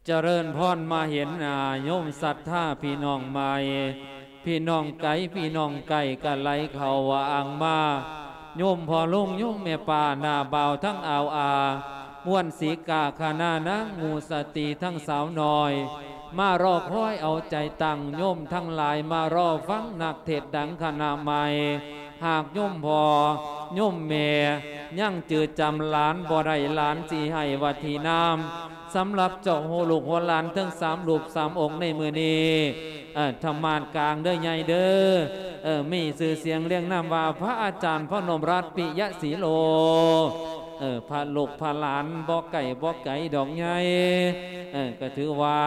ຈະເລີນພອນ ມາເຫັນໜ້າໂຍມສັດທາພີ່ນ້ອງໃໝ່ ພີ່ນ້ອງໄກ ພີ່ນ້ອງໃກ້ກະໄຫຼເຂົ້າວ່າອ່າງມາ ໂຍມພໍ່ລຸງ ໂຍມແມ່ປ້າ ນ້າບ່າວທັງອ່າວອາ ມ່ວນສີກາ ຄະນະນາງໝູ່ສະຕີ ທັງສາວນ້ອຍ ມາລໍຄອຍເອົາໃຈຕັ້ງ ໂຍມທັງຫຼາຍມາລໍຟັງນັກເທດດັງຄະນະໃໝ່ ຫາກໂຍມພໍ່ໂຍມແມ່ຍັງຈື່ຈຳຫຼານບໍ່ໄດ້ ຫຼານຊິໃຫ້ວັດທີນາມ ສຳລັບເຈົ້າຮູ້ລູກຫົວຫຼານທັງສາມຮູບສາມອົງໃນມື້ນີ້ ເອີ ທຳມາດກາງເດີໃຫຍ່ເດີ ເອີ ມີຊື່ສຽງລຽງນາມວ່າພະອາຈານພະນົມລັດ ປິຍະສີໂລ ເອີ ພະລູກພະຫຼານບໍ່ໃກ້ບໍ່ໄກດອກໃຫຍ່ ເອີ ກໍຖືວ່າ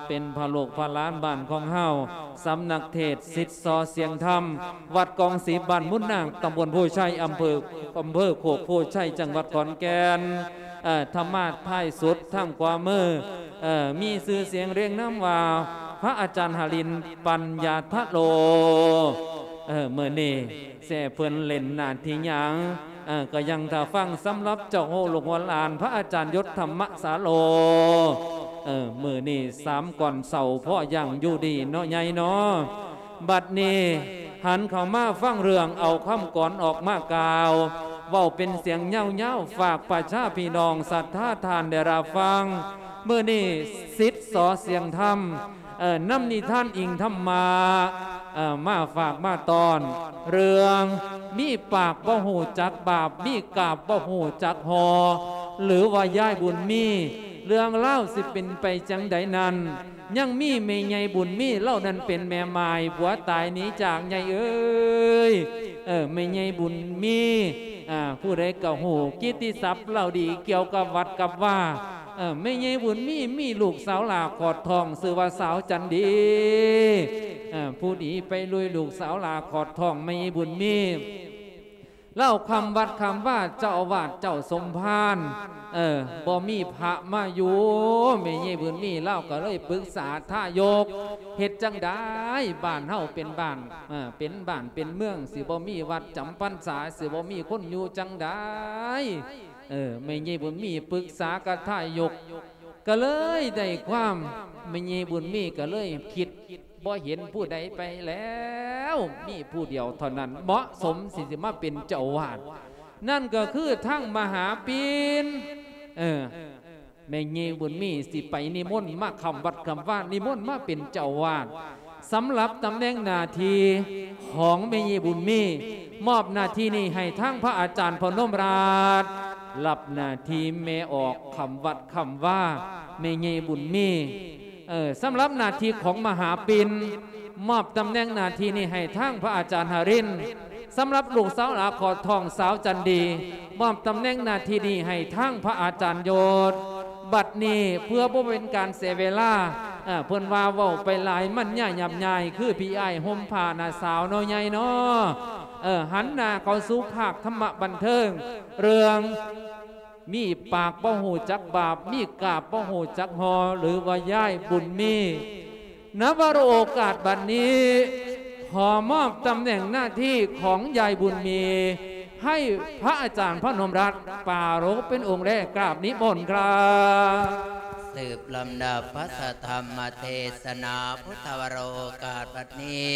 ເປັນພະລູກພະຫຼານບ້ານຂອງເຮົາ ສຳນັກເທດສິດສໍສຽງທຳ ວັດກອງສີ ບ້ານມຸນນາງ ຕຳບົນໂພໄຊ ອຳເພີ ອຳເພີໂຄກໂພໄຊ ຈັງຫວັດຂອນແກ່ນ ເອີ ທຳມາດທ້າຍສຸດທາງຂວາມື ເອີ ມີຊື່ສຽງລຽງນາມວ່າ ພະອາຈານຫະລິນ ປັນຍາທະໂລ ເອີ ມື້ນີ້ແຊເພິ່ນເຫຼັ້ນໜ້າທີ່ຫຍັງ ເອີ ກໍຍັງຖ້າຟັງ ສຳລັບເຈົ້າຮູ້ລູກຫົວຫຼານ ພະອາຈານຍົດ ທຳມະສາໂລ ເອີ ມື້ນີ້ສາມກ່ອນເຊົ້າ ພໍຢ່າງຢູ່ດີເນາະໃຫຍ່ເນາະ. ບັດນີ້ຫັນເຂົ້າມາຟັງເລື່ອງ ເອົາຄຳກອອນອອກມາກ່າວ ເວົ້າເປັນສຽງຍາວໆ ຝາກປະຊາພີ່ນ້ອງສັດທາທ່ານໄດ້ຮັບຟັງ. ມື້ນີ້ສິດສໍສຽງທຳ ເອີ ນຳນິທານອີງທຳມະ ເອີ ມາຝາກມາຕ້ອນ ເລື່ອງມີປາກບໍ່ຮູ້ຈັກບາບ ມີກາບບໍ່ຮູ້ຈັກຫໍ່ ຫຼືວ່າຍາຍບຸນມີ ເລື່ອງລາວຊິເປັນໄປຈັ່ງໃດນັ້ນ ຍັງມີແມ່ໃຫຍ່ບຸນມີ ລາວນັ້ນເປັນແມ່ໝ້າຍ ຜົວຕາຍໜີຈາກໃຫຍ່ເອີຍ ເອີ ແມ່ໃຫຍ່ບຸນມີ ອາ ຜູ້ໃດກໍຮູ້ກິດຕິສັບລາວດີ ກ່ຽວກັບວັດກັບວາ ເອີ ແມ່ໃຫຍ່ບຸນມີ ມີລູກສາວຫຼ້າຂອດທ້ອງ ຊື່ວ່າສາວຈັນດີ ເອີ ຜູ້ດີໄປລຸຍ ລູກສາວຫຼ້າຂອດທ້ອງແມ່ໃຫຍ່ບຸນມີ ລາວຄຳວັດຄຳວາ ເຈົ້າອາວາດເຈົ້າສົມພານ ເອີ ບໍ່ມີພະມາຢູ່ ແມ່ໃຫຍ່ບຸນມີລາວກໍເລີຍປຶກສາທາຍົກ ເຮັດຈັ່ງໃດ ບ້ານເຮົາເປັນບ້ານ ເອີ ເປັນບ້ານເປັນເມືອງ ຊິບໍ່ມີວັດຈຳພັນສາ ຊິບໍ່ມີຄົນຢູ່ຈັ່ງໃດ ເອີ ແມ່ໃຫຍ່ບຸນມີປຶກສາກັບທາຍົກ ກໍເລີຍໄດ້ຄວາມ ແມ່ໃຫຍ່ບຸນມີກໍເລີຍຄິດ ບໍ່ເຫັນຜູ້ໃດໄປແລ້ວ ມີຜູ້ດຽວເທົ່ານັ້ນເໝາະສົມທີ່ຊິມາເປັນເຈົ້າອາວາດ ນັ້ນກໍຄືທາງມະຫາປິນ ເອີ ແມ່ໃຫຍ່ບຸນມີຊິໄປນິມົນມາຄຳວັດຄຳວາ ນິມົນມາເປັນເຈົ້າອາວາດ ສຳລັບຕຳແໜ່ງໜ້າທີ່ຂອງແມ່ໃຫຍ່ບຸນມີ ມອບໜ້າທີ່ນີ້ໃຫ້ທາງພະອາຈານພະນົມລາດ ຮັບໜ້າທີ່ແມ່ອອກຄຳວັດຄຳວາ ແມ່ໃຫຍ່ບຸນມີ ເອີ ສຳລັບໜ້າທີ່ຂອງມະຫາປິນ ມອບຕຳແໜ່ງໜ້າທີ່ນີ້ໃຫ້ທາງພະອາຈານຫະລິນ ສຳລັບລູກສາວຫຼ້າຂອດທ້ອງສາວຈັນດີ ມອບຕຳແໜ່ງໜ້າທີ່ນີ້ໃຫ້ທາງພະອາຈານໂຍດ ບັດນີ້ເພື່ອບໍ່ເປັນການເສຍເວລາ ເອີ ເພິ່ນວ່າເວົ້າໄປຫຼາຍມັນຍາຫຍາບຍາຍ ຄືພີ່ອ້າຍຫົ່ມຜ້າໜ້າສາວເນາະໃຫຍ່ເນາະ ເອີ ຫັນໜ້າເຂົ້າສູ່ພາກທຳມະບັນເທີງ ເລື່ອງ ມີປາກບໍ່ຮູ້ຈັກບາບ ມີກາບບໍ່ຮູ້ຈັກຫໍ່ ຫຼືວ່າຍາຍບຸນມີ ນະວະໂອກາດບັດນີ້ ຂໍມອບຕຳແໜ່ງໜ້າທີ່ຂອງຍາຍບຸນມີ ໃຫ້ພະອາຈານພະນົມລັດ ປາລົກເປັນອົງແລກ ກາບນິມົນຄຣັບ. ສືບລຳດັບພະທຳມະເທສະໜາ ພຸດທະວະໂຣກາດບັດນີ້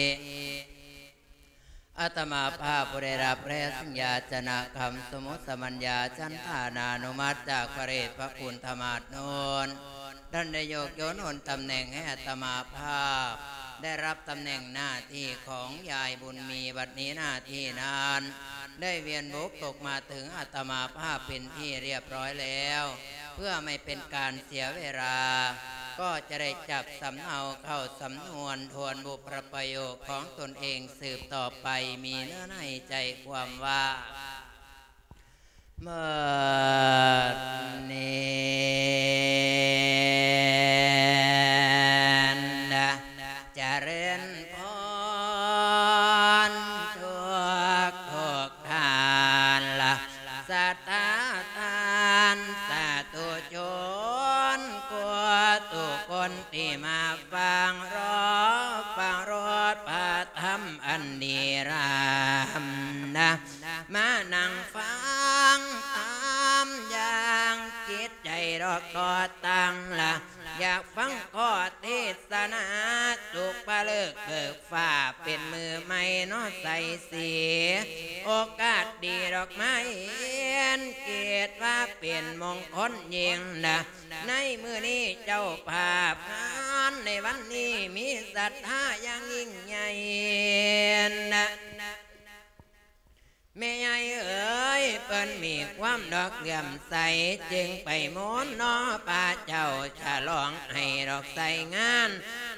ອາດຕະມາພາບຜູ້ໄດ້ຮັບແລະສັນຍາຈະນະຄຳສົມມຸດສະມັນຍາສັນທານານຸມັດຈາກພະເດດພະຄຸນທະມາດໂນນ ທ່ານໄດ້ຍົກຍົນໂອນຕຳແໜ່ງໃຫ້ອາດຕະມາພາບ ໄດ້ຮັບຕຳແໜ່ງໜ້າທີ່ຂອງຍາຍບຸນມີ ບັດນີ້ໜ້າທີ່ນັ້ນ ໄດ້ວຽນບຸກຕົກມາເຖິງອາດຕະມາພາບເປັນທີ່ຮຽບຮ້ອຍແລ້ວ ເພື່ອໄມ່ເປັນການເສຍເວລາ ກໍຈະໄດ້ຈັບສຳເນົາເຂົ້າສຳນວນທວນບຸບພະປະໂຫຍກຂອງຕົນເອງສືບຕໍ່ໄປ ມີເນື້ອໃນໃຈຄວາມວ່າ ບັດນີ້ນະ ຈະເລີນພອນທຸກໆທ່ານລະ ສັດທາທ່ານສາທຸຊົນ ກວ່າທຸກຄົນທີ່ມາຟັງ ລໍຟັງໂລດພະທຳອັນດີລາມນະ ມານັ່ງຟັງຕາມຢ່າງຈິດໃຈດອກຕໍ່ຕັ້ງລະ ຢາກຟັງຂໍ້ເທດສະນາ ສຸກພະເລີກເບີກຟ້າ ເປັນມື້ໃໝ່ເນາະໃສສີ ໂອກາດດີດອກໄມ້ເຫັນ ຄິດວ່າເປັນມົງຄົນຍິ່ງນະ ໃນມື້ນີ້ເຈົ້າພາບງານ ໃນວັນນີ້ມີສັດທາຢ່າງຍິ່ງໃຫຍ່ນະ ແມ່ໃຫຍ່ເອີຍ ເພິ່ນມີຄວາມດອກເຫຼື້ອມໃສ ຈຶ່ງໄປມົນເນາະພະເຈົ້າ ສະຫຼອງໃຫ້ດອກໃສ່ງານ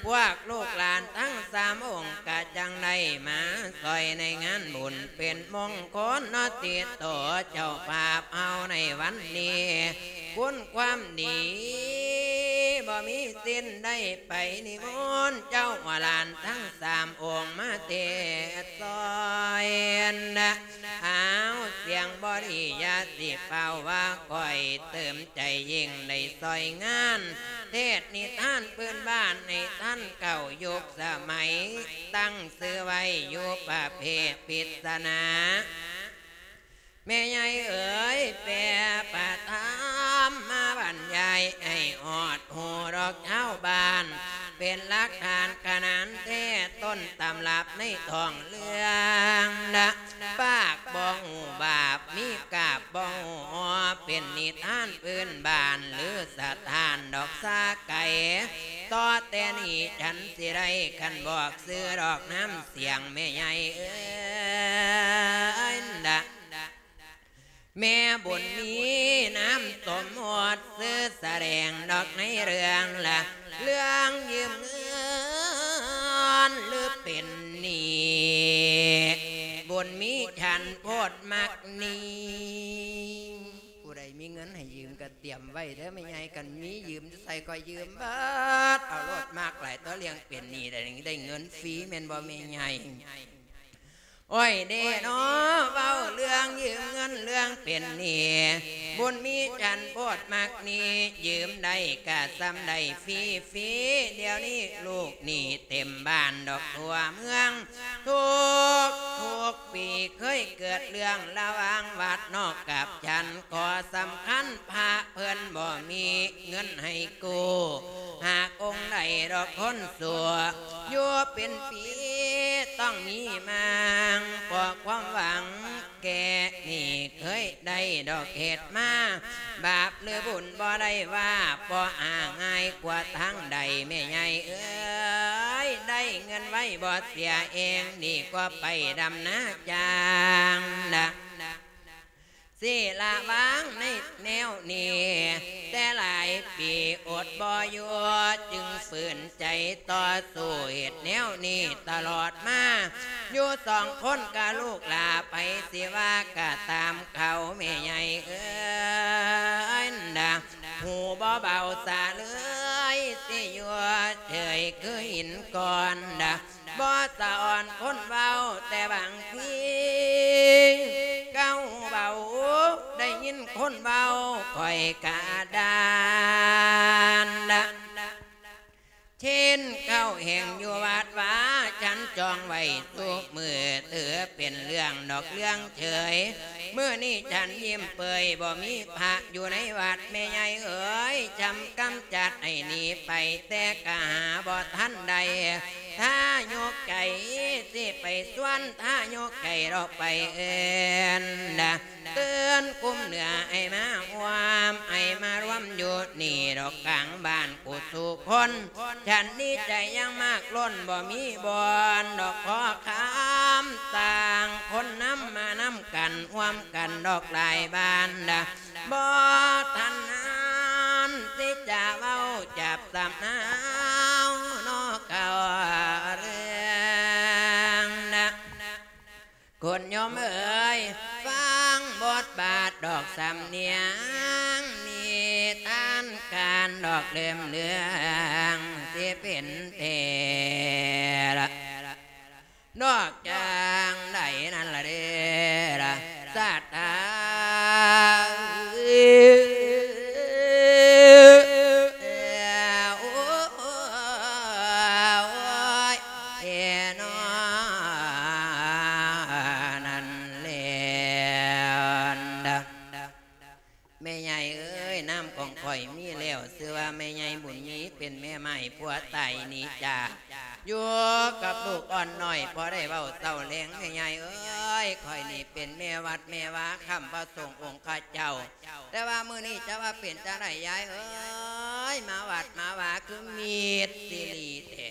ພວກລູກຫຼານທັງສາມອົງ ກະຈັ່ງໄດ້ມາຊ່ອຍໃນງານບຸນ ເປັນມົງຄົນເນາະຕິດຕໍ່ ເຈົ້າພາບເຮົາໃນວັນນີ້ ຄຸນຄວາມດີບໍ່ມີສິ້ນ ໄດ້ໄປນິມົນເຈົ້າວ່າຫຼານທັງສາມອົງມາເທດຊ່ອຍນະ ອ້າວ ສຽງບໍ່ດີຢ່າຊິຟ້າວວ່າຂ້ອຍ ເຕີມໃຈຍິ່ງໄດ້ຊ່ອຍງານ ເທດນິທານພື້ນບ້ານໃຫ້ທັນເຂົ້າຍຸກສະໄໝ ຕັ້ງຊື່ໄວ້ຢູ່ປະເພດພິດສະນາ ແມ່ໃຫຍ່ເອີຍ ແປພະທຳມາບັນຍາຍໃຫ້ຮອດຮູ້ດອກຊາວບ້ານ ເປັນຫຼັກຖານຂະໜານແທ້ ຕົ້ນຕຳລັບໃນທ້ອງເລື່ອງນະ ປາກບໍ່ຮູ້ບາບ ມີກາບບໍ່ຮູ້ອໍ ເປັນນິທານພື້ນບ້ານ ຫຼືສະຖານດອກສາໄກ ຕໍ່ແຕ່ນີ້ ຈັນຊິໄດ້ຄັນບອກຊື່ດອກນາມສຽງ ແມ່ໃຫຍ່ເອີຍນະ ແມ່ບຸນມີນາມສົມມຸດ ຊື່ສະແດງດອກໃນເລື່ອງລະ ເລື່ອງຢືມເງິນ ຫຼືເປັນໜີ້ ບຸນມີສັນໂພດມັກໜີ້ ຜູ້ໃດມີເງິນໃຫ້ຢືມກະຕຽມໄວ້ເດີແມ່ໃຫຍ່ ຄັນມີຢືມໃສ່ຂ້ອຍຢືມເບິດ ເອົາໂລດ ມັກຫຼາຍ ຕົວະເລື່ອງເປັນໜີ້ ໄດ້ ໄດ້ເງິນຟຣີແມ່ນບໍ່ແມ່ໃຫຍ່? ໂອ້ຍເດເນາະ ເວົ້າເລື່ອງຢືມເງິນເລື່ອງເປັນໜີ້ ບຸນມີສັນໂພດມັກໜີ້ ຢືມໄດ້ກະສ່ຳໄດ້ຟຣີໆ ດຽວນີ້ລູກໜີ້ເຕັມບ້ານດອກທົ່ວເມືອງ ທຸກໆປີເຄີຍເກີດເລື່ອງລະຫວ່າງວັດນອກກັບສັນ ຂໍ້ສຳຄັນພະເພິ່ນບໍ່ມີເງິນໃຫ້ກູ້ ຫາກອົງໃດດອກຄົນຊົ່ວ ຢູ່ເປັນປີຕ້ອງມີມາງ ເພາະຄວາມຫວັງແກ່ໜີ້ເຄີຍໄດ້ດອກເຮັດມາ ບາບຫຼືບຸນບໍ່ໄດ້ວ່າ ບໍ່ຫາງ່າຍກວ່າທາງໃດ ແມ່ໃຫຍ່ເອີຍ ໄດ້ເງິນໄວບໍ່ເສຍເອງ ດີກວ່າໄປດຳນາຈ້າງນະ ຊິລະວາງໃນແນວນີ້ ແຕ່ຫຼາຍປີອົດບໍ່ຢູ່ ຈຶ່ງຝືນໃຈຕໍ່ສູ້ເຮັດແນວນີ້ຕະຫຼອດມາ ຢູ່ສອງຄົນກະລູກຫຼ້າ ໃຜຊິວ່າກະຕາມເຂົາ ແມ່ໃຫຍ່ເອີຍນະ ຫູບໍ່ເບົາສະເລີຍ ຊິຢູ່ເສີຍຄືຫີນກ້ອນນະ ບໍ່ສະອອນຄົນເວົ້າ ແຕ່ບາງທີເກົ້າເວົ້າ ໄດ້ຍິນຄົນເວົ້າ ຂ້ອຍກະດ້ານນະ ເຊັ່ນເຂົ້າແຫ່ງຢູ່ວັດວາ ສັນຈອງໄວ້ທຸກມື້ ຖືເປັນເລື່ອງດອກເລື່ອງເສີຍ ມື້ນີ້ສັນຍິ້ມເປີຍ ບໍ່ມີພະຢູ່ໃນວັດ ແມ່ໃຫຍ່ເອີຍ ຈຳກຳຈັດໃຫ້ໜີໄປ ແຕ່ກະຫາບໍ່ທັນໄດ້ ຖ້າຍົກໃຈຊິໄປຊວນ ຖ້າຍົກໃຈດອກໄປເອີ້ນນະ ເຕືອນກຸ່ມເໜືອໃຫ້ມາຮ່ວມ ໃຫ້ມາລວມຢູ່ນີ້ດອກກາງບ້ານກູສູ່ຄົນ ສັນດີໃຈຢ່າງມາກລົ້ນ ບໍ່ມີບ່ອນດອກຂໍຄຳ ຕ່າງຄົນນຳມານຳກັນ ຮ່ວມກັນດອກຫຼາຍບ້ານນະ ບໍ່ທັນນານທີ່ຈະເວົ້າຈັບສຳນາວເນາະ ເກົ່າເລື່ອງນະ ຄຸນໂຍມເອີຍ ຟັງບົດບາດດອກສຳນຽງ ນິທານການດອກເລີ່ມເລື່ອງ ຊິເປັນເທລະ ນອກຈາກໃດນັ້ນລະເດລະ ສາດທາ ໂອ້ຍ ເອນອ ນັ້ນແລ້ວ ແມ່ໃຫຍ່ເອີຍ ນາມຂອງຂ້ອຍມີແລ້ວ ຊື່ວ່າແມ່ໃຫຍ່ບຸນມີ ເປັນແມ່ໄມ້ຜົວຕາຍໜີຈາກ ຢູ່ກັບລູກອ່ອນນ້ອຍ ພໍໄດ້ເວົ້າເຊົາແລງ ແມ່ໃຫຍ່ເອີຍ ຂ້ອຍນີ້ເປັນແມ່ວັດແມ່ວາ ຄ້ຳພະສົງອົງຄະເຈົ້າ ແຕ່ວ່າມື້ນີ້ຈະວ່າເປັນຈັ່ງໃດຍາຍເອີຍ ມາວັດມາວາຄືມິດຊີລີແທ້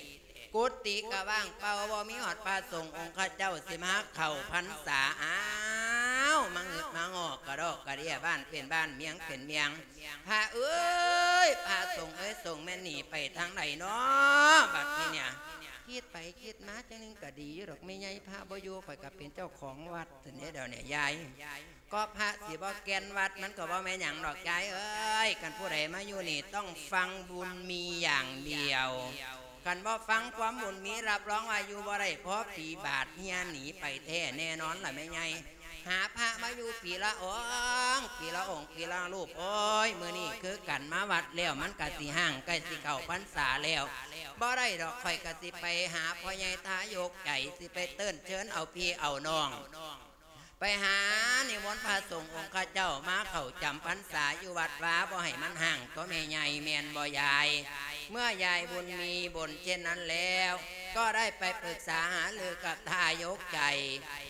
ກຸຕິກະວ່າງເປົ່າ ບໍ່ມີຮອດພະສົງອົງຄະເຈົ້າຊິມາເຂົ້າພັນສາ ອ້າວ ມາງຶດມາງໍກກະດອກກະເດຍ ບ້ານເປັນບ້ານ ເມຍງເປັນເມຍງ ພະເອີຍ ພະສົງເອີຍ ສົງແມ່ນໜີໄປທາງໃດນໍ ບັດນີ້ເນຍ ຄິດໄປຄິດມາ ຈັ່ງໜຶ່ງກະດີຢູ່ດອກແມ່ໃຫຍ່ ພະບໍ່ຢູ່ ຂ້ອຍກະເປັນເຈົ້າຂອງວັດຊັ້ນເດ ດຽວນີ້ຍາຍ ກໍພະຊິບໍ່ແກ່ນວັດ ມັນກໍບໍ່ແມ່ນຫຍັງດອກຍາຍເອີຍ ຄັນຜູ້ໃດມາຢູ່ນີ້ຕ້ອງຟັງບຸນມີຢ່າງດຽວ ຄັນບໍ່ຟັງຄວາມບຸນມີ ຮັບຮອງວ່າຢູ່ບໍ່ໄດ້ພໍປີ ບາດເຮຍໜີໄປແທ້ແນ່ນອນລະແມ່ໃຫຍ່ ຫາພະມາຢູ່ປີລະອົງ ປີລະອົງ ປີລະຮູບ ໂອ້ຍ ມື້ນີ້ຄືກັນມາວັດແລ້ວ ມັນກະຊິຮ້າງ ໃກ້ຊິເຂົ້າພັນສາແລ້ວ ບໍ່ໄດ້ດອກ ຂ້ອຍກະຊິໄປຫາພໍ່ໃຫຍ່ທາຍົກໃຈ ຊິໄປເອີ້ນເຊີນເອົາພີ່ເອົານ້ອງ ໄປຫານິມົນພະສົງອົງຄະເຈົ້າມາເຂົ້າຈຳພັນສາຢູ່ວັດວາ ບໍ່ໃຫ້ມັນຮ້າງຕົວະແມ່ໃຫຍ່ ແມ່ນບໍ່ຍາຍ? ເມື່ອຍາຍບຸນມີບົ່ນເຊັ່ນນັ້ນແລ້ວ ກໍໄດ້ໄປປຶກສາຫາລືກັບທາຍົກໃຈ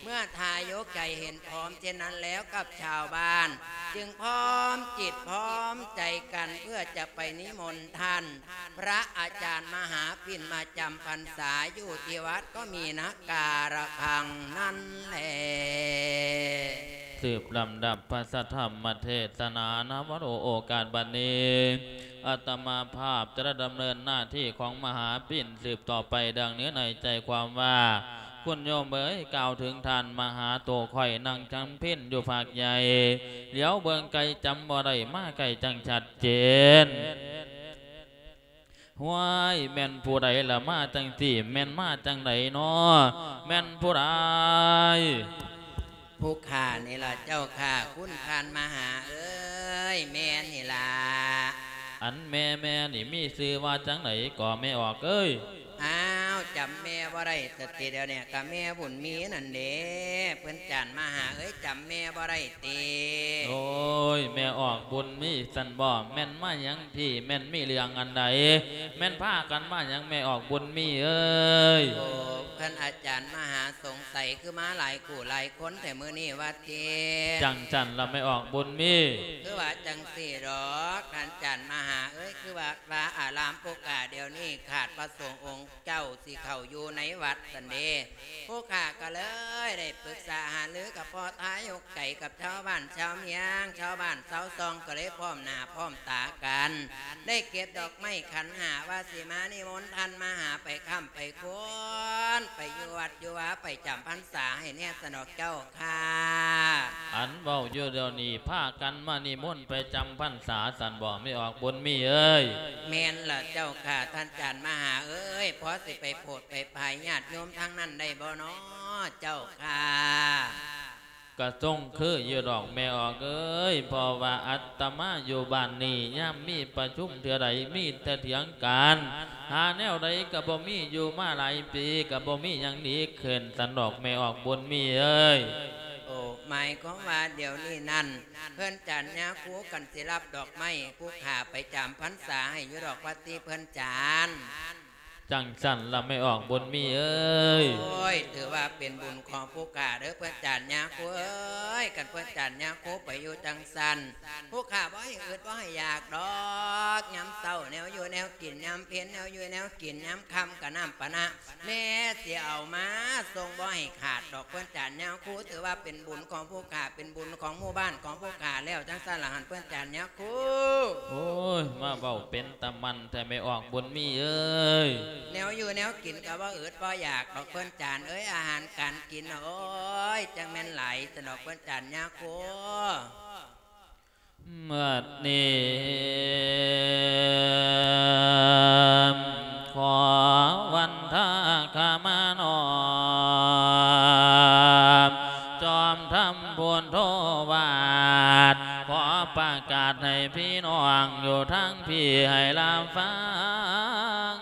ເມື່ອທາຍົກໃຈເຫັນພ້ອມເຊັ່ນນັ້ນແລ້ວກັບຊາວບ້ານ ຈຶ່ງພ້ອມຈິດພ້ອມໃຈກັນເພື່ອຈະໄປນິມົນທ່ານ ພະອາຈານມະຫາປິ່ນມາຈຳພັນສາຢູ່ທີ່ວັດກໍມີນະກາລະຄັງນັ້ນແລ. ສືບລຳດັບພະສັດທຳມະເທດສະໜານຳ ໂອກາດບັດນີ້ ອາດຕະມາພາບຈະໄດ້ດຳເນີນໜ້າທີ່ຂອງມະຫາປິ່ນສືບຕໍ່ໄປ ດັ່ງເນື້ອໃນໃຈຄວາມວ່າ ຄຸນໂຍມເອີຍ ກ່າວເຖິງທ່ານມະຫາໂຕຂ້ອຍນັ່ງຈຳເພັນຢູ່ພາກໃຫຍ່ ຫຼຽວເບິ່ງໄກຈຳບໍ່ໄດ້ ມາໃກ້ຈັ່ງຊັດເຈນ. ຫ້ວຍ ແມ່ນຜູ້ໃດລະມາຈັ່ງຊີ້ ແມ່ນມາຈັ່ງໃດນໍ ແມ່ນຜູ້ໃດ? ຜູ້ຂ້ານີ້ລະເຈົ້າຂ້າ ຄຸນທ່ານມະຫາເອີຍ ແມ່ນີ້ລະ. ອັນແມ່ ແມ່ນີ້ມີຊື່ວ່າຈັ່ງໃດກໍແມ່ອອກເອີຍ? ອ້າວ ຈຳແມ່ບໍ່ໄດ້ ສະຕິດຽວນີ້ກະແມ່ບຸນມີນັ້ນເດ ເພິ່ນຈານມະຫາເອີຍ ຈຳແມ່ບໍ່ໄດ້ຕິ? ໂອ້ຍ ແມ່ອອກບຸນມີຊັ້ນບໍ ແມ່ນມາຫຍັງພີ້ ແມ່ນມີເລື່ອງອັນໃດ ແມ່ນພາກັນມາຫຍັງແມ່ອອກບຸນມີເອີຍ? ໂອ້ ເພິ່ນອາຈານມະຫາສົງໄສຄືມາຫຼາຍຄູ່ຫຼາຍຄົນແທ້ມື້ນີ້ວ່າຕິ? ຈັ່ງຊັ້ນລະແມ່ອອກບຸນມີ ຄືວ່າຈັ່ງຊີ້ດອກ ທ່ານຈານມະຫາເອີຍ ຄືວ່າ ວ່າອາລາມປຸກກະດຽວນີ້ຂາດພະສົງອົງ ເຈົ້າຊິເຂົ້າຢູ່ໃນວັດຊັ້ນເດ ຜູ້ຂ້າກໍເລີຍໄດ້ປຶກສາຫາລືກັບພໍ່ທາຍົກໃຈ ກັບຊາວບ້ານຊາວເມືອງ ຊາວບ້ານຊາວຊ່ອງ ກໍເລີຍພ້ອມໜ້າພ້ອມຕາກັນ ໄດ້ເກັບດອກໄມ້ຂັນຫ້າ ວ່າຊິມານິມົນທ່ານມະຫາໄປຄ້ຳໄປຄູນ ໄປຢູ່ວັດຢູ່ວາ ໄປຈຳພັນສາໃຫ້ແນ່ຊັ້ນດອກເຈົ້າ ຂ້າ ອັນເວົ້າຢູ່ດຽວນີ້ ພາກັນມານິມົນໄປຈຳພັນສາຊັ້ນບໍ ແມ່ອອກບຸນມີເອີຍ? ແມ່ນລະເຈົ້າຂ້າ ທ່ານຈານມະຫາເອີຍ ພໍຊິໄປໂຜດໄປພາຍຍາດໂຍມທາງນັ້ນໄດ້ບໍ່ນໍ ເຈົ້າຂ້າ? ກະຊົງຄືຢູ່ດອກແມ່ອອກເອີຍ ເພາະວ່າອາດຕະມາຢູ່ບ້ານນີ້ ຍາມມີປະຊຸມເທື່ອໃດ ມີແຕ່ຖຽງກັນ ຫາແນວໃດກະບໍ່ມີ ຢູ່ມາຫຼາຍປີກະບໍ່ມີຫຍັງດີຂຶ້ນຊັ້ນດອກ ແມ່ອອກບຸນມີເອີຍ. ໂອ້ ໝາຍຄວາມວ່າດຽວນີ້ນັ້ນ ເພິ່ນຈານຍາຄູກັນຊິຮັບດອກໄມ້ຜູ້ຂ້າໄປຈຳພັນສາໃຫ້ຢູ່ດອກວ່າຕິເພິ່ນຈານ? ຈັ່ງຊັ້ນລະແມ່ອອກບຸນມີເອີຍ. ໂອ້ຍ ຖືວ່າເປັນບຸນຂອງຜູ້ຂ້າເດີເພິ່ນຈານຍາຄູເອີຍ ຄັນເພິ່ນຈານຍາຄູໄປຢູ່ຈັ່ງຊັ້ນ ຜູ້ຂ້າບໍ່ໃຫ້ອຶດບໍ່ໃຫ້ຢາກດອກ ຍາມເຊົ້າແນວຢູ່ແນວກິນ ຍາມເພັນແນວຢູ່ແນວກິນ ຍາມຄ່ຳກະນ້ຳປານະ ແມ່ຊິເອົາມາສົ່ງບໍ່ໃຫ້ຂາດດອກ ເພິ່ນຈານຍາຄູ ຖືວ່າເປັນບຸນຂອງຜູ້ຂ້າ ເປັນບຸນຂອງໝູ່ບ້ານຂອງຜູ້ຂ້າແລ້ວ ຈັ່ງຊັ້ນລະຫັ້ນເພິ່ນຈານຍາຄູ. ໂອ້ຍ ມາເວົ້າເປັນຕາໝັ່ນແທ້ແມ່ອອກບຸນມີເອີຍ. ແນວຢູ່ແນວກິນກະບໍ່ອຶດບໍ່ຢາກດອກເພິ່ນຈານເອີຍ ອາຫານການກິນ ໂອ້ຍ ຈັ່ງແມ່ນຫຼາຍຊັ້ນດອກເພິ່ນຈານຍາຄູ. ບັດນີ້ ຂໍວັນທາຂະມານ້ອມ ຈອມທຳພຸດໂທວາດ ຂໍປະກາດໃຫ້ພີ່ນ້ອງຢູ່ທາງພີ້ໃຫ້ລາບຟັງ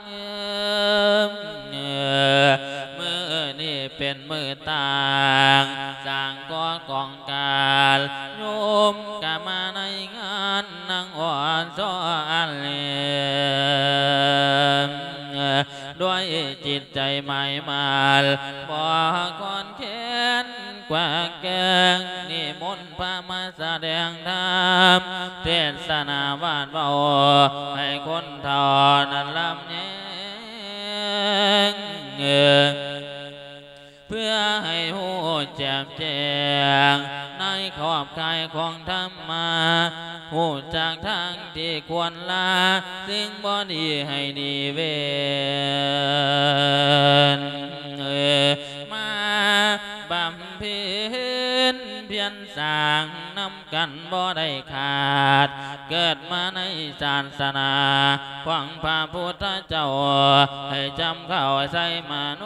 ມື້ນີ້ເປັນມື້ຕ່າງ ສ້າງກໍ່ກອງການ ໂຍມກະມາໃນງານນາງອ່ອນຊອນເລີ ຈິດໃຈໝາຍໝັ້ນ ບໍ່ຄອນແຄນກວ່າແກງ ນິມົນພະມາສະແດງທຳ ເທດສະນາວາດເວົ້າ ໃຫ້ຄົນເຖົ້ານັ້ນລຳແຍງ ເພື່ອໃຫ້ຮູ້ແຈ່ມແຈ້ງ ໃນຂອບຂ່າຍຂອງທຳມາ ຮູ້ຈັກທາງທີ່ຄວນລາ ສິ່ງບໍ່ດີໃຫ້ໜີເວັ້ນ ມາບຳເພັນພຽນສ້າງນຳ ກັນບໍ່ໄດ້ຂາດ ເກີດມາໃນສາສະໜາຂອງພະພຸດທະເຈົ້າ ໃຫ້ຈຳເຂົ້າໃສ່ມະໂນ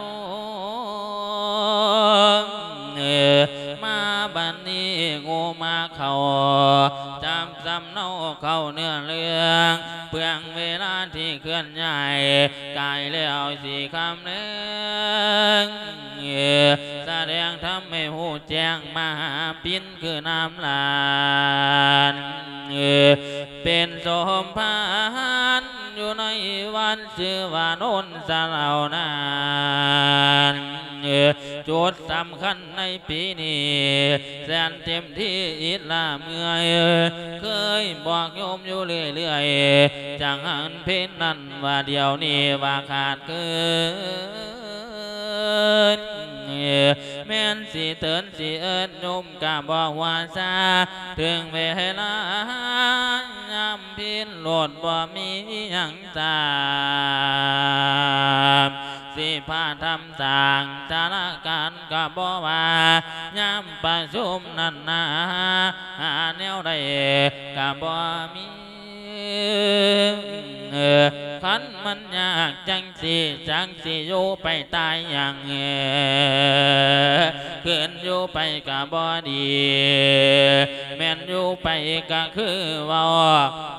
ມາບັດນີ້ງູມາເຂົ້າ ຈັບສຳເນົາເຂົ້າເນື້ອເລື່ອງ ເປືອງເວລາທີ່ເຄື່ອນຍ້າຍ ກາຍແລ້ວຊິຄຳແລງ ສະແດງທຳໃຫ້ຮູ້ແຈ້ງມະຫາປິນ ຄືນ້ຳຫຼານ ເປັນສົມພານຢູ່ໃນວັດຊື່ວ່າໂນນສະເຫຼົ່ານັ້ນ ຈຸດສຳຄັນໃນປີນີ້ ແສນເຕັມທີ່ອິດລາເມື່ອຍ ເຄີຍບອກໂຍມຢູ່ເລື້ອຍໆ ຈັ່ງຫັນເພັນນັ້ນວ່າດຽວນີ້ວ່າຂາດເກີນ ແມ່ນຊິເຕີນຊິເອີ້ນໂຍມກະບໍ່ວ່າຊາ ເຖິງເວລາຍາມພີນໂລດບໍ່ມີຫຍັງສາມ ຊິພາທຳສ້າງສາລາການກະບໍ່ວ່າ ຍາມປະຊຸມນັ້ນນາ ຫາແນວໃດກະບໍ່ມີ ຄັນມັນຍາກຈັ່ງ ຊິຈັກຊິຢູ່ໄປຕາຍຫຍັງ ຄືນຢູ່ໄປກະບໍ່ດີ ແມ່ນຢູ່ໄປກະຄືເວົ້າ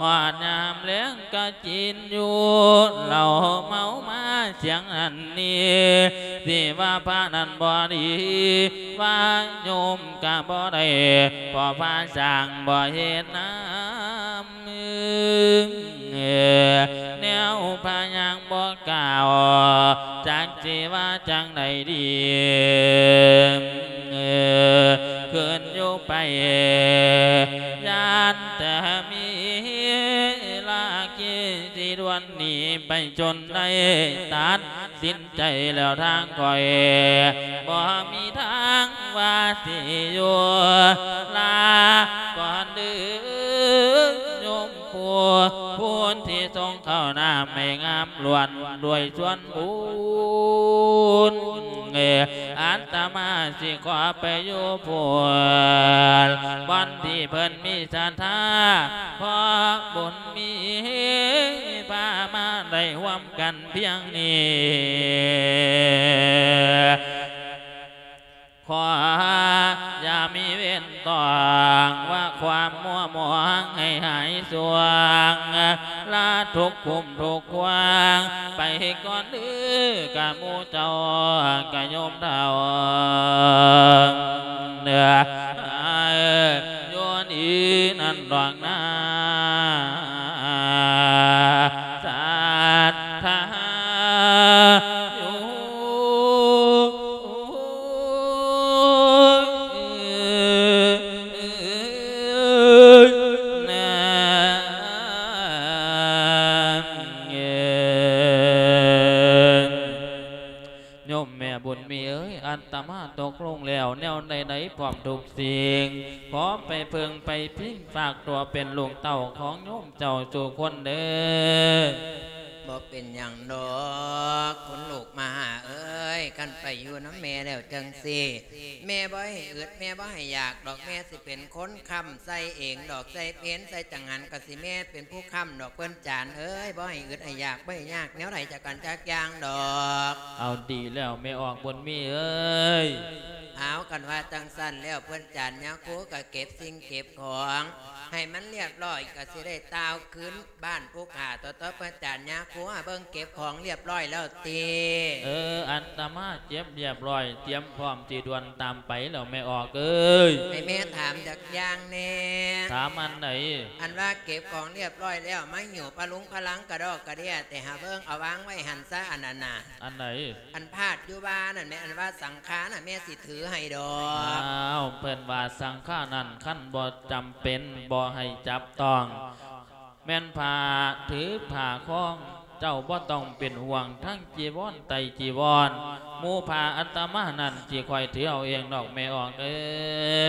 ຮອດຍາມແລງກະກິນຢູ່ ເຫຼົ້າເມົາມາສຽງນັ້ນນີ້ ຊິວ່າພະນັ້ນບໍ່ດີ ວ່າໂຍມກະບໍ່ໄດ້ ເພາະພະສ້າງບໍ່ເຮັດນຳ ແນວພະຍັງບໍ່ກ່າວ ຈັກຊິວ່າຈັ່ງໃດດີ ຄືນຢູ່ໄປ ຢ້ານແຕ່ມີລາກີຊິດ່ວນໜີໄປຈົນໄດ້ຕັດ ສິນໃຈແລ້ວທາງຂ້ອຍ ບໍ່ມີທາງວ່າຊິຢູ່ ລາກ່ອນເດີໂຍມຜູ້ ຜູ້ທີ່ຊົງເຂົ້ານ້ຳໃຫ້ງາມລ້ວນດ້ວຍສ່ວນບຸນ ອັດຕະມາຊິຂໍໄປຢູ່ພຸ້ນ ບ່ອນທີ່ເພິ່ນມີສັດທາ ເພາະບຸນມີພາມາໄດ້ຮ່ວມ ກັນພຽງນີ້ ຂໍຢ່າມີເວນຕ້ອງ ວ່າຄວາມມົວໝອງໃຫ້ຫາຍສວງ ລາທຸກຄຸມທຸກຂວາງ ໄປກ່ອນເດີກະໝູ່ເຈົ້າກະໂຍມເຖົ້າ ເອີ ຢູ່ນີ້ນັ້ນດອກນາ ສັດທາຢູ່ ໂຍມແມ່ບຸນມີເອີຍ ອັດຕະມາຕົກລົງແລ້ວແນວໃດໆ ພ້ອມທຸກສິ່ງ ຂໍໄປເພິ່ງໄປພິງ ຝາກຕົວເປັນລູກເຕົ້າຂອງໂຍມເຈົ້າສູ່ຄົນເດີ. ບໍ່ເປັນຫຍັງດອກ ຄຸນລູກມະຫາເອີຍ ຄັນໄປຢູ່ນຳແມ່ແລ້ວຈັ່ງຊີ້ ແມ່ບໍ່ໃຫ້ອຶດ ແມ່ບໍ່ໃຫ້ຢາກດອກ ແມ່ຊິເປັນຄົນຄ້ຳໃສ່ເອງດອກ ໃສ່ເພນໃສ່ຈັງຫັນ ກະຊິແມ່ເປັນຜູ້ຄ້ຳດອກ ເພິ່ນຈານເອີຍ ບໍ່ໃຫ້ອຶດໃຫ້ຢາກ ບໍ່ໃຫ້ຍາກແນວໃດຈັກອັນຈັກຢ່າງດອກ. ເອົາ ດີແລ້ວ ແມ່ອອກບຸນມີເອີຍ. ເອົາ ຄັນວ່າຈັ່ງຊັ້ນແລ້ວ ເພິ່ນຈານຍາຄູກະເກັບສິ່ງເກັບຂອງ ໃຫ້ມັນລຽບລ້ອຍ ກໍຊິໄດ້ຕ່າວຄືນບ້ານຜູ້ຂ້າ ຕໍ່ໆ ພະອາຈານຍາຄູ ຫາເບິ່ງເກັບຂອງລຽບລ້ອຍແລ້ວຕິ. ເອີ ອາດຕະມາເກັບລຽບລ້ອຍ ຕຽມພ້ອມຊິດ່ວນຕາມໄປແລ້ວແມ່ອອກເອີຍ. ໃຫ້ແມ່ຖາມຈັກຢ່າງແດ່. ຖາມອັນໃດ? ອັນວ່າເກັບຂອງລຽບລ້ອຍແລ້ວ ມາຫິ້ວພະລຸງພະລັງກະດອກກະເດຍ ແຕ່ຫາເບິ່ງເອົາວາງໄວ້ຫັ້ນຊະ ອັນນັ້ນນະ. ອັນໃດ? ອັນພາດຢູ່ວ່ານັ້ນແມ່ ອັນວ່າສັງຄານະ ແມ່ຊິຖືໃຫ້ດອກ. ອ້າວ ເພິ່ນວ່າສັງຄານັ້ນ ຄັນບໍ່ຈຳເປັນ ບໍ່ໃຫ້ຈັບຕ້ອງ ແມ່ນຜ້າຖືຜ້າຄອງ ເຈົ້າບໍ່ຕ້ອງເປັນຫ່ວງ ທັງຈີວອນໄຕຈີວອນ ໝູ່ຜ້າອາດຕະມານັ້ນ ຊິຂ້ອຍຖືເອົາເອງດອກແມ່ອອກເອີ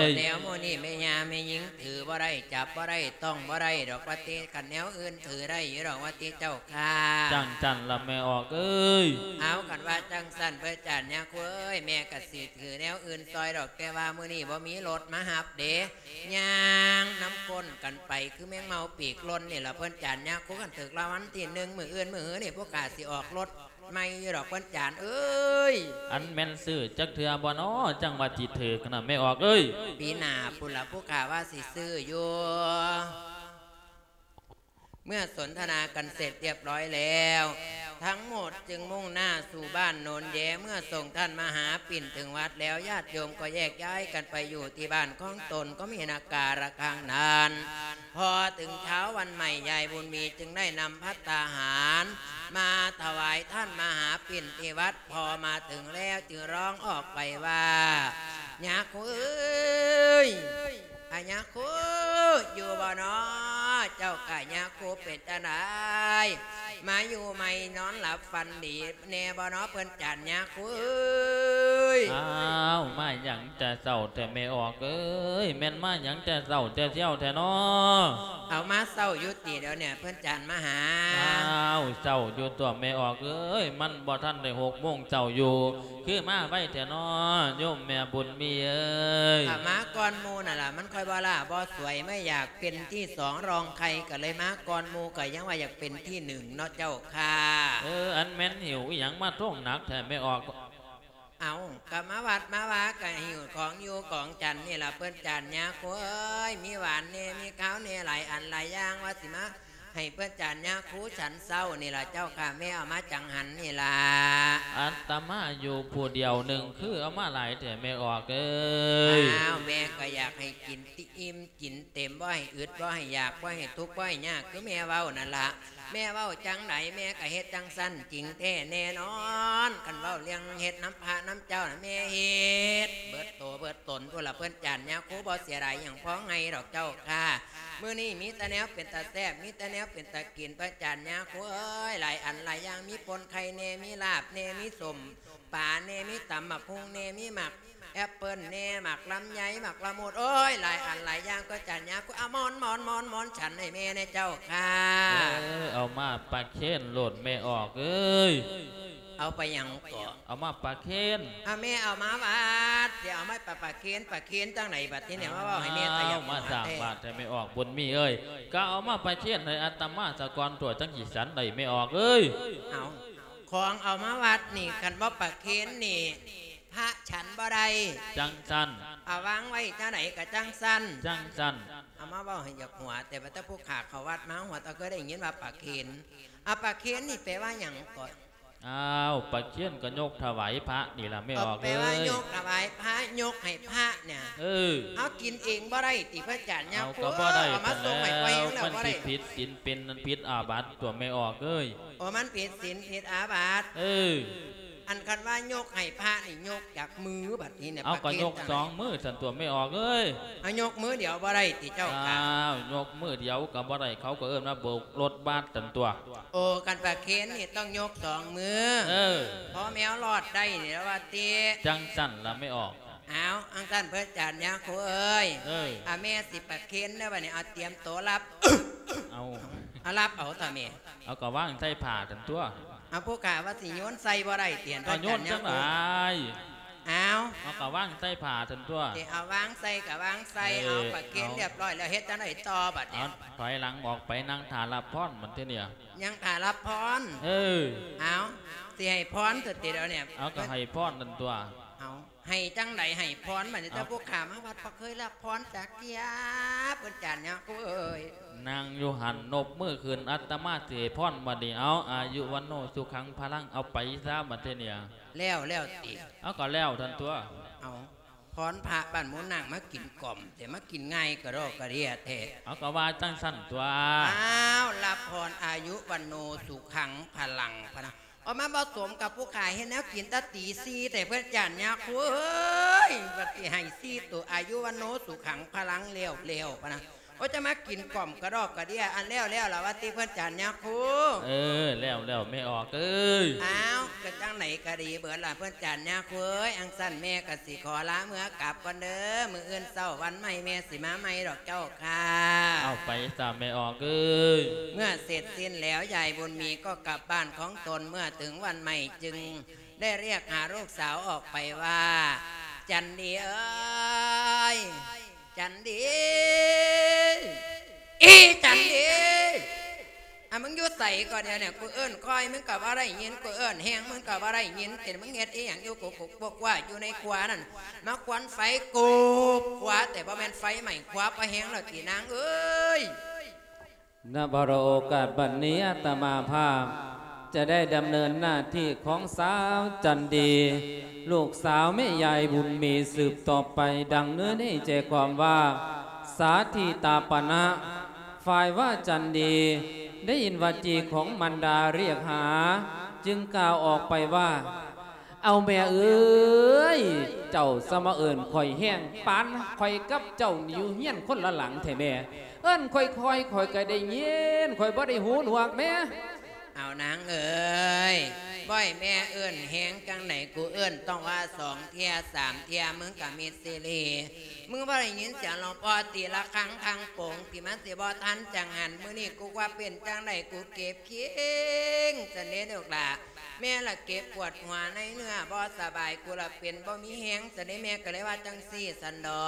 ຍ. ແນວໝູ່ນີ້ແມ່ຍ່າແມ່ຍິງຖືບໍ່ໄດ້ ຈັບບໍ່ໄດ້ ຕ້ອງບໍ່ໄດ້ດອກວ່າຕິ ຄັນແນວອື່ນຖືໄດ້ຢູ່ດອກວ່າຕິເຈົ້າ ຄ່າ. ຈັ່ງຊັ້ນລະແມ່ອອກເອີຍ. ເອົາ ຄັນວ່າຈັ່ງຊັ້ນ ພະອາຈານຍາຄູເອີຍ ແມ່ກະຊິຖືແນວອື່ນຊ່ອຍດອກ ແຕ່ວ່າມື້ນີ້ບໍ່ມີລົດມາຮັບເດ້ ຍ່າງນຳກົ້ນກັນໄປ ຄືແມງເມົາປີກຫຼົ່ນນີ້ລະ ພະອາຈານຍາຄູ. ຄັນຖືກລາງວັນທີໜຶ່ງ ມື້ອື່ນມື້ຮືນີ້ ພວກຂ້າຊິອອກລົດໃໝ່ຢູ່ດອກ ພະອາຈານເອີຍ. ອັນແມ່ນຊື້ຈັກເທື່ອບໍ່ນໍ ຈັ່ງວ່າຊິຖືກນະແມ່ອອກເອີຍ? ປີໜ້າພຸ້ນລະ ພວກຂ້າວ່າຊິຊື້ຢູ່. ເມື່ອສົນທະນາກັນເສັດລຽບລ້ອຍແລ້ວ ທັງໝົດຈຶ່ງມຸ່ງໜ້າສູ່ບ້ານໂນນແຢ. ເມື່ອສົ່ງທ່ານມະຫາປິ່ນເຖິງວັດແລ້ວ ຍາດໂຍມກໍແຍກຍ້າຍກັນໄປຢູ່ທີ່ບ້ານຂອງຕົນ ກໍມີນາກາລະຄັງນັ້ນ. ພໍເຖິງເຊົ້າວັນໃໝ່ ຍາຍບຸນມີຈຶ່ງໄດ້ນຳພັດຕາຫານມາຖວາຍທ່ານມະຫາປິ່ນທີ່ວັດ. ພໍມາເຖິງແລ້ວຈຶ່ງຮ້ອງອອກໄປວ່າ ຍາຄູເອີຍ ອາ ຍາຄູຢູ່ບໍ່ນໍ? ເຈົ້າຂ້າ ຍາຄູເປັນຈັ່ງໃດ ມາຢູ່ໃໝ່ ນອນຫຼັບຝັນດີແນ່ບໍ່ນໍ ເພິ່ນຈານຍາຄູເອີຍ? ອ້າວ ມາຫຍັງແຕ່ເຊົ້າແທ້ແມ່ອອກເອີຍ ແມ່ນມາຫຍັງແຕ່ເຊົ້າແຕ່ຊຽວແທ້ນໍ? ເອົາ ມາເຊົ້າຢູ່ຕິດຽວນີ້ ເພິ່ນຈານມະຫາ. ອ້າວ ເຊົ້າຢູ່ຕົວະແມ່ອອກເອີຍ ມັນບໍ່ທັນໄດ້ຫົກໂມງເຊົ້າຢູ່ ຄືມາໄວແທ້ນໍ ໂຍມແມ່ບຸນມີເອີຍ? ຂ້າມາກ່ອນໝູ່ນັ້ນລະ ມັນຄ່ອຍບໍ່ຫຼ້າບໍ່ສວຍ ໄມ່ຢາກເປັນທີສອງລອງໃຄ ກໍເລີຍມາກ່ອນໝູ່ ກໍຍັງວ່າຢາກເປັນທີໜຶ່ງເນາະເຈົ້າຂ້າ. ເອີ ອັນແມ່ນຫິ້ວອີ່ຫຍັງມາໂທງໜັກແທ້ແມ່ອອກ? ເອົາ ກໍມາວັດມາວາ ກໍຫິ້ວຂອງຢູ່ຂອງສັນນີ້ລະ ເພິ່ນຈານຍາຄູເອີຍ ມີຫວານແນ່ ມີຄາວແນ່ ຫຼາຍອັນຫຼາຍຢ່າງ ວ່າຊິມາ ໃຫ້ເພິ່ນຈານຍາຄູສັນເຊົ້ານີ້ລະເຈົ້າຂ້າ ແມ່ເອົາມາຈັງຫັນນີ້ລະ. ອາດຕະມາຢູ່ຜູ້ດຽວໜຶ່ງ ຄືເອົາມາຫຼາຍແທ້ແມ່ອອກເອີຍ? ອ້າວ ແມ່ກໍຢາກໃຫ້ກິນຕິອີ່ມກິນເຕັມ ບໍ່ໃຫ້ອຶດ ບໍ່ໃຫ້ຢາກ ບໍ່ໃຫ້ທຸກ ບໍ່ໃຫ້ຍາກ ຄືແມ່ເວົ້ານັ້ນລະ. ແມ່ເວົ້າຈັ່ງໃດ ແມ່ກໍເຮັດຈັ່ງຊັ້ນຈິງແທ້ແນ່ນອນ. ຄັນເວົ້າເລື່ອງເຮັດນຳພະນຳເຈົ້ານະ ແມ່ເຮັດເບິດໂຕເບິດຕົນພຸ້ນລະ ເພິ່ນຈານຍາຄູ ບໍ່ເສຍດາຍຫຍັງ ພໍໃຫ້ດອກເຈົ້າຂ້າ. ມື້ນີ້ມີແຕ່ແນວເປັນຕາແຊບ ມີແຕ່ແນວເປັນຕາກິນ ພະອາຈານຍາຄູເອີຍ ຫຼາຍອັນຫຼາຍຢ່າງ ມີປົ່ນໄຂ່ແນ່ ມີລາບແນ່ ມີສົ້ມປາແນ່ ມີຕຳໝາກຫຸ່ງແນ່ ມີໝາກແອັບເປິ້ນແນ່ ໝາກລຳໄຍ ໝາກລະມຸດ ໂອ້ຍ ຫຼາຍອັນຫຼາຍຢ່າງ ພະອາຈານຍາຄູ. ເອົາໝອນ ໝອນ ໝອນ ໝອນ ສັນໃຫ້ແມ່ແນ່ເຈົ້າຂ້າ. ເອີ ເອົາມາປະເຄນໂລດແມ່ອອກເອີຍ. ເອົາໄປຫຍັງເກາະ? ເອົາມາປະເຄນ. ອາ ແມ່ເອົາມາວັດ ຊິເອົາມາປະ ປະເຄນ ປະເຄນຈັ່ງໃດບັດນີ້ ມາເວົ້າໃຫ້ແມ່ຕາຢາກຫົວແທ້. ມາສ້າງບາດໃຫ້ແມ່ອອກບຸນມີເອີຍ. ກໍເອົາມາປະເຄນໃຫ້ອາດຕະມາສາກ່ອນຕົວະ ຈັ່ງຊິສັນໄດ້ແມ່ອອກເອີຍ. ເອົາ ຂອງເອົາມາວັດນີ້ ຄັນບໍ່ປະເຄນນີ້ ພະສັນບໍ່ໄດ້. ຈັ່ງຊັ້ນ. ເອົາວາງໄວ້ຈັ່ງໃດກໍຈັ່ງຊັ້ນ. ຈັ່ງຊັ້ນ. ເອົາມາເວົ້າໃຫ້ຢາກຫົວແທ້ ວ່າແຕ່ຜູ້ຂ້າເຂົ້າວັດມາ ຫົວຕາເຄີຍໄດ້ຍິນວ່າປະເຄນ. ອາ ປະເຄນນີ້ແປວ່າຫຍັງເກາະ? ອ້າວ ປະເຄນກໍຍົກຖວາຍພະນີ້ລະແມ່ອອກເອີຍ. ເອີ ແປວ່າຍົກຖວາຍພະ ຍົກໃຫ້ພະນີ້. ເອີ ເຮົາກິນເອງບໍ່ໄດ້ຕິ ພະອາຈານຍາຄູ? ເອົາ ກໍບໍ່ໄດ້ ເອົາມາສົ່ງໃຫ້ຂ້ອຍແລ້ວ ມັນຊິຜິດສິນ ເປັນອັນຜິດອາບັດຕົວະແມ່ອອກເອີຍ. ໂອ ມັນຜິດສິນຜິດອາບັດ. ເອີ ອັນຄັນວ່າຍົກໃຫ້ພະນີ້ ຍົກຈັກມືບັດນີ້ນະ? ເອົາ ປະເຄນ ກໍຍົກສອງມືຊັ້ນຕົວະແມ່ອອກເອີຍ. ເອົາ ຍົກມືດຽວບໍ່ໄດ້ຕິເຈົ້າຂ້າ? ອ້າວ ຍົກມືດຽວກໍບໍ່ໄດ້ ເຂົາກໍເອີ້ນວ່າໂບກລົດບາດຊັ້ນຕົວະ. ໂອ ຄັນປະເຄນນີ້ຕ້ອງຍົກສອງມື. ເອີ ພໍແມວລອດໄດ້ນີ້ລະວ່າຕິ. ຈັ່ງຊັ້ນລະແມ່ອອກ. ເອົາ ຈັ່ງຊັ້ນພະອາຈານຍາຄູເອີຍ. ເອີ ອາ ແມ່ຊິປະເຄນເດີບັດນີ້ ເອົາ ຕຽມໂຕຮັບ. ເອົາ ເອົາ ຮັບເອົາຕາແມ່. ເອົາ ກໍວາງໃສ່ຜ້າຊັ້ນຕົວະ. ເອົາ ຜູ້ຂ້າວ່າຊິໂຍນໃສ່ບໍ່ໄດ້ຕິ ພະອາຈານຍາຄູ? ເອົາ ໂຍນຈັ່ງໃດ? ເອົາ ເອົາ ກໍວາງໃສ່ຜ້າຊັ້ນຕົວະ. ເອີ ເອົາ ວາງໃສ່ກໍວາງໃສ່. ເອີ ເອົາ ປະເຄນ ເອົາ ລຽບຮ້ອຍແລ້ວ ເຮັດຈັ່ງໃດຕໍ່ບັດນີ້? ເອົາ ຖອຍຫຼັງອອກໄປ ນັ່ງຖ້າຮັບພອນບັດທີນີ້. ຍັງຖ້າຮັບພອນ? ເອີ ເອົາ ຊິໃຫ້ພອນຕົວະຕິດຽວນີ້. ເອົາ ກໍໃຫ້ພອນນັ້ນຕົວະ. ເອົາ ໃຫ້ຈັ່ງໃດໃຫ້ພອນ ບັດນີ້ ເອົາ ແຕ່ຜູ້ຂ້າມາວັດບໍ່ເຄີຍຮັບພອນຈັກເທື່ອ ເພິ່ນຈານຍາຄູເອີຍ. ນັ່ງຢູ່ຫັ້ນ ນົບມືຂຶ້ນ ອາດຕະມາຊິໃຫ້ພອນ ບັດນີ້ ເອົາ ອາຍຸວັນໂນສຸຂັງພະລັງ ເອົາໄປຊະ ບັດທີນີ້. ແລ້ວ ແລ້ວຕິ? ເອົາ ກໍແລ້ວທັນຕົວະ. ເອົາ ພອນພະບ້ານໝູນາງມາກິນກ່ອມ ແຕ່ມາກິນງ່າຍກະດອກກະເດຍແທ້. ເອົາ ກໍວ່າຈັ່ງຊັ້ນຕົວະ. ອ້າວ ຮັບພອນອາຍຸວັນໂນສຸຂັງພະລັງ ພະນະ. ອອກມາບໍ່ສົມກັບຜູ້ຂ້າເຮັດແນວກິນແຕ່ຕີສີ່ແທ້ ເພິ່ນຈານຍາຄູເອີຍ. ບັດຊິໃຫ້ສີ່ໂຕ ອາຍຸວັນໂນສຸຂັງພະລັງ ແລ້ວໆ ພະນະ. ໂອ້ ຈະມາກິນກ່ອມກະດອກກະເດຍ ອັນແລ້ວໆ ລະວ່າຕິ ເພິ່ນຈານຍາຄູ. ເອີ ແລ້ວໆ ແມ່ອອກເອີຍ. ອ້າວ ກະຈັ່ງໃດກະດີເບິດລະ ເພິ່ນຈານຍາຄູເອີຍ. ອັງຊັ້ນແມ່ກະຊິຂໍລາເມືອກັບກ່ອນເດີ ມື້ອື່ນເຊົ້າວັນໃໝ່ແມ່ຊິມາໃໝ່ດອກເຈົ້າ ຄ່າ. ເອົາໄປຊະແມ່ອອກເອີຍ. ເມື່ອເສັດສິ້ນແລ້ວ ຍາຍບຸນມີກໍກັບບ້ານຂອງຕົນ. ເມື່ອເຖິງວັນໃໝ່ຈຶ່ງໄດ້ຮຽກຫາລູກສາວອອກໄປວ່າ ຈັນດີເອີຍ ຈັນດີ ອີຈັນດີ ອາ ມຶງຢູ່ໃສກໍດຽວນີ້? ກູເອີ້ນຄ່ອຍ ມຶງກໍບໍ່ໄດ້ຍິນ, ກູເອີ້ນແຮງ ມຶງກໍບໍ່ໄດ້ຍິນ. ເປັນມຶງເຮັດອີ່ຫຍັງຢູ່ກຸກໆ ກວກໆ ຢູ່ໃນຄົວນັ້ນ? ມາຄວັນໄຟກຸບຄົວ ແຕ່ບໍ່ແມ່ນໄຟໄໝ້ຄົວ ພໍແຮງແລ້ວຕິນາງເອີຍ. ນະ ເພາະໂອກາດບັດນີ້ ອາດຕະມາພາບຈະໄດ້ດຳເນີນໜ້າທີ່ຂອງສາວຈັນດີ ລູກສາວແມ່ຍາຍບຸນມີ ສືບຕໍ່ໄປ ດັ່ງເນື້ອໃນໃຈຄວາມວ່າ ສາທິຕາປະນະ. ຝ່າຍວ່າຈັນດີໄດ້ຍິນວາຈີຂອງມານດາຮຽກຫາ ຈຶ່ງກ່າວອອກໄປວ່າ ເອົາແມ່ເອີຍ ເຈົ້າສະມາເອີ້ນຂ້ອຍແຮງ ປານຂ້ອຍກັບເຈົ້ານີ້ຢູ່ເຮືອນຄົນລະຫຼັງແທ້ແມ່. ເອີ້ນຄ່ອຍໆ ຂ້ອຍກໍໄດ້ຍິນ ຂ້ອຍບໍ່ໄດ້ຫູໜວກແມ່. ເອົານາງເອີຍ ບໍ່ໃຫ້ແມ່ເອີ້ນແຮງຈັ່ງໃດ ກູເອີ້ນຕ້ອງວ່າສອງເທື່ອສາມເທື່ອ ມຶງກໍມິດຊີຣີ. ມຶງບໍ່ໄດ້ຍິນສຽງຫຼວງພໍ່ຕີລະຄັງຄັງໂປງ ທີ່ມັນຊິບໍ່ທັນຈັ່ງຫັ້ນ. ມື້ນີ້ກູວ່າເປັນຈັ່ງໃດ ກູເກັບເຄງຊັ້ນເດ້ລູກຫຼ້າ. ແມ່ລະເຈັບປວດຫົວໃນເນື້ອບໍ່ສະບາຍ ກູລະເປັນບໍ່ມີແຮງຊັ້ນເດ້. ແມ່ກໍເລີຍວ່າຈັ່ງຊີ້ຊັ້ນດອ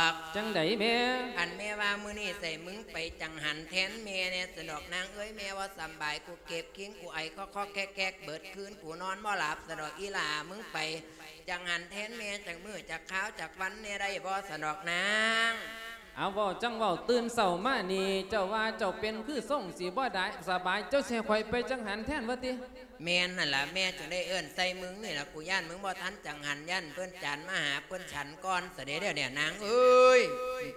ກ. ຈັ່ງໃດແມ່? ອັນແມ່ວ່າມື້ນີ້ໃສ່ມຶງໄປຈັງຫັນແທນແມ່ແດ່ຊັ້ນດອກນາງເອີຍ. ແມ່ບໍ່ສະບາຍ ກູເກັບຄິງ ກູໄອຄອກໆແຄກໆເບິດຄືນ ກູນອນບໍ່ຫຼັບຊັ້ນດອກ. ອີຫຼ້າ ມຶງໄປຈັງຫັນແທນແມ່ຈັກມື້ຈັກຄາວຈັກວັນແດ່ໄດ້ບໍ່ຊັ້ນດອກນາງ? ເອົາ ເວົ້າຈັ່ງເວົ້າ ຕື່ນເຊົ້າມານີ້ ເຈົ້າວ່າເຈົ້າເປັນຄືຊົງຊິບໍ່ໄດ້ສະບາຍ ເຈົ້າຊິໃຫ້ຂ້ອຍໄປຈັງຫັນແທນວ່າຕິ? ແມ່ນຫັ້ນລະ ແມ່ຈຶ່ງໄດ້ເອີ້ນໃສ່ມຶງນີ້ລະ. ກູຢ້ານມຶງບໍ່ທັນຈັງຫັນ ຢ້ານເພິ່ນຈານມາຫາເພິ່ນສັນກ່ອນຊະເດ້ ດຽວນີ້ນາງເອີຍ.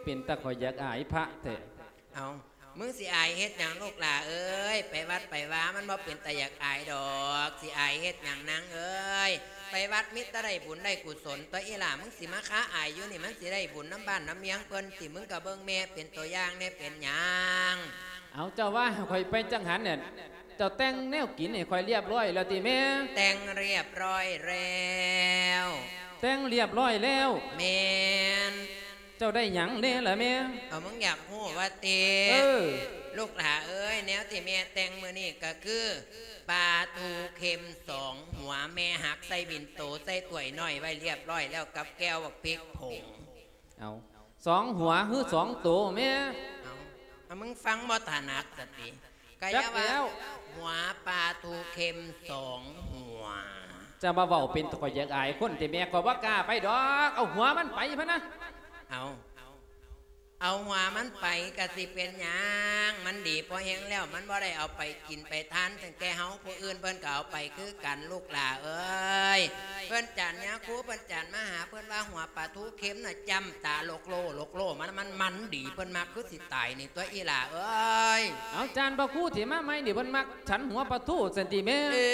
ເປັນຕາຂ້ອຍຢາກອາຍພະແທ້. ເອົາ ມຶງຊິອາຍເຮັດຫຍັງລູກຫຼ້າເອີຍ? ໄປວັດໄປວາມັນບໍ່ເປັນຕາຢາກອາຍດອກ. ຊິອາຍເຮັດຫຍັງນາງເອີຍ? ໄປວັດມີແຕ່ໄດ້ບຸນໄດ້ກຸສົນຕົວະອີຫຼ້າ. ມຶງຊິມາຄາອາຍຢູ່ນີ້ ມັນຊິໄດ້ບຸນນຳບ້ານນຳເມືອງເພິ່ນຕິ? ມຶງກໍເບິ່ງແມ່ເປັນຕົວຢ່າງແດ່ ເປັນຫຍັງ? ເອົາ ເຈົ້າວ່າຂ້ອຍໄປຈັງຫັນນັ້ນ ເຈົ້າແຕ່ງແນວກິນໃຫ້ຂ້ອຍລຽບຮ້ອຍແລ້ວຕິແມ່? ແຕ່ງລຽບຮ້ອຍແລ້ວ. ແຕ່ງລຽບຮ້ອຍແລ້ວ? ແມ່ນ. ເຈົ້າໄດ້ຫຍັງແດ່ລະແມ່? ເອົາ ມຶງຢາກຮູ້ວ່າຕິ? ເອີ ລູກຫຼ້າເອີຍ ແນວທີ່ແມ່ແຕ່ງມື້ນີ້ກໍຄື ປາທູເຄັມສອງຫົວ ແມ່ຫັກໃສ່ບິນໂຕ ໃສ່ຖ້ວຍນ້ອຍໄວ້ລຽບຮ້ອຍແລ້ວ ກັບແກ້ວບັກພິກຜົງ. ເອົາ ສອງຫົວ ຫຼື ສອງໂຕແມ່? ເອົາ ເອົາ ມຶງຟັງບໍ່ຖະໜັດສະຕິ? ກະຢ່າວ່າ ຈັກແລ້ວ ຫົວປາທູເຄັມສອງຫົວ. ຈະມາເວົ້າເປັນຕາຂ້ອຍຢາກອາຍຄົນແທ້ແມ່ ຂ້ອຍບໍ່ກ້າໄປດອກ. ເອົາຫົວມັນໄປພະນະ. ເອົາ ເອົາຫົວມັນໄປກະຊິເປັນຫຍັງ? ມັນດີພໍແຮງແລ້ວ ມັນບໍ່ໄດ້ເອົາໄປກິນໄປທານຕັ້ງແຕ່ເຮົາ ຜູ້ອື່ນເພິ່ນກໍເອົາໄປຄືກັນ ລູກຫຼ້າເອີຍ. ເພິ່ນຈານຍາຄູ ເພິ່ນຈານມະຫາ ເພິ່ນວ່າຫົວປາທູເຄັມນະ ຈ້ຳຕາໂລກໂລ ໂລກໂລ ມັນ ມັນ ມັນດີ ເພິ່ນມັກຄືຊິຕາຍນີ້ຕົວະອີຫຼ້າເອີຍ. ເອົາ ຈານພະຄູທີ່ມາໃໝ່ນີ້ ເພິ່ນມັກ ສັນຫົວປາທູຊັ້ນຕິແມ່? ເອີ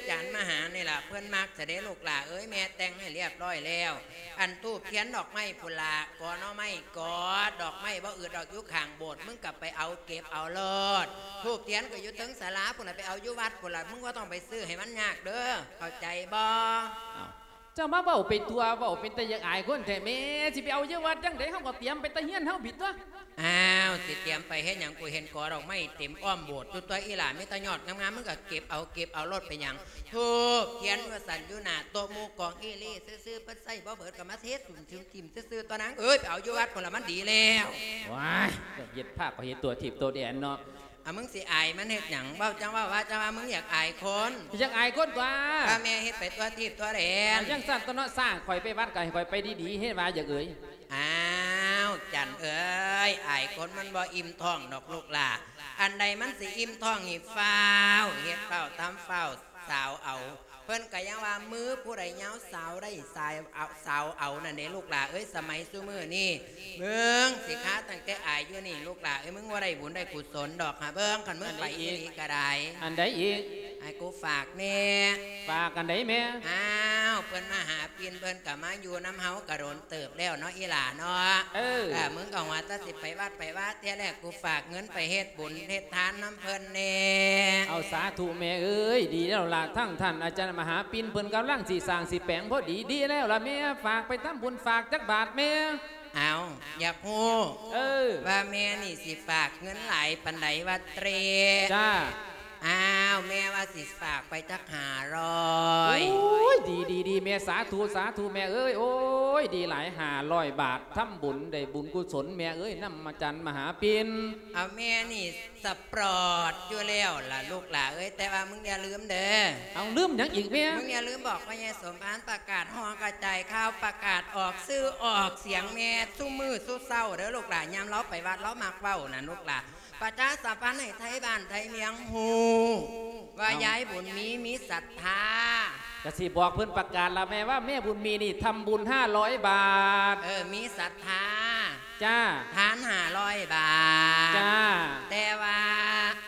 ຈານມະຫານີ້ລະເພິ່ນມັກຊະເດ້ລູກຫຼ້າເອີຍ. ແມ່ແຕ່ງໃຫ້ລຽບຮ້ອຍແລ້ວ ອັນທູບທຽນດອກໄມ້ພຸ້ນລະ ກໍໜໍ່ໄມ້ກໍດອກໄມ້ບໍ່ອຶດດອກ ຢູ່ຂ້າງໂບດ ມຶງກໍໄປເອົາເກັບເອົາໂລດ. ທູບທຽນກໍຢູ່ເທິງສາລາພຸ້ນລະ ໄປເອົາຢູ່ວັດພຸ້ນລະ ມຶງບໍ່ຕ້ອງໄປຊື້ໃຫ້ມັນຍາກເດີ ເຂົ້າໃຈບໍ່? ເຈົ້າມາເວົ້າໄປທົ່ວ ເວົ້າເປັນຕາຢາກອາຍຄົນແທ້ແມ່. ຊິໄປເອົາຢູ່ວັດຈັ່ງໃດ? ເຮົາກໍຕຽມໄປແຕ່ເຮືອນເຮົາພີ້ຕົວະ. ອ້າວ ຊິຕຽມໄປເຮັດຫຍັງ? ກູເຫັນກໍດອກໄມ້ເຕັມອ້ອມໂບດຢູ່ຕົວະອີຫຼ້າ ມີແຕ່ຍອດງາມໆ ມຶງກໍເກັບເອົາ ເກັບເອົາໂລດ ເປັນຫຍັງ? ທູບທຽນວ່າຊັ້ນ ຢູ່ໜ້າໂຕະໝູ່ກອງອີ່ຫຼີ່ຊື່ໆ ເພິ່ນໃຊ້ບໍ່ເບີດກໍມາເທຖິ້ມໆຖິ້ມຊື່ໆ ຕົວະນາງເອີຍ. ໄປເອົາຢູ່ວັດພຸ້ນລະ ມັນດີແລ້ວ. ວ້າຍ ເຮັດພາກກໍເຮັດຕົວທິບຕົວແດນເນາະ. ອາ ມຶງຊິອາຍມັນເຮັດຫຍັງ? ເວົ້າຈັ່ງເວົ້າ ວ່າຈັ່ງວ່າ ມຶງຢາກອາຍຄົນ. ຢາກອາຍຄົນຕົວະ. ວ່າແມ່ເຮັດໄປທົ່ວທີບທົ່ວແດນ. ຈັ່ງຊັ້ນຕົວະເນາະ, ສ້າງຂ້ອຍໄປວັດ ກໍໃຫ້ຂ້ອຍໄປດີໆ ເຮັດວ່າຢາກເອີຍ. ອ້າວ ຈັນເອີຍ, ອາຍຄົນມັນບໍ່ອີ່ມທ້ອງດອກລູກຫຼ້າ. ອັນໃດມັນຊິອີ່ມທ້ອງ ໃຫ້ຟ້າວເຮັດ ຟ້າວທຳ ຟ້າວສາວເອົາ. ເພິ່ນກໍຍັງວ່າ ມືຜູ້ໃດຍາວສາວໄດ້ ສາຍເອົາ ສາວເອົານັ້ນເດ້ ລູກຫຼ້າເອີຍ. ສະໄໝຊຸມື້ນີ້ ເບິ່ງຊິຄາຕັ້ງແຕ່ອາຍຢູ່ນີ້ ລູກຫຼ້າເອີຍ, ມຶງບໍ່ໄດ້ບຸນໄດ້ກຸສົນດອກຫາເບິ່ງ. ຄັນມຶງໄປອີ່ຫຼີກໍໄດ້. ອັນໃດອີກ? ໃຫ້ກູຝາກແດ່. ຝາກອັນໃດແມ່? ອ້າວ ເພິ່ນມະຫາປິ່ນ ເພິ່ນກໍມາຢູ່ນຳເຮົາກໍດົນເຕີບແລ້ວເນາະ ອີ່ຫຼ້າເນາະ. ເອີ ເອີ ມຶງກໍວ່າແຕ່ຊິໄປວັດໄປວາ ເທື່ອແລກ ກູຝາກເງິນໄປເຮັດບຸນເຮັດທານນຳເພິ່ນແດ່. ເອົາ ສາທຸແມ່ເອີຍ, ດີແລ້ວລະ. ທັງທ່ານອາຈານມະຫາປິ່ນ ເພິ່ນກຳລັງຊິສ້າງຊິແປງພໍດີ. ດີແລ້ວລະແມ່, ຝາກໄປທຳບຸນ ຝາກຈັກບາດແມ່? ເອົາ ຢາກຮູ້ ເອີ ວ່າແມ່ນີ້ຊິຝາກເງິນຫຼາຍປານໃດວະເຕຣ? ຈ້າ. ອ້າວ ແມ່ວ່າຊິຝາກໄປຈັກຫ້າຮ້ອຍ. ໂອ້ຍ ດີໆໆ ແມ່, ສາທຸ ສາທຸແມ່ເອີຍ. ໂອ້ຍ ດີຫຼາຍ, ຫ້າຮ້ອຍບາດ ທຳບຸນໄດ້ບຸນກຸສົນແມ່ເອີຍ ນຳອາຈານມະຫາປິ່ນ. ເອົາ ແມ່ນີ້ສະປອດຢູ່ແລ້ວລະລູກຫຼ້າເອີຍ, ແຕ່ວ່າມຶງຢ່າລືມເດີ. ເອົາ ລືມຫຍັງອີກແມ່? ມຶງຢ່າລືມບອກພໍ່ໃຫຍ່ສົມພານ ປະກາດຫໍກະຈາຍຂ່າວ ປະກາດອອກຊື່ອອກສຽງແມ່ ຊຸມື້ຊຸເຊົ້າເດີລູກຫຼ້າ. ຍາມລາວໄປວັດ ລາວມັກເວົ້ານັ້ນລູກຫຼ້າ. ປະຊາສຳພັນໃຫ້ໄທບ້ານໄທເມືອງຮູ້ວ່າ ເອົ້າ ຍາຍບຸນມີ ມີສັດທາ. ກະຊິບອກເພິ່ນປະກາດລະແມ່ ວ່າແມ່ບຸນມີນີ້ທຳບຸນຫ້າຮ້ອຍບາດ. ເອີ ມີສັດທາ. ຈ້າ. ທານຫ້າຮ້ອຍບາດ. ຈ້າ. ແຕ່ວ່າ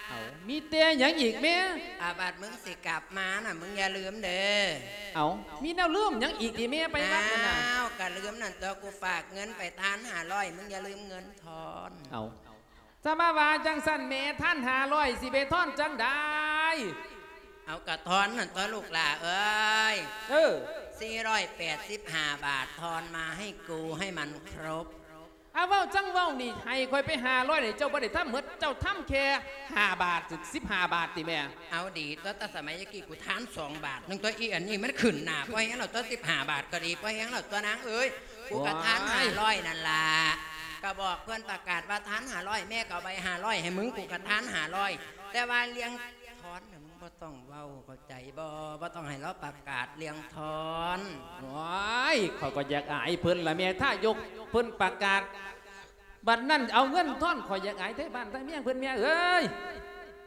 ເອົ້າ ມີແຕ່ຫຍັງອີກແມ່? ອາ ບາດມຶງຊິກັບມານະ ມຶງຢ່າລືມເດີ. ເອົ້າ ມີແນວລືມຫຍັງອີກຕິແມ່ ໄປວັດຫັ້ນນະ? ອ້າວ ກະລືມນັ້ນຕົວະ ກູຝາກເງິນໄປທານຫ້າຮ້ອຍ ມຶງຢ່າລືມເງິນທອນ. ເອົ້າ ສະມາວ່າຈັ່ງຊັ້ນແມ່ ທານຫ້າຮ້ອຍ ຊິໄປທອນຈັ່ງໃດ? ເອົາ ກະທອນນັ້ນຕົວະລູກຫຼ້າເອີຍ. ເອີ ສີ່ຮ້ອຍແປດສິບຫ້າບາດ ທອນມາໃຫ້ກູໃຫ້ມັນຄົບ. ອາ ເວົ້າຈັ່ງເວົ້ານີ້ ໃຫ້ຂ້ອຍໄປຫ້າຮ້ອຍນີ້ ເຈົ້າບໍ່ໄດ້ທຳໝົດ ເຈົ້າທຳແຄ່ຫ້າບາດ ສິບຫ້າບາດຕິແມ່? ເອົາ ດີຕົວະ ແຕ່ສະໄໝຕະກີ້ ກູທານສອງບາດໜຶ່ງຕົວະ. ອີອັນນີ້ມັນຂຶ້ນໜ້າ ພໍແຮງແລ້ວຕົວະ ສິບຫ້າບາດກໍດີ ພໍແຮງແລ້ວຕົວະນາງເອີຍ. ກູກະທານຫ້າຮ້ອຍນັ້ນລະ. ກະບອກເພິ່ນປະກາດວ່າທານຫ້າຮ້ອຍ ແມ່ກໍເອົາໃບຫ້າຮ້ອຍໃຫ້ມຶງ ກູກະທານຫ້າຮ້ອຍ. ແຕ່ວ່າເລື່ອງທອນນະ ມຶງບໍ່ຕ້ອງເວົ້າ ເຂົ້າໃຈບໍ່? ບໍ່ຕ້ອງໃຫ້ລາວປະກາດເລື່ອງທອນ. ໂອ້ຍ ຂ້ອຍກໍຢາກອາຍເພິ່ນລະແມ່ ຖ້າຍົກເພິ່ນປະກາດ ບັດນັ້ນເອົາເງິນທອນ ຂ້ອຍຢາກອາຍໄທບ້ານໄທເມືອງເພິ່ນແມ່ເອີຍ.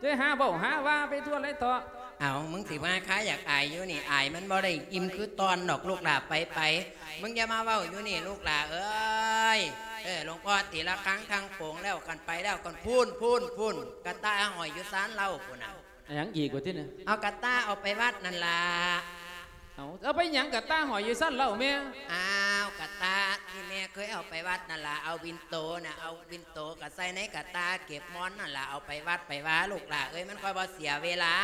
ເຈົ້າຫາເວົ້າຫາວ່າໄປທົ່ວໄຫຼເທາະ. ເອົາ ມຶງຊິວ່າຄາຢາກອາຍຢູ່ນີ້ ອາຍມັນບໍ່ໄດ້ອີ່ມຄືຕອນດອກລູກຫຼ້າ. ໄປໆ ມຶງຢ່າມາເວົ້າຢູ່ນີ້ລູກຫຼ້າເອີຍ. ເອີ ຫຼວງພໍ່ຕີລະຄັງທັງໂປງແລ້ວ ກັນໄປແລ້ວກັນ ພຸ້ນ ພຸ້ນ ພຸ້ນ ກະຕ່າຫ້ອຍຢູ່ຊານເລົາພຸ້ນນະ. ຫຍັງອີກວະຕິນີ້? ເອົາກະຕ່າເອົາໄປວັດນັ້ນລະ. ເອົາ ເອົາໄປຫຍັງກະຕ່າຫ້ອຍຢູ່ຊານເລົາແມ່? ອ້າວ ກະຕ່າທີ່ແມ່ເຄີຍເອົາໄປວັດນັ້ນລະ ເອົາບິນໂຕນະ ເອົາບິນໂຕກະໃສ່ໃນກະຕ່າເກັບມອນນັ້ນລະ ເອົາໄປວັດໄປວາລູກຫຼ້າເອີຍ ມັນຄ່ອຍບໍ່ເສຍເວລາ.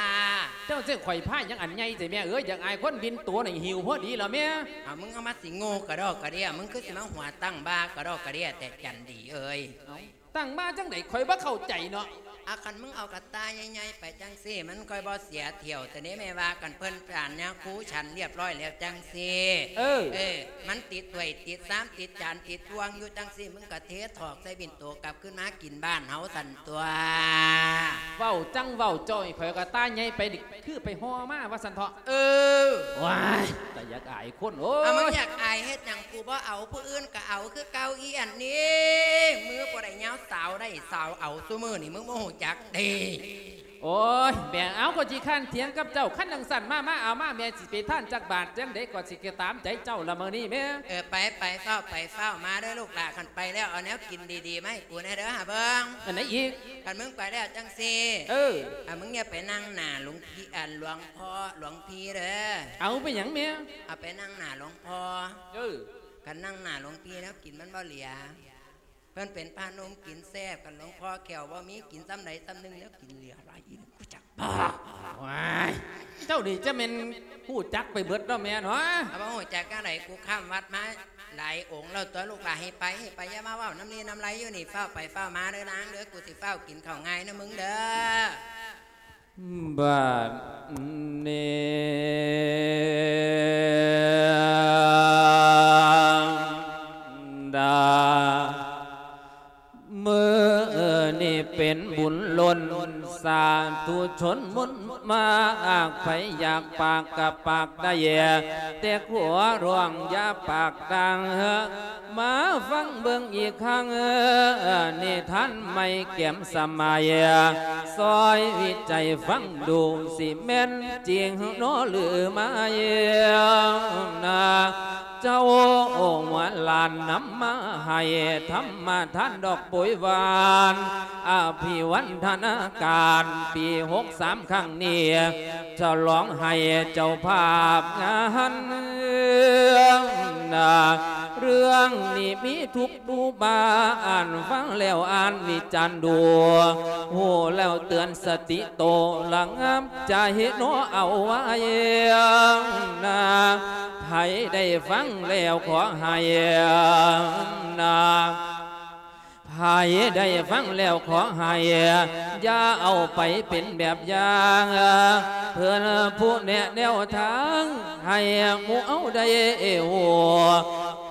ເຈົ້າຊິໃຫ້ຂ້ອຍພາຫຍັງອັນໃຫຍ່ແທ້ແມ່ເອີຍ? ຢາກອາຍຄົນ ບິນໂຕນີ້ຫິວພໍດີລະແມ່. ເອົາ ມຶງເອົາມາຊິໂງ່ກະດອກກະເດຍ ມຶງຄືຊິມາຫົວຕັ້ງບ່າກະດອກກະເດຍແທ້ ຈັນດີເອີຍ. ເອົາ ຕັ້ງມາຈັ່ງໃດ ຂ້ອຍບໍ່ເຂົ້າໃຈເນາະ. ອາ ຄັນມຶງເອົາກະຕ່າໃຫຍ່ໆໄປຈັ່ງຊີ້ ມັນຄ່ອຍບໍ່ເສຍຖ້ຽວ ແຕ່ນີ້ແມ່ວ່າກັນເພິ່ນ ຈານຍາຄູ ສັນລຽບຮ້ອຍແລ້ວຈັ່ງຊີ້. ເອີ ເອີ ມັນຕິດຖ້ວຍຕິດຊາມ ຕິດຈານຕິດບ່ວງຢູ່ຈັ່ງຊີ້ ມຶງກະເທຖອກໃສ່ບິນໂຕກັບຄືນມາກິນບ້ານເຮົາຊັ້ນຕົວະ. ເວົ້າຈັ່ງເວົ້າ ເຈົ້າໃຫ້ຂ້ອຍເອົາກະຕ່າໃຫຍ່ໄປນີ້ ຄືໄປຫໍ່ມາວ່າຊັ້ນເຖາະ. ເອີ ວ້າຍ ຕາຢາກອາຍຄົນ ໂອ້ຍ. ເອົາ ມຶງຢາກອາຍເຮັດຫຍັງ? ກູບໍ່ເອົາ ຜູ້ອື່ນກະເອົາຄືເກົ່າ. ອີອັນນີ້ ມືບໍ່ໄດ້ຍາວ ສາວໄດ້ສາວເອົາ ຊຸມື້ນີ້ມຶງບໍ່ຮູ້ຈັກເດ້. ໂອ້ຍ ແມ່ ເອົາ ຂ້ອຍຂີ້ຄ້ານຖຽງກັບເຈົ້າ. ຄັນຈັ່ງຊັ້ນ ມາ ມາ ເອົາມາ ແມ່ຊິໄປທານຈັກບາດ ຈັ່ງໃດກໍຊິກະຕາມໃຈເຈົ້າລະມື້ນີ້ແມ່. ເອີ ໄປ ໄປ ຟ້າວໄປ ຟ້າວມາເດີລູກຫຼ້າ. ຄັນໄປແລ້ວ ເອົາແນວກິນດີໆມາໃຫ້ກູແດ່ເດີ ຫາເບິ່ງ. ອັນໃດອີກ? ຄັນມຶງໄປແລ້ວຈັ່ງຊີ້ ເອີ ອາ ມຶງຢ່າໄປນັ່ງໜ້າຫຼວງ ພີ່ ອັນ ຫຼວງພໍ່ ຫຼວງພີ່ເດີ. ເອົາ ເປັນຫຍັງແມ່? ເອົາໄປນັ່ງໜ້າຫຼວງພໍ່. ເອີ ຄັນນັ່ງໜ້າຫຼວງພີ່ແລ້ວ ກິນມັນບໍ່ເຫຼືອ. ເພິ່ນເປັນພະໜຸ່ມກິນແຊບ, ຄັນຫຼວງພໍ່ແຂ້ວບໍ່ມີ ກິນຊ່ຳໃດຊ່ຳໜຶ່ງ ແລ້ວກິນເຫຼືອຫຼາຍອີ່ຫຍັງ ຮູ້ຈັກບໍ່? ວ້າຍ ເຈົ້ານີ້ຈະແມ່ນຮູ້ຈັກໄປເບິດເນາະແມ່ເນາະ. ເອົາ ບໍ່ຮູ້ຈັກຈັ່ງໃດ? ກູຂ້າມວັດມາຫຼາຍອົງແລ້ວຕົວະລູກຫຼ້າ. ໃຫ້ໄປ ໃຫ້ໄປ ຢ່າມາເວົ້ານຳລີນຳໄລຢູ່ນີ້. ຟ້າວໄປ ຟ້າວມາເດີນາງເດີ ກູຊິຟ້າວກິນເຂົ້າງາຍນຳມຶງເດີ. ບາດນີ້ ດາ ມື້ນີ້ເປັນບຸນລົ້ນ ຊົນມົນມາອາກ ໃຜຢາກປາກກະປາກໄດ້ ແຕ່ຂໍຮ້ອງຢ່າປາກດັງ ມາຟັງເບິ່ງອີກຄັ້ງ ນິທານໃໝ່ແກມສະໄໝ ຊ່ອຍວິໄຈຟັງດູ ຊິແມ່ນຈິງເນາະຫຼືໄມ່ນາ. ເຈົ້າຫົວຫຼານນຳມາໃຫ້ ທຳມະທານດອກໂປຍຫວານ ອະພິວັນທະນາການ ປີຫົກສາມຄັ້ງນີ້ ສະຫຼອງໃຫ້ເຈົ້າພາບງານນາ. ເລື່ອງນີ້ມີທຸກ ໝູ່ບ້ານ ຟັງແລ້ວອ່ານວິຈານດູ ຮູ້ແລ້ວເຕືອນສະຕິໂຕ ລະງັບໃຈເນາະເອົາໄວ້ນາ. ໃຜໄດ້ຟັງແລ້ວຂໍໃຫ້ນາ ໃຜໄດ້ຟັງແລ້ວຂໍໃຫ້ ຢ່າເອົາໄປເປັນແບບຢ່າງ ເພື່ອນຜູ້ແນະແນວທາງ ໃຫ້ໝູ່ເຮົາໄດ້ຮູ້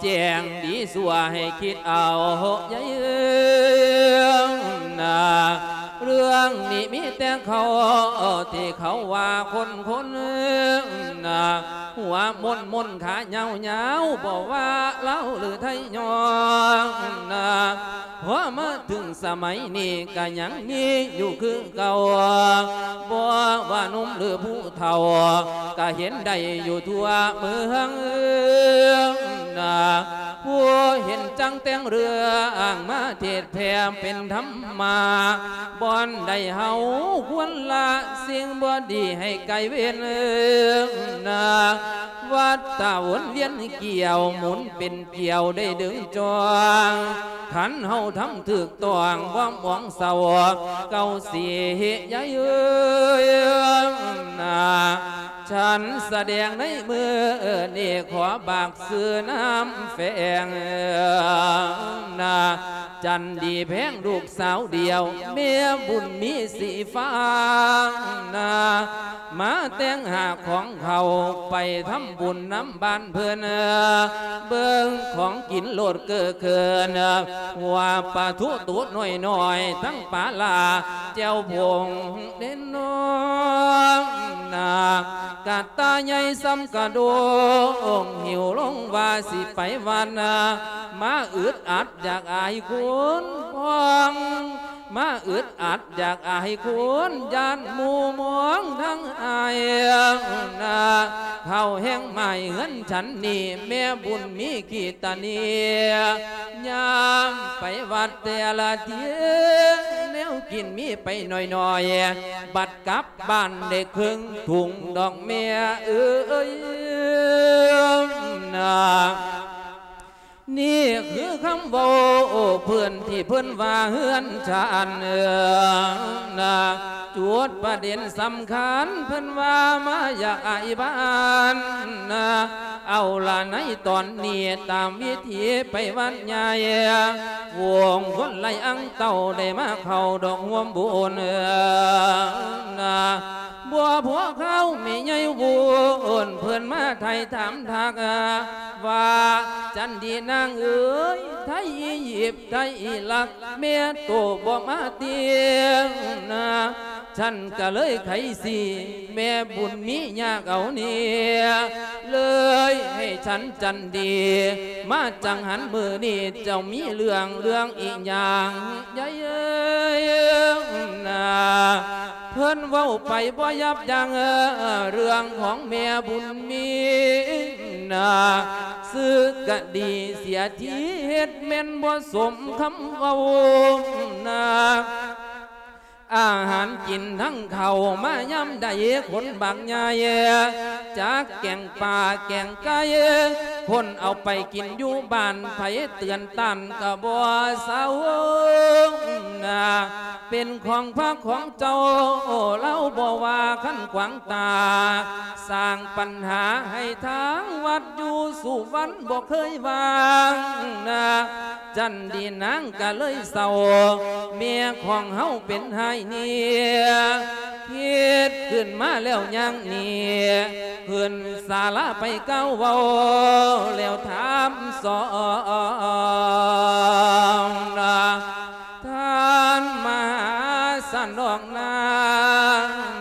ແຈ້ງດີຊົ່ວໃຫ້ຄິດເອົາໃຈນາ. ເລື່ອງນີ້ມີແຕ່ເຂົາທີ່ເຂົາວ່າຄົນໆນາ ຫົວມົນໆຂາຍາວໆ ບໍ່ວ່າລາວຫຼືໄທຍ້ອນນາ. ພໍມາເຖິງສະໄໝນີ້ກະຍັງມີຢູ່ຄືເກົ່າ ບໍ່ວ່າໜຸ່ມຫຼືຜູ້ເຖົ້າ ກະເຫັນໄດ້ຢູ່ທົ່ວເມືອງນາ. ຜູ້ເຫັນຈັ່ງແຕ່ງເລື່ອງມາເທດແຜ່ເປັນທຳມະ ບ່ອນໃດເຮົາຄວນລະສິ່ງບໍ່ດີໃຫ້ໄກເວັ້ນນາ. ວັດຕະວົນວຽນກ່ຽວ ໝູນເປັນ ກ່ຽວໄດ້ດຶງຈ້ອງ ຄັນເຮົາທຳຖືກຕ້ອງ ບໍ່ມອງເສົ້າ ເກົ່າຊິເຫຍໃຫຍ່ນາ. ສັນສະແດງໃນມື້ນີ້ ຂໍບາກຊື່ນາມແຝງນາ ຈັນດີແພງລູກສາວດຽວ ແມ່ບຸນມີສີຟ້ານາ. ມາແຕ່ງຫາຂອງເຂົ້າ ໄປທຳບຸນນຳບ້ານເພິ່ນ ເບິ່ງຂອງກິນໂລດເກີເກີນ ຫົວປາທູໂຕນ້ອຍໆ ທັງປາຫຼ້າແຈ່ວຜົງເດັ່ນນ້ອງນາ. ກະຕ່າໃຫຍ່ສ່ຳກະດົງ ຫິວລົງວ່າຊິໄປວັດນາ ມາອຶດອັດຢາກອາຍຄົນພອງ ມາອຶດອັດຢາກອາຍຄົນ ຢ້ານໝູ່ມອງທັງອາຍນາ. ເຂົ້າແຮງໝາຍເຮືອນສັນນີ້ ແມ່ບຸນມີຂີ້ຕາເນຍ ຍາມໄປວັດແຕ່ລະເທື່ອ ແນວກິນມີໄປໜ້ອຍໆ ບັດກັບບ້ານໄດ້ເຄິ່ງຖົງດອກແມ່ເອີຍນາ. ນີ້ຄືຄຳເວົ້າເພິ່ນທີ່ເພິ່ນວ່າເຮືອນຊານນາ. ຈຸດປະເດັນສຳຄັນເພິ່ນວ່າມາຢາກອາຍບ້ານນາ. ເອົາລະໃນຕອນນີ້ຕາມວິທີໄປວັດໃຫຍ່ ວົງຄົນໄລ່ອັງເຕົ້າໄດ້ມາເຂົ້າດອກຮ່ວມບຸນນາ. ບໍ່ພໍຄາວແມ່ໃຫຍ່ວຸ່ນ ເພິ່ນມາໄຖ່ຖາມທັກວ່າ ຈັນດີນາງເອີຍ ໄທອີຢິບ ໄທອີຣັກ ແມ່ໂຕບໍ່ມາຕິນາ. ສັນກະເລີຍໄຂສີ ແມ່ບຸນມີຍາກເອົາເນຍ ເລີຍໃຫ້ສັນຈັນດີ ມາຈັງຫັນມື້ນີ້ ເຈົ້າມີເລື່ອງ ເລື່ອງອີ່ຫຍັງໃຫຍ່ນາ. ເພິ່ນເວົ້າໄປບໍ່ຢັບຢັ້ງ ເລື່ອງຂອງແມ່ບຸນມີນາ. ຊື່ກະດີເສຍທີເຮັດແມ່ນບໍ່ສົມຄຳເວົ້ານາ. ອາຫານກິນທັງເຂົ້າມາຍາມໃດຄົນບັກໃຫຍ່ ຈັກແກງປາແກງໄກ່ ຄົນເອົາໄປກິນຢູ່ບ້ານ ໃຜເຕືອນຕ້ານກະບໍ່ເຊົານາ. ເປັນຂອງພະຂອງເຈົ້າ ລາວບໍ່ວ່າຄັນຂວາງຕາ ສ້າງປັນຫາໃຫ້ທາງວັດຢູ່ສຸວັນບໍ່ເຄີຍວ່າງນາ. ຈັນດີນາງກະເລີຍເສົ້າ ເມຍຂອງເຮົາເປັນຫາຍເນຍ ຄິດຂຶ້ນມາແລ້ວຍ່າງໜີ ຂຶ້ນສາລາໄປກ່າວເວົ້າ ແລ້ວຖາມສອງນາ ທ່ານມະຫາສັນດອກນາງ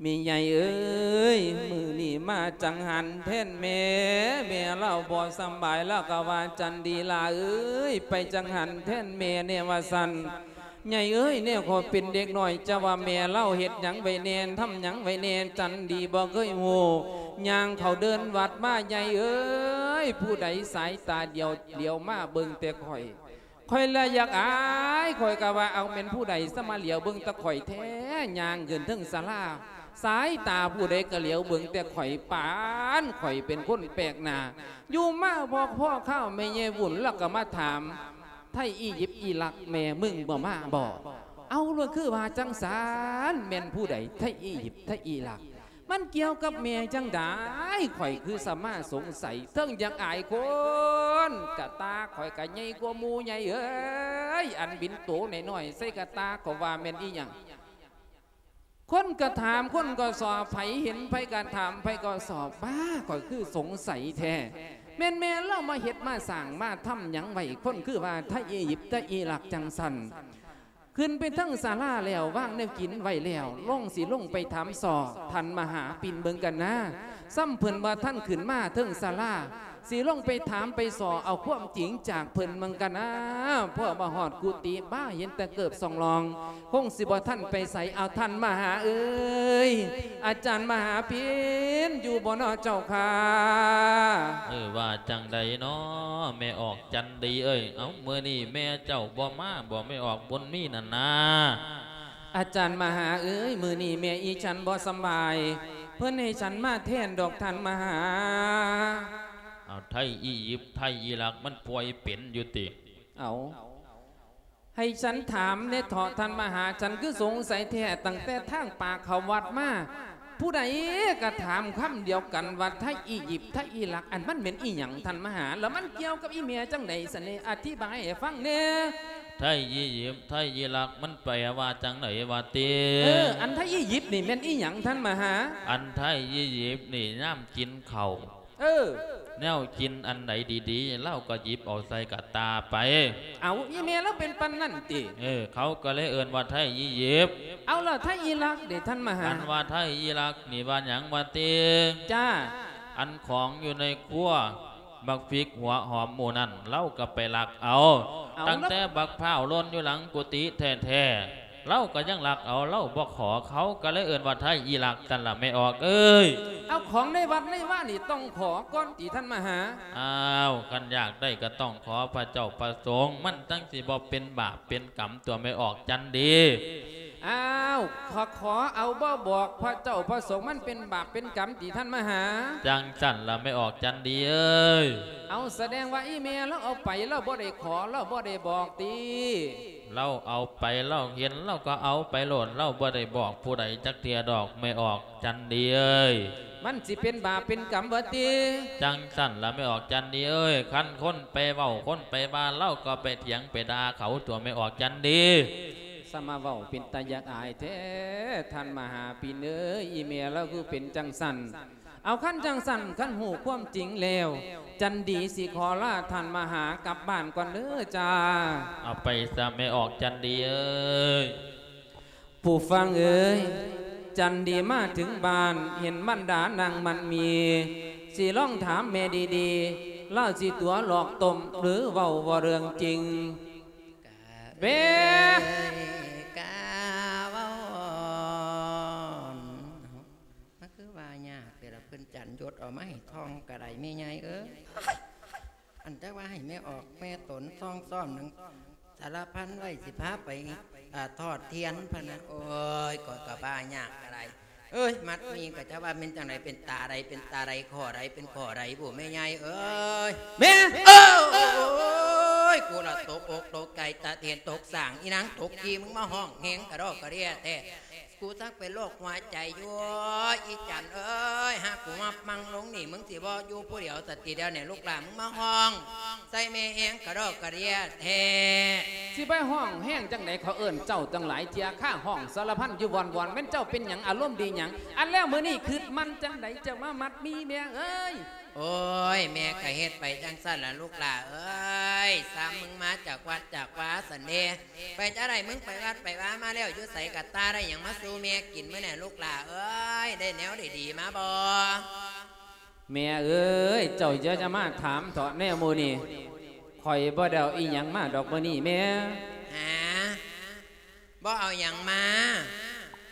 ແມ່ໃຫຍ່ເອີຍ ມື້ນີ້ມາຈັງຫັນແທນແມ່ ແມ່ລາວບໍ່ສຳບາຍ ລາວກໍວ່າ ຈັນດີຫຼ້າເອີຍ ໄປຈັງຫັນແທນແມ່ແດ່ວ່າຊັ້ນ. ໃຫຍ່ເອີຍ ແນວຂ້ອຍເປັນເດັກນ້ອຍ ຈະວ່າແມ່ລາວເຮັດຫຍັງໄວ້ແດ່ ທຳຫຍັງໄວ້ແດ່ ຈັນດີບໍ່ເຄີຍຮູ້. ຍ່າງເຂົ້າເດີ່ນວັດມາ ໃຫຍ່ເອີຍ ຜູ້ໃດສາຍຕາດຽວ ຫຼຽວມາເບິ່ງແຕ່ຂ້ອຍ ຂ້ອຍລະຢາກອາຍ ຂ້ອຍກະວ່າ ເອົາ ແມ່ນຜູ້ໃດສະມາຫຼຽວເບິ່ງແຕ່ຂ້ອຍແທ້. ຍ່າງຂຶ້ນເທິງສາລາ ສາຍຕາຜູ້ໃດກະຫຼຽວເບິ່ງແຕ່ຂ້ອຍ ປານຂ້ອຍເປັນຄົນແປກໜ້າ. ຢູ່ມາພໍພໍຄາວ ແມ່ໃຫຍ່ວຸ້ນລະກະມາຖາມ ໄທອີຢິບອີຣັກ ແມ່ມຶງບໍ່ມາບໍ? ເອົາ ລະຄືວ່າຈັ່ງຊັ້ນ ແມ່ນຜູ້ໃດ ໄທອີຢິບ ໄທອີຣັກ? ມັນກ່ຽວກັບແມ່ຈັ່ງໃດ? ຂ້ອຍຄືສະມາສົງໄສ ເທິງຢາກອາຍຄົນ ກະຕາຂ້ອຍກະໃຫຍ່ກວ່າໝູ່ໃຫຍ່ເອີຍ ອັນບິນໂຕນ້ອຍໆໃສ່ກະຕາກໍວ່າແມ່ນອີ່ຫຍັງ? ຄົນກະຖາມ ຄົນກໍສອບ ໃຜເຫັນໃຜກະຖາມ ໃຜກໍສອບ. ບ້າ ຂ້ອຍຄືສົງໄສແທ້ ແມ່ນແມ່ລາວມາເຮັດມາສ້າງມາທຳຫຍັງໄວ້ ຄົນຄືວ່າໄທອີຢິບ ໄທອີຣັກ ຈັ່ງຊັ້ນ. ຂຶ້ນໄປເທິງສາລາແລ້ວ ວາງແນວກິນໄວ້ແລ້ວ ລົງ ຊິລົງໄປຖາມສໍ່ ທ່ານມະຫາປິ່ນເບິ່ງກັນນາ ຊ້ຳເພິ່ນບໍ່ທັນຂຶ້ນມາເທິງສາລາ ຊິລົງໄປຖາມໄປສໍ່ເອົາຄວາມຈິງຈາກເພິ່ນເບິ່ງກັນນາ. ພໍມາຮອດກຸຕິ ບ້າ ເຫັນແຕ່ເກີບສອງລອງ ຄົງຊິບໍ່ທັນໄປໃສ. ເອົາ ທ່ານມະຫາເອີຍ ອາຈານມະຫາປິ່ນ ຢູ່ບໍ່ນໍເຈົ້າຂ້າ? ເອີ ວ່າຈັ່ງໃດນໍ ແມ່ອອກຈັນດີເອີຍ? ເອົ້າ ມື້ນີ້ແມ່ເຈົ້າບໍ່ມາບໍ ແມ່ອອກບຸນມີນັ້ນນາ? ອາຈານມະຫາເອີຍ ມື້ນີ້ແມ່ອີ່ສັນບໍ່ສຳບາຍ ເພິ່ນໃຫ້ສັນມາແທນດອກທ່ານມະຫາ. ເອົາ ໄທອີຢິບ ໄທອີຣັກ ມັນປ່ວຍເປັນຢູ່ຕິ? ເອົາ ໃຫ້ສັນຖາມແດ່ເຖາະທ່ານມະຫາ ສັນຄືສົງໄສແທ້ ຕັ້ງແຕ່ທາງປາກເຂົ້າວັດມາ ຜູ້ໃດກະຖາມຄຳດຽວກັນວ່າ ໄທອີຢິບ ໄທອີຣັກ ອັນມັນແມ່ນອີ່ຫຍັງທ່ານມະຫາ? ລະມັນກ່ຽວກັບອີ່ແມ່ຈັ່ງໃດຊັ້ນເດ? ອະທິບາຍໃຫ້ຟັງແດ່. ໄທອີຢິບ ໄທອີຣັກ ມັນແປວ່າຈັ່ງໃດຫວາຕິ? ເອີ ອັນໄທອີຢິບນີ້ແມ່ນອີ່ຫຍັງທ່ານມະຫາ? ອັນໄທອີຢິບນີ້ຍາມກິນເຂົ້າ ເອີ ແນວກິນອັນໃດດີໆ ລາວກໍຫຍິບເອົາໃສ່ກະຕ່າໄປ. ເອົາ ອີ່ແມ່ລາວເປັນປານນັ້ນຕິ? ເອີ ເຂົາກໍເລີຍເອີ້ນວ່າໄທອີຢິບ. ເອົາ ລະໄທອີຣັກເດທ່ານມະຫາ? ອັນວ່າໄທອີຣັກນີ້ວ່າຫຍັງຫວາຕິ? ຈ້າ. ອັນຂອງຢູ່ໃນຄົວ ບັກພິກ ຫົວຫອມ ໝູ່ນັ້ນ ລາວກໍໄປລັກເອົາ. ເອົາ ຕັ້ງແຕ່ບັກພ້າວຫຼົ່ນຢູ່ຫຼັງກຸຕິແທ້ໆ ລາວກໍຍັງລັກເອົາ ລາວບໍ່ຂໍ. ເຂົາກໍເລີຍເອີ້ນວ່າໄທອີຣັກ ຊັ້ນລະແມ່ອອກເອີຍ. ເອົາ ຂອງໃນວັດໃນວານີ້ຕ້ອງຂໍກ່ອນຕິທ່ານມະຫາ? ອ້າວ ຄັນຢາກໄດ້ກໍຕ້ອງຂໍພະເຈົ້າພະສົງ ມັນຈັ່ງຊິບໍ່ເປັນບາບເປັນກຳຕົວະແມ່ອອກຈັນດີ. ອ້າວ ຂໍ ຂໍເອົາບໍ່ບອກພະເຈົ້າພະສົງ ມັນເປັນບາບເປັນກຳຕິທ່ານມະຫາ? ຈັ່ງຊັ້ນລະແມ່ອອກຈັນດີເອີຍ. ເອົາ ສະແດງວ່າອີ່ແມ່ລາວເອົາໄປ ລາວບໍ່ໄດ້ຂໍ ລາວບໍ່ໄດ້ບອກຕິ? ລາວເອົາໄປ ລາວເຫັນ ລາວກໍເອົາໄປໂລດ ລາວບໍ່ໄດ້ບອກຜູ້ໃດຈັກເທື່ອດອກ ແມ່ອອກຈັນດີເອີຍ. ມັນຊິເປັນບາບເປັນກຳຫວາຕິ? ຈັ່ງຊັ້ນລະແມ່ອອກຈັນດີເອີຍ. ຄັນຄົນໄປເວົ້າ ຄົນໄປວ່າ ລາວກໍໄປຖຽງໄປດ່າເຂົາຕົວະແມ່ອອກຈັນດີ. ສະມາເວົ້າເປັນຕາຢາກອາຍແທ້ ທ່ານມະຫາປິ່ນເອີຍ ອີ່ແມ່ລາວຄືເປັນຈັ່ງຊັ້ນ. ເອົາ ຄັນຈັ່ງຊັ້ນ ຄັນຮູ້ຄວາມຈິງແລ້ວ ຈັນດີຊິຂໍລາທ່ານມະຫາກັບບ້ານກ່ອນເດີຈ້າ. ເອົາໄປຊະແມ່ອອກຈັນດີເອີຍ. ຜູ້ຟັງເອີຍ ຈັນດີມາເຖິງບ້ານ ເຫັນມັນດານາງມັນມີ ຊິລອງຖາມແມ່ດີໆ ລາວຊິຕົວະຫຼອກຕົ້ມ ຫຼືເວົ້າບໍ່ເລື່ອງຈິງ? ກະເບ ເອີຍ ກະເວົ້າ ມັນຄືວ່າຍາກແຕ່ລະ ເພິ່ນຈັນຍົດເອົາມາໃຫ້ທ່ອງກະໄດ້ແມ່ໃຫຍ່ເອີຍ. ອັນຈັກວ່າໃຫ້ແມ່ອອກແມ່ຕົນຊ່ອງຊ້ອມໜັງສາລະພັນໄວ້ ຊິພາໄປ ອາ ທອດທຽນພະນະ. ໂອ້ຍ ຂ້ອຍກະວ່າຍາກກະໄດ້. ເອີຍ ມັດມີກະຈະວ່າແມ່ນຈັ່ງໃດ ເປັນຕາໃດ ເປັນຕາໃດ ຂໍ້ໃດ ເປັນຂໍ້ໃດບຸແມ່ໃຫຍ່ເອີຍ. ແມ່ ເອີ ໂອ້ຍ ກູລະຕົກອົກຕົກໃຈ ຕາເທນຕົກສ້າງ ອີນາງຕົກຂີ້ ມຶງມາຮ້ອງແຮງກະດອກກະເດຍແທ້. ກູຈັກເປັນໂລກຫົວໃຈຢູ່ ອີຈັນເອີຍ ຫາກກູມາປັງລົງນີ້ ມຶງຊິບໍ່ຢູ່ຜູ້ດຽວສະຕິດຽວນີ້ ລູກຫຼານມຶງມາຮ້ອງ ໃສ່ແມ່ແຮງກະດອກກະເດຍແທ້. ຊິໄປຮ້ອງແຮງຈັ່ງໃດ ເຂົາເອີ້ນເຈົ້າຕັ້ງຫຼາຍເທື່ອ ຄາຮ້ອງສາລະພັນຢູ່ວອນໆ ແມ່ນເຈົ້າເປັນຫຍັງ ອາລົມດີຫຍັງ ອັນແລ້ວມື້ນີ້ຄິດມັນຈັ່ງໃດ ເຈົ້າມາມັດມີແມ່ເອີຍ? ໂອ້ຍ ແມ່ກະເຮັດໄປຈັ່ງຊັ້ນລະລູກຫຼ້າເອີຍ ຊ້ຳມຶງມາຈາກວັດຈາກວາຊັ້ນເດ. ໄປຈັ່ງໃດ ມຶງໄປວັດໄປວາມາແລ້ວ ຢູ່ໃສກະຕ່າ ໄດ້ຫຍັງມາສູ່ແມ່ກິນມື້ນີ້ລູກຫຼ້າເອີຍ ໄດ້ແນວດີໆມາບໍ່? ແມ່ເອີຍ ເຈົ້າຢ່າຈະມາຖາມເຖາະແນວມື້ນີ້ ຂ້ອຍບໍ່ໄດ້ເອົາອີ່ຫຍັງມາດອກມື້ນີ້ແມ່. ຫາ ບໍ່ເອົາຫຍັງມາ?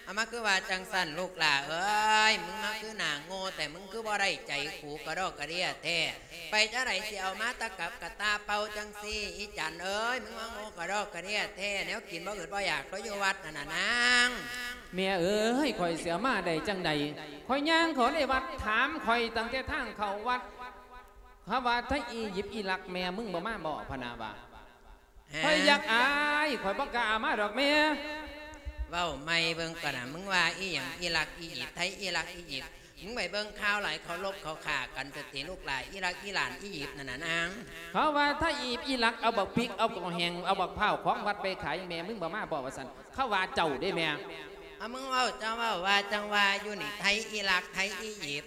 ເອົາມາຄືວ່າຈັ່ງຊັ້ນລູກຫຼ້າເອີຍ ມຶງມາຄືໜ້າໂງ່ແທ້ ມຶງຄືບໍ່ໄດ້ໃຈກູກະດອກກະເດຍແທ້. ໄປຈັ່ງໃດຊິເອົາມາຕະກັບກະຕ່າເປົ່າຈັ່ງຊີ້ ອີ່ຈັນເອີຍ ມຶງມາໂງ່ກະດອກກະເດຍແທ້ ແນວກິນບໍ່ອຶດບໍ່ຢາກ ເຂົາຢູ່ວັດຫັ້ນນະນາງ. ແມ່ເອີຍ ຂ້ອຍຊິເອົາມາໄດ້ຈັ່ງໃດ ຂ້ອຍຍ່າງເຂົ້າໃນວັດ ຖາມຂ້ອຍຕັ້ງແຕ່ທາງເຂົ້າວັດ ເຂົາວ່າໄທອີຢິບອີຣັກ ແມ່ມຶງບໍ່ມາບໍ່ ພະນາວ່າ. ຫາ ຂ້ອຍຢາກອາຍ ຂ້ອຍບໍ່ກ້າເອົາມາດອກແມ່. ເວົ້າໃໝ່ເບິ່ງກ່ອນນະ ມຶງວ່າອີ່ຫຍັງອີຣັກອີຢິບ ໄທອີຣັກອີຢິບ ມຶງໄປເບິ່ງຂ່າວຫຼາຍ ເຂົາລົບເຂົາຂ້າກັນສະຕິລູກຫຼ້າ ອີຣັກອີຣານອີຢິບນັ້ນນະນາງ. ເຂົາວ່າໄທອີຢິບອີຣັກ ເອົາບັກພິກ ເອົາກອງແຫ້ງ ເອົາບັກພ້າວຂອງວັດໄປຂາຍ ແມ່ມຶງບໍ່ມາບໍ່ວ່າຊັ້ນ ເຂົາວ່າເຈົ້າເດ້ແມ່. ເອົາ ມຶງເວົ້າ ເຈົ້າເວົ້າວ່າຈັ່ງວ່າຢູ່ນີ້ ໄທອີຣັກ ໄທອີຢິບ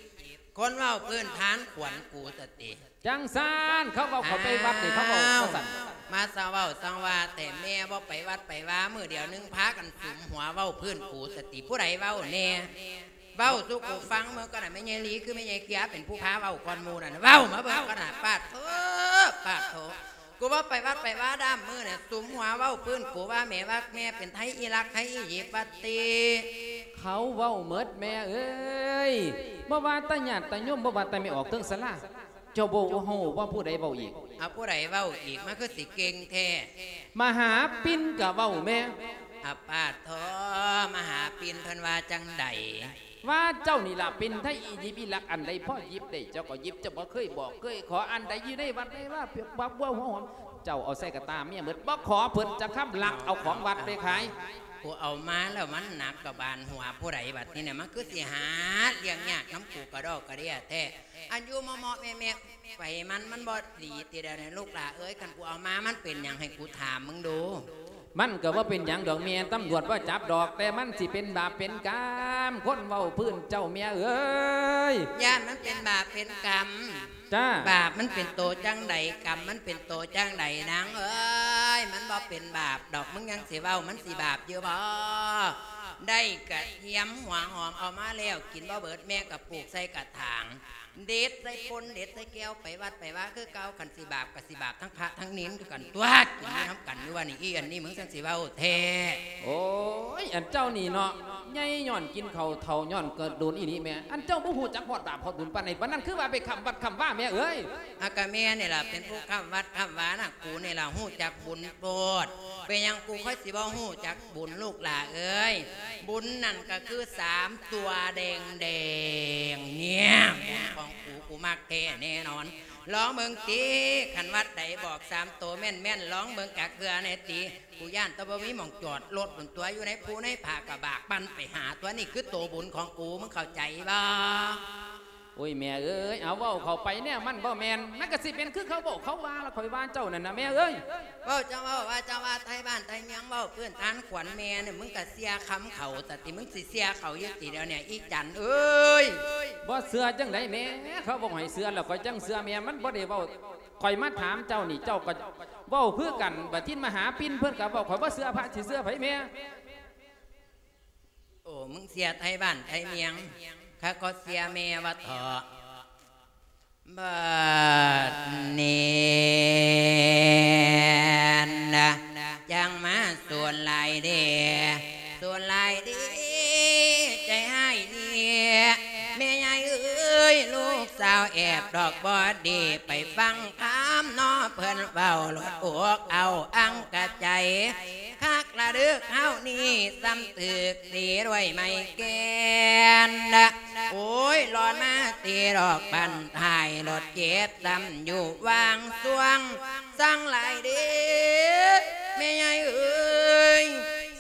ຄົນເວົ້າພື້ນຖານຂວັນກູສະຕິ. ຈັ່ງຊັ້ນ ເຂົາເວົ້າເຂົາໄປວັດນີ້ ເຂົາເວົ້າ ອ້າວ ວ່າຊັ້ນ. ມາສະເວົ້າສັງວ່າແຕ່ແມ່ບໍ່ໄປວັດໄປວາ ມື້ດຽວໜຶ່ງພາກັນສຸມຫົວເວົ້າພື້ນກູສະຕິ ຜູ້ໃດເວົ້າແນ່? ເວົ້າສູ່ກູຟັງເບິ່ງກ່ອນນະ ແມ່ໃຫຍ່ລີຄືແມ່ໃຫຍ່ເກຍເປັນຜູ້ພາເວົ້າກ່ອນໝູ່ນັ້ນ ເວົ້າມາເບິ່ງກ່ອນນະ. ປາດໂທ້ ປາດໂທ້ ກູບໍ່ໄປວັດໄປວາດາມມື້ນະ ສຸມຫົວເວົ້າພື້ນກູວ່າແມ່ວ່າແມ່ເປັນໄທອີຣັກ ໄທອີຢິບວ່າຕິ. ເຂົາເວົ້າໝົດແມ່ເອີຍ ບໍ່ວ່າແຕ່ຍາດຕະໂຍມ ບໍ່ວ່າແຕ່ແມ່ອອກເທິງສາລາ. ເຈົ້າບໍ່ຮູ້ວ່າຜູ້ໃດເວົ້າອີກ? ເອົາ ຜູ້ໃດເວົ້າອີກ ມັນຄືຊິເກັ່ງແທ້? ມະຫາປິນກະເວົ້າແມ່. ອາປາດໂທ ມະຫາປິນເພິ່ນວ່າຈັ່ງໃດ? ວ່າເຈົ້ານີ້ລະເປັນໄທອີຢິບອີຣັກ ອັນໃດພໍຢິບໄດ້ເຈົ້າກໍຢິບ ເຈົ້າບໍ່ເຄີຍບອກເຄີຍຂໍ ອັນໃດຢູ່ໃນວັດໃນວາ ບັກບົວຫົວຫອມ ເຈົ້າເອົາໃສ່ກະຕ່າເມຍໝົດ ບໍ່ຂໍເພິ່ນຈັກຄຳ ລັກເອົາຂອງວັດໄປຂາຍ. ຜູ້ເອົາມາແລ້ວມັນໜັກກະບານຫົວຜູ້ໃດບັດນີ້ນະ ມັນຄືຊິຫາລ້ຽງຍາກນຳກູກະດອກກະເດຍແທ້. ອັນຢູ່ເມາະໆແມະໆ ໄປມັນ ມັນບໍ່ດີຕິດຽວນີ້ລູກຫຼ້າເອີຍ ຄັນກູເອົາມາມັນເປັນຫຍັງໃຫ້ກູຖາມມຶງດູ? ມັນກໍບໍ່ເປັນຫຍັງດອກແມ່ ຕຳຫຼວດບໍ່ຈັບດອກ ແຕ່ມັນຊິເປັນບາບເປັນກຳ ຄົນເວົ້າພື້ນເຈົ້າແມ່ເອີຍ. ຢ້ານມັນເປັນບາບເປັນກຳ? ຈ້າ. ບາບມັນເປັນໂຕຈັ່ງໃດ ກຳມັນເປັນໂຕຈັ່ງໃດນາງເອີຍ? ມັນບໍ່ເປັນບາບດອກ ມຶງຍັງຊິເວົ້າ ມັນຊິບາບຢູ່ບໍ່? ໄດ້ກະທຽມຫົວຫອມເອົາມາແລ້ວ ກິນບໍ່ເບິດ ແມ່ກະປູກໃສ່ກະຖາງ ເດັດໃສ່ພົ່ນ ເດັດໃສ່ແກ້ວ ໄປວັດໄປວາຄືເກົ່າ ຄັນຊິບາບກະຊິບາບທັງພະທັງເນນຄືກັນຕົວະ ກິນຢູ່ນຳກັນຢູ່ວ່ານີ້ ອີອັນນີ້ມຶງຊັ້ນຊິເວົ້າແທ້. ໂອ້ຍ ອັນເຈົ້ານີ້ເນາະ ໃຫຍ່ຍ້ອນກິນເຂົ້າ ເຖົ້າຍ້ອນເກີດດົນອີ່ຫຼີແມ່. ອັນເຈົ້າບໍ່ຮູ້ຈັກຮອດບາບຮອດບຸນປານໃດ ປານນັ້ນ ຄືວ່າໄປຄ້ຳວັດຄ້ຳວາແມ່ເອີຍ. ອາ ກະແມ່ນີ້ລະເປັນຜູ້ຄ້ຳວັດຄ້ຳວານະ ກູນີ້ລະຮູ້ຈັກບຸນໂພດ. ເປັນຫຍັງກູຄ່ອຍຊິບໍ່ຮູ້ຈັກບຸນລູກຫຼ້າເອີຍ? ບຸນນັ້ນກະຄືສາມຕົວແດງໆ ເນຍ ບຸນຂອງກູ ກູມັກແທ້ແນ່ນອນ. ລອງເບິ່ງຕິ ຄັນວັດໃດບອກສາມໂຕແມ່ນໆ ລອງເບິ່ງຈັກເທື່ອແນ່ຕິ. ກູຢ້ານແຕ່ບໍ່ມີໝ່ອງຈອດລົດພຸ້ນຕົວະ ຢູ່ໃນພູໃນຜາກະບາກປັ່ນໄປຫາຕົວະ ນີ້ຄືໂຕບຸນຂອງກູ ມຶງເຂົ້າໃຈບໍ່? ໂອ້ຍ ແມ່ເອີຍ ເອົາເວົ້າເຂົ້າໄປແນວມັນບໍ່ແມ່ນ ມັນກະຊິເປັນຄືເຂົາເວົ້າເຂົາວ່າລະ ຂ້ອຍວ່າເຈົ້ານັ້ນນະແມ່ເອີຍ. ເວົ້າເຈົ້າເວົ້າວ່າເຈົ້າວ່າ ໄທບ້ານໄທເມືອງ ເວົ້າພື້ນຖານຂວັນແມ່ນີ້ ມຶງກະເຊື່ອຄຳເຂົາ ຕະຕິ ມຶງຊິເຊື່ອເຂົາຢູ່ຕິດຽວນີ້ ອີ່ຈັນເອີຍ. ບໍ່ເຊື່ອຈັ່ງໃດແມ່ ເຂົາເວົ້າໃຫ້ເຊື່ອແລ້ວຂ້ອຍຈັ່ງເຊື່ອແມ່ ມັນບໍ່ໄດ້ເວົ້າ ຂ້ອຍມາຖາມເຈົ້ານີ້ ເຈົ້າກໍເວົ້າຄືກັນ ບັດທີມະຫາປິນເພິ່ນກໍເວົ້າ ຂ້ອຍບໍ່ເຊື່ອພະ ຊິເຊື່ອໃຜແມ່? ໂອ້ ມຶງເຊື່ອໄທບ້ານໄທເມືອງ ຂ້າກໍເຊື່ອແມ່ວ່າເຖາະ. ບັດນີ້ນະ ຈັ່ງມາສວນຫຼາຍເດ ສວນຫຼາຍເດ ໃຈຮ້າຍເດ ແມ່ໃຫຍ່ເອີຍ ລູກສາວແອບດອກບໍ່ດີ ໄປຟັງຄຳເນາະເພິ່ນເວົ້າ ໂລດອົກເອົາອັງກະໃຈ ຄັກລະເດີກເຮົານີ້ ສ່ຳຖືກຕີດ້ວຍໄມ້ແກ່ນ. ໂອ້ຍ ລອນມາຕີດອກບັ້ນທ້າຍລົດເຈັບ ສ່ຳຢູ່ຫວ່າງຊ່ວງ ສັງຫຼາຍເດ ແມ່ໃຫຍ່ເອີຍ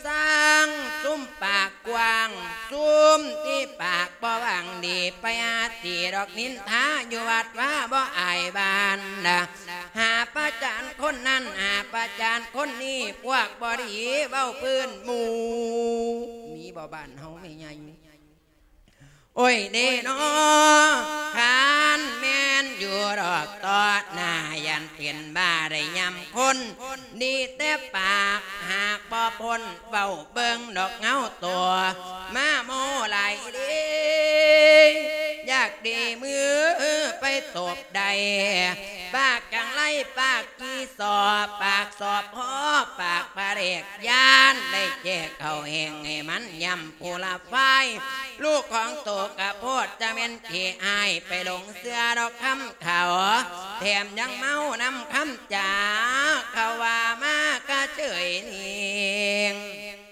ສັງ ຊຸມປາກກວ້າງ ຊຸມທີ່ປາກບໍ່ຫວັງດີ ໄປຫາຕີດອກນິນທາຢູ່ວັດວາບໍ່ອາຍບ້ານນະ. ຫາປະຈານຄົນນັ້ນ ຫາປະຈານຄົນນີ້ ພວກບໍ່ດີເວົ້າພື້ນໝູ່ ມີບໍ່ບ້ານເຮົາແມ່ໃຫຍ່? ໂອ້ຍເດເນາະ ຄັນແມ່ນຢູ່ດອກຕໍ່ໜ້າ ຢ້ານເປັນບ້າໄດ້ຍາມຄົນ ດີແຕ່ປາກຫາກບໍ່ພົ້ນ ເວົ້າເບິ່ງດອກເງົາໂຕ ມາໂມ້ຫຼາຍເດ ຢາກດີມືໄປຕົບໄດ້ ປາກຈັງໄລປາກກີ່ສອບ ປາກສອບພໍ ປາກພະເລກ ຢ້ານໄດ້ແຈກເຂົ້າແຫ້ງໃຫ້ມັນຍຳ ຜູ້ລະຝ່າຍ ລູກຂອງໂຕກະໂພດ ຈະແມ່ນຂີ້ອາຍໄປຫຼົງເຊື່ອດອກຄຳເຂົາ ແຖມຍັງເມົານຳຄຳຈາ ເຂົາວ່າມາກະເຈີຍນິງ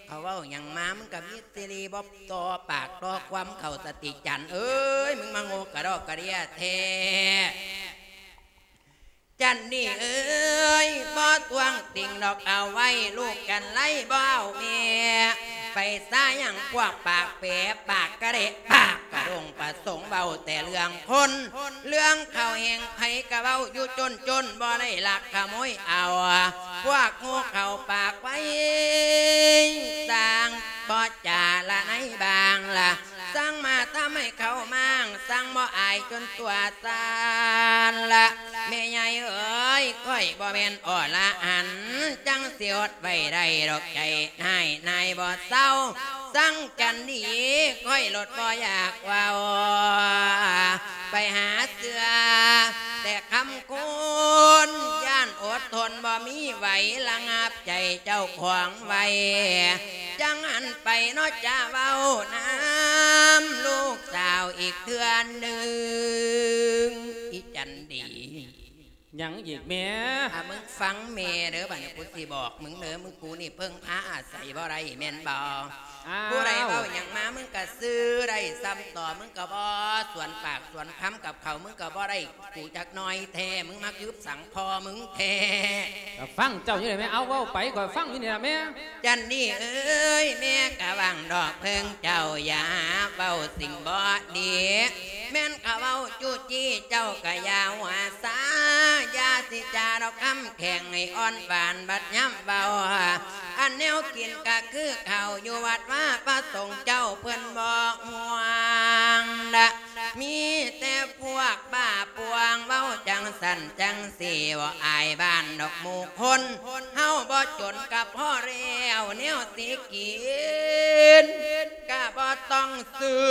ເຂົາເວົ້າຫຍັງມາ ມຶງກະມີສິລິບໍ່ຕໍ່ປາກຕໍ່ຄວາມເຂົາ ສະຕິຈັນເອີຍ ມຶງມາໂງ່ກະດອກກະເດຍແທ້. ຈັນນີ້ເອີຍ ບໍ່ທ້ວງຕິງດອກເອົາໄວ້ ລູກຈັນໄລບໍ່ເອົາແມ່ ໄປຊາຍັງພວກປາກແປ ປາກກະເດະ ປາກກະດົງ ປະສົງເວົ້າແຕ່ເລື່ອງຄົນ ເລື່ອງເຂົ້າແຫ້ງໃຜກະເວົ້າຢູ່ຈົນໆ ບໍ່ໄດ້ລັກຂະໂມຍເອົາ ພວກໂງ່ເຂົ້າປາກໄວ ສ້າງບໍ່ຈາລະໃນບາງລະ ສັ່ງມາທຳໃຫ້ເຂົາມ້າງ ສັ່ງບໍ່ອາຍຈົນຕົວສັ່ນລະ ແມ່ໃຫຍ່ເອີຍ ຂ້ອຍບໍ່ແມ່ນອໍລະຫັນ ຈັ່ງຊິອົດໄວ້ໄດ້ດອກໃຈ ນາຍນາຍບໍ່ເຊົາ ສັ່ງຈັນດີ ຂ້ອຍໂລດບໍ່ຢາກເວົ້າ ໄປຫາເຊື່ອແຕ່ຄຳ ຄົນຢ້ານອົດທົນບໍ່ມີໄຫວ ລະງັບໃຈເຈົ້າຂອງໄວ້ ຈັ່ງຫັນໄປເນາະ ຈະເວົ້ານຳລູກສາວອີກເທື່ອໜຶ່ງ ອີຈັນດີ. ຫຍັງອີກແມ່? ຖ້າມຶງຟັງແມ່ເດີ ບາດນີ້ກູຊິບອກມຶງເດີ ມຶງ ກູນີ້ເພິ່ງພາອາໄສບໍ່ໄດ້ແມ່ນບໍ່? ອ້າວ ຜູ້ໃດເວົ້າຫຍັງມາ ມຶງກະຊື່ໄດ້ຊ່ຳຕໍ່ ມຶງກະບໍ່ສວນປາກສວນຄຳກັບເຂົາ ມຶງກະບໍ່ໄດ້ກູຈັກໜ້ອຍແທ້ ມຶງມາຄຶບສັງພໍ່ມຶງແທ້. ກະຟັງເຈົ້າຢູ່ນີ້ແມ່ ເອົາເວົ້າໄປ ຂ້ອຍຟັງຢູ່ນີ້ລະແມ່. ຈັນນີ້ເອີຍ ແມ່ກະຫວັງດອກເພິ່ງເຈົ້າ ຢ່າເວົ້າສິ່ງບໍ່ດີ ແມ່ນເຂົາເວົ້າຈູ້ຈີ້ ເຈົ້າກະຢ່າຫົວຊາ ຢ່າຊິຈາດອກຄຳແຂງໃຫ້ອ່ອນຫວານ ບັດຍາມເວົ້າ ອັນແນວກິນກະຄືເຂົ້າ ຢູ່ວັດວາພະສົງເຈົ້າເພິ່ນບໍ່ຫ່ວງນະ ມີແຕ່ພວກບ້າປ່ວງ ເວົ້າຈັ່ງຊັ້ນຈັ່ງຊີ້ ບໍ່ອາຍບ້ານດອກໝູ່ຄົນ ເຮົາບໍ່ຈົນກະພໍແລ້ວ ແນວຊິກິນກະບໍ່ຕ້ອງຊື້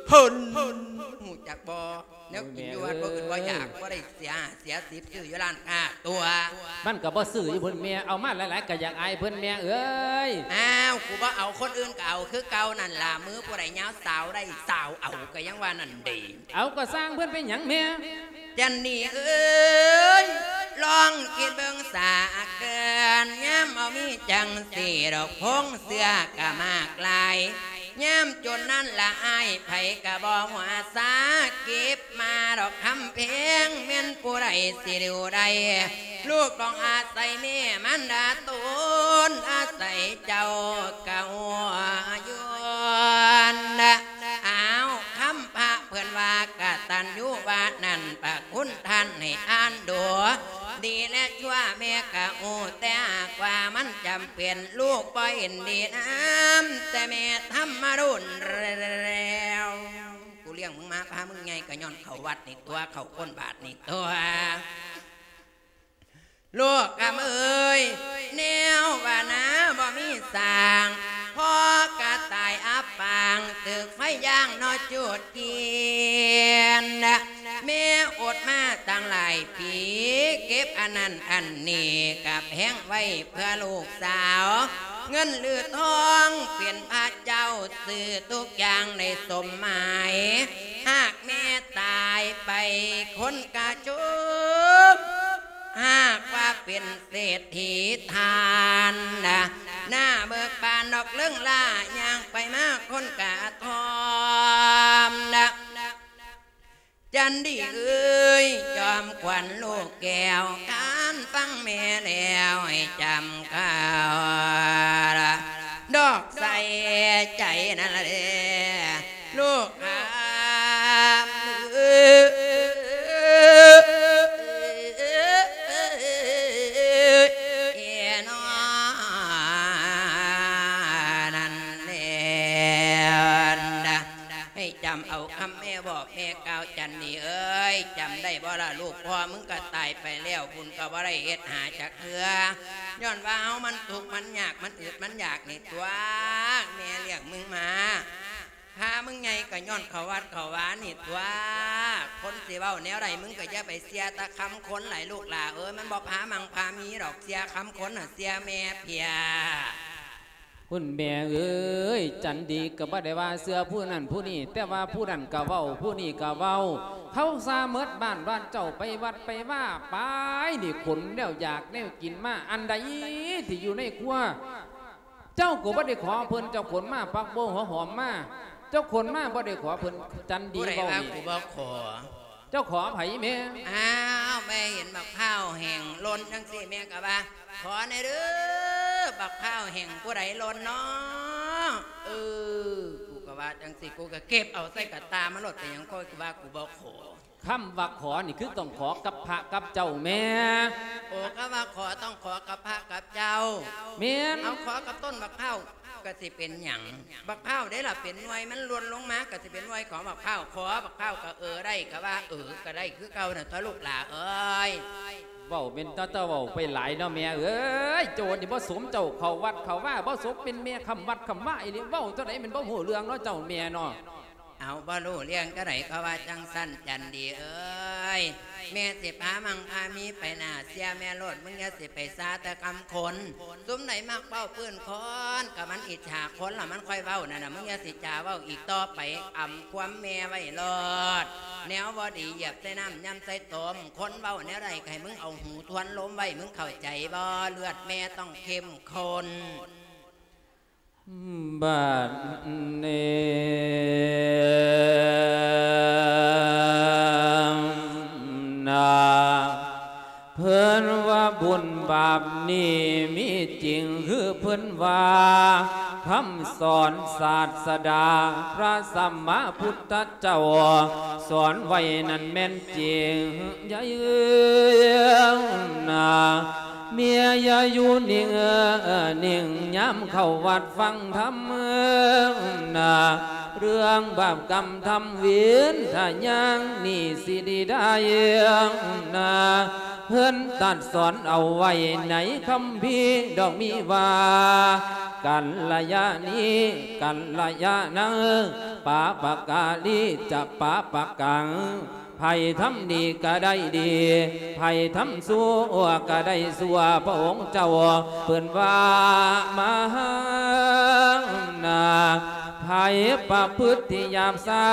ເພິ່ນ ຮູ້ຈັກບໍ່? ແນວກິນຢູ່ວັດບໍ່ອຶດບໍ່ຢາກ ບໍ່ໄດ້ເສຍຫ້າເສຍສິບ ຊື້ຢູ່ຮ້ານຄ້າຕົວະ. ມັນກະບໍ່ຊື້ຢູ່ພຸ້ນແມ່ ເອົາມາຫຼາຍໆກະຢາກອາຍເພິ່ນແມ່ເອີຍ. ອ້າວ ກູບໍ່ເອົາ ຄົນອື່ນກະເອົາຄືເກົ່ານັ້ນລະ ມືຜູ້ໃດຍາວສາວໄດ້ສາວເອົາ ກະຍັງວ່ານັ້ນເດ. ເອົາ ກະຊ່າງເພິ່ນ ເປັນຫຍັງແມ່? ຈັນນີ້ເອີຍ ລອງຄິດເບິ່ງສາເກີນ ຍາມເຮົາມີຈັ່ງຊີ້ດອກ ຜົງເຊື້ອກະມາກຫຼາຍ ຍາມຈົນນັ້ນລະອາຍ ໃຜກະບໍ່ຫົວຊາ ເກັບມາດອກຄຳແພງ ແມ່ນຜູ້ໃດຊິດິວໄດ້ ລູກຕ້ອງອາໄສແມ່ມານດາຕົນ ອາໄສເຈົ້າກະຫົວຍວນ. ອ້າວ ຄຳພະເພິ່ນວ່າກະຕັນຍູວ່ານັ້ນ ພະຄຸນທ່ານໃຫ້ອ່ານດູ ດີແລະຊົ່ວແມ່ກະຮູ້ ແຕ່ຫາກວ່າມັນຈຳເປັນ ລູກບໍ່ເຫັນດີນຳ ແຕ່ແມ່ທຳມາດົນແລ້ວ. ກູລ້ຽງມຶງມາພາມຶງໃຫຍ່ກະຍ້ອນເຂົ້າວັດນີ້ຕົວະ ເຂົ້າກົ້ນບາດນີ້ຕົວະ. ລູກຄຳເອີຍ ແນວວ່ານາບໍ່ມີສ້າງ ພໍກະຕາຍອັບປາງ ຖືກໄຟຢ່າງເນາະຈູດກິນ. ແມ່ອົດມາຕັ້ງຫຼາຍປີ ເກັບອັນນັ້ນອັນນີ້ ກະແພງໄວ້ເພື່ອລູກສາວ ເງິນຫຼືທອງເປັນພະເຈົ້າ ຊື້ທຸກຢ່າງໄດ້ສົມໝາຍ ຫາກແມ່ຕາຍໄປຄົນກະຈົ່ມ ຫາກວ່າເປັນເສດຖີທ່ານນະ ໜ້າເບີກບານດອກເລິງລາ ຍ່າງໄປມາຄົນກະທອມນະ. ຈັນດີເອີຍ ຈອມຂວັນລູກແກ້ວ ຄັນຟັງແມ່ແລ້ວໃຫ້ຈຳເຂົ້າລະ ດອກໃສ່ໃຈນັ້ນລະເດ້ ລູກຫາເອີນອ ນັ້ນແຫຼະ ໃຫ້ຈຳເອົາຄຳແມ່ບອກແມ່ກ່າວ ຈັນດີເອີຍ ຈຳໄດ້ບໍ່ລະ? ລູກພໍ່ມຶງກໍຕາຍໄປແລ້ວ ບຸນກໍບໍ່ໄດ້ເຮັດຫາຈັກເທື່ອ ຍ້ອນວ່າເຮົາມັນທຸກມັນຍາກ ມັນອຶດມັນຢາກນີ້ຕົວະ ແມ່ລ້ຽງມຶງມາ ພາມຶງໃຫຍ່ກໍຍ້ອນເຂົ້າວັດເຂົ້າວານີ້ຕົວະ ຄົນຊິເວົ້າແນວໃດ ມຶງກໍຢ່າໄປເຊື່ອແຕ່ຄຳຄົນຫຼາຍ ລູກຫຼ້າເອີຍ ມັນບໍ່ພາມັ່ງພາມີດອກ ເຊື່ອຄຳຄົນນະ ເຊື່ອແມ່ເພຍ. ຄຸນແມ່ເອີຍ ຈັນດີກໍບໍ່ໄດ້ວ່າເຊື່ອຜູ້ນັ້ນຜູ້ນີ້ ແຕ່ວ່າຜູ້ນັ້ນກໍເວົ້າ ຜູ້ນີ້ກໍເວົ້າ ເຂົາຊາໝົດບ້ານວ່າເຈົ້າໄປວັດໄປວາ ໄປນີ້ຂົນແນວຢາກແນວກິນມາ ອັນໃດທີ່ຢູ່ໃນຄົວ ເຈົ້າກໍບໍ່ໄດ້ຂໍເພິ່ນ ເຈົ້າຂົນມາຜັກບົວຫົວຫອມມາ ເຈົ້າຂົນມາບໍ່ໄດ້ຂໍເພິ່ນ ຈັນດີເວົ້ານີ້ ຜູ້ໃດວ່າກູບໍ່ຂໍ? ເຈົ້າຂໍໃຜແມ່? ອ້າວ ແມ່ເຫັນບັກພ້າວແຫ້ງຫຼົ່ນຈັ່ງຊີ້ ແມ່ກໍວ່າ ຂໍແດ່ເດີ ບັກພ້າວແຫ້ງຜູ້ໃດຫຼົ່ນນໍ? ເອີ ກູກໍວ່າຈັ່ງຊີ້ ກູກໍເກັບເອົາໃສ່ກະຕ່າມາໂລດ ເປັນຫຍັງ ຂ້ອຍວ່າກູບໍ່ຂໍ? ຄຳວ່າຂໍນີ້ຄືຕ້ອງຂໍກັບພະກັບເຈົ້າແມ່. ໂອ້ ຄຳວ່າຂໍຕ້ອງຂໍກັບພະກັບເຈົ້າ. ແມ່ນ. ເອົາ ຂໍກັບຕົ້ນບັກພ້າວກໍຊິເປັນຫຍັງ? ບັກພ້າວເດ້ລະເປັນໜ່ວຍ ມັນຫຼົ່ນລົງມາກໍຊິເປັນໜ່ວຍຂອງບັກພ້າວ. ຂໍບັກພ້າວກໍເອີໄດ້ ກໍວ່າເອີກໍໄດ້ຄືເກົ່ານັ້ນຕົວະ ລູກຫຼ້າເອີຍ. ເວົ້າແມ່ນຕາ ຕາເວົ້າໄປຫຼາຍເນາະແມ່ເອີຍ. ໂຈນີ້ບໍ່ສົມເຈົ້າເຂົ້າວັດເຂົ້າວາ ບໍ່ສົມເປັນແມ່ຄ້ຳວັດຄ້ຳວາອີ່ຫຼີ. ເວົ້າເທົ່າໃດແມ່ນບໍ່ຮູ້ເລື່ອງເນາະເຈົ້າແມ່ເນາະ. ເອົາ ບໍ່ຮູ້ເລື່ອງກະໄດ້ ເຂົາວ່າຈັ່ງຊັ້ນ ຈັນດີເອີຍ. ແມ່ຊິພາມັ່ງພາມີໄປໜ້າ ເຊື່ອແມ່ໂລດ ມຶງຢ່າຊິໄປຊາແຕ່ຄຳຄົນ. ຊຸມໃດມັກເວົ້າພື້ນຄອນ ກະມັນອິດສາຄົນລະມັນຄ່ອຍເວົ້ານັ້ນນະ ມຶງຢ່າຊິຈາເວົ້າອີກຕໍ່ໄປ. ອຳຄວາມແມ່ໄວ້ໂລດ ແນວບໍ່ດີຢຽບໃສ່ນ້ຳ ຍຳໃສ່ຕົມ. ຄົນເວົ້າແນວໃດກະໃຫ້ມຶງເອົາຫູທວນລົມໄວ້ ມຶງເຂົ້າໃຈບໍ່? ເລືອດແມ່ຕ້ອງເຂັ້ມຂຸ້ນ. ບາດນີ້ນາ ເພິ່ນວ່າບຸນບາບນີ້ມີຈິງ ຄືເພິ່ນວ່າຄຳສອນສາດສະດາ ພະສຳມາພຸດທະເຈົ້າສອນໄວ້ນັ້ນແມ່ນຈິງໃຫຍ່ນາ. ເມຍຢ່າຢູ່ນິ່ງ ນິ່ງ ຍາມເຂົ້າວັດຟັງທຳນາ ເລື່ອງບາບກຳທຳເວນ ຖ້າຢ່າງນີ້ຊິດີໄດ້ນາ. ເພິ່ນຕັດສອນເອົາໄວ້ໃນຄຳພີດອກມີວ່າ ກັນລະຍານີ ກັນລະຍານັງ ປາປະກາລີ ຈະປາປະກັງ. ໃຜທຳດີກະໄດ້ດີ ໃຜທຳຊົ່ວກະໄດ້ຊົ່ວ. ພະອົງເຈົ້າເພິ່ນວ່າມານາ ໃຜປະພຶດທີ່ຫຍາບຊ້າ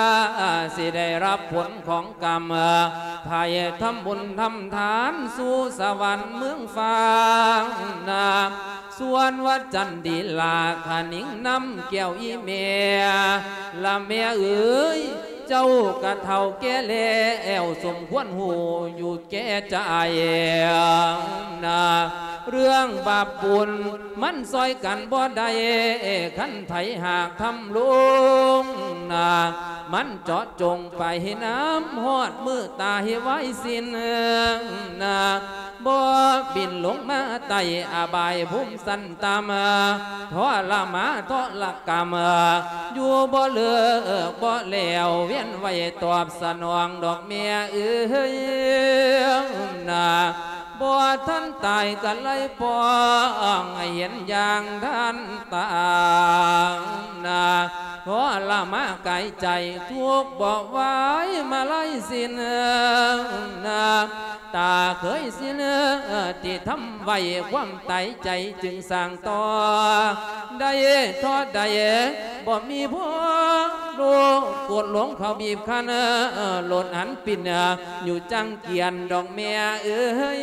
ຊິໄດ້ຮັບຜົນຂອງກຳ. ໃຜທຳບຸນທຳທານສູ່ສະຫວັນເມືອງຟ້ານາ. ສ່ວນວ່າຈັນດີລາ ຂະໜິງນຳແກ້ວອີ່ແມ່ ລະແມ່ເອີຍ ເຈົ້າກະເຖົ້າແກ່ແລ້ວ ສົມຄວນຮູ້ຢູ່ແກ່ໃຈນາ. ເລື່ອງບາບບຸນມັນຊ່ອຍກັນບໍ່ໄດ້ ຄັນໃຜຫາກທຳລົງນາ ມັນເຈາະຈົງໄປນຳຮອດມື້ຕາຍວາຍສິ້ນນາ. ບໍ່ບິນລົງມາໃຕ້ອະບາຍພູມຊັ້ນຕ່ຳ ທໍລະມານທໍລະກຳ ຢູ່ບໍ່ເລີກບໍ່ແລ້ວ ວຽນໄວ້ຕອບສະໜອງດອກແມ່ເອີຍນາ. ບໍ່ທັນຕາຍກະໄລ່ປ້ອງ ໃຫ້ເຫັນຢ່າງທັນຕານາ. ທໍລະມານກາຍໃຈ ທຸກບໍ່ໄຫວມາໄລສິນນາ. ຕາເຄີຍສິນທີ່ທຳໄວ້ ຄວາມຕາຍໃຈຈຶ່ງສ້າງຕໍ່ໄດ້ທໍ້ໃດ ບໍ່ມີພໍໂລກໂກດຫຼົງເຂົາບີບຄັນ ໂລດຫັນປິ່ນຢູ່ຈັງກຽນດອກແມ່ເອີຍ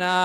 ນາ.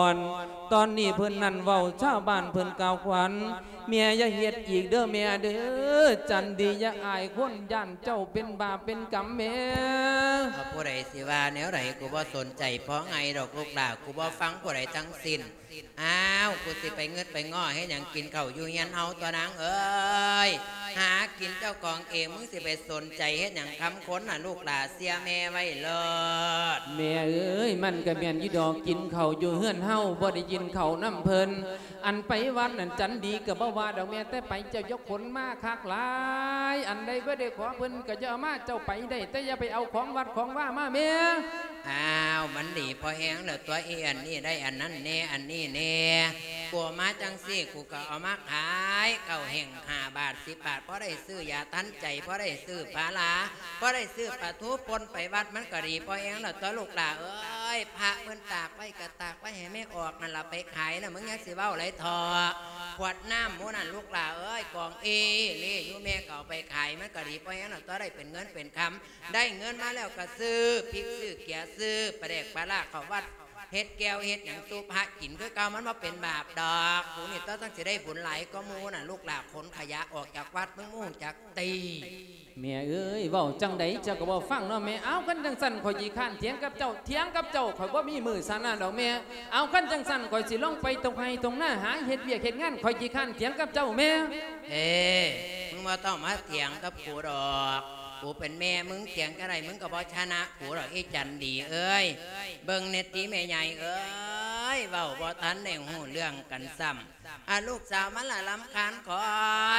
ອນ. ຕອນນີ້ເພິ່ນນັ້ນເວົ້າ ຊາວບ້ານເພິ່ນກ່າວຂວັນ. ແມ່ຢ່າເຮັດອີກເດີແມ່ເດີ, ຈັນດີຢ່າອາຍຄົນ ຢ້ານເຈົ້າເປັນບາບເປັນກຳແມ່. ເອົາ ຜູ້ໃດຊິວ່າແນວໃດ ກູບໍ່ສົນໃຈພໍໄຫງດອກລູກຫຼ້າ, ກູບໍ່ຟັງຜູ້ໃດທັງສິ້ນ. ອ້າວ ກູຊິໄປງຶດໄປງໍ້ເຮັດຫຍັງ? ກິນເຂົ້າຢູ່ເຮືອນເຮົາຕົວະນາງເອີຍ, ຫາກິນເຈົ້າຂອງເອງ, ມຶງຊິໄປສົນໃຈເຮັດຫຍັງຄຳຄົນນະລູກຫຼ້າ, ເຊື່ອແມ່ໄວ້ໂລດ. ແມ່ເອີຍ ມັນກະແມ່ນຢູ່ດອກ, ກິນເຂົ້າຢູ່ເຮືອນເຮົາ ບໍ່ໄດ້ກິນເຂົ້ານຳເພິ່ນ. ອັນໄປວັດນັ້ນ ຈັນດີກະບໍ່ວ່າດອກແມ່, ແຕ່ໄປເຈົ້າຢ່າຂົນມາຄັກຫຼາຍ. ອັນໃດບໍ່ໄດ້ຂໍເພິ່ນກະຢ່າເອົາມາ, ເຈົ້າໄປໄດ້ ແຕ່ຢ່າໄປເອົາຂອງວັດຂອງວາມາແມ່. ອ້າວ ມັນດີພໍແຮງແລ້ວຕົວະ, ອີອັນນີ້ໄດ້ອັນນັ້ນແດ່ ອັນນີ້ແດ່. ກູເອົາມາຈັ່ງຊີ້ ກູກະເອົາມາຂາຍ, ເຂົ້າແຫ້ງຫ້າບາດ ສິບບາດ, ພໍໄດ້ຊື້ຢາທັນໃຈ, ພໍໄດ້ຊື້ພາລາ, ພໍໄດ້ຊື້ປາທູປົ່ນໄປວັດ, ມັນກະດີພໍແຮງແລ້ວຕົວະລູກຫຼ້າເອີຍ. ພະເພິ່ນຕາກໄວ້ກະຕາກໄວ້ໃຫ້ແມ່ອອກນັ້ນລະໄປຂາຍນະ, ມຶງຍັງຊິເວົ້າຫຼາຍເຖາະ. ຂວດນ້ຳໝູ່ນັ້ນລູກຫຼ້າເອີຍ ກອງເອເລຢູ່, ແມ່ກະເອົາໄປຂາຍ, ມັນກະດີພໍແຮງແລ້ວຕົວະ, ໄດ້ເປັນເງິນເປັນຄຳ. ໄດ້ເງິນມາແລ້ວກະຊື້ພິກຊື້ເກືອ, ຊື້ປາແດກປາລ້າເຂົ້າວັດ, ເຮັດແຈ່ວເຮັດຫຍັງສູ່ພະກິນຄືເກົ່າ, ມັນບໍ່ເປັນບາບດອກ. ກູນີ້ຕົວະຈັ່ງຊິໄດ້ບຸນຫຼາຍກວ່າໝູ່ນະລູກຫຼ້າ, ຂົນຂະຫຍະອອກຈາກວັດ ມຶງບໍ່ຮູ້ຈັກຕິ. ແມ່ເອີຍ ເວົ້າຈັ່ງໃດເຈົ້າກະບໍ່ຟັງເນາະແມ່. ເອົາ ຄັນຈັ່ງຊັ້ນຂ້ອຍຂີ້ຄ້ານຖຽງກັບເຈົ້າ, ຖຽງກັບເຈົ້າຂ້ອຍບໍ່ມີມື້ຊະນະດອກແມ່. ເອົາ ຄັນຈັ່ງຊັ້ນຂ້ອຍຊິລົງໄປທົ່ງໄຮ່ທົ່ງນາ ຫາເຮັດວຽກເຮັດງານ, ຂ້ອຍຂີ້ຄ້ານຖຽງກັບເຈົ້າແມ່. ເອີ ມຶງບໍ່ຕ້ອງມາຖຽງກັບກູດອກ, ກູເປັນແມ່ມຶງ, ຖຽງຈັ່ງໃດມຶງກະບໍ່ຊະນະກູດອກ ອີຈັນດີເອີຍ. ເບິ່ງແນ່ຕິແມ່ໃຫຍ່ເອີຍ, ເວົ້າບໍ່ທັນໄດ້ຮູ້ເລື່ອງກັນຊ້ຳ. ອາ ລູກສາວມັນລະລຳຄານຂ້ອ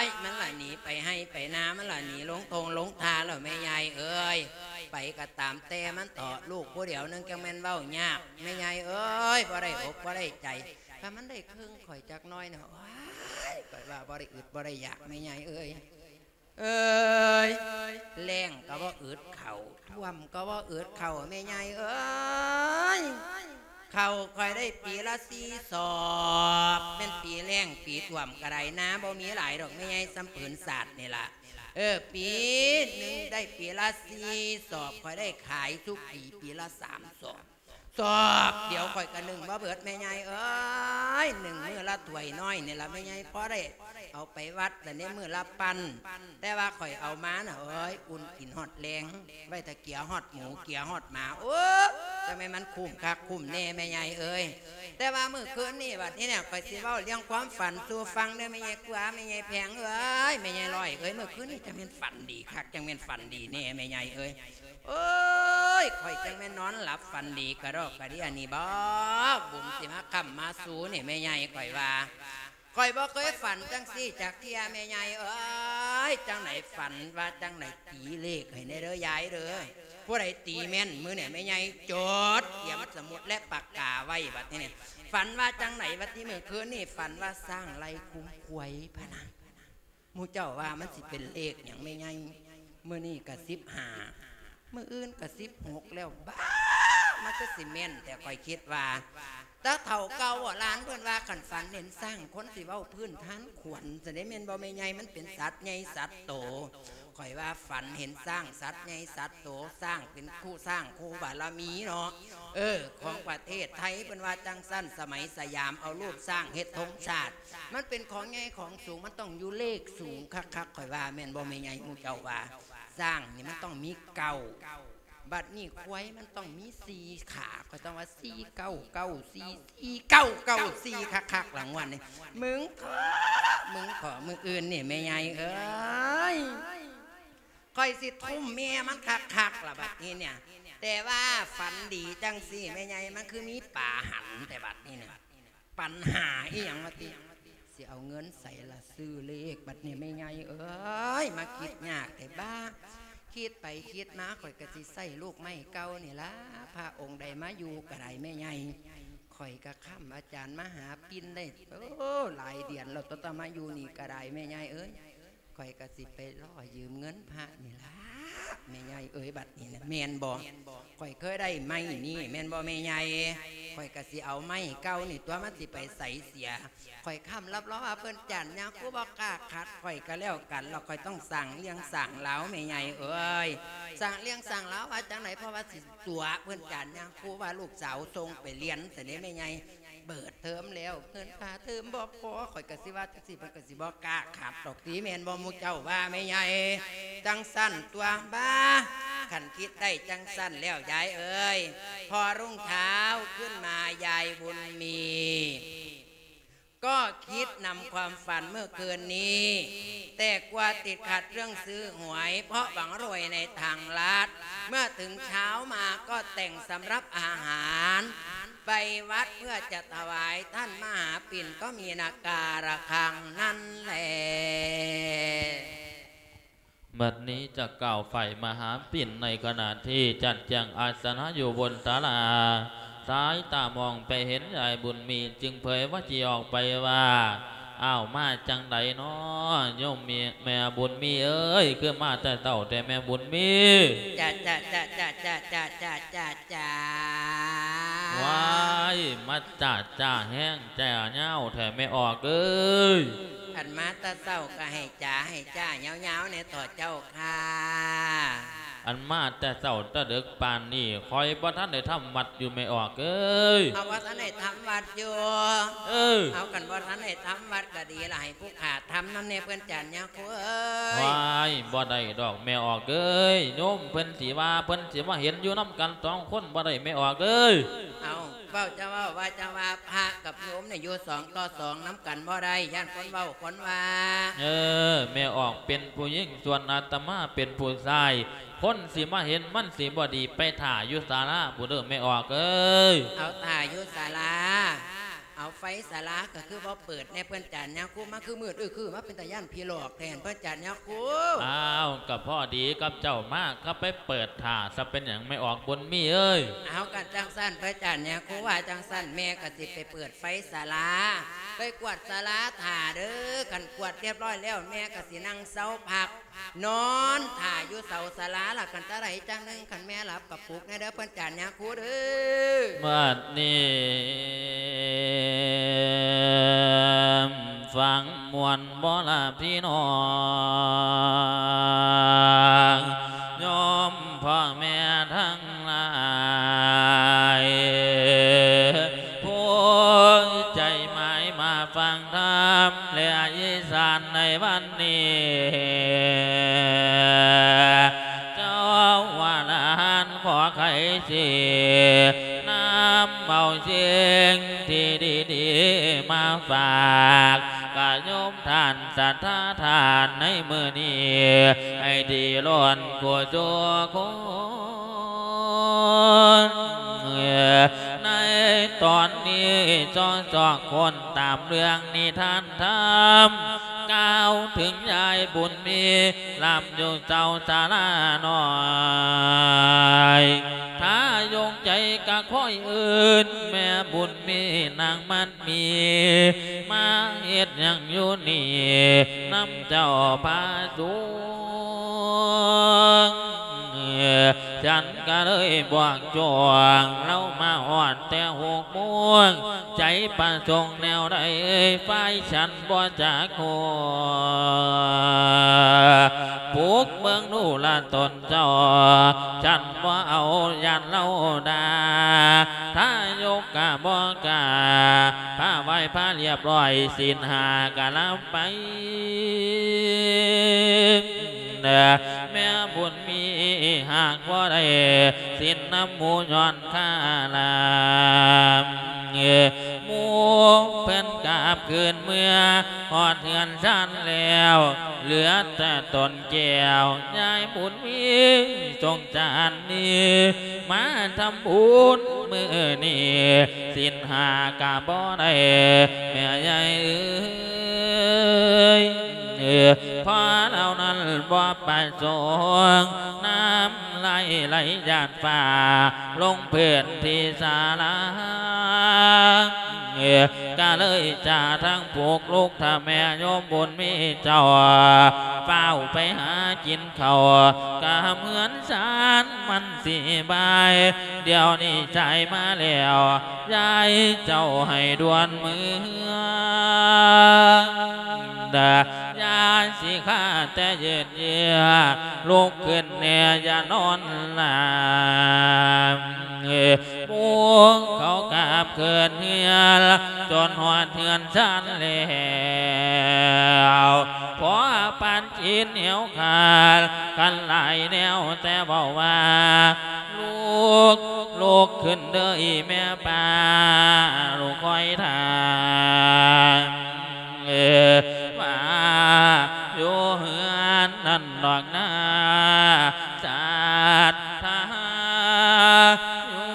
ຍ, ມັນລະໜີໄປໄຮ່ໄປນາ, ມັນລະໜີລົງທົ່ງລົງທ່າແລ້ວແມ່ໃຫຍ່ເອີຍ. ໄປກໍຕາມແຕ່ມັນເຖາະ ລູກຜູ້ດຽວໜຶ່ງຈັ່ງແມ່ນເວົ້າຍາກ ແມ່ໃຫຍ່ເອີຍ ບໍ່ໄດ້ອົກບໍ່ໄດ້ໃຈ. ຖ້າມັນໄດ້ເຄິ່ງຂ້ອຍຈັກໜ້ອຍນະ ໂອ້ຍ ຂ້ອຍວ່າບໍ່ໄດ້ອຶດບໍ່ໄດ້ຢາກ ແມ່ໃຫຍ່ເອີຍ. ເອີຍ ແລ້ງກໍບໍ່ອຶດເຂົ້າ ຖ້ວມກໍບໍ່ອຶດເຂົ້າ ແມ່ໃຫຍ່ເອີຍ. ເຂົ້າຂ້ອຍໄດ້ປີລະສີ່ສອບ ແມ່ນປີແລ້ງປີຖ້ວມກໍໄດ້ ນາບໍ່ມີຫຼາຍດອກ ແມ່ໃຫຍ່ ສ່ຳຜືນສາດນີ້ລະ. ເອີ ປີໜຶ່ງໄດ້ປີລະສີ່ສອບ ຂ້ອຍໄດ້ຂາຍທຸກປີ ປີລະສາມສອບ. ສອບດຽວຂ້ອຍກໍໜຶ້ງບໍ່ເບິດ ແມ່ໃຫຍ່ເອີຍ. ໜຶ້ງມື້ລະຖ້ວຍນ້ອຍນີ້ລະ ແມ່ໃຫຍ່ ພໍໄດ້ເອົາໄປວັດ ແຕ່ໃນມື້ລະປັ້ນ ແຕ່ວ່າຂ້ອຍເອົາມານະ ເອີຍ ອຸ່ນກິນຮອດແລງ ໄວ້ຖ້າເກຍຮອດໝູ ເກຍຮອດໝາ. ໂອ້ ຈັ່ງແມ່ນມັນຄຸ້ມຄັກຄຸ້ມແນ່ ແມ່ໃຫຍ່ເອີຍ. ແຕ່ວ່າມື້ຄືນນີ້ບັດນີ້ນະ ຂ້ອຍຊິເວົ້າເລື່ອງຄວາມຝັນສູ່ຟັງເດີ ແມ່ໃຫຍ່ກົວ ແມ່ໃຫຍ່ແພງເອີຍ ແມ່ໃຫຍ່ລອຍເອີຍ. ມື້ຄືນນີ້ຈັ່ງແມ່ນຝັນດີຄັກ ຈັ່ງແມ່ນຝັນດີແນ່ ແມ່ໃຫຍ່ເອີຍ. ໂອ້ຍ ຂ້ອຍຈັ່ງແມ່ນນອນຫຼັບຝັນດີກະດອກກະເດຍນີ້ບໍ ບຸນຊິມາຄ້ຳມາຊູນີ້ ແມ່ໃຫຍ່. ຂ້ອຍວ່າ ຂ້ອຍບໍ່ເຄີຍຝັນຈັ່ງຊີ້ຈັກເທື່ອ ແມ່ໃຫຍ່ເອີຍ. ຈັ່ງໃດ ຝັນວ່າຈັ່ງໃດ ຕີເລກໃຫ້ແດ່ເດີຍາຍເດີ. ຜູ້ໃດຕີແມ່ນມື້ນີ້ ແມ່ໃຫຍ່ ຈົດ ກຽມສະໝຸດແລະປາກກາໄວ້ບັດນີ້. ຝັນວ່າຈັ່ງໃດ ບັດນີ້ ມື້ຄືນນີ້ ຝັນວ່າຊ້າງໄລ່ຂຸມຄວາຍພະນະ. ໝູ່ເຈົ້າວ່າມັນຊິເປັນເລກຫຍັງ ແມ່ໃຫຍ່? ມື້ນີ້ກະສິບຫ້າ ມື້ອື່ນກະສິບຫົກແລ້ວ ບ້າ ມັນຄືຊິແມ່ນແທ້. ຂ້ອຍຄິດວ່າ ຕາເຖົ້າເກົ່າໂບລານເພິ່ນວ່າ ຄັນຝັນເຫັນຊ້າງ ຄົນຊິເວົ້າພື້ນທານຂວັນ ຊັ້ນເດ ແມ່ນບໍ່ແມ່ໃຫຍ່? ມັນເປັນສັດໃຫຍ່ສັດໂຕ. ຂ້ອຍວ່າຝັນເຫັນຊ້າງ ສັດໃຫຍ່ສັດໂຕ ຊ້າງເປັນຄູ່ ຊ້າງຄູ່ບາລະມີເນາະ ເອີ ຂອງປະເທດໄທ ເພິ່ນວ່າຈັ່ງຊັ້ນ. ສະໄໝສະຫຍາມເອົາຮູບຊ້າງເຮັດທົງຊາດ ມັນເປັນຂອງໃຫຍ່ຂອງສູງ ມັນຕ້ອງຢູ່ເລກສູງຄັກໆ. ຂ້ອຍວ່າແມ່ນບໍ່ແມ່ໃຫຍ່? ໝູ່ເຈົ້າວ່າຊ້າງນີ້ມັນຕ້ອງມີເກົ້າ ບັດນີ້ຄວາຍມັນຕ້ອງມີສີ່ຂາ ຂ້ອຍຕ້ອງວ່າສີ່ເກົ້າເກົ້າສີ່ ສີ່ເກົ້າເກົ້າສີ່ຄັກໆ ລາງວັນນີ້. ມຶງເຖາະ ມຶງເຖາະ ມື້ອື່ນນີ້ແມ່ໃຫຍ່ເອີຍ ຂ້ອຍຊິທຸ່ມແມ່ມັນຄັກໆ ລະບັດນີ້ເນຍ. ແຕ່ວ່າຝັນດີຈັ່ງຊີ້ແມ່ໃຫຍ່ ມັນຄືມີປາຫັນແທ້ບັດນີ້ເນຍ. ປັນຫາອີ່ຫຍັງວະຕິ ຊິເອົາເງິນໃສລະຊື້ເລກບັດນີ້ແມ່ໃຫຍ່ເອີຍ. ມາຄິດຍາກແທ້ບ້າ ຄິດໄປຄິດມາ ຂ້ອຍກະຊິໃຊ້ລູກໄມ້ເກົ່ານີ້ລະ. ພະອົງໃດມາຢູ່ກະໄດ້ແມ່ໃຫຍ່ ຂ້ອຍກະຄ້ຳອາຈານມະຫາປິ່ນໄດ້ ໂອ້ ຫຼາຍເດືອນແລ້ວ ຕັ້ງແຕ່ມາຢູ່ນີ້ກະໄດ້ແມ່ໃຫຍ່ເອີຍ. ຂ້ອຍກະຊິໄປລໍຢືມເງິນພະນີ້ລະ ແມ່ໃຫຍ່ເອີຍ. ບັດນີ້ນະ ແມ່ນບໍ່? ຂ້ອຍເຄີຍໄດ້ໄມ້ນີ້ ແມ່ນບໍ່ແມ່ໃຫຍ່? ຂ້ອຍກະຊິເອົາໄມ້ເກົ່ານີ້ຕົວະ ມັນຊິໄປໃສເສຍ. ຂ້ອຍຄ້ຳຮັບຮອງວ່າເພິ່ນຈານຍາຄູບໍ່ກ້າຂັດ ຂ້ອຍກະແລ້ວກັນ ແລ້ວຂ້ອຍຕ້ອງສ້າງເລື່ອງສ້າງລາວແມ່ໃຫຍ່ເອີຍ. ສ້າງເລື່ອງສ້າງລາວວ່າຈັ່ງໃດ? ເພາະວ່າຊິຕົວະເພິ່ນຈານຍາຄູວ່າລູກສາວສົ່ງໄປຮຽນຊັ້ນເດແມ່ໃຫຍ່. ເປີດເທີມແລ້ວ ເງິນຄ່າເທີມບໍ່ພໍ ຂ້ອຍກະຊິວ່າຈັ່ງຊີ້ ເພິ່ນກະຊິບໍ່ກ້າຂັດດອກຕິ ແມ່ນບໍ່? ໝູ່ເຈົ້າວ່າແມ່ໃຫຍ່ ຈັ່ງຊັ້ນຕົວະ. ບ້າ ຄັນຄິດໄດ້ຈັ່ງຊັ້ນແລ້ວຍາຍເອີຍ ພໍລຸງທ້າວຂຶ້ນມາ ຍາຍບຸນມີ ກໍຄິດນຳຄວາມຝັນເມື່ອຄືນນີ້ ແຕ່ກົວຕິດຂັດເລື່ອງຊື້ຫວຍ ເພາະຫວັງລວຍໃນທາງລັດ ເມື່ອເຖິງເຊົ້າມາກໍແຕ່ງສຳລັບອາຫານ ໄປວັດເພື່ອຈະຖວາຍທ່ານມະຫາປິ່ນ ກໍມີນາກາລະຄັງນັ້ນແຫຼະ. ບັດນີ້ຈະກ່າວຝ່າຍມະຫາປິ່ນ ໃນຂະນະທີ່ຈັດແຈງອາສະນະຢູ່ບົນສາລາ ສາຍຕາມອງໄປເຫັນຍາຍບຸນມີ ຈຶ່ງເຜີຍວ່າຈີອອກໄປວ່າ ອ້າວ ມາຈັ່ງໃດນໍໂຍມແມ່ບຸນມີເອີຍ ຄືມາແຕ່ເຊົ້າແທ້ແມ່ບຸນມີ? ຈະ ຈະ ຈະ ຈະ ຈະ ຈະ ຈະ ຈະ ຈະ ວ້າຍ ມາຈະຈະແຮງ ຈະຍາວແທ້ແມ່ອອກເອີຍ. ຄັນມາແຕ່ເຊົ້າກະໃຫ້ຈະໃຫ້ຈະຍາວໆແດ່ເຖາະເຈົ້າຄ່າ. ອັນມາແຕ່ເຊົ້າແຕ່ເດິກປານນີ້ ຂ້ອຍບໍ່ທັນໄດ້ທຳວັດຢູ່ແມ່ອອກເອີຍ. ເອົາ ບໍ່ທັນໄດ້ທຳວັດຢູ່? ເອີ ເອົາ ຄັນບໍ່ທັນໄດ້ທຳວັດກະດີລະ ໃຫ້ຜູ້ຂ້າທຳນຳແດ່ເພິ່ນຈານຍາຄູເອີຍ. ວ້າຍ ບໍ່ໄດ້ດອກແມ່ອອກເອີຍ ໂຍມເພິ່ນຊິວ່າ ເພິ່ນຊິມາເຫັນຢູ່ນຳກັນສອງຄົນບໍ່ໄດ້ແມ່ອອກເອີຍ. ເອົາ ເວົ້າຈະເວົ້າວ່າຈະວ່າ ພະກັບໂຍມນີ້ຢູ່ສອງຕໍ່ສອງນຳກັນບໍ່ໄດ້ ຢ້ານຄົນເວົ້າຄົນວ່າ. ເອີ ແມ່ອອກເປັນຜູ້ຍິງ ສ່ວນອາດຕະມາເປັນຜູ້ຊາຍ ຄົນຊິມາເຫັນມັນຊິບໍ່ດີ ໄປຖ້າຢູ່ສາລາພຸ້ນເດີແມ່ອອກເອີຍ. ເອົາ ຖ້າຢູ່ສາລາ. ເອົາໄຟສາລາກໍຄືບໍ່ເປີດແດ່ເພິ່ນຈານຍາຄູ ມາຄືມືດອຶຄື ມາເປັນຕາຢ້ານຜີຫຼອກແທ້ເພິ່ນຈານຍາຄູ. ອ້າວ ກໍພໍດີກັບເຈົ້າມາ ກໍໄປເປີດຖ້າຊະ ເປັນຫຍັງແມ່ອອກບຸນມີເອີຍ? ເອົາ ກໍຈັ່ງຊັ້ນເພິ່ນຈານຍາຄູ ວ່າຈັ່ງຊັ້ນແມ່ກໍຊິໄປເປີດໄຟສາລາ ໄປກວາດສາລາຖ້າເດີ້ ຄັນກວາດຮຽບຮ້ອຍແລ້ວ ແມ່ກໍຊິນັ່ງເຊົາພັກ ນອນຖ້າຢູ່ເສົາສາລາລະ ຄັນຕາໃດຈັ່ງໜຶ່ງ ຄັນແມ່ຫຼັບກໍປຸກແດ່ເດີ້ເພິ່ນຈານຍາຄູເດີ້. ບັດນີ້ຟັງມ່ວນບໍ່ລະພີ່ນ້ອງ ໂຍມພໍ່ແມ່ທັງ ຫຼາຍ ຜູ້ໃຈໝາຍມາຟັງທຳ ແລະ ອີສານໃນວັນນີ້ ເຈົ້າອະລະຫັນຂໍໄຂຊິນຳເອົາສິ່ງທີ່ດີໆມາຝາກ ກະໂຍມທ່ານສັດທາທ່ານໃນມື້ນີ້ ໃຫ້ດີລ້ນກູສູ່ຄົນ. ໃນຕອນນີ້ ຊອກຊອກຄົ້ນຕາມເລື່ອງນິທານທຳ ກ່າວເຖິງຍາຍບຸນມີ ລຳຢູ່ເສົາສາລານ້ອຍ ຖ້າຢົງໃຈກະຄອຍເອີ້ນ ແມ່ບຸນມີນາງມັນ ມີມາເຮັດຫຍັງຢູ່ນີ້ນຳເຈົ້າພະສົງ? ສັນກະເລີຍບອກຈວງລາວມາຮອດແຕ່ຫົກໂມງ ໃຈປະສົງແນວໃດ ຝ່າຍສັນບໍ່ຈັກຮູ້ ປຸກເບິ່ງດູລະຕົນ ເຈົ້າ ສັນບໍ່ເອົາຢ້ານລາວດ່າ ທາຍົກກະບໍ່ກ້າ ພາໄຫວ້ພາລຽບຮ້ອຍ ສິນຫ້າກະລະໄປ ແມ່ບຸນມີຫາກບໍ່ໄດ້ສິນນຳໝູຍ້ອນຄາລາມ ໝູເພິ່ນກັບຄືນເມືອ ຮອດເຮືອນຊານແລ້ວ ເຫຼືອແຕ່ຕົນແກ້ວ ຍາຍບຸນມີສົງສານນີ້ ມາທຳບຸນມື້ນີ້ ສິນຫ້າກະບໍ່ໄດ້ ແມ່ຍາຍເອີຍ ເພາະລາວນັ້ນບໍ່ປະສົງ ນ້ຳ ໄຫຼໄຫຼຢາດຟ້າລົງພື້ນທີ່ສາລາ ກະເລີຍຈາທັງປຸກລຸກ ຖ້າແມ່ໂຍມບຸນມີເຈົ້າ ຟ້າວໄປຫາກິນເຂົ້າ ກະເຮືອນຊານມັນຊິບາຍ ດຽວນີ້ສາຍມາແລ້ວ ຍາຍເຈົ້າໃຫ້ດ່ວນເມືອ ຢ່າຊິຄາແຕ່ຍືດ ເຍືອ ລຸກຂຶ້ນແດ່ຢ່ານອນຫຼາຍ ໝູເຂົາກັບຄືນເຮືອນ ຈົນຮອດເຮືອນຊານແລ້ວ ພໍປານຈີນຫຽວຂາດ ຄັນຫຼາຍແນວແຕ່ເວົ້າວ່າ ລຸກ ລຸກຂຶ້ນເດີອີແມ່ປ້າ ລູກຄອຍທ່າ ວ່າຢູ່ເຮືອນນັ້ນດອກນາ ສັດທາຢູ່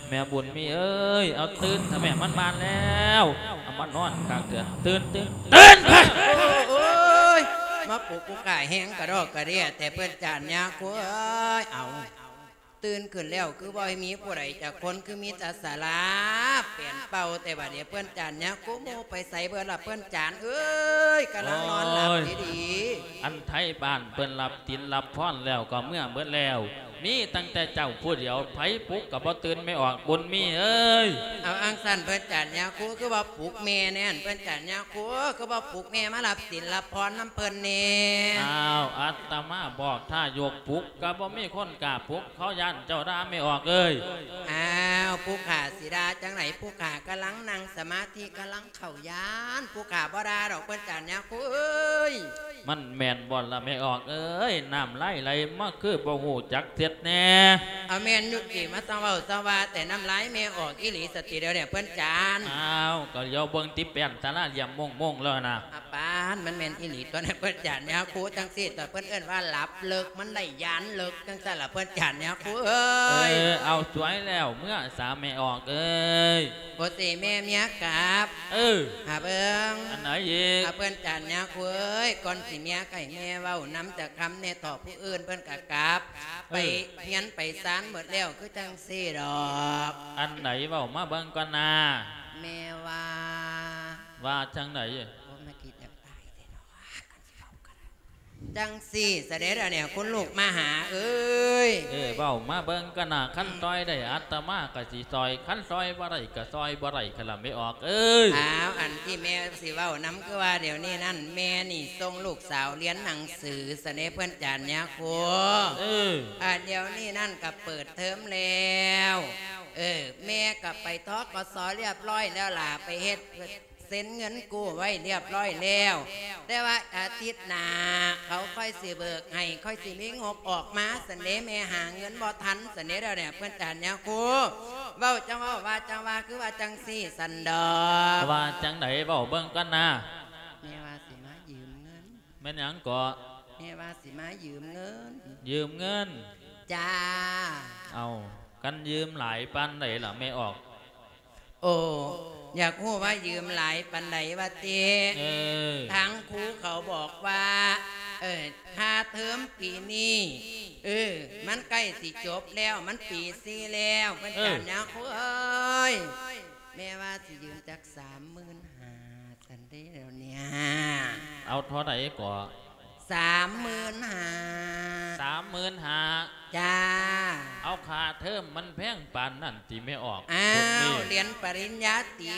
ແມ່ບຸນມີເອີຍ ເອົາຕື່ນຊະແມ່ ມັນບານແລ້ວ ເອົາມານອນຄັກເທື່ອ ຕື່ນ ຕື່ນ ຕື່ນ ໂອ້ຍ ມາປຸກກູຂ້າແຮງກະດອກກະເດຍແຕ່ເພິ່ນຈານຍາຄູເອີຍ ເອົາ ຕື່ນຂຶ້ນແລ້ວ ຄືບໍ່ມີຜູ້ໃດຈັກຄົນ ຄືມີແຕ່ສາລາແປນເປົ່າແຕ່ບາດນີ້ ເພິ່ນຈານຍາຄູ ໝູ່ໄປໃສເບິດລະເພິ່ນຈານເອີຍ ກຳລັງນອນຫຼັບດີໆ ອັນໄທບ້ານເພິ່ນລັບສິນລັບພອນແລ້ວກໍເມືອເບິດແລ້ວ ມີຕັ້ງແຕ່ເຈົ້າຜູ້ດຽວ ໃຜປຸກກໍບໍ່ຕື່ນ ແມ່ອອກບຸນມີເອີຍ. ເອົາ ອັງຊັ້ນເພິ່ນຈານຍາຄູ ຄືບໍ່ປຸກແມ່ແດ່ ເພິ່ນຈານຍາຄູ ຄືບໍ່ປຸກແມ່ມາຮັບສິນຮັບພອນນຳເພິ່ນແດ່? ອ້າວ ອາດຕະມາບອກທ່າຍົກປຸກ ກໍບໍ່ມີຄົນກ້າປຸກ ເຂົາຢ້ານເຈົ້າດ່າແມ່ອອກເອີຍ. ອ້າວ ຜູ້ຂ້າຊິດ່າຈັ່ງໃດ ຜູ້ຂ້າກຳລັງນັ່ງສະມາທິ ກຳລັງເຂົ້າຍານ ຜູ້ຂ້າບໍ່ດ່າດອກ ເພິ່ນຈານຍາຄູເອີຍ. ມັນແມ່ນບໍ່ລະແມ່ອອກເອີຍ ນ້ຳລາຍໄຫຼມາຄືບໍ່ຮູ້ຈັກເສຍ ແນ່. ເອົາແມ່ນຢູ່ຕິ ມາຊະເວົ້າຊະວ່າ ແຕ່ນ້ຳລາຍແມ່ອອກອີ່ຫຼີສະຕິດຽວນີ້ເພິ່ນຈານ. ອ້າວ ກໍລຽວເບິ່ງຕິ ແປ້ນສາລາຫຼ່ຽມໂມງໆແລ້ວນະ. ອາປານ ມັນແມ່ນອີ່ຫຼີຕົວະເພິ່ນຈານຍາຄູ. ຈັ່ງຊີ້ຕົວະ ເພິ່ນເອີ້ນວ່າຫຼັບເລິກ ມັນໄດ້ຍານເລິກ ຈັ່ງຊັ້ນລະເພິ່ນຈານຍາຄູເອີຍ. ເອີ ເອົາສວຍແລ້ວ ເມືອສາແມ່ອອກເອີຍ. ໂອເຊ ແມ່ເມຍກັບ. ເອີ ຫາເບິ່ງ ອັນໃດອີກ? ຫາເພິ່ນຈານຍາຄູເອີຍ ກ່ອນຊິເມຍໃຫ້ແມ່ເວົ້ານຳຈັກຄຳແດ່ເຖາະ. ຜູ້ອື່ນເພິ່ນກໍກັບ ເອີ ໄປຮຽນໄປຊານໝົດແລ້ວ ຄືຈັ່ງຊີ້ດອກ. ອັນໃດເວົ້າມາເບິ່ງກ່ອນນາ. ແມ່ວ່າ ວ່າຈັ່ງໃດ? ໂອ້ ມາຄິດຢາກຕາຍແທ້ເນາະ ຄັນຊິເວົ້າກັນ. ຈັ່ງຊີ້ສະເດັດອັນນີ້ ຄຸນລູກມະຫາເອີຍ. ເອີ ເວົ້າມາເບິ່ງກະນະ ຄັນຊ່ອຍໄດ້ອາດຕະມາກະຊິຊ່ອຍ ຄັນຊ່ອຍບໍ່ໄດ້ກະຊ່ອຍບໍ່ໄດ້ ຄັນລະແມ່ອອກເອີຍ. ອ້າວ ອັນທີ່ແມ່ຊິເວົ້ານຳ ຄືວ່າດຽວນີ້ນັ້ນ ແມ່ນີ້ສົ່ງລູກສາວຮຽນໜັງສື ສະເດັດເພິ່ນຈານຍາຄູ. ເອີ ອັນດຽວນີ້ນັ້ນກະເປີດເທີມແລ້ວ. ເອີ ແມ່ກະໄປ ທກສ ລຽບຮ້ອຍແລ້ວລະ ໄປເຮັດ ເຊັນເງິນກູ້ໄວ້ລຽບຮ້ອຍແລ້ວ ແຕ່ວ່າອາທິດໜ້າເຂົາຄ່ອຍຊິເບີກໃຫ້ ຄ່ອຍຊິມີງົບອອກມາ ຊັ້ນເດ. ແມ່ຫາເງິນບໍ່ທັນ ຊັ້ນເດ ດຽວນີ້ເພິ່ນຈານຍາຄູ. ເວົ້າຈັ່ງເວົ້າ ວ່າຈັ່ງວ່າ ຄືວ່າຈັ່ງຊີ້ຊັ້ນດອກ. ວ່າຈັ່ງໃດ ເວົ້າເບິ່ງກ່ອນນາ. ແມ່ວ່າຊິມາຢືມເງິນ. ແມ່ນຫຍັງເກາະ? ແມ່ວ່າຊິມາຢືມເງິນ. ຢືມເງິນ? ຈ້າ. ເອົ້າ ຄັນຢືມຫຼາຍປານໃດລະແມ່ອອກ? ໂອ້ ຢາກຮູ້ວ່າຢືມຫຼາຍປານໃດວ່າຕິ? ເອີ ທາງຄູເຂົາບອກວ່າ ເອີ ຄ່າເທີມປີນີ້ ເອີ ມັນໃກ້ຊິຈົບແລ້ວ ມັນປີສີ່ແລ້ວ ເພິ່ນ ເອີ ຈານຍາຄູເອີຍ. ແມ່ວ່າຊິຢືມຈັກສາມໝື່ນຫ້າ ຊັ້ນເດ ດຽວນີ້. ເອົາເທົ່າໃດເກາະ? ສາມໝື່ນຫ້າ. ສາມໝື່ນຫ້າ? ຈ້າ. ເອົາ ຄ່າເທີມມັນແພງປານນັ້ນຕິແມ່ອອກ? ອ້າວ ບຸນມີ ຮຽນປະລິນຍາຕີ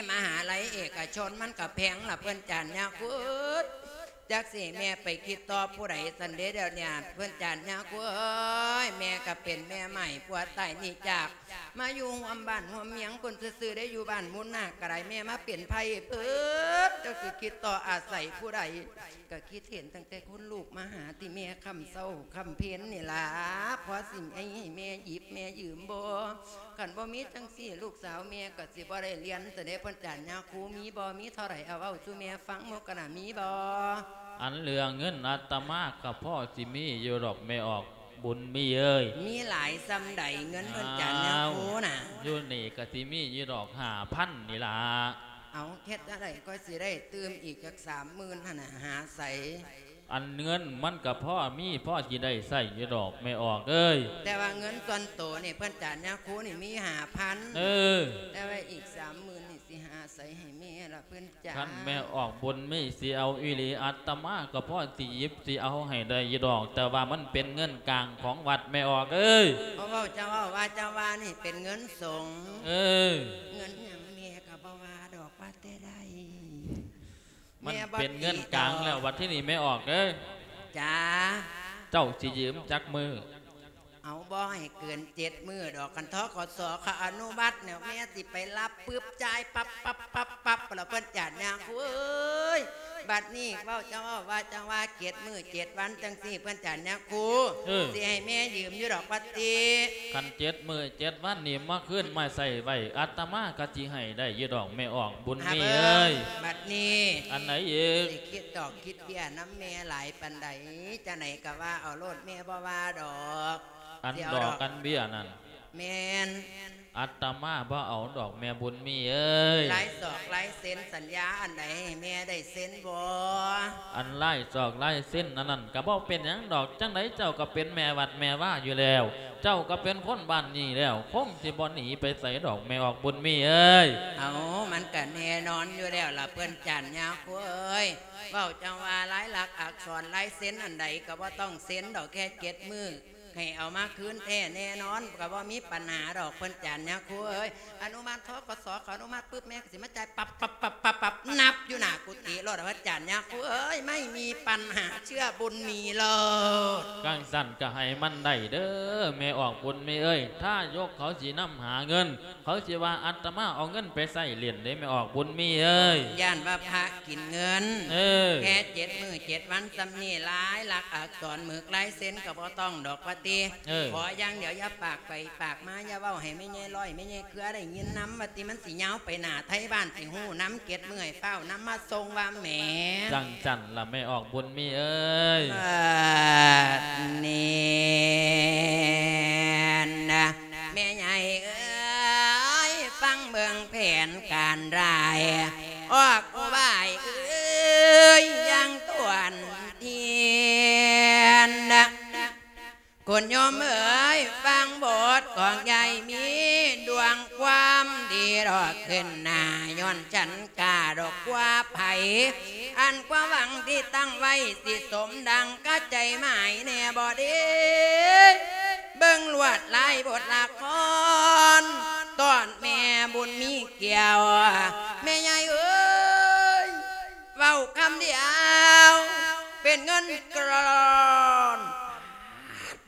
ມະຫາໄລເອກະຊົນມັນກະແພງລະເພິ່ນຈານຍາຄູ. ຈັກຊິແມ່ໄປຄິດຕໍ່ຜູ້ໃດຊັ້ນເດ ດຽວນີ້ເພິ່ນຈານຍາຄູເອີຍ. ແມ່ກະເປັນແມ່ໃໝ່ ຜົວຕາຍໜີຈາກ ມາຢູ່ຮ່ວມບ້ານຮ່ວມເມືອງພຸ້ນຊື່ໆ ໄດ້ຢູ່ບ້ານມູນນາກະໄດ້ ແມ່ມາເປັນໄພເບີດ ຈັກຊິຄິດຕໍ່ອາໄສຜູ້ໃດ. ກະຄິດເຫັນຕັ້ງແຕ່ຄຸນລູກມະຫາ ທີ່ແມ່ຄ່ຳເຊົ້າຄ່ຳເພັນນີ້ລະ ພໍຊິໃຫ້ແມ່ຫຍິບແມ່ຢືມບໍ່? ຄັນບໍ່ມີຈັ່ງຊີ້ ລູກສາວແມ່ກະຊິບໍ່ໄດ້ຮຽນ ຊັ້ນເດ ເພິ່ນຈານຍາຄູ. ມີບໍ່? ມີເທົ່າໃດ ເອົາເວົ້າສູ່ແມ່ຟັງໝູ່ກະນະ ມີບໍ່? ອັນເລື່ອງເງິນອາດຕະມາກະພໍຊິມີຢູ່ດອກແມ່ອອກ ບຸນມີເອີຍ. ມີຫຼາຍສ່ຳໃດເງິນເພິ່ນຈານຍາຄູນະ? ອ້າວ ຢູ່ນີ້ກະຊິມີຢູ່ດອກຫ້າພັນນີ້ລະ. ເອົາ ເຮັດຈັ່ງໃດກໍຊິໄດ້ຕື່ມອີກຈັກສາມໝື່ນຫັ້ນນະ ຫາໃສ? ອັນເງິນມັນກະພໍມີ ພໍຊິໄດ້ໃຊ້ຢູ່ດອກແມ່ອອກເອີຍ. ແຕ່ວ່າເງິນສ່ວນໂຕນີ້ ເພິ່ນຈານຍາຄູນີ້ມີຫ້າພັນ. ເອີ ແຕ່ວ່າອີກສາມໝື່ນນີ້ຊິຫາໃສໃຫ້ແມ່ລະເພິ່ນ ຈ້າ. ຄັນແມ່ອອກບຸນມີຊິເອົາອີ່ຫຼີ ອາດຕະມາກໍພໍຊິຫຍິບຊິເອົາໃຫ້ໄດ້ຢູ່ດອກ ແຕ່ວ່າມັນເປັນເງິນກາງຂອງວັດແມ່ອອກເອີຍ. ເພາະເວົ້າເຈົ້າເວົ້າວ່າເຈົ້າວ່ານີ້ເປັນເງິນສົງ. ເອີ ເງິນຫຍັງແມ່ກໍບໍ່ວ່າດອກ ວ່າແຕ່ໄດ້. ມັນເປັນເງິນກາງແລ້ວ ບັດທີນີ້ແມ່ອອກເອີຍ. ຈ້າ. ເຈົ້າຊິຢືມຈັກມື້? ເອົາ ບໍ່ໃຫ້ເກີນເຈັດມື້ດອກ ຄັນ ທກສ ເຂົາອະນຸມັດແລ້ວ ແມ່ຊິໄປຮັບປຶບ ຈ່າຍປັບ ປັບ ປັບ ປັບ ແລ້ວເພິ່ນຈານຍາຄູເອີຍ. ບັດນີ້ເວົ້າ ເຈົ້າເວົ້າວ່າ ຈັ່ງວ່າເຈັດມື້ເຈັດວັນຈັ່ງຊີ້ ເພິ່ນຈານຍາຄູ ເອີ ຊິໃຫ້ແມ່ຢືມຢູ່ດອກ ວ່າຕິ. ຄັນເຈັດມື້ເຈັດວັນນີ້ມາຄືນມາໃຊ້ໄວ້ ອາດຕະມາກໍຊິໃຫ້ໄດ້ຢູ່ດອກ ແມ່ອອກບຸນມີເອີຍ. ບັດນີ້ ອັນໃດອີກ? ຊິຄິດດອກ ຄິດເບ້ຍນຳແມ່ຫຼາຍປານໃດ ຈັ່ງໃດກໍວ່າເອົາໂລດ ແມ່ບໍ່ວ່າດອກ. ອັນດອກ ອັນເບ້ຍນັ້ນ ແມ່ນ ອາດຕະມາບໍ່ເອົາດອກ ແມ່ບຸນມີເອີຍ. ລາຍສອກລາຍເຊັນສັນຍາອັນໃດ ໃຫ້ແມ່ໄດ້ເຊັນບໍ່? ອັນລາຍສອກລາຍເຊັນອັນນັ້ນກໍບໍ່ເປັນຫຍັງດອກ ຈັ່ງໃດເຈົ້າກໍເປັນແມ່ວັດແມ່ວາຢູ່ແລ້ວ ເຈົ້າກໍເປັນຄົນບ້ານນີ້ແລ້ວ ຄົງຊິບໍ່ໜີໄປໃສດອກ ແມ່ອອກບຸນມີເອີຍ. ເອົາ ມັນກໍແນ່ນອນຢູ່ແລ້ວລະ ເພິ່ນຈານຍາຄູເອີຍ. ເວົ້າຈັ່ງວ່າລາຍລັກອັກສອນລາຍເຊັນອັນໃດກໍບໍ່ຕ້ອງເຊັນດອກ ແຄ່ເຈັດມື້ ໃຫ້ເອົາມາຄືນແທ້ແນ່ນອນ ກໍບໍ່ມີປັນຫາດອກ ເພິ່ນຈານຍາຄູເອີຍ. ອະນຸມັດ ທກສ ເຂົາອະນຸມັດປຶບ ແມ່ກໍຊິມາຈ່າຍປັບ ປັບ ປັບ ປັບ ປັບ ນັບຢູ່ໜ້າກຸຕິໂລດ ເພິ່ນຈານຍາຄູເອີຍ ໄມ່ມີປັນຫາ ເຊື່ອບຸນມີໂລດ. ຈັ່ງຊັ້ນກໍໃຫ້ມັນໄດ້ເດີ ແມ່ອອກບຸນມີເອີຍ. ທາຍົກເຂົາຊິນຳຫາເງິນ ເຂົາຊິວ່າອາດຕະມາເອົາເງິນໄປໃຊ້ຫຼິ້ນເດ້ ແມ່ອອກບຸນມີເອີຍ. ຢ້ານວ່າພະກິນເງິນ. ເອີ ແຄ່ເຈັດມື້ເຈັດວັນສ່ຳນີ້ ລາຍລັກອັກສອນໝຶກລາຍເຊັນກໍບໍ່ຕ້ອງດອກ ວ່າ ຕິ ເອີ ຂໍຢ່າງດຽວ ຢ່າປາກໄປປາກມາ ຢ່າເວົ້າໃຫ້ແມ່ໃຫຍ່ຮ້ອຍ ແມ່ໃຫຍ່ເຄືອໄດ້ຍິນນຳ ວ່າຕິ ມັນຊິຍາວໄປໜ້າໄທບ້ານ ຊິຮູ້ນຳ ເຈັດມື້ໃຫ້ຟ້າວນຳມາສົ່ງວ່າແໝ. ຈັ່ງຊັ້ນລະແມ່ອອກບຸນມີເອີຍ. ບາດນີ້ນະ ແມ່ໃຫຍ່ເອີຍ ຟັງເບິ່ງແຜນການຮ້າຍ ອອກອຸບາຍເອີຍ ຢ່າງທວນທຽນນະ. ຄຸນໂຍມເອີຍ ຟັງບົດຂອງຍາຍມີດວງຄວາມດີດອກຂຶ້ນໜ້າ ຍ້ອນສັນກາດອກກວ່າໃຜ ອັນຄວາມຫວັງທີ່ຕັ້ງໄວ້ ຊິສົມດັ່ງກະໃຈໝາຍແດ່ບໍ່ເດ? ເບິ່ງລວດລາຍບົດລະຄອນ ຕອນແມ່ບຸນມີແກ້ວ ແມ່ໃຫຍ່ເອີຍ ເວົ້າຄຳດຽວ ເປັນເງິນກ້ອນ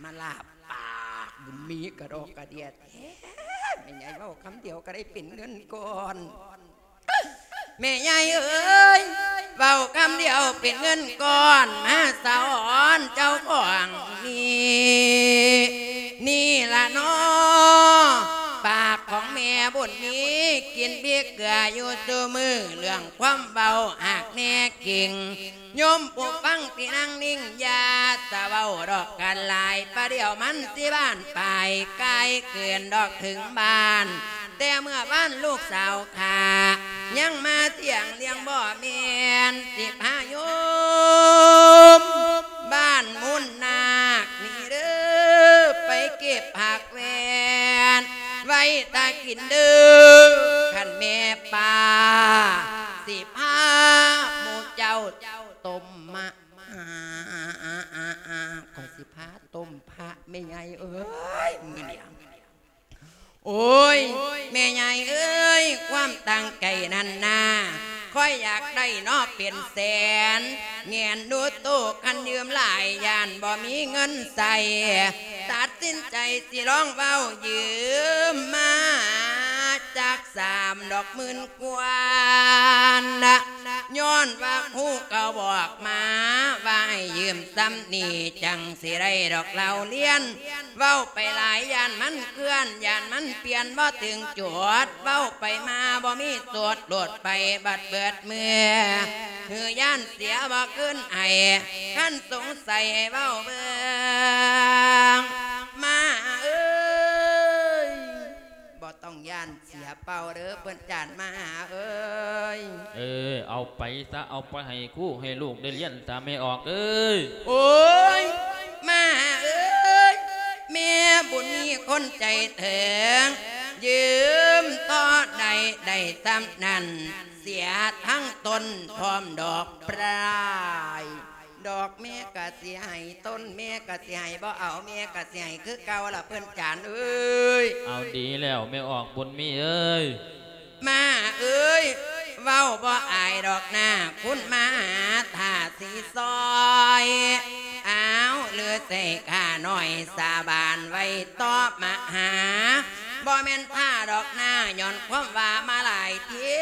ມາລາບປາກບຸນມີກະດອກກະເດຍແທ້ ແມ່ໃຫຍ່ເວົ້າຄຳດຽວກະໄດ້ເປັນເງິນກ້ອນ. ແມ່ໃຫຍ່ເອີຍ ເວົ້າຄຳດຽວເປັນເງິນກ້ອນ ມາສະອອນເຈົ້າຂອງນີ້ ນີ້ລະນໍ ປາກຂອງແມ່ບຸນມີ ກິນພິກເກືອຢູ່ສູ່ມື້ ເລື່ອງຄວາມເວົ້າຫາກແນ່ຈິງ ໂຍມຜູ້ຟັງທີ່ນັ່ງນິ່ງ ຢ່າສະເວົ້າດອກກັນຫຼາຍ ປະດຽວມັນຊິບານປາຍ ກາຍເກີນດອກເຖິງບ້ານ ແຕ່ເມື່ອວານລູກສາວຂ້າ ຍັງມາທ່ຽງລຽງບໍ່ແມ່ນ ຊິພາໂຍມບ້ານມູນນາກນີ້ເດີ ໄປເກັບຜັກແວ່ນ ໄວ້ຖ້າກິນເດີ ຄັນແມ່ປ້າ ຊິພາໝູ່ເຈົ້າຕົ້ມມະ ຂ້ອຍຊິພາຕົ້ມພະ ແມ່ໃຫຍ່ເອີຍ ມື້ນີ້. ໂອ້ຍ ແມ່ໃຫຍ່ເອີຍ ຄວາມຕັ້ງໃຈນັ້ນນາ ຂ້ອຍຢາກໄດ້ເນາະເປັນແສນ ແງນດູໂຕ ຄັນຢືມຫຼາຍຢ້ານບໍ່ມີເງິນໃຊ້ ຕັດສິນໃຈຊິລອງເວົ້າຢືມມາຈັກສາມດອກໝື່ນກວ່ານະ ຍ້ອນວ່າຄູເກົ່າບອກມາ ວ່າໃຫ້ຢືມສ່ຳນີ້ ຈັ່ງຊິໄດ້ດອກເລົ່າລຽນ ເວົ້າໄປຫຼາຍຢ້ານມັນເຄື່ອນ ຢ້ານມັນປ່ຽນບໍ່ເຖິງຈຸດ ເວົ້າໄປມາບໍ່ມີສຸດ ໂລດໄປບັດເບິດເມື່ອ ຄືຢ້ານເສຍບໍ່ຄືນໃຫ້ ຄັນສົງໄສໃຫ້ເວົ້າເບິ່ງ ມາເອີຍ ບໍ່ຕ້ອງຢ້ານເສຍເປົ່າເດີເພິ່ນຈານມະຫາເອີຍ. ເອີ ເອົາໄປຊະ ເອົາໄປໃຫ້ຄູໃຫ້ລູກໄດ້ລຽນຊະ ແມ່ອອກເອີຍ. ໂອ້ຍ ມະຫາເອີຍ ແມ່ບຸນມີຄົນໃຈເຖິງ ຢືມຕໍ່ໄດ້ ໄດ້ສ່ຳນັ້ນ ເສຍທັງຕົ້ນພ້ອມດອກປາຍ. ດອກແມ່ກະຊິໃຫ້ ຕົ້ນແມ່ກະຊິໃຫ້ ບໍ່ເອົາແມ່ກະຊິໃຫ້ຄືເກົ່າລະເພິ່ນຈານເອີຍ. ເອົາ ດີແລ້ວ ແມ່ອອກບຸນມີເອີຍ. ມະຫາເອີຍ ເວົ້າບໍ່ອາຍດອກນາ ຄຸນມະຫາຖ້າຊິຊ່ອຍ. ອ້າວ ຫຼືໃສ່ຂ້ານ້ອຍສາບານໄວ້ຕໍ່ມະຫາ ບໍ່ແມ່ນຖ້າດອກນາ ຍ້ອນຄວາມວ່າມາຫຼາຍທີ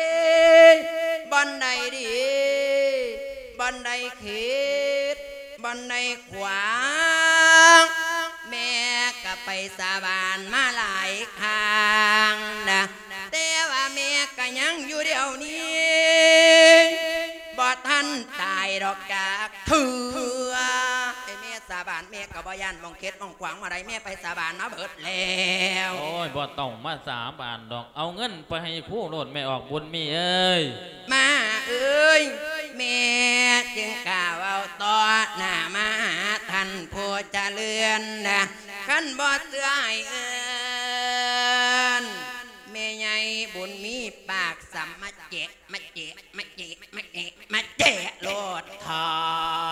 ບ່ອນໃດດີ ບ່ອນໃດເຂດ ບ່ອນໃດຂວາງ ແມ່ກະໄປສາບານມາຫຼາຍຄັ້ງນະ ແຕ່ວ່າແມ່ກະຍັງຢູ່ດຽວນີ້ ບໍ່ທັນຕາຍດອກຈັກເທື່ອ. ແຕ່ແມ່ສາບານ ແມ່ກະບໍ່ຢ້ານໝ່ອງເຂດໝ່ອງຂວາງ ໝ່ອງໃດແມ່ໄປສາບານມາເບິດແລ້ວ. ໂອ້ຍ ບໍ່ຕ້ອງມາສາບານດອກ ເອົາເງິນໄປໃຫ້ຄູໂລດ ແມ່ອອກບຸນມີເອີຍ. ມະຫາເອີຍ ແມ່ຈຶ່ງກ້າເວົ້າຕໍ່ໜ້າມະຫາທ່ານຜູ້ຈະເລີນນະ ຄັນບໍ່ເຊື່ອໃຫ້ເອີ້ນແມ່ໃຫຍ່ບຸນມີປາກສຳມະແຈະ ມະແຈະ ມະແຈະ ມະແຈະ ມະແຈະໂລດເຖາ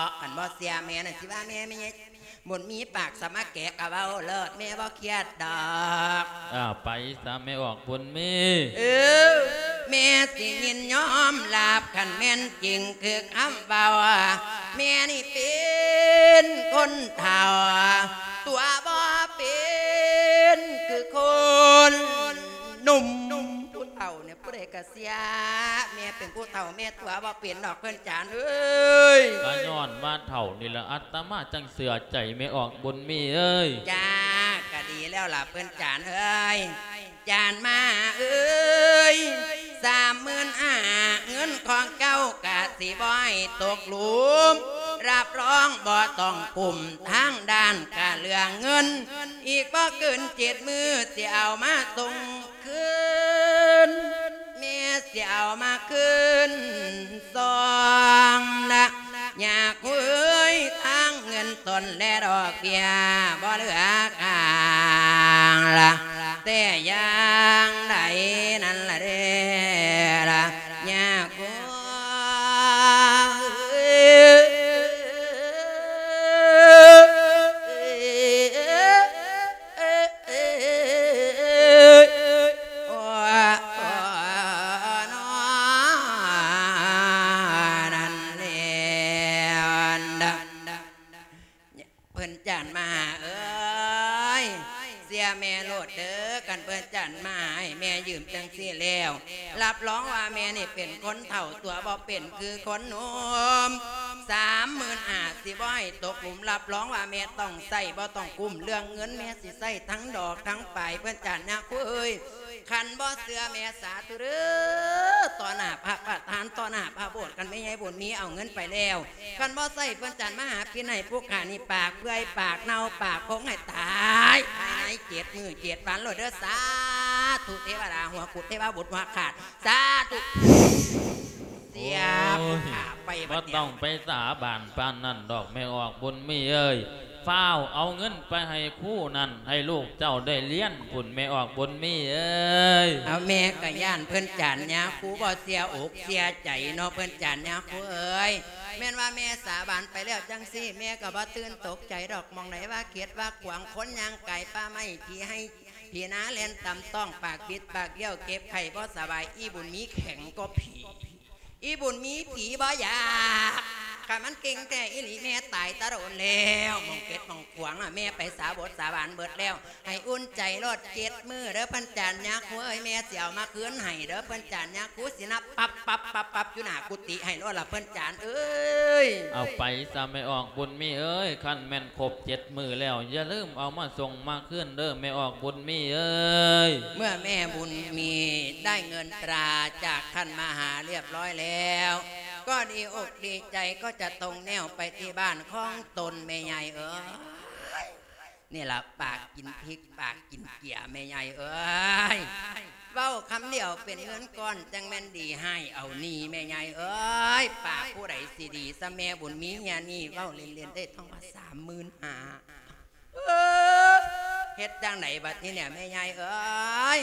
ະ. ຄັນບໍ່ເຊື່ອແມ່ນັ້ນ ຊິວ່າແມ່ ແມ່ໃຫຍ່ ບຸນມີປາກສາມາແກະກະເວົ້າໂລດ ແມ່ບໍ່ຄຽດດອກ. ອ້າວ ໄປສາ ແມ່ອອກບຸນມີ. ເອີ ແມ່ຊິຍິນຍອມຮັບ ຄັນແມ່ນຈິງຄືຄຳເວົ້າ. ແມ່ນີ້ເປັນຄົນເຖົ້າ ຕົວບໍ່ເປັນຄືຄົນໜຸ່ມ. ຜູ້ເຖົ້ານີ້ ຜູ້ໃດກະ ເສຍ ແມ່ເປັນຜູ້ເຖົ້າ ແມ່ຕົວະບໍ່ເປັນດອກເພິ່ນຈານເອີຍ. ກະຍ້ອນວ່າເຖົ້ານີ້ລະ ອາດຕະມາຈັ່ງເຊື່ອໃຈແມ່ອອກບຸນມີເອີຍ. ຈ້າ ກະດີແລ້ວລະເພິ່ນຈານເອີຍ. ຈານມາເອີຍ ສາມໝື່ນຫ້າ ເງິນຂອງເຈົ້າກະຊິບໍ່ໃຫ້ຕົກຫຼຸມ ຮັບຮອງບໍ່ຕ້ອງກຸ້ມ ທາງດ້ານກະເລື່ອງເງິນ ອີກບໍ່ເກີນເຈັດມື້ ຊິເອົາມາສົ່ງຄືນ ແມ່ຊິເອົາມາຄືນ ສອງນະ ຍາຄູເອີຍ ທັງເງິນຕົ້ນແລະດອກເບ້ຍບໍ່ເຫຼືອຄ້າງລະ ແຕ່ຢ່າງໃດນັ້ນລະເດ້ລະ ຍາຄູເອີຍ. ໂອ້ ນອ ນັ້ນແລ້ວ ເພິ່ນຈານມະຫາເອີຍ ເຊື່ອແມ່ໂລດເດີ ຄັນເພິ່ນຈານມະຫາໃຫ້ແມ່ຢືມຈັ່ງຊີ້ແລ້ວ ຮັບຮອງວ່າແມ່ນີ້ເປັນຄົນເຖົ້າ ຕົວະບໍ່ເປັນຄືຄົນໜຸ່ມ. ສາມໝື່ນຫ້າ ຊິບໍ່ໃຫ້ຕົກຫຼຸມ ຮັບຮອງວ່າແມ່ຕ້ອງໃຊ້ ບໍ່ຕ້ອງກຸ້ມເລື່ອງເງິນ ແມ່ຊິໃຊ້ທັງດອກທັງປາຍ ເພິ່ນຈານຍາຄູເອີຍ. ຄັນບໍ່ເຊື່ອແມ່ ສາທຸເດີ ຕໍ່ໜ້າພະປະທານ ຕໍ່ໜ້າພະໂບດ ຄັນແມ່ໃຫຍ່ບຸນມີເອົາເງິນໄປແລ້ວ ຄັນບໍ່ໃຊ້ ເພິ່ນຈານມະຫາພິນໃຫ້ຜູ້ຂ້ານີ້ ປາກເປື່ອຍ ປາກເນົ່າ ປາກຄົງໃຫ້ຕາຍພາຍໃນເຈັດມື້ເຈັດວັນໂລດເດີ ສາທຸ ເທວະດາຫົວຂຸດ ເທວະບຸດຫົວຂາດ ສາທຸ. ເສຍ ໂອ້ຍ ຜູ້ຂ້າໄປບັດນີ້ ບໍ່ຕ້ອງໄປສາບານປານນັ້ນດອກ ແມ່ອອກບຸນມີເອີຍ. ຟ້າວເອົາເງິນໄປໃຫ້ຄູນັ້ນ ໃຫ້ລູກເຈົ້າໄດ້ຮຽນພຸ້ນ ແມ່ອອກບຸນມີເອີຍ. ເອົາ ແມ່ກະຢ້ານເພິ່ນຈານຍາຄູບໍ່ເຊື່ອອົກເຊື່ອໃຈເນາະ ເພິ່ນຈານຍາຄູເອີຍ. ແມ່ນວ່າແມ່ສາບານໄປແລ້ວຈັ່ງຊີ້ ແມ່ກະບໍ່ຕື່ນຕົກໃຈດອກ ໝ່ອງໃດວ່າເຂດວ່າຂວາງ ຄົນຍ່າງກາຍປ່າໄມ້ ຜີໄຮ່ ຜີນາແລ່ນຕຳຕ້ອງ ປາກບິດປາກບ້ຽວ ເຈັບໄຂ້ບໍ່ສະບາຍ ອີບຸນມີແຂງກວ່າຜີ ອີບຸນມີຜີບໍ່ຢາກ ຄັນມັນເກັ່ງແທ້ອີ່ຫຼີແມ່ຕາຍຕະດົນແລ້ວ. ໝ່ອງເຂດໝ່ອງຂວາງນະ ແມ່ໄປສາບົດສາບານເບິດແລ້ວ ໃຫ້ອຸ່ນໃຈໂລດ ເຈັດມື້ເດີ ເພິ່ນຈານຍາຄູເອີຍ ແມ່ຊິເອົາມາຄືນໃຫ້ເດີ ເພິ່ນຈານຍາຄູຊິນັບປັບປັບປັບປັບຢູ່ໜ້າກຸຕິໃຫ້ໂລດລະ ເພິ່ນຈານເອີຍ. ເອົາໄປຊະແມ່ອອກບຸນມີເອີຍ ຄັນແມ່ນຄົບເຈັດມື້ແລ້ວ ຢ່າລືມເອົາມາສົ່ງມາຄືນເດີ ແມ່ອອກບຸນມີເອີຍ. ເມື່ອແມ່ບຸນມີໄດ້ເງິນຕາຈາກທ່ານມະຫາຮຽບຮ້ອຍແລ້ວ ກໍດີອົກດີໃຈ ກໍຈະຕົງແນວໄປທີ່ບ້ານຂອງຕົນ ແມ່ໃຫຍ່ເອີຍ. ນີ້ລະ ປາກກິນພິກ ປາກກິນເກືອ ແມ່ໃຫຍ່ເອີຍ. ເວົ້າຄຳດຽວເປັນເງິນກ້ອນ ຈັ່ງແມ່ນດີ ໃຫ້ເອົາໜີ້ ແມ່ໃຫຍ່ເອີຍ. ປາກຜູ້ໃດຊິດີຊະ ແມ່ບຸນມີເຮຍນີ້ ເວົ້າເລ່ນໆ ໄດ້ທ້ອງວ່າສາມໝື່ນຫ້າ. ເອີ ເຮັດຈັ່ງໃດບັດນີ້ເນຍ ແມ່ໃຫຍ່ເອີຍ.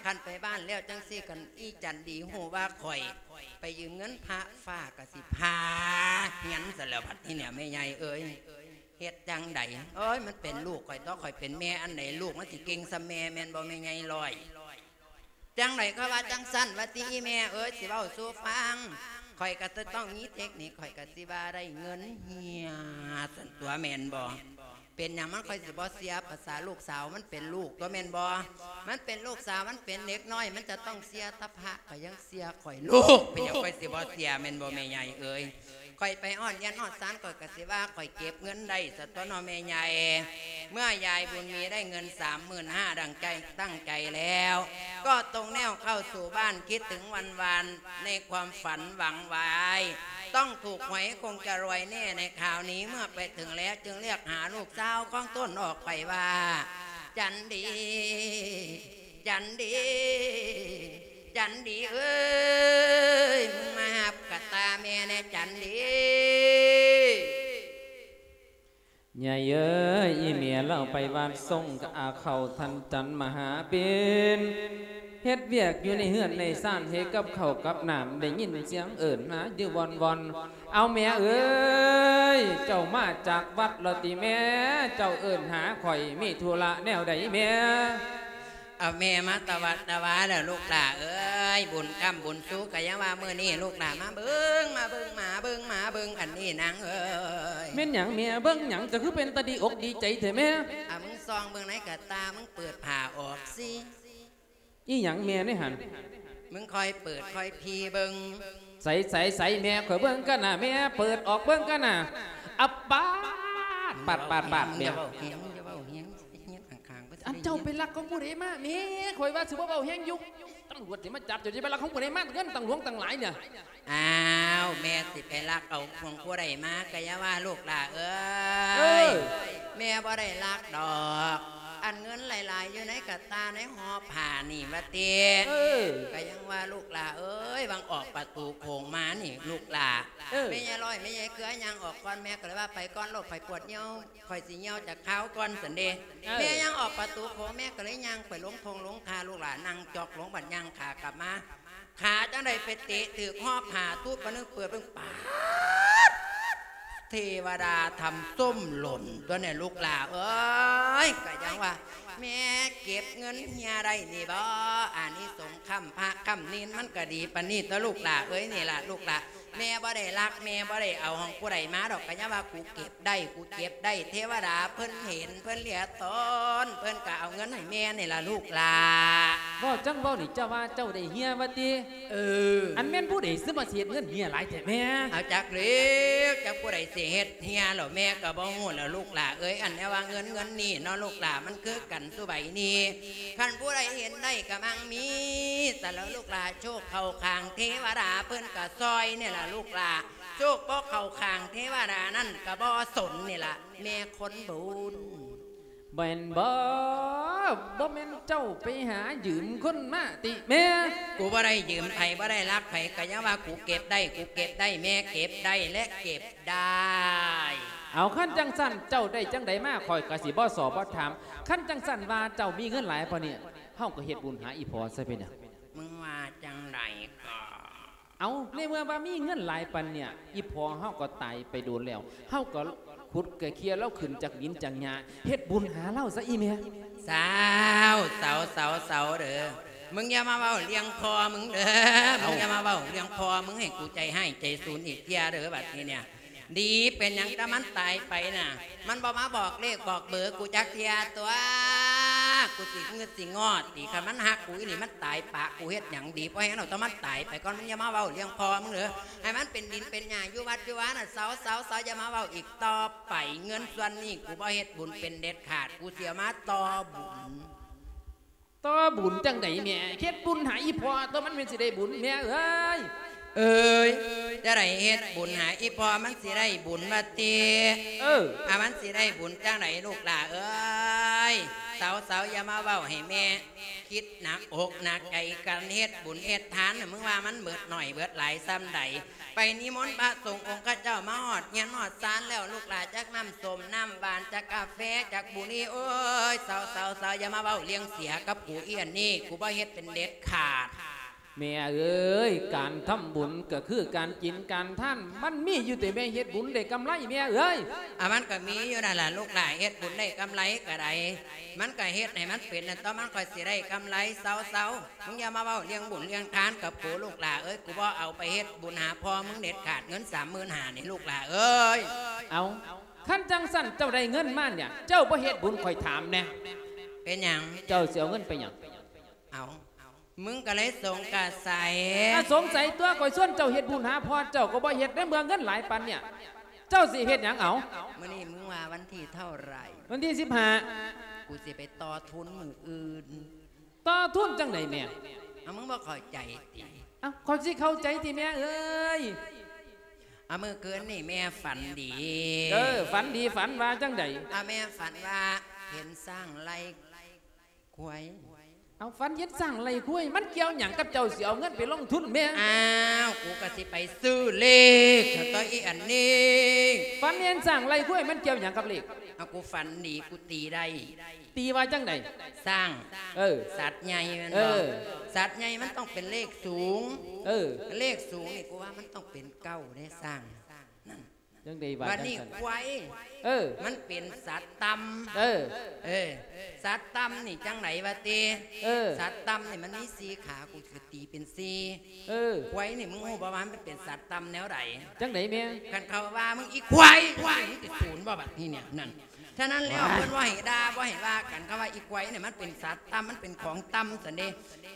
ຄັນໄປບ້ານແລ້ວຈັ່ງຊີ້ ຄັນອີຈັນດີຮູ້ວ່າຂ້ອຍໄປຢືມເງິນພະ ຟ້າກະຊິຜ່າເຮືອນຊະແລ້ວບັດນີ້ເນຍ ແມ່ໃຫຍ່ເອີຍ. ເຮັດຈັ່ງໃດ ໂອ້ຍ ມັນເປັນລູກຂ້ອຍຕົວະ ຂ້ອຍເປັນແມ່ອັນໃດ ລູກມັນຊິເກັ່ງສ່ຳແມ່ແມ່ນບໍ່ ແມ່ໃຫຍ່ລອຍ? ຈັ່ງໃດກໍວ່າຈັ່ງຊັ້ນ ວ່າຕິອີ່ແມ່ເອີຍ ຊິເວົ້າສູ່ຟັງ. ຂ້ອຍກໍຈະຕ້ອງມີເຕັກນິກ ຂ້ອຍກໍຊິວ່າໄດ້ເງິນເຮຍຊັ້ນຕົວະ ແມ່ນບໍ່? ເປັນຫຍັງມັນຂ້ອຍຊິບໍ່ເຊື່ອ? ພາສາລູກສາວ ມັນເປັນລູກຕົວະ ແມ່ນບໍ່? ມັນເປັນລູກສາວ ມັນເປັນເດັກນ້ອຍ ມັນຈະຕ້ອງເຊື່ອແຕ່ພະ ຂ້ອຍຍັງເຊື່ອຂ້ອຍລູກ ເປັນຫຍັງຂ້ອຍຊິບໍ່ເຊື່ອ ແມ່ນບໍ່ ແມ່ໃຫຍ່ເອີຍ? ຂ້ອຍໄປຮອດເຮືອນຮອດຊານ ຂ້ອຍກໍຊິວ່າຂ້ອຍເກັບເງິນໄດ້ຊະຕົວະເນາະ ແມ່ໃຫຍ່. ເມື່ອຍາຍບຸນມີໄດ້ເງິນສາມໝື່ນຫ້າ ດັ່ງໃຈຕັ້ງໃຈແລ້ວ ກໍຕົງແນວເຂົ້າສູ່ບ້ານ ຄິດເຖິງວັນວານໃນຄວາມຝັນຫວັງຫວາຍ ຕ້ອງຖືກຫວຍຄົງຈະລວຍແນ່ໃນຄາວນີ້. ເມື່ອໄປເຖິງແລ້ວຈຶ່ງລຽກຫາລູກສາວຂອງຕົນອອກໄປວ່າ ຈັນດີ ຈັນດີ ຈັນດີເອີຍ ມຶງມາຮັບກະຕ່າແມ່ແນ່ ຈັນດີ. ຍາຍເອີຍ ອີ່ແມ່ລາວໄປວັດ ສົ່ງອາເຂົ້າທ່ານຈັນມະຫາເປັນ ເຮັດວຽກຢູ່ໃນເຮືອນໃນຊານ ເຮັດກັບເຂົ້າກັບນ້ຳ ໄດ້ຍິນສຽງເອີ້ນຫາຢູ່ວ່ອນໆ. ເອົາແມ່ເອີຍ ເຈົ້າມາຈາກວັດລະຕິແມ່? ເຈົ້າເອີ້ນຫາຂ້ອຍ ມີທຸລະແນວໃດແມ່? ເອົາແມ່ມາຕະວັດຕະວາແລ້ວລູກຫຼ້າເອີຍ ບຸນຄ້ຳບຸນຊູກະຍັງວ່າມື້ນີ້ລູກຫຼ້າມາເບິ່ງ ມາເບິ່ງ ມາເບິ່ງ ມາເບິ່ງ ອັນນີ້ນາງເອີຍ. ແມ່ນຫຍັງແມ່? ເບິ່ງຫຍັງ ເຈົ້າຄືເປັນຕາດີອົກດີໃຈແທ້ແມ່? ອາ ມຶງສ່ອງເບິ່ງໃນກະຕ່າ ມຶງເປີດຜ້າອອກຊິ. ອີ່ຫຍັງແມ່ໃນຫັ້ນ? ມຶງຄ່ອຍເປີດຄ່ອຍພີເບິ່ງ. ໃສ ໃສ ໃສ ແມ່ ຂ້ອຍເບິ່ງກັນນະ ແມ່ ເປີດອອກເບິ່ງກັນນະ. ອາປາດ ປາດ ປາດ ປາດ ແມ່ ຢ່າເວົ້າແຮງ ຢ່າເວົ້າແຮງ ເຮັດຂ້າງໆ ອັນເຈົ້າໄປລັກຂອງຜູ້ໃດມາແມ່? ຂ້ອຍວ່າຊິບໍ່ເວົ້າແຮງຢູ່ ຕຳຫຼວດຊິມາຈັບ ເຈົ້າຊິໄປລັກຂອງຜູ້ໃດມາ ເງິນຕັ້ງຫຼວງຕັ້ງຫຼາຍເນຍ. ອ້າວ ແມ່ຊິໄປລັກເອົາຂອງຜູ້ໃດມາ ກະຢ່າວ່າລູກຫຼ້າເອີຍ ເອີ ແມ່ບໍ່ໄດ້ລັກດອກ ອັນເງິນຫຼາຍໆ ຢູ່ໃນກະຕ່າໃນຫໍ່ຜ້ານີ້ວ່າຕິ ເອີ ກະຍັງວ່າລູກຫຼ້າເອີຍ ຫວ່າງອອກປະຕູໂຂງມານີ້ລູກຫຼ້າ ເອີ ແມ່ຍາຍລອຍ ແມ່ຍາຍເກືອຍ່າງອອກກ່ອນ ແມ່ກະເລີຍວ່າ ໄປກ່ອນລູກ ຂ້ອຍປວດຍ່ຽວ ຂ້ອຍຊິຍ່ຽວຈັກຄາວກ່ອນຊັ້ນເດ. ເອີ ແມ່ຍ່າງອອກປະຕູໂຂງ ແມ່ກະເລີຍຍ່າງໄປລົງທົ່ງລົງທ່າ ລູກຫຼ້ານັ່ງຈອກລົງ ບັດຍ່າງຂາກັບມາ ຂາຈັ່ງໃດໄປເຕະຖືກຫໍ່ຜ້າ ຕຸບປະນຶກເປີດເບິ່ງ ປາດ ເທວະດາທຳສົ້ມຫຼົ່ນຕົວນີ້ລູກຫຼ້າເອີຍ ກະຍັງວ່າ ແມ່ເກັບເງິນເຮຍໄດ້ນີ້ບໍ ອານິສົງຄ້ຳພະຄ້ຳນີນ ມັນກະດີປານນີ້ຕົວະລູກຫຼ້າເອີຍ ນີ້ລະລູກຫຼ້າ ແມ່ບໍ່ໄດ້ລັກ ແມ່ບໍ່ໄດ້ເອົາຂອງຜູ້ໃດມາດອກ ກະຍັງວ່າ ກູເກັບໄດ້ ກູເກັບໄດ້ ເທວະດາເພິ່ນເຫັນ ເພິ່ນຫຼຽຕອນ ເພິ່ນກະເອົາເງິນໃຫ້ແມ່ນີ້ລະລູກຫຼ້າ. ເວົ້າຈັ່ງເວົ້ານີ້ ເຈົ້າວ່າເຈົ້າໄດ້ເຮຍວ່າຕິ? ເອີ ອັນແມ່ນຜູ້ໃດຊິມາເຮັດເງິນເຮຍຫຼາຍແທ້ແມ່? ເອົາ ຈັກແລ້ວ ຈັກຜູ້ໃດຊິເຮັດເຮຍແລ້ວ ແມ່ກະບໍ່ຮູ້ແລ້ວລູກຫຼ້າເອີຍ ອັນແນວວ່າເງິນ ເງິນນີ້ເນາະລູກຫຼ້າ ມັນຄືກັນສູ່ໃບນີ້ ຄັນຜູ້ໃດເຫັນໄດ້ກະມັ່ງມີ ແຕ່ລະລູກຫຼ້າ ໂຊກເຂົ້າຂ້າງເທວະດາເພິ່ນກະຊ່ອຍນີ້ລະລູກຫຼ້າ ໂຊກບໍ່ເຂົ້າຂ້າງເທວະດານັ້ນກະບໍ່ສົນນີ້ລະ ແມ່ຄົນບຸນ. ແມ່ນບໍ່? ບໍ່ແມ່ນເຈົ້າໄປຫາຢືມຄົນມາຕິແມ່? ກູບໍ່ໄດ້ຢືມໃຜ ບໍ່ໄດ້ລັກໃຜ ກະຍັງວ່າກູເກັບໄດ້ ກູເກັບໄດ້ ແມ່ເກັບໄດ້ ແລະ ເກັບໄດ້. ເອົາ ຄັນຈັ່ງຊັ້ນເຈົ້າໄດ້ຈັ່ງໃດມາ ຂ້ອຍກະຊິບໍ່ສໍບໍ່ຖາມ. ຄັນຈັ່ງຊັ້ນວ່າເຈົ້າມີເງິນຫຼາຍປານນີ້ ເຮົາກະເຮັດບຸນຫາອີ່ພໍ່ຊະ ເປັນຫຍັງ? ມຶງວ່າຈັ່ງໃດກະ? ເອົາ ໃນເມື່ອວ່າມີເງິນຫຼາຍປານເນີ້ຍ ອີ່ພໍ່ເຮົາກໍຕາຍໄປດົນແລ້ວ ເຮົາກໍຂຸດກະເຄຍລາວຂຶ້ນຈາກດິນຈາກຫຍ້າ ເຮັດບຸນຫາລາວຊະອີ່ແມ່. ເຊົາ ເຊົາ ເຊົາ ເຊົາເດີ້ ມຶງຢ່າມາເວົ້າເລື່ອງພໍ່ມຶງເດີ້ ເອົ້າ ມຶງຢ່າມາເວົ້າເລື່ອງພໍ່ມຶງ ໃຫ້ກູໃຈຮ້າຍໃຈສູນອີກເທື່ອເດີ້ ບັດນີ້ເນີ້ຍ. ດີ ເປັນຫຍັງ ແຕ່ມັນຕາຍໄປນະ ມັນບໍ່ມາບອກເລກບອກເບີກູຈັກເທື່ອຕົວະ ກູຊິງຶດຊິງອດຕິ ຄັນມັນຮັກກູອີ່ຫຼີ ມັນຕາຍປະກູເຮັດຫຍັງດີ ພໍແຮງແລ້ວ ຕ້ອງມັນຕາຍໄປກ່ອນ ມຶງຢ່າມາເວົ້າເລື່ອງພໍ່ມຶງເດີ້ ໃຫ້ມັນເປັນດິນເປັນຫຍ້າຢູ່ວັດຢູ່ວານະ ເຊົາ ເຊົາ ເຊົາ ຢ່າມາເວົ້າອີກຕໍ່ໄປ ເງິນສ່ວນນີ້ກູບໍ່ເຮັດບຸນເປັນເດັດຂາດ ກູຊິເອົາມາຕໍ່ບຸນ. ຕໍ່ບຸນຈັ່ງໃດແມ່? ເຮັດບຸນໃຫ້ອີ່ພໍ່ຕົວະ ມັນແມ່ນຊິໄດ້ບຸນແມ່ເອີຍ. ເອີຍ ຈະໄດ້ເຮັດບຸນໃຫ້ອີ່ພໍ່ມັນຊິໄດ້ບຸນວ່າຕິ? ເອີ ອາ ມັນຊິໄດ້ບຸນຈັ່ງໃດລູກຫຼ້າເອີຍ? ເຊົາໆ ຢ່າມາເວົ້າໃຫ້ແມ່ຄິດໜັກອົກໜັກໃຈກັນ ເຮັດບຸນເຮັດທານນະ ມຶງວ່າມັນເບີດໜ້ອຍເບີດຫຼາຍສ່ຳໃດ? ໄປນິມົນພະສົງອົງຂະເຈົ້າມາຮອດເຮືອນຮອດຊານແລ້ວ ລູກຫຼ້າ ຈັກນ້ຳສົ້ມນ້ຳຫວານ ຈັກກາແຟ ຈັກບຸຫຼີ່ ໂອ້ຍ ເຊົາໆໆ ຢ່າມາເວົ້າເລື່ອງເສຍກັບກູ ອີ່ອັນນີ້ ກູບໍ່ເຮັດເປັນເດັດຂາດ. ແມ່ເອີຍ ການທຳບຸນກະຄືການກິນການທານ ມັນມີຢູ່ຕິແມ່ ເຮັດບຸນໄດ້ກຳໄລແມ່ເອີຍ. ອາ ມັນກະມີຢູ່ນັ້ນລະລູກຫຼ້າ ເຮັດບຸນໄດ້ກຳໄລກະໄດ້ ມັນກະເຮັດໃຫ້ມັນເປັນນັ້ນ ຕ້ອງມັນຄ່ອຍຊິໄດ້ກຳໄລ ເຊົາໆ. ມຶງຢ່າມາເວົ້າເລື່ອງບຸນເລື່ອງທານກັບກູລູກຫຼ້າເອີຍ ກູບໍ່ເອົາໄປເຮັດບຸນຫາພໍ່ມຶງເດັດຂາດ ເງິນສາມໝື່ນຫ້ານີ້ລູກຫຼ້າເອີຍ. ເອົາ ຄັນຈັ່ງຊັ້ນເຈົ້າໄດ້ເງິນມາເນີ້ຍ ເຈົ້າບໍ່ເຮັດບຸນຂ້ອຍຖາມແນ່. ເປັນຫຍັງ? ເຈົ້າຊິເອົາເງິນໄປຫຍັງ? ເອົາ ມຶງກະເລີຍສົງກະໄສ. ອາ ສົງໄສຕົວະ ຂ້ອຍຊວນເຈົ້າເຮັດບຸນຫາພໍ່ເຈົ້າກະບໍ່ເຮັດ ໃນເມື່ອເງິນຫຼາຍປານເນີ້ຍ ເຈົ້າຊິເຮັດຫຍັງເອົາ? ມື້ນີ້ມຶງວ່າວັນທີເທົ່າໃດ? ວັນທີສິບຫ້າ. ກູຊິໄປຕໍ່ທຶນມື້ອື່ນ. ຕໍ່ທຶນຈັ່ງໃດແມ່? ເອົາ ມຶງບໍ່ເຂົ້າໃຈຕິ? ເອົ້າ ຂ້ອຍຊິເຂົ້າໃຈຕິແມ່ເອີຍ? ເອົາ ມື້ຄືນນີ້ແມ່ຝັນດີ. ເອີ ຝັນດີ ຝັນວ່າຈັ່ງໃດ? ເອົາ ແມ່ຝັນວ່າເຫັນຊ້າງໄລ່ຄວາຍ. ເອົາ ຝັນເຫັນຊ້າງໄລ່ຄວາຍ ມັນກ່ຽວຫຍັງກັບເຈົ້າຊິເອົາເງິນໄປລົງທຶນແມ່? ອ້າວ ກູກະຊິໄປຊື້ເລກ ໂຕອີ່ອັນນີ້. ຝັນເຫັນຊ້າງໄລ່ຄວາຍ ມັນກ່ຽວຫຍັງກັບເລກ? ເອົາ ກູຝັນດີ ກູຕີໄດ້. ຕີວ່າຈັ່ງໃດ? ຊ້າງ ເອີ ສັດໃຫຍ່ແມ່ນບໍ່? ເອີ ສັດໃຫຍ່ມັນຕ້ອງເປັນເລກສູງ. ເອີ ເລກສູງນີ້ ກູວ່າມັນຕ້ອງເປັນເກົ້າເດ້ຊ້າງ. ຈັ່ງໃດວ່າ ບາດນີ້ ຈັ່ງຊັ້ນ ຄວາຍ ເອີ ມັນເປັນສັດຕ່ຳ. ເອີ ເອີ ສັດຕ່ຳນີ້ຈັ່ງໃດວະຕິ? ເອີ ສັດຕ່ຳນີ້ມັນມີສີ່ຂາ ກູກະຕີເປັນສີ່. ເອີ ຄວາຍນີ້ ມຶງຮູ້ບໍ່ວ່າມັນເປັນສັດຕ່ຳແນວໃດ? ຈັ່ງໃດແມ່? ຄັນເຂົາວ່າມຶງອີຄວາຍ ຄວາຍ ມຶງຊິສູນບໍ່ບາດນີ້ເນຍ? ນັ້ນ ສະນັ້ນແລ້ວ ເພິ່ນບໍ່ໃຫ້ດ່າ ບໍ່ໃຫ້ວ່າກັນ ຄຳວ່າອີຄວາຍນີ້ມັນເປັນສັດຕ່ຳ ມັນເປັນຂອງຕ່ຳຊັ້ນເດ.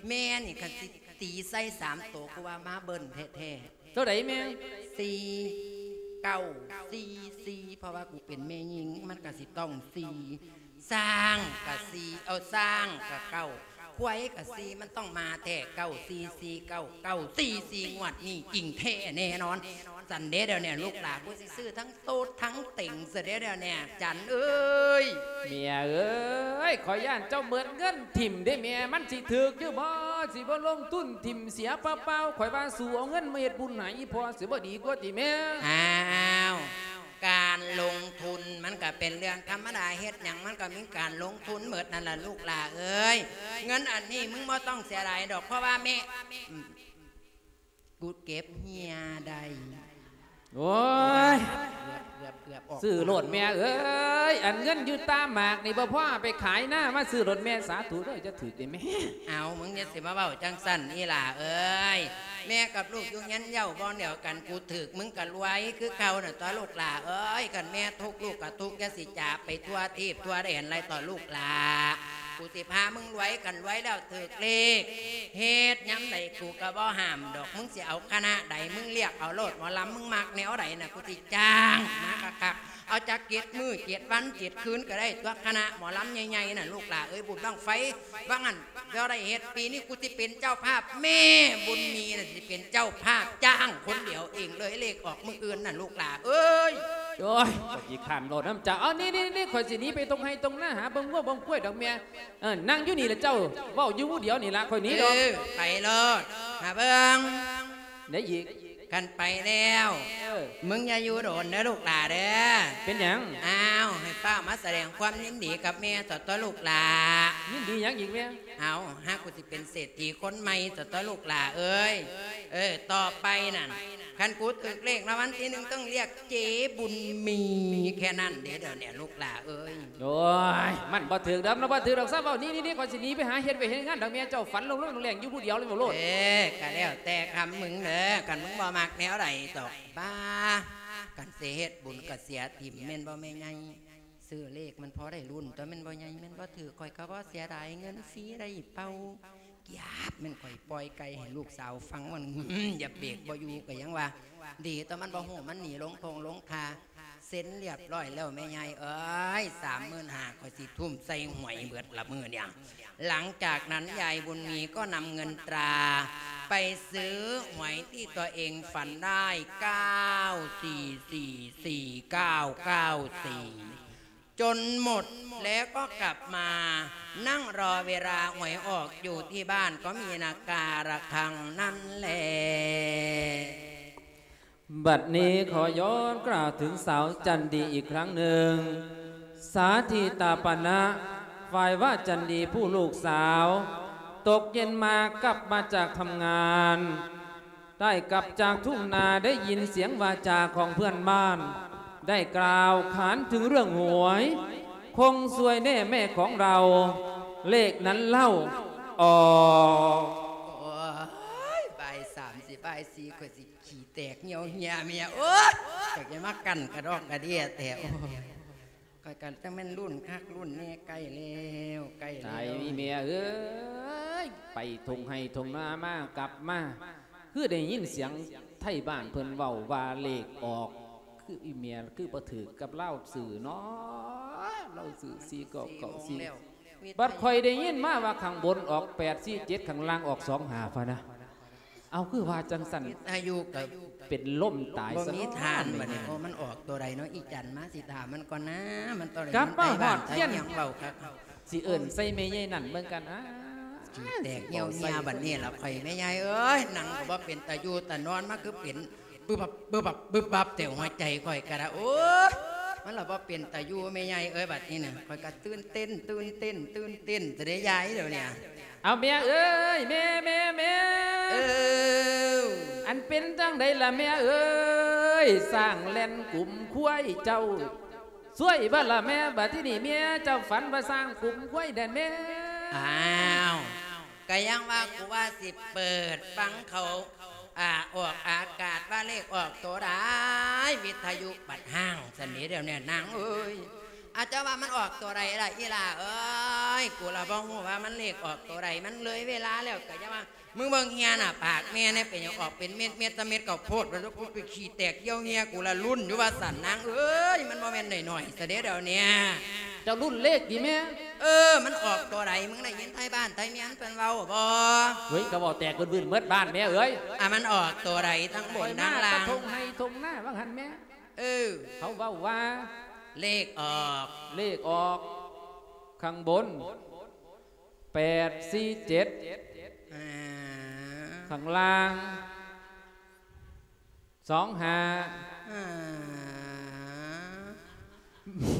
ແມ່ນີ້ຄັນຊິ ຕີໃສ່ສາມໂຕ ກູວ່າມາເບິ້ນແທ້ໆ. ໂຕໃດແມ່? ສີ່ເກົ້າສີ່ສີ່ ເພາະວ່າກູເປັນແມ່ຍິງ ມັນກະຊິຕ້ອງສີ່ ຊ້າງກະສີ່ ເອົາ ຊ້າງກະເກົ້າ ຄວາຍກະສີ່ ມັນຕ້ອງມາແທ້ ເກົ້າສີ່ສີ່ເກົ້າ ເກົ້າສີ່ສີ່ ງວດນີ້ຈິງແທ້ແນ່ນອນ. ຊັ້ນເດ້ດຽວນີ້ລູກຫຼານ ກູຊິຊື້ທັງໂຕດທັງເຕັງຊະເດ້ດຽວນີ້ ຈັນເອີຍ. ເມຍເອີຍ ຂ້ອຍຢ້ານເຈົ້າເໝິດເງິນຖິ້ມເດ້ແມ່ ມັນຊິຖືກຢູ່ບໍ່? ຊິບໍ່ລົງທຶນຖິ້ມເສຍເປົ່າໆ ຂ້ອຍວ່າສູ້ເອົາເງິນມາເຮັດບຸນໃຫ້ອີ່ພໍ່ ຊິບໍ່ດີກວ່າຕິແມ່? ອ້າວ ການລົງທຶນມັນກະເປັນເລື່ອງທຳມະດາ ເຮັດຫຍັງມັນກະມີການລົງທຶນເໝິດນັ້ນລະລູກຫຼາເອີຍ. ເງິນອັນນີ້ມຶງບໍ່ຕ້ອງເສຍດາຍດອກ ເພາະວ່າແມ່ ອືມ ກູເກັບເຮຍໄດ້. ໂອ້ຍ ເກືອບ ເກືອບ ເກືອບອອກ ຊື້ໂລດແມ່ເອີຍ ອັນເງິນຢູ່ຕາໝາກນີ້ບໍ່ພໍເອົາໄປຂາຍນາ ມາຊື້ໂລດແມ່ ສາທຸເດີ ຈະຖືກເດ້ແມ່. ເອົາ ມຶງຢ່າຊິມາເວົ້າຈັ່ງຊັ້ນອີ່ຫຼ້າເອີຍ ແມ່ກັບລູກຢູ່ເຮືອນເຍົາບ່ອນດຽວກັນ ກູຖືກມຶງກະລວຍຄືເກົ່ານັ້ນຕົວະລູກຫຼ້າເອີຍ. ຄັນແມ່ທຸກລູກກະທຸກ ຢ່າຊິຈາກໄປທົ່ວທີບທົ່ວແດນໄຫຼຕົວະລູກຫຼ້າ ກູຊິພາມຶງລວຍ ຄັນລວຍແລ້ວຖືກເລກ ເຮັດຍາມໃດກູກະບໍ່ຫ້າມດອກ. ມຶງຊິເອົາຄະນະໃດ ມຶງລຽກເອົາໂລດ ໝໍລຳມຶງມັກແນວໃດນະ ກູຊິຈ້າງມາຄັກໆ ເອົາຈັກເຈັດມື້ເຈັດວັນເຈັດຄືນກະໄດ້ຕົວະ ຄະນະໝໍລຳໃຫຍ່ໆນະລູກຫຼ້າເອີຍ. ບຸນບັ້ງໄຟວ່າງຫັ້ນ ບໍ່ໄດ້ເຮັດ ປີນີ້ກູຊິເປັນເຈົ້າພາບ ແມ່ບຸນມີນະຊິເປັນເຈົ້າພາບ ຈ້າງຄົນດຽວເອງເລີຍ ເລກອອກມື້ອື່ນນະລູກຫຼ້າເອີຍ. ໂອ້ຍ ຂ້ອຍຂີ້ຄ້ານເວົ້ານຳເຈົ້າ. ເອົາ ນີ້ໆໆ ຂ້ອຍຊິໜີໄປທົ່ງໄຮ່ທົ່ງນາ ຫາເບິ່ງງົວເບິ່ງຄວາຍດອກແມ່. ເອີ ນັ່ງຢູ່ນີ້ລະເຈົ້າ ເວົ້າຢູ່ຜູ້ດຽວນີ້ລະ ຂ້ອຍໜີດອກ. ເອີ ໄປໂລດ ຫາເບິ່ງ ໄດ້ອີກ ຄັນໄປແລ້ວ ເອີ ມຶງຢ່າຢູ່ດົນເດີລູກຫຼ້າເດີ. ເປັນຫຍັງ? ອ້າວ ໃຫ້ຟ້າວມາສະແດງຄວາມຍິນດີກັບແມ່ຊະຕົວະລູກຫຼ້າ. ຍິນດີຫຍັງອີກແມ່? ເອົາ ຫາກູຊິເປັນເສດຖີຄົນໃໝ່ຊະຕົວະລູກຫຼ້າເອີຍ. ເອີ ຕໍ່ໄປນັ້ນ ຄັນກູຖືກເລກລາງວັນທີໜຶ່ງ ຕ້ອງລຽກເຈບຸນມີ ແຄ່ນັ້ນເດ້ດຽວນີ້ລູກຫຼ້າເອີຍ. ໂອ້ຍ ມັນບໍ່ຖືກດອກ ມັນບໍ່ຖືກດອກ ຊະເວົ້າ. ນີ້ໆໆ ຂ້ອຍຊິໜີໄປຫາເຮັດວຽກເຮັດງານດອກແມ່ ເຈົ້າຝັນລົງໆແລງໆຢູ່ຜູ້ດຽວເລີຍເວົ້າໂລດ. ເອີ ກະແລ້ວແຕ່ຄຳມຶງເດີ ຄັນມຶງບໍ່ມັກແນວໃດດອກ. ບ້າ ຄັນຊິເຮັດບຸນກະເສຍຖິ້ມແມ່ນບໍ່ແມ່ໃຫຍ່? ຊື້ເລກມັນພໍໄດ້ລຸ້ນຕົວະ ແມ່ນບໍ່ໃຫຍ່? ແມ່ນບໍ່ຖືກ ຂ້ອຍກະບໍ່ເສຍດາຍເງິນຟຣີໄດ້ເປົ່າ. ກຽບ ແມ່ນຂ້ອຍປ່ອຍໄກ່ໃຫ້ລູກສາວຟັງ ມັນ ຢ່າເບກບໍ່ຢູ່ກະຍັງວ່າ ດີຕົວະ ມັນບໍ່ຮູ້ ມັນໜີລົງທົ່ງລົງທ່າ. ເຊັນລຽບຮ້ອຍແລ້ວແມ່ໃຫຍ່ເອີຍ ສາມໝື່ນຫ້າ ຂ້ອຍຊິທຸ່ມໃສ່ຫວຍເບິດລະມື້ນີ້. ຫຼັງຈາກນັ້ນຍາຍບຸນມີກໍນຳເງິນຕາໄປຊື້ຫວຍທີ່ຕົວເອງຝັນໄດ້ ເກົ້າສີ່ສີ່ສີ່ ເກົ້າເກົ້າສີ່ ຈົນໝົດ ແລ້ວກໍກັບມານັ່ງລໍເວລາຫວຍອອກຢູ່ທີ່ບ້ານ ກໍມີນາກາລະຄັງນັ້ນແຫຼະ. ບັດນີ້ຂໍຍ້ອນກ່າວເຖິງສາວຈັນດີອີກຄັ້ງໜຶ່ງ ສາທິຕາປະນະ ຝ່າຍວ່າຈັນດີຜູ້ລູກສາວ ຕົກເຢັນມາກັບມາຈາກທຳງານ ໄດ້ກັບຈາກທົ່ງນາ ໄດ້ຍິນສຽງວາຈາຂອງເພື່ອນບ້ານ ໄດ້ກ່າວຂານເຖິງເລື່ອງຫວຍ ຄົງຊວຍແນ່ແມ່ຂອງເຮົາ ເລກນັ້ນເລົ່າອອກ. ໂອ້ຍ ບ່າຍສາມຊິບ່າຍສີ່ ຂ້ອຍຊິ ຂີ້ແຕກຍ່ຽວເຫຍເມຍ ໂອ້ຍ ຢາກຈະມາກັ້ນກະດອກກະເດຍແທ້ ໂອ້ຍ ຂ້ອຍກະຈັ່ງແມ່ນລຸ້ນຄັກລຸ້ນແນ່ ໃກ້ແລ້ວ ໃກ້ແລ້ວ ຕາຍແມ່ເອີຍ ໄປທົ່ງໄຮ່ທົ່ງນາມາ ກັບມາ ຄືໄດ້ຍິນສຽງໄທບ້ານເພິ່ນເວົ້າວ່າເລກອອກ ຄືອີແມ່ ຄືບໍ່ຖືກກັບລາວຊື້ເນາະ ລາວຊື້ສີ່ເກົ້າເກົ້າສີ່ ບັດຂ້ອຍໄດ້ຍິນມາວ່າຂ້າງບົນອອກແປດສີ່ເຈັດ ຂ້າງລ່າງອອກສອງຫ້າພະນະ. ເອົາ ຄືວ່າຈັ່ງຊັ້ນ ອາຍຸກະເປັນລົມຕາຍ ບໍ່ມີທານ ສະເນາະ ບາດນີ້ ໂອ້ ມັນອອກໂຕໃດເນາະ ອີຈັນມາຊິຖາມມັນກ່ອນນາ ມັນໂຕໃດ ກັບມາຮອດ ມັນໄປບ້ານໄປຫຍັງ ເວົ້າຄັກ ຊິເອີ້ນໃສ່ແມ່ໃຫຍ່ນັ້ນເບິ່ງກັນ ອາ ແຕກຍ່ຽວເຫຍ ບັດນີ້ລະຂ້ອຍ ແມ່ໃຫຍ່ເອີຍ ນັ່ງກະບໍ່ເປັນຕາຢູ່ຕານອນ ມາຄືເປັນ ບຶບບັບ ບຶບບັບ ບຶບບັບ ແຕ່ຫົວໃຈຂ້ອຍກະດາ ໂອ້ຍ ມັນລະບໍ່ເປັນຕາຢູ່ແມ່ໃຫຍ່ເອີຍ ບັດນີ້ນະ ຂ້ອຍກະຕື່ນເຕັ້ນ ຕື່ນເຕັ້ນ ຕື່ນເຕັ້ນ ຈະໄດ້ຍາຍດຽວນີ້ ເອົາແມ່ເອີຍ ແມ່ ແມ່ ແມ່ ເອີ ອັນເປັນຈັ່ງໃດລະແມ່ເອີຍ ຊ້າງແລ່ນກຸມຄວາຍເຈົ້າ ສວຍບໍ່ລະແມ່ ບັດທີນີ້ແມ່ເຈົ້າຝັນວ່າຊ້າງກຸມຄວາຍແດນແມ່ ອ້າວ ກະຍັງວ່າກູວ່າຊິເປີດຟັງເຂົາ ອາ ອອກອາກາດວ່າເລກອອກໂຕໃດ ວິທະຍຸບັດຮ້າງຊັ້ນເດ ດຽວນີ້ນາງເອີຍ ອາ ເຈົ້າວ່າມັນອອກໂຕໃດລະອີ່ຫຼ້າເອີຍ? ກູລະບໍ່ຮູ້ວ່າມັນເລກອອກໂຕໃດ ມັນເລີຍເວລາແລ້ວ ກະຢ່າວ່າ ມຶງເບິ່ງເຫື່ອໜ້າປາກແມ່ແດ່ ເປັນຫຍັງອອກເປັນເມັດໆ ຊຳເມັດເຂົ້າໂພດ ວ່າ ໂອ້ຍ ໄປຂີ້ແຕກຍ່ຽວເຫື່ອ ກູລະລຸ້ນຢູ່ວ່າຊັ້ນນາງເອີຍ ມັນບໍ່ແມ່ນໜ້ອຍໆ ຊະເດ້ດຽວເນີ້ຍ. ເຈົ້າລຸ້ນເລກຕິແມ່? ເອີ ມັນອອກໂຕໃດ ມຶງໄດ້ຍິນໄທບ້ານໄທເມຍເພິ່ນເວົ້າບໍ່? ເວີຍ ກະເວົ້າແຕກວືນໆ ເໝິດບ້ານແມ່ເອີຍ. ອາ ມັນອອກໂຕໃດ ທັງບົນທັງລ່າງ? ໄປມາກະທົ່ງໄຮ່ທົ່ງນາວ່າຫັ້ນແມ່. ເອີ ເຂົາເວົ້າວ່າ ເລກອອກ ເລກອອກ ຂ້າງບົນ ແປດສີ່ເຈັດ ອາ ຂ້າງລ່າງ ສອງຫ້າ ອາ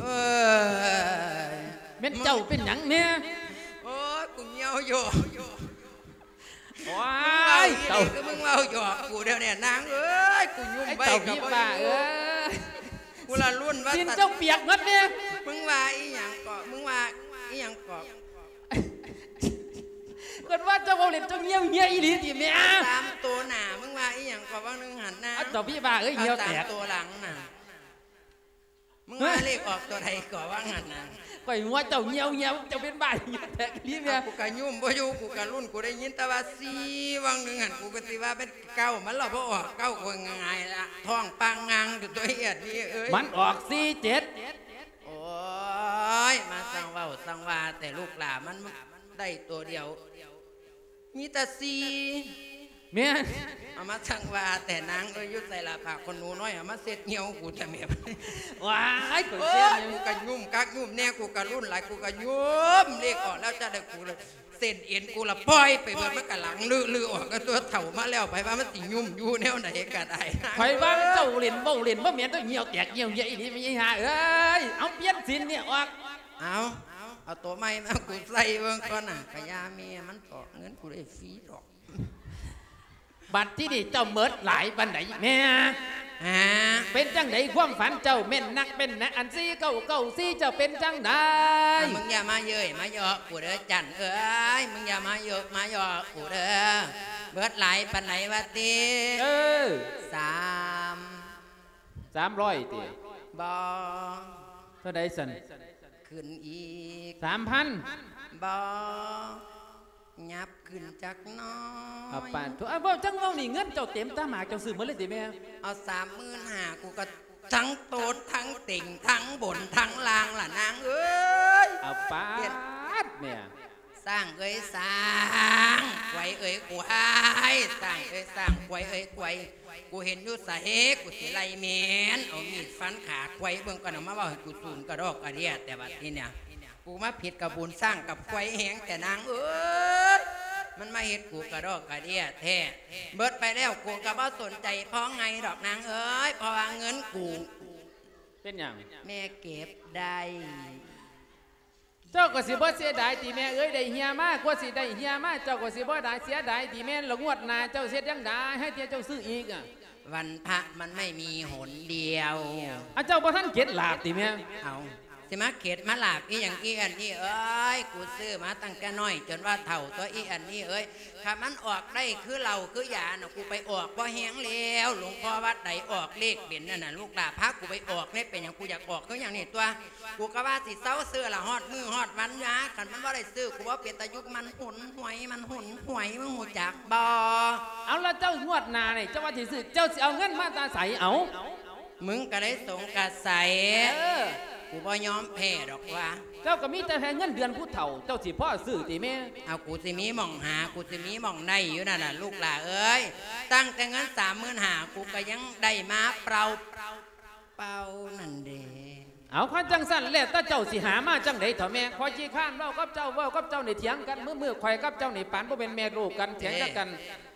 ເອີຍ ແມ່ນເຈົ້າເປັນຫຍັງແນ່? ໂອ້ຍ ກູຍ່ຽວຢອກ. ໂອ້ຍ ມຶງເວົ້າອີ່ຫຼີຄືມຶງເວົ້າຢອກກູດຽວນີ້ນາງເອີຍ ກູຫຍຸ້ມໄວ້ກະບໍ່ຢູ່. ກູລະລຸ້ນວ່າ ຕີນເຈົ້າປຽກໝົດແນ່. ມຶງວ່າອີ່ຫຍັງເກາະ? ມຶງວ່າອີ່ຫຍັງເກາະ? ເພິ່ນວ່າເຈົ້າເວົ້າຫຼິ້ນ ເຈົ້າຍ່ຽວເຫື່ອອີ່ຫຼີຕິແມ່? ຕາມໂຕໜ້າ ມຶງວ່າອີ່ຫຍັງເກາະ ຫວ່າງໜຶ່ງຫັ້ນນະ? ເອົາ ເຈົ້າພີ່ວ່າເອີຍ ເອົາ ເຫື່ອແຕກ ຕາມໂຕຫຼັງນະ. ມຶງວ່າເລກອອກໂຕໃດກໍວ່າຫັ້ນນະ? ຂ້ອຍຫົວເຈົ້າຍ່ຽວໆ ເຈົ້າເປັນບ້າເຫື່ອແຕກອີ່ຫຼີແມ່. ເອົາ ກູກະຫຍຸ້ມບໍ່ຢູ່ ກູກະລຸ້ນ ກູໄດ້ຍິນແຕ່ວ່າສີ່ ຫວ່າງໜຶ່ງຫັ້ນ ກູກະຊິວ່າແມ່ນເກົ້າ ມັນລະບໍ່ອອກເກົ້າ ກູຫງາຍລະ ທ້ອງປ່າງງາງຢູ່ຕົວະ ເອີຍ ມັນອອກສີ່ເຈັດ. ໂອ້ຍ ມາຊ່າງເວົ້າຊ່າງວ່າແຕ່ລູກຫຼ້າ ມັນໄດ້ໂຕດຽວ ມີແຕ່ສີ່. ແມ່ນ. ເອົາ ມາຊ່າງວ່າແຕ່ນາງເອີຍ ຢູ່ໃສລະຜ້າຂົນໜູນ້ອຍ ເອົາມາເຊັດຍ່ຽວກູແທ້ແມ່. ວ້າຍ ໂອ້ຍ ກູກະຫຍຸ້ມຄັກຫຍຸ້ມແນ່ ກູກະລຸ້ນຫຼາຍ ກູກະຫຍຸ້ມ ເລກອອກແລ້ວຈະໄດ້ ກູລະ ເສັ້ນເອັນກູລະປ່ອຍໄປເບິດ ມັນກະຫຼັງລຶໆອອກ ກະຕົວເຖົ້າມາແລ້ວ ໃຜວ່າມັນຊິຫຍຸ້ມຢູ່ແນວໃດກະໄດ້. ຂ້ອຍວ່າເຈົ້າຫຼິ້ນເວົ້າຫຼິ້ນ ບໍ່ແມ່ນ ເຈົ້າຫ່ຽວແຕກຫ່ຽວເຫຍອີ່ຫຼີ ແມ່ນຫາເອີຍ. ເອົາ ປ່ຽນສີນນີ້ອອກ. ເອົາ ເອົາໂຕໃໝ່ມາ ກູໃສ່ເບິ່ງກ່ອນນະ ກະຢ່າແມ່ມັນເຖາະ ເງິນກູໄດ້ຟຣີດອກ. ບັດທີນີ້ເຈົ້າເໝິດຫຼາຍປານໃດແມ່? ຫາ? ເປັນຈັ່ງໃດຄວາມຝັນເຈົ້າແມ່ນນັກແມ່ນນະ ອັນສີ່ເກົ້າເກົ້າສີ່ ເຈົ້າເປັນຈັ່ງໃດ? ອ່າ ມຶງຢ່າມາເຍີ້ຍມາເຍາະກູເດີຈັນເອີຍ ມຶງຢ່າມາເຍີ້ຍມາເຍາະກູເດີ. ເໝິດຫຼາຍປານໃດວະຕິ? ເອີ ສາມ ສາມຮ້ອຍຕິ? ບໍ່. ເທົ່າໃດຊັ້ນ? ຂຶ້ນອີກ ສາມພັນ? ບໍ່. ຫຍັບຂຶ້ນຈັກໜ້ອຍ. ອາ ປານໂທ ອາ ເວົ້າຈັ່ງເວົ້ານີ້ ເງິນເຈົ້າເຕັມຕາໝາກ ເຈົ້າຊື້ໝົດເລີຍຕິແມ່? ເອົາ ສາມໝື່ນຫ້າ ກູກະທັງໂຕທັງເຕັງ ທັງບົນທັງລ່າງລະນາງເອີຍ. ອາ ປາດແມ່. ຊ້າງເອີຍຊ້າງ ຄວາຍເອີຍຄວາຍ ຊ້າງເອີຍຊ້າງ ຄວາຍເອີຍຄວາຍ ກູເຫັນຢູ່ໃສ ກູຊິໄລ່ແມ່ນ ເອົາມີດຟັນຂາຄວາຍເບິ່ງກ່ອນ ເອົາມາເວົ້າໃຫ້ກູສູນກະດອກກະເດຍແຕ່ບັດນີ້ນະ. ກູມາຜິດກັບບຸນຊ້າງກັບຄວາຍແຮງແທ້ນາງເອີຍ ມັນມາເຮັດກູກະດອກກະເດຍແທ້. ເໝິດໄປແລ້ວ ກູກະບໍ່ສົນໃຈພໍໄງດອກນາງເອີຍ ເພາະວ່າເງິນກູ ເປັນຫຍັງ? ແມ່ເກັບໄດ້. ເຈົ້າກະຊິບໍ່ເສຍດາຍຕິແມ່ເອີຍ ໄດ້ເຫື່ອມາ ກວ່າຊິໄດ້ເຫື່ອມາ ເຈົ້າກະຊິບໍ່ໄດ້ເສຍດາຍຕິແມ່ ລະງວດໜ້າເຈົ້າຊິເຮັດຈັ່ງໃດ ໃຫ້ເທື່ອເຈົ້າຊື້ອີກອະ? ວັນພະມັນໄມ່ມີຫົນດຽວ. ອາ ເຈົ້າບໍ່ທັນເກັດລາບຕິແມ່? ເອົາ ຊິມາເກັດມາລາບອີ່ຫຍັງ ອີ່ອັນນີ້ເອີຍ ກູຊື້ມາຕັ້ງແຕ່ນ້ອຍຈົນວ່າເຖົ້າຕົວະ ອີ່ອັນນີ້ເອີຍ. ຄັນມັນອອກໄດ້ຄືເຫຼົ້າຄືຢານະ ກູໄປອອກບໍ່ແຮງແລ້ວ ຫຼວງພໍ່ວັດໃດອອກເລກເປັນນັ້ນນະ ລູກຫຼ້າພາກູໄປອອກເລີຍ ເປັນຫຍັງ ກູຢາກອອກຄືຫຍັງນີ້ຕົວະ. ກູກະວ່າຊິເຊົາຊື້ລະ ຮອດມື້ຮອດວັນຍາ ຄັນມັນບໍ່ໄດ້ຊື້ ກູບໍ່ເປັນຕາຢູ່ ມັນຫົນຫວຍ ມັນຫົນຫວຍ ມຶງຮູ້ຈັກບໍ່? ເອົາ ລະເຈົ້າງວດໜ້ານີ້ ເຈົ້າວ່າຊິຊື້ ເຈົ້າຊິເອົາເງິນມາແຕ່ໃສເອົາ? ມຶງກະໄດ້ສົງກະໄສ ເອີ ກູບໍ່ຍອມແພ້ດອກວ່າ. ເຈົ້າກະມີແຕ່ແຕ່ເງິນເດືອນຜູ້ເຖົ້າ ເຈົ້າຊິພໍຊື້ຕິແມ່? ເອົາ ກູຊິມີໝ່ອງຫາ ກູຊິມີໝ່ອງໄດ້ຢູ່ນັ້ນລະລູກຫຼ້າເອີຍ. ຕັ້ງແຕ່ເງິນສາມໝື່ນຫ້າ ກູກະຍັງໄດ້ມາເປົ່າ ເປົ່ານັ້ນເດ. ເອົາ ຄັນຈັ່ງຊັ້ນແລ້ວແຕ່ເຈົ້າຊິຫາມາຈັ່ງໃດເຖົ້າແມ່ ຂ້ອຍຂີ້ຄ້ານເວົ້າກັບເຈົ້າ ເວົ້າກັບເຈົ້ານີ້ຖຽງກັນ ມື້ໆ ຂ້ອຍກັບເຈົ້ານີ້ປານບໍ່ແມ່ນແມ່ລູກກັນ ຖຽງກັນ.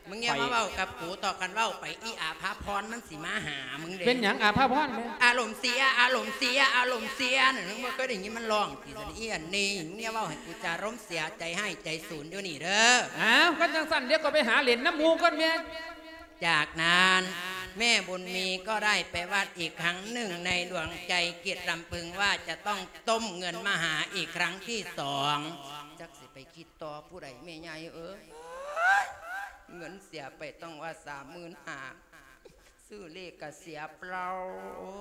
ມຶງຢ່າມາເວົ້າກັບກູເຖາະ ຄັນເວົ້າໄປອີ່ອາພາພອນມັນຊິມາຫາມຶງເດ. ເປັນຫຍັງອາພາພອນແມ່? ອາລົມເສຍ ອາລົມເສຍ ອາລົມເສຍນັ້ນ ມຶງບໍ່ເຄີຍໄດ້ຍິນມັນຮ້ອງຕິ? ອີ່ອັນນີ້ ມຶງຢ່າເວົ້າໃຫ້ກູຈາລົມເສຍ ໃຈຮ້າຍໃຈສູນຢູ່ນີ້ເດີ. ອ້າວ ຄັນຈັ່ງຊັ້ນ ດຽວກະໄປຫາຫຼິ້ນນຳໝູ່ກ່ອນແມ່. ຈາກນັ້ນ ແມ່ບຸນມີກໍໄດ້ໄປວັດອີກຄັ້ງໜຶ່ງ ໃນດວງໃຈຄິດລຳເພິງວ່າຈະຕ້ອງຕົ້ມເງິນມະຫາອີກຄັ້ງທີສອງ. ຈັກຊິໄປຄິດຕໍ່ຜູ້ໃດແມ່ໃຫຍ່ເອີຍ ເງິນເສຍໄປຕັ້ງວ່າສາມໝື່ນຫ້າ ຊື້ເລກກະເສຍເປົ່າ ໂອ້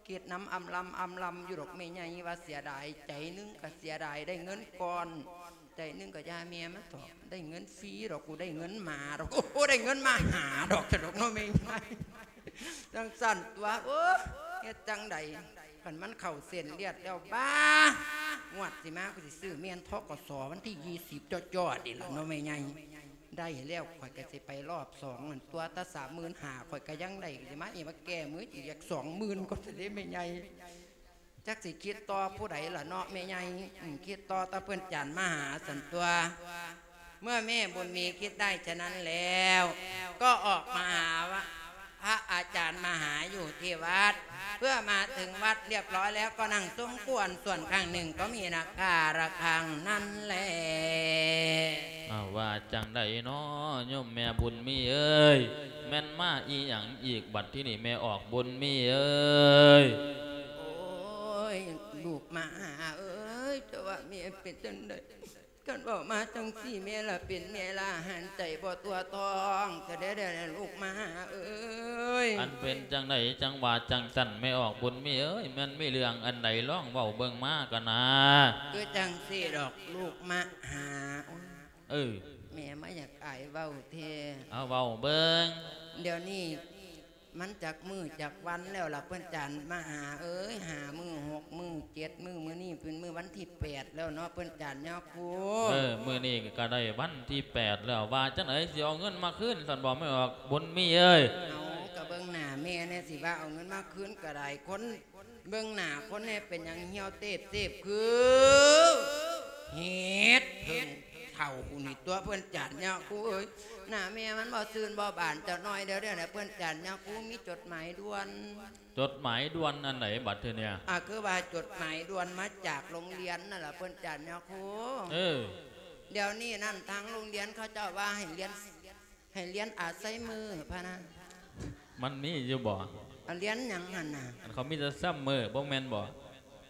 ຍ. ເຮັດນຳອຳລຳອຳລຳຢູ່ດອກແມ່ໃຫຍ່ ວ່າເສຍດາຍ ໃຈໜຶ່ງກໍເສຍດາຍໄດ້ເງິນກ່ອນ ໃຈໜຶ່ງກໍຢ່າແມ່ມາເຖາະ ໄດ້ເງິນຟຣີດອກ ກູໄດ້ເງິນໝາດອກ ໂອ້ໂຫ ໄດ້ເງິນມະຫາດອກ ຊັ້ນດອກເນາະແມ່ໃຫຍ່ ຈັ່ງຊັ້ນຕົວະ ໂອ້ ເຮັດຈັ່ງໃດ ຄັນມັນເຂົ້າເສັ້ນລຽດແລ້ວ ບາ ງວດຊິມາ ກູຊິຊື້ແມ່ນ ທກສ ວັນທີ ຊາວ ນີ້ລະເນາະແມ່ໃຫຍ່. ໄດ້ແລ້ວ ຂ້ອຍກໍຊິໄປລອບສອງນັ້ນຕົວະ ແຕ່ສາມໝື່ນຫ້າ ຂ້ອຍກໍຍັງໄດ້ ຊິມາອີກ ມາແກ້ມືອີກຈັກສອງໝື່ນກ່ອນເດ້ແມ່ໃຫຍ່ ຈັກຊິຄິດຕໍ່ຜູ້ໃດລະເນາະແມ່ໃຫຍ່ ອືມ ຄິດຕໍ່ແຕ່ເພິ່ນຈານມະຫາຊັ້ນຕົວະ. ເມື່ອແມ່บุญมีคิดได้ฉะนั้นแล้ว ก็ออกมาหาว่า พระอาจารย์มาหาอยู่ที่วัด เมื่อมาถึงวัดเรียบร้อยแล้วก็นั่งสมควร ส่วนข้างหนึ่งก็มีนาคาระฆังนั่นแล. ອ້າວ ວ່າຈັ່ງໃດເນາະ ໂຍມແມ່ບຸນມີເອີຍ ແມ່ນມາອີ່ຫຍັງອີກບັດທີນີ້ ແມ່ອອກບຸນມີເອີຍ? ໂອ້ຍ ລູກມະຫາເອີຍ ເຈົ້າວ່າແມ່ເປັນຈັ່ງໃດ? ຄັນເວົ້າມາຈັ່ງຊີ້ ແມ່ລະເປັນແມ່ລະຫັນໃຈບໍ່ຕົວະທອງ ຈະໄດ້ແດ່ລູກມະຫາເອີຍ. ອັນເປັນຈັ່ງໃດຈັ່ງວ່າຈັ່ງຊັ້ນ ແມ່ອອກບຸນມີເອີຍ ແມ່ນມີເລື່ອງອັນໃດລອງເວົ້າເບິ່ງມາກະນາ. ຄືຈັ່ງຊີ້ດອກລູກມະຫາ ໂອ້ຍ ເອີ ແມ່ມາຢາກອາຍເວົ້າແທ້. ເອົາເວົ້າເບິ່ງ ດຽວນີ້ ມັນຈັກມື້ຈັກວັນແລ້ວລະເພິ່ນຈານມະຫາເອີຍ ຫ້າມື້ ຫົກມື້ ເຈັດມື້ ມື້ນີ້ເປັນມື້ວັນທີແປດແລ້ວເນາະ ເພິ່ນຈານຍາຄູ. ເອີ ມື້ນີ້ກໍໄດ້ວັນທີແປດແລ້ວ ວ່າຈັ່ງໃດ ຊິເອົາເງິນມາຄືນຊັ້ນບໍ່ ແມ່ອອກບຸນມີເອີຍ? ເອົາ ກໍເບິ່ງໜ້າແມ່ແດ່ ຊິວ່າເອົາເງິນມາຄືນກໍໄດ້ ຄົນ ເບິ່ງໜ້າຄົນແດ່ ເປັນຫຍັງຫ່ຽວເຕບໆ ຄືເຫັດເຜິ້ງເຖົ້ານີ້ຕົວະ ເພິ່ນຈານຍາຄູເອີຍ. ໜ້າແມ່ມັນບໍ່ຊື່ນບໍ່ບານຈັກໜ້ອຍດຽວນີ້ແຫຼະ ເພິ່ນຈານຍາຄູ ມີຈົດໝາຍດ່ວນ. ຈົດໝາຍດ່ວນອັນໃດບັດທີນີ້? ອາ ຄືວ່າຈົດໝາຍດ່ວນມາຈາກໂຮງຮຽນນັ້ນລະ ເພິ່ນຈານຍາຄູ. ເອີ ດຽວນີ້ນັ້ນ ທາງໂຮງຮຽນເຂົາເຈົ້າວ່າໃຫ້ຮຽນ ໃຫ້ຮຽນອາໄຊເມີພະນະ. ມັນມີຢູ່ບໍ່? ອາ ຮຽນຫຍັງຫັ້ນນະ? ອັນເຂົາມີແຕ່ຊຳເມີ ບໍ່ແມ່ນບໍ່?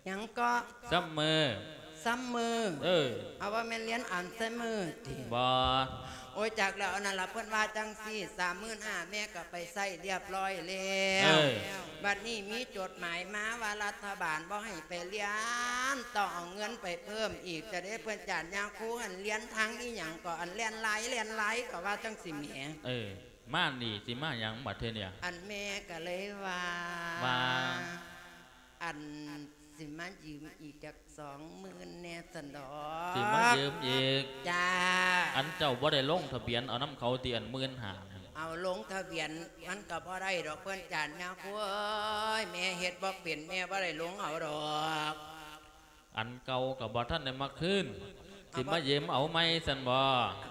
ຫຍັງເກາະ? ຊຳເມີ. ຊຳເມີ? ເອີ. ເອົາ ບໍ່ແມ່ນຮຽນອາໄຊເມີຕິ? ບໍ່. ໂອ້ຍ ຈັກແລ້ວ ອັນນັ້ນລະ ເພິ່ນວ່າຈັ່ງຊີ້ ສາມໝື່ນຫ້າ ແມ່ກໍໄປໃຊ້ຮຽບຮ້ອຍແລ້ວ. ເອີ. ບັດນີ້ມີຈົດໝາຍມາວ່າລັດຖະບານບໍ່ໃຫ້ໄປຮຽນ ຕ້ອງເອົາເງິນໄປເພີ່ມອີກ ຈະໄດ້ ເພິ່ນຈານຍາຄູ ອັນຮຽນທາງອີ່ຫຍັງເກາະ ອັນແລ່ນລາຍ ແລ່ນລາຍ ກໍວ່າຈັ່ງຊີ້ແໝ. ເອີ ມານີ້ຊິມາຫຍັງບັດທີນີ້? ອັນແມ່ກໍເລີຍວ່າ ວ່າ ອັນ ຊິມາຢືມອີກຈັກສອງໝື່ນແດ່ຊັ້ນດອກ. ຊິມາຢືມອີກ? ຈ້າ. ອັນເຈົ້າບໍ່ໄດ້ລົງທະບຽນເອົານຳເຂົາຕິ ອັນໝື່ນຫ້ານັ້ນ? ເອົາ ລົງທະບຽນມັນກໍບໍ່ໄດ້ດອກ ເພິ່ນຈານຍາຄູເອີຍ ແມ່ເຮັດບໍ່ເປັນ ແມ່ບໍ່ໄດ້ລົງເອົາດອກ. ອັນເກົ່າກໍບໍ່ທັນໄດ້ມາຄືນ ຊິມາຢືມເອົາໃໝ່ຊັ້ນບໍ?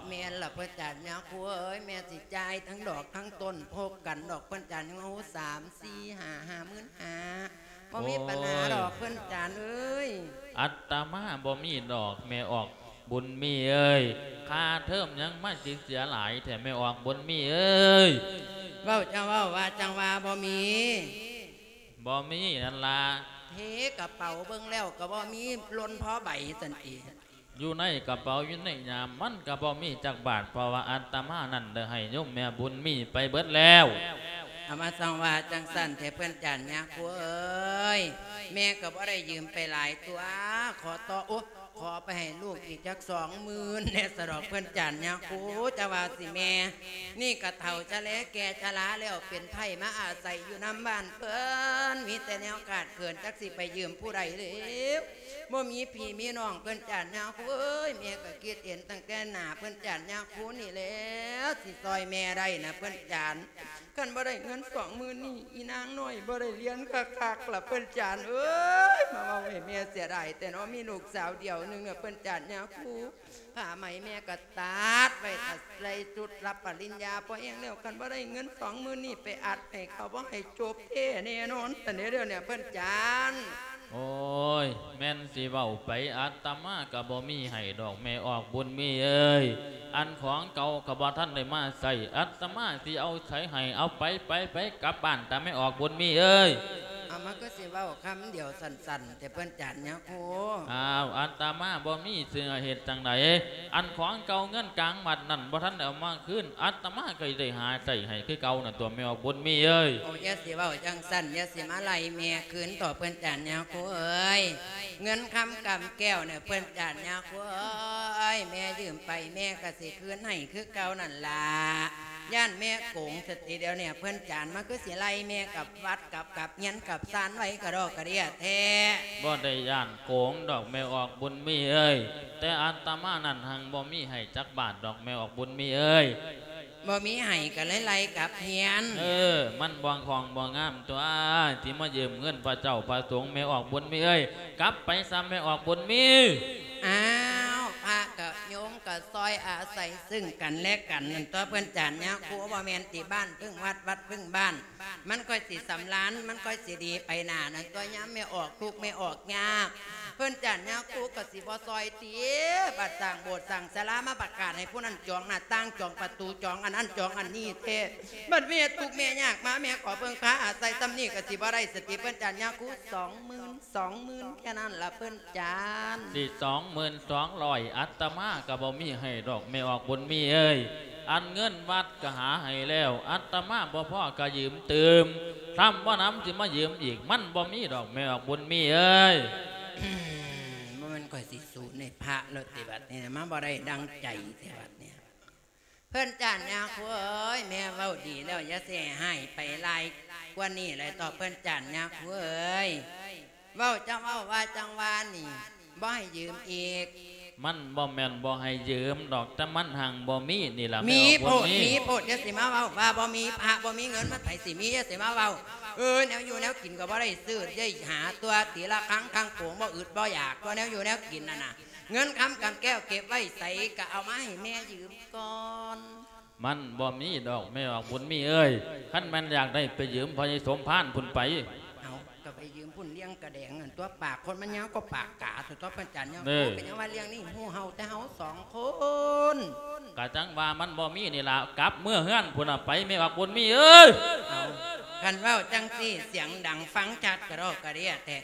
ແມ່ນລະ ເພິ່ນຈານຍາຄູເອີຍ ແມ່ຊິຈ່າຍທັງດອກທັງຕົ້ນ ພົບກັນດອກ ເພິ່ນຈານຍາຄູ ສາມ ສີ່ ຫ້າ ຫ້າໝື່ນຫ້າ ບໍ່ມີປັນຫາດອກ ໂອ້ຍ ເພິ່ນຈານເອີຍ. ອັດຕະມາບໍ່ມີດອກ ແມ່ອອກບຸນມີເອີຍ ຄ່າເທີມຫຍັງມາຊິເສຍຫຼາຍແທ້ ແມ່ອອກບຸນມີເອີຍ. ເວົ້າ ເຈົ້າເວົ້າວ່າຈັ່ງວ່າບໍ່ມີ. ບໍ່ມີນັ້ນລະ. ເທກະເປົາເບິ່ງແລ້ວກະບໍ່ມີ ຫຼົ່ນພໍໃບຊັ້ນຕິ. ຢູ່ໃນກະເປົາ ຢູ່ໃນຍາມມັນກະບໍ່ມີຈັກບາດ ເພາະວ່າອາດຕະມານັ້ນໄດ້ໃຫ້ໂຍມແມ່ບຸນມີໄປເບິດແລ້ວ. ເອົາມາ ສັງວ່າຈັ່ງຊັ້ນແທ້ ເພິ່ນຈານຍາຄູເອີຍ ແມ່ກະບໍ່ໄດ້ຢືມໄປຫຼາຍຕົວະ ຂໍຕໍ່ ໂອ ຂໍໄປໃຫ້ລູກອີກຈັກສອງໝື່ນແດ່ສະດອກ ເພິ່ນຈານຍາຄູ. ຈະວ່າຊິແມ່ ນີ້ກະເຖົ້າຊະແລແກ່ຊະລາແລ້ວ ເປັນໄພມາອາໄສຢູ່ນຳບ້ານເພິ່ນ ມີແຕ່ແນວຂາດເຂີນ ຈັກຊິໄປຢືມຜູ້ໃດແລ້ວ ບໍ່ມີພີ່ມີນ້ອງ ເພິ່ນຈານຍາຄູເອີຍ. ແມ່ກະຄິດເຫັນຕັ້ງແຕ່ໜ້າເພິ່ນຈານຍາຄູນີ້ແລ້ວ ຊິຊ່ອຍແມ່ໄດ້ນະເພິ່ນຈານ ຄັນບໍ່ໄດ້ເງິນສອງໝື່ນນີ້ ອີນາງນ້ອຍບໍ່ໄດ້ຮຽນຄັກໆລະເພິ່ນຈານເອີຍ. ມາເວົ້າໃຫ້ແມ່ເສຍດາຍແຕ່ເນາະ ມີລູກສາວດຽວໜຶ່ງນະເພິ່ນຈານຍາຄູ. ຜ້າໄໝແມ່ກໍຕັດໄວ້ ຕັດໃສ່ຊຸດຮັບປະລິນຍາພໍແຮງແລ້ວ ຄັນບໍ່ໄດ້ເງິນສອງໝື່ນນີ້ໄປອັດໃຫ້ເຂົາ ບໍ່ໃຫ້ຈົບແທ້ແນ່ນອນ ຊັ້ນເດ້ ດຽວນີ້ເພິ່ນຈານ. ໂອ້ຍ ແມ່ນຊິເວົ້າໄປ ອາດຕະມາກໍບໍ່ມີໃຫ້ດອກ ແມ່ອອກບຸນມີເອີຍ. ອັນຂອງເກົ່າກໍບໍ່ທັນໄດ້ມາໃຊ້ ອາດຕະມາຊິເອົາໃສໃຫ້ ເອົາໄປ ໄປ ໄປ ກັບບ້ານຕາ ແມ່ອອກບຸນມີເອີຍ. ມັນຄືຊິເວົ້າຄຳດຽວສັ້ນໆ ແຕ່ເພິ່ນຈານຍາຄູ. ອ້າວ ອາດຕະມາບໍ່ມີຊິເຮັດຈັ່ງໃດ? ອັນຂອງເກົ່າເງິນກາງວັດນັ້ນບໍ່ທັນໄດ້ເອົາມາຄືນ ອາດຕະມາກໍໄດ້ຫາໃຊ້ໃຫ້ຄືເກົ່ານັ້ນຕົວະ ແມ່ອອກບຸນມີເອີຍ. ໂອ້ ຢ່າຊິເວົ້າຈັ່ງຊັ້ນ ຢ່າຊິມາໄລ່ແມ່ຄືນເຖາະ ເພິ່ນຈານຍາຄູເອີຍ. ເງິນຄຳກຳແກ້ວນີ້ ເພິ່ນຈານຍາຄູເອີຍ ແມ່ຢືມໄປ ແມ່ກໍຊິຄືນໃຫ້ຄືເກົ່ານັ້ນລະ. ຢ້ານແມ່ໂກງສະຕິດຽວນີ້ ເພິ່ນຈານມາຄືຊິໄລ່ແມ່ກັບວັດ ກັບ ກັບເຮືອນກັບຊານໄວ້ກະດອກກະເດຍແທ້. ບໍ່ໄດ້ຢ້ານໂກງດອກແມ່ອອກບຸນມີເອີຍ ແຕ່ອາດຕະມານັ້ນຮັ່ງບໍ່ມີໃຫ້ຈັກບາດດອກແມ່ອອກບຸນມີເອີຍ. ບໍ່ມີໃຫ້ກໍເລີຍໄລ່ກັບເຮືອນ. ເອີ ມັນບໍ່ຄ່ອງບໍ່ງາມຕົວະ ທີ່ມາຢືມເງິນພະເຈົ້າພະສົງແມ່ອອກບຸນມີເອີຍ. ກັບໄປຊະແມ່ອອກບຸນມີ. ອ້າວ ພະກັບໂຍມກໍຊ່ອຍອາໄສຊຶ່ງກັນແລະກັນນັ້ນຕົວະ ເພິ່ນຈານຍາຄູ. ບໍ່ແມ່ນຕິ ບ້ານເພິ່ງວັດ ວັດເພິ່ງບ້ານ ມັນຄ່ອຍຊິສຳລານ ມັນຄ່ອຍຊິດີໄປໜ້ານັ້ນຕົວະ. ຍາມແມ່ອອກທຸກແມ່ອອກຍາກ ເພິ່ນຈານຍາຄູກໍຊິບໍ່ຊ່ອຍຕິ ບັດສ້າງໂບດສ້າງສາລາ ມາປະກາດໃຫ້ຜູ້ນັ້ນຈອງໜ້າຕ່າງ ຈອງປະຕູ ຈອງອັນນັ້ນຈອງອັນນີ້ແທ້. ບັດແມ່ທຸກແມ່ຍາກມາ ແມ່ຂໍເພິ່ງພາອາໄສຊ່ຳນີ້ກໍຊິບໍ່ໄດ້ສະຕິ ເພິ່ນຈານຍາຄູ. ສອງໝື່ນ ສອງໝື່ນ ແຄ່ນັ້ນລະເພິ່ນຈານ. ຊິສອງໝື່ນສອງຮ້ອຍ ອາດຕະມາກໍບໍ່ມີໃຫ້ດອກແມ່ອອກບຸນມີເອີຍ. ອັນເງິນວັດກໍຫາໃຫ້ແລ້ວ ອາດຕະມາບໍ່ພໍກໍຢືມຕື່ມ ຖ້າບໍ່ນຳຊິມາຢືມອີກ ມັນບໍ່ມີດອກແມ່ອອກບຸນມີເອີຍ. ບໍ່ແມ່ນຂ້ອຍຊິສູ້ໃນພະແລ້ວຕິ ບັດນີ້ມາບໍ່ໄດ້ດັ່ງໃຈແທ້ບັດນີ້. ເພິ່ນຈານຍາຄູເອີຍ ແມ່ເວົ້າດີແລ້ວ ຢ່າຊິໃຫ້ຮ້າຍໄປຫຼາຍກວ່ານີ້ເລີຍເຖາະ ເພິ່ນຈານຍາຄູເອີຍ. ເວົ້າຈັ່ງເວົ້າ ວ່າຈັ່ງວ່ານີ້ ບໍ່ໃຫ້ຢືມອີກ. ມັນບໍ່ແມ່ນບໍ່ໃຫ້ຢືມດອກ ແຕ່ມັນຮັ່ງບໍ່ມີນີ້ລະ ມີໂພດ ມີໂພດ. ຢ່າຊິມາເວົ້າວ່າບໍ່ມີພະ ບໍ່ມີເງິນ ມັນໃຜຊິມີ ຢ່າຊິມາເວົ້າ. ເອີ ແນວຢູ່ແນວກິນກໍບໍ່ໄດ້ຊື້ ໄດ້ຫາຕົວະ ຕີລະຄັງຄັງໂປງ ບໍ່ອຶດບໍ່ຢາກຕົວະ ແນວຢູ່ແນວກິນນັ້ນນະ. ເງິນຄຳກຳແກ້ວເກັບໄວ້ໃສ ກໍເອົາມາໃຫ້ແມ່ຢືມກ່ອນ. ມັນບໍ່ມີດອກແມ່ອອກບຸນມີເອີຍ. ຄັນແມ່ນຢາກໄດ້ໄປຢືມພໍ່ໃຫຍ່ສົມພານພຸ້ນໄປ. ເອົາ ກໍໄປຢືມພຸ້ນ ລ້ຽງກະແດງຫັ້ນຕົວະ. ປາກຄົນມັນຍາວກວ່າປາກກາ ຕົວະ ເພິ່ນຈານຍາຄູ. ເອີ ກໍຍັງວ່າລ້ຽງນີ້ຮູ້ເຮົາແຕ່ເຮົາສອງຄົນ. ກະຈັ່ງວ່າມັນບໍ່ມີນີ້ລະ ກັບເມືອເຮືອນພຸ້ນນະໄປ ແມ່ອອກບຸນມີເອີຍ. ເອົາ ຄັນເວົ້າຈັ່ງຊີ້ ສຽງດັງຟັງຊັດກະດອກກະເດຍແທ້.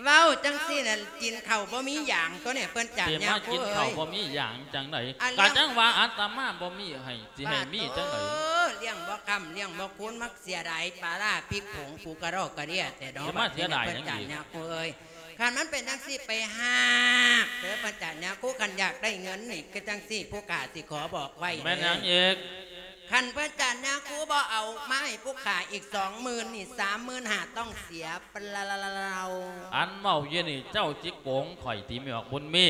ເວົ້າຈັ່ງຊີ້ນະ ກິນເຂົ້າບໍ່ມີຢາງຕົວະນີ້ ເພິ່ນຈານຍາຄູເອີຍ. ຊິມາກິນເຂົ້າບໍ່ມີຢາງຈັ່ງໃດ? ກະຈັ່ງວ່າອາດຕະມາບໍ່ມີໃຫ້ ຊິໃຫ້ມີຈັ່ງໃດ? ໂອ້ ລ້ຽງບໍ່ຄ້ຳ ລ້ຽງບໍ່ຄູນ ມັກເສຍດາຍປາຮ້າພິກຜົງ ປູກະດອກກະເດຍແທ້ດອກ. ຊິມາເສຍດາຍຫຍັງອີກ? ເພິ່ນຈານຍາຄູເອີຍ. ຄັນມັນເປັນຈັ່ງຊີ້ ໄປຫາກເດີ ເພິ່ນຈານຍາຄູ. ຄັນຢາກໄດ້ເງິນນີ້ ຄືຈັ່ງຊີ້ ຜູ້ຂ້າຊິຂໍບອກໄວ້. ແມ່ນຫຍັງອີກ? ຄັນເພິ່ນຈານຍາຄູບໍ່ເອົາມາໃຫ້ຜູ້ຂ້າອີກສອງໝື່ນນີ້ ສາມໝື່ນຫ້າ ຕ້ອງເສຍເປົ່າໆ. ອັນເວົ້າຢູ່ນີ້ ເຈົ້າຊິໂກງຂ້ອຍຕິ ແມ່ອອກບຸນມີ?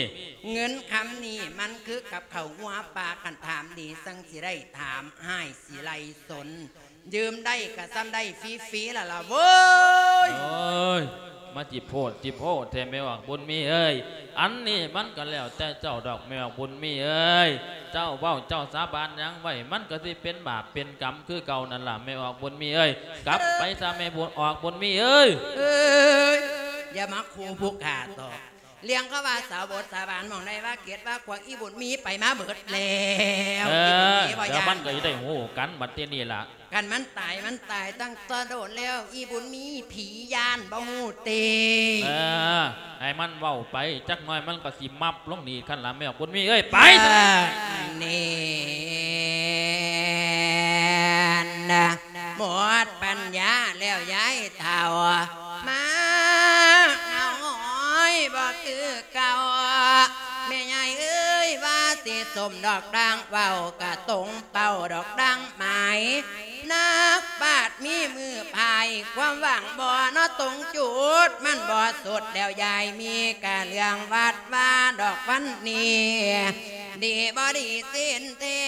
ເງິນຄຳນີ້ມັນຄືກັບເຂົ້າງົວປ່າ ຄັນຖາມດີຈັ່ງຊິໄດ້ ຖາມຮ້າຍຊິໄລ່ສົນ. ຢືມໄດ້ກໍຊ່ຳໄດ້ຟຣີໆລະລະເວີຍ. ໂອ້ຍ ມາຈິໂພດຈິໂພແທ້ແມ່ອອກບຸນມີເອີຍ. ອັນນີ້ມັນກໍແລ້ວແຕ່ເຈົ້າດອກແມ່ອອກບຸນມີເອີຍ. ເຈົ້າເວົ້າເຈົ້າສາບານຫຍັງໄວ້ ມັນກໍຊິເປັນບາບເປັນກຳຄືເກົ່ານັ້ນລະແມ່ອອກບຸນມີເອີຍ. ກັບໄປຊະແມ່ບຸນ ອອກບຸນມີເອີຍ. ເອີຍ ຢ່າມາຂູ່ຜູ້ຂ້າເຖາະ. ລ້ຽງເຂົາວ່າສາບົດສາບານໝ່ອງໃດ ວ່າເກັດວ່າຂວາກ ອີບຸນມີໄປມາເບິດແລ້ວ. ເອີ ອີບຸນມີບໍ່ຢ້ານ. ດຽວມັນກໍຊິໄດ້ຮູ້ກັນບັດທີນີ້ລະ. ຄັນມັນຕາຍ ມັນຕາຍຕັ້ງແຕ່ໂດນແລ້ວ ອີບຸນມີຜີຢ້ານບໍ່ຮູ້ຕິ. ເອີ ໃຫ້ມັນເວົ້າໄປ ຈັກໜ້ອຍມັນກໍຊິມັບລົງນີ້ຄັນລະແມ່ອອກບຸນມີເອີຍ. ໄປ ເອີ ນີ້ນະ ໝົດປັນຍາແລ້ວຍາຍເຖົ້າ ມາເງົາຫອຍບໍ່ຄືເກົ່າ. ແມ່ຍາຍເອີຍ ວ່າຊິສົມດອກດາງ ເວົ້າກະຕົງເປົ້າດອກດາງໝາຍ. ນັກປາດມີມືພາຍ ຄວາມຫວັງບໍ່ເນາະຕົງຈຸດ ມັນບໍ່ສຸດແລ້ວຍາຍ ມີກະເລື່ອງວັດວາດອກວັນນີ້ ດີບໍ່ດີສິນແທ້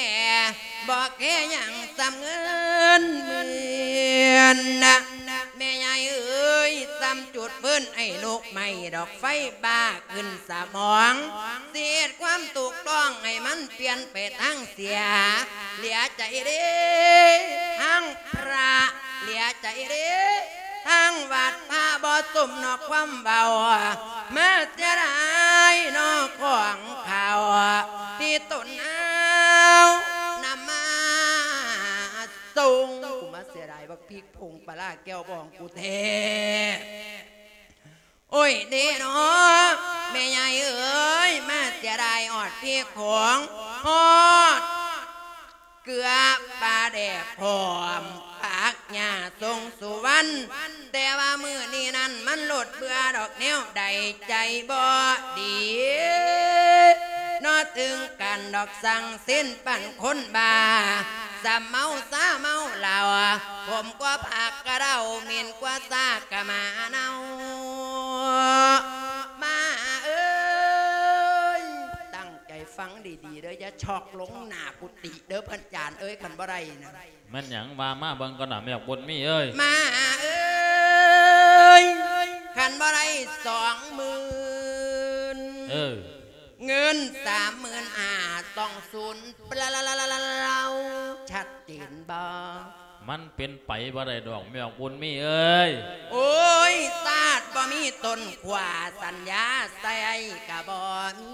ບໍ່ແຄຫຍັງສ່ຳເງິນໝື່ນນະ. ແມ່ຍາຍເອີຍ ສ່ຳຈຸດຟືນໃຫ້ລຸກໄໝ້ ດອກໄຟບ້າຂຶ້ນສະໝອງ ຊິເຮັດຄວາມຖືກຕ້ອງໃຫ້ມັນປ່ຽນໄປທາງເສຍ. ເຫຼືອໃຈເດ້ທາງພະ ເຫຼືອໃຈເດ້ທາງວັດ ພະບໍ່ສົມເນາະຄວາມເວົ້າ ມາເສຍດາຍເນາະຂອງເຂົາ ທີ່ຕົນເອົານຳມາສົ່ງ ກູມາເສຍດາຍ ບັກພິກຜົງປາຫຼ້າແກ້ວບອງກູແທ້. ໂອ້ຍເດເນາະ ແມ່ໃຫຍ່ເອີຍ ມາເສຍດາຍຮອດພິກຜົງ ຮອດເກືອປາແດກ ພ້ອມຜັກຫຍ້າຊົງສຸວັນ ແຕ່ວ່າມື້ນີ້ນັ້ນມັນໂລດເບື່ອດອກແນວໃດ ໃຈບໍ່ດີເນາະ ເຖິງກັນດອກ ສັງເສັນປານຄົນບ້າ ສຳເມົາຊາເມົາເຫຼົ້າ ຂົມກວ່າຜັກກະເດົາ ເໝັນກວ່າຊາກະໝາເນົ່າ. ມາເອີຍ ຕັ້ງໃຈຟັງດີໆເດີ້ ຢ່າຊອກລົງໜ້າກຸຕິເດີ້ ເພິ່ນຈານເອີຍ ຄັນບໍ່ໄດ້ນະ. ແມ່ນຫຍັງ? ວ່າມາເບິ່ງກ່ອນນະ ແມ່ບັກບຸນມີເອີຍ. ມາເອີຍ ຄັນບໍ່ໄດ້ສອງໝື່ນ ເອີ ເງິນສາມໝື່ນຫ້າ ຕ້ອງສູນ ເປົ່າ ຊັດເຈນບໍ່? ມັນເປັນໄປບໍ່ໄດ້ດອກ ແມ່ບັກບຸນມີເອີຍ. ໂອ້ຍ ຊາດບໍ່ມີຕົ້ນຂວ້າ ສັນຍາໃສ່ກະບໍ່ມີ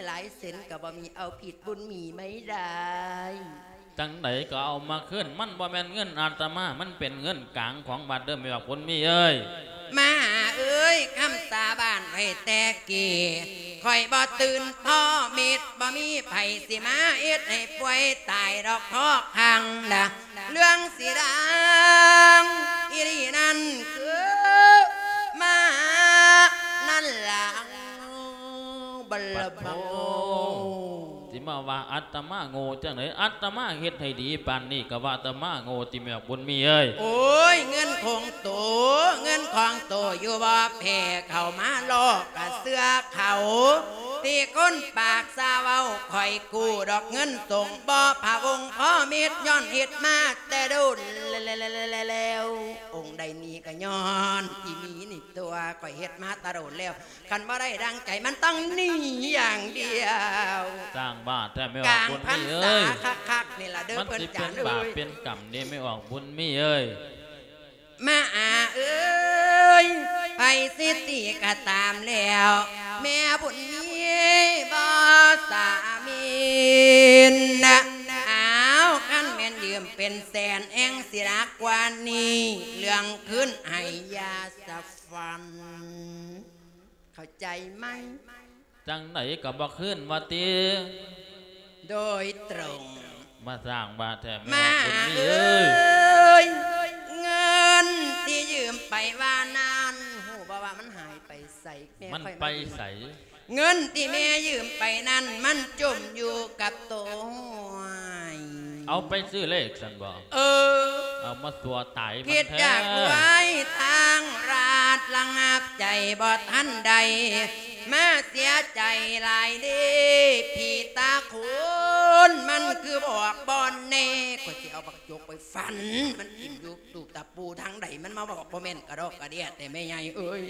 ລາຍເຊັນກະບໍ່ມີ ເອົາຜິດບຸນມີໄມ່ໄດ້. ຈັ່ງໃດກໍເອົາມາຄືນ ມັນບໍ່ແມ່ນເງິນອາດຕະມາ ມັນເປັນເງິນກາງຂອງວັດເດີ້ ແມ່ບັກບຸນມີເອີຍ. ມາເອີຍ ຄຳສາບານໄວ້ແຕ່ກີ້ ຂ້ອຍບໍ່ຕື່ນພໍເມັດ ບໍ່ມີໃຜຊິມາເຮັດໃຫ້ປ່ວຍຕາຍດອກ ພໍຄັງນະ ເລື່ອງຊິດັງອີ່ຫຼີນັ້ນຄືມານັ້ນລະ ບັນລະບັງໂງ່. ຊິມາວ່າອາດຕະມາໂງ່ຈັ່ງໃດ? ອາດຕະມາເຮັດໃຫ້ດີປານນີ້ ກໍວ່າອາດຕະມາໂງ່ຕິ ແມ່ບຸນມີເອີຍ. ໂອ້ຍ ເງິນຂອງໂຕ ເງິນຂອງໂຕຢູ່ບໍ່ແພ້ ເຂົ້າມາຫຼອກກະເຊື່ອເຂົາ ທີ່ຄົນປາກຊາເວົ້າ ຂ້ອຍກູ້ດອກເງິນສົງ ບໍ່ພະວົງພໍເມັດ ຍ້ອນເຮັດມາແຕ່ດົນແລ້ວ ອົງໃດໜີກໍຍ້ອນອີ່ໝີນີ້ຕົວະ ຂ້ອຍເຮັດມາແຕ່ດົນແລ້ວ ຄັນບໍ່ໄດ້ດັ່ງໃຈ ມັນຕ້ອງໜີຢ່າງດຽວ. ສ້າງບ້າແທ້ແມ່ອອກບຸນມີເອີຍ. ກາງພັນສາຄັກໆນີ້ລະເດີ້ ມັນຊິເປັນບາບເປັນກຳເດ້ແມ່ອອກບຸນມີເອີຍ. ມາອາເອີຍ ໃຜຊິຕີກໍຕາມແລ້ວ ແມ່ບຸນມີບໍ່ສາມິນນະ. ອ້າວ ຄັນແມ່ນຢືມເປັນແສນແຮ່ງຊິໜັກກວ່ານີ້ ເລື່ອງຄືນໃຫ້ຢ່າສະ ຟັນ ເຂົ້າໃຈໄໝ? ຈັ່ງໃດກໍບໍ່ຄືນວ່າຕິ? ໂດຍຕົງ. ມາສ້າງບ້າແທ້ແມ່ອອກບຸນມີເອີຍ. ເງິນທີ່ຢືມໄປວ່ານັ້ນ ຮູ້ບໍ່ວ່າມັນຫາຍໄປໃສ? ມັນໄປໃສ? ເງິນທີ່ແມ່ຢືມໄປນັ້ນ ມັນຈົມຢູ່ກັບໂຕຫ້ວຍ. ເອົາໄປຊື້ເລກຊັ້ນບໍ? ເອີ ເອົາມາຕົວະຕາຍມັນແທ້. ຜິດຢາກລວຍທາງລາດ ລະງັບໃຈບໍ່ທັນໄດ້ ມາເສຍໃຈຫຼາຍເດ້ ຜີຕາໂຂນ ມັນຄືບອກບໍ່ແນ່ ຂ້ອຍຊິເອົາບັກຈົກໄປຟັນ ມັນຖິ້ມຢູ່ຕູບຕາປູທາງໃດ ມັນມາບອກບໍ່ແມ່ນກະດອກກະເດຍແທ້ແມ່ໃຫຍ່ເອີຍ.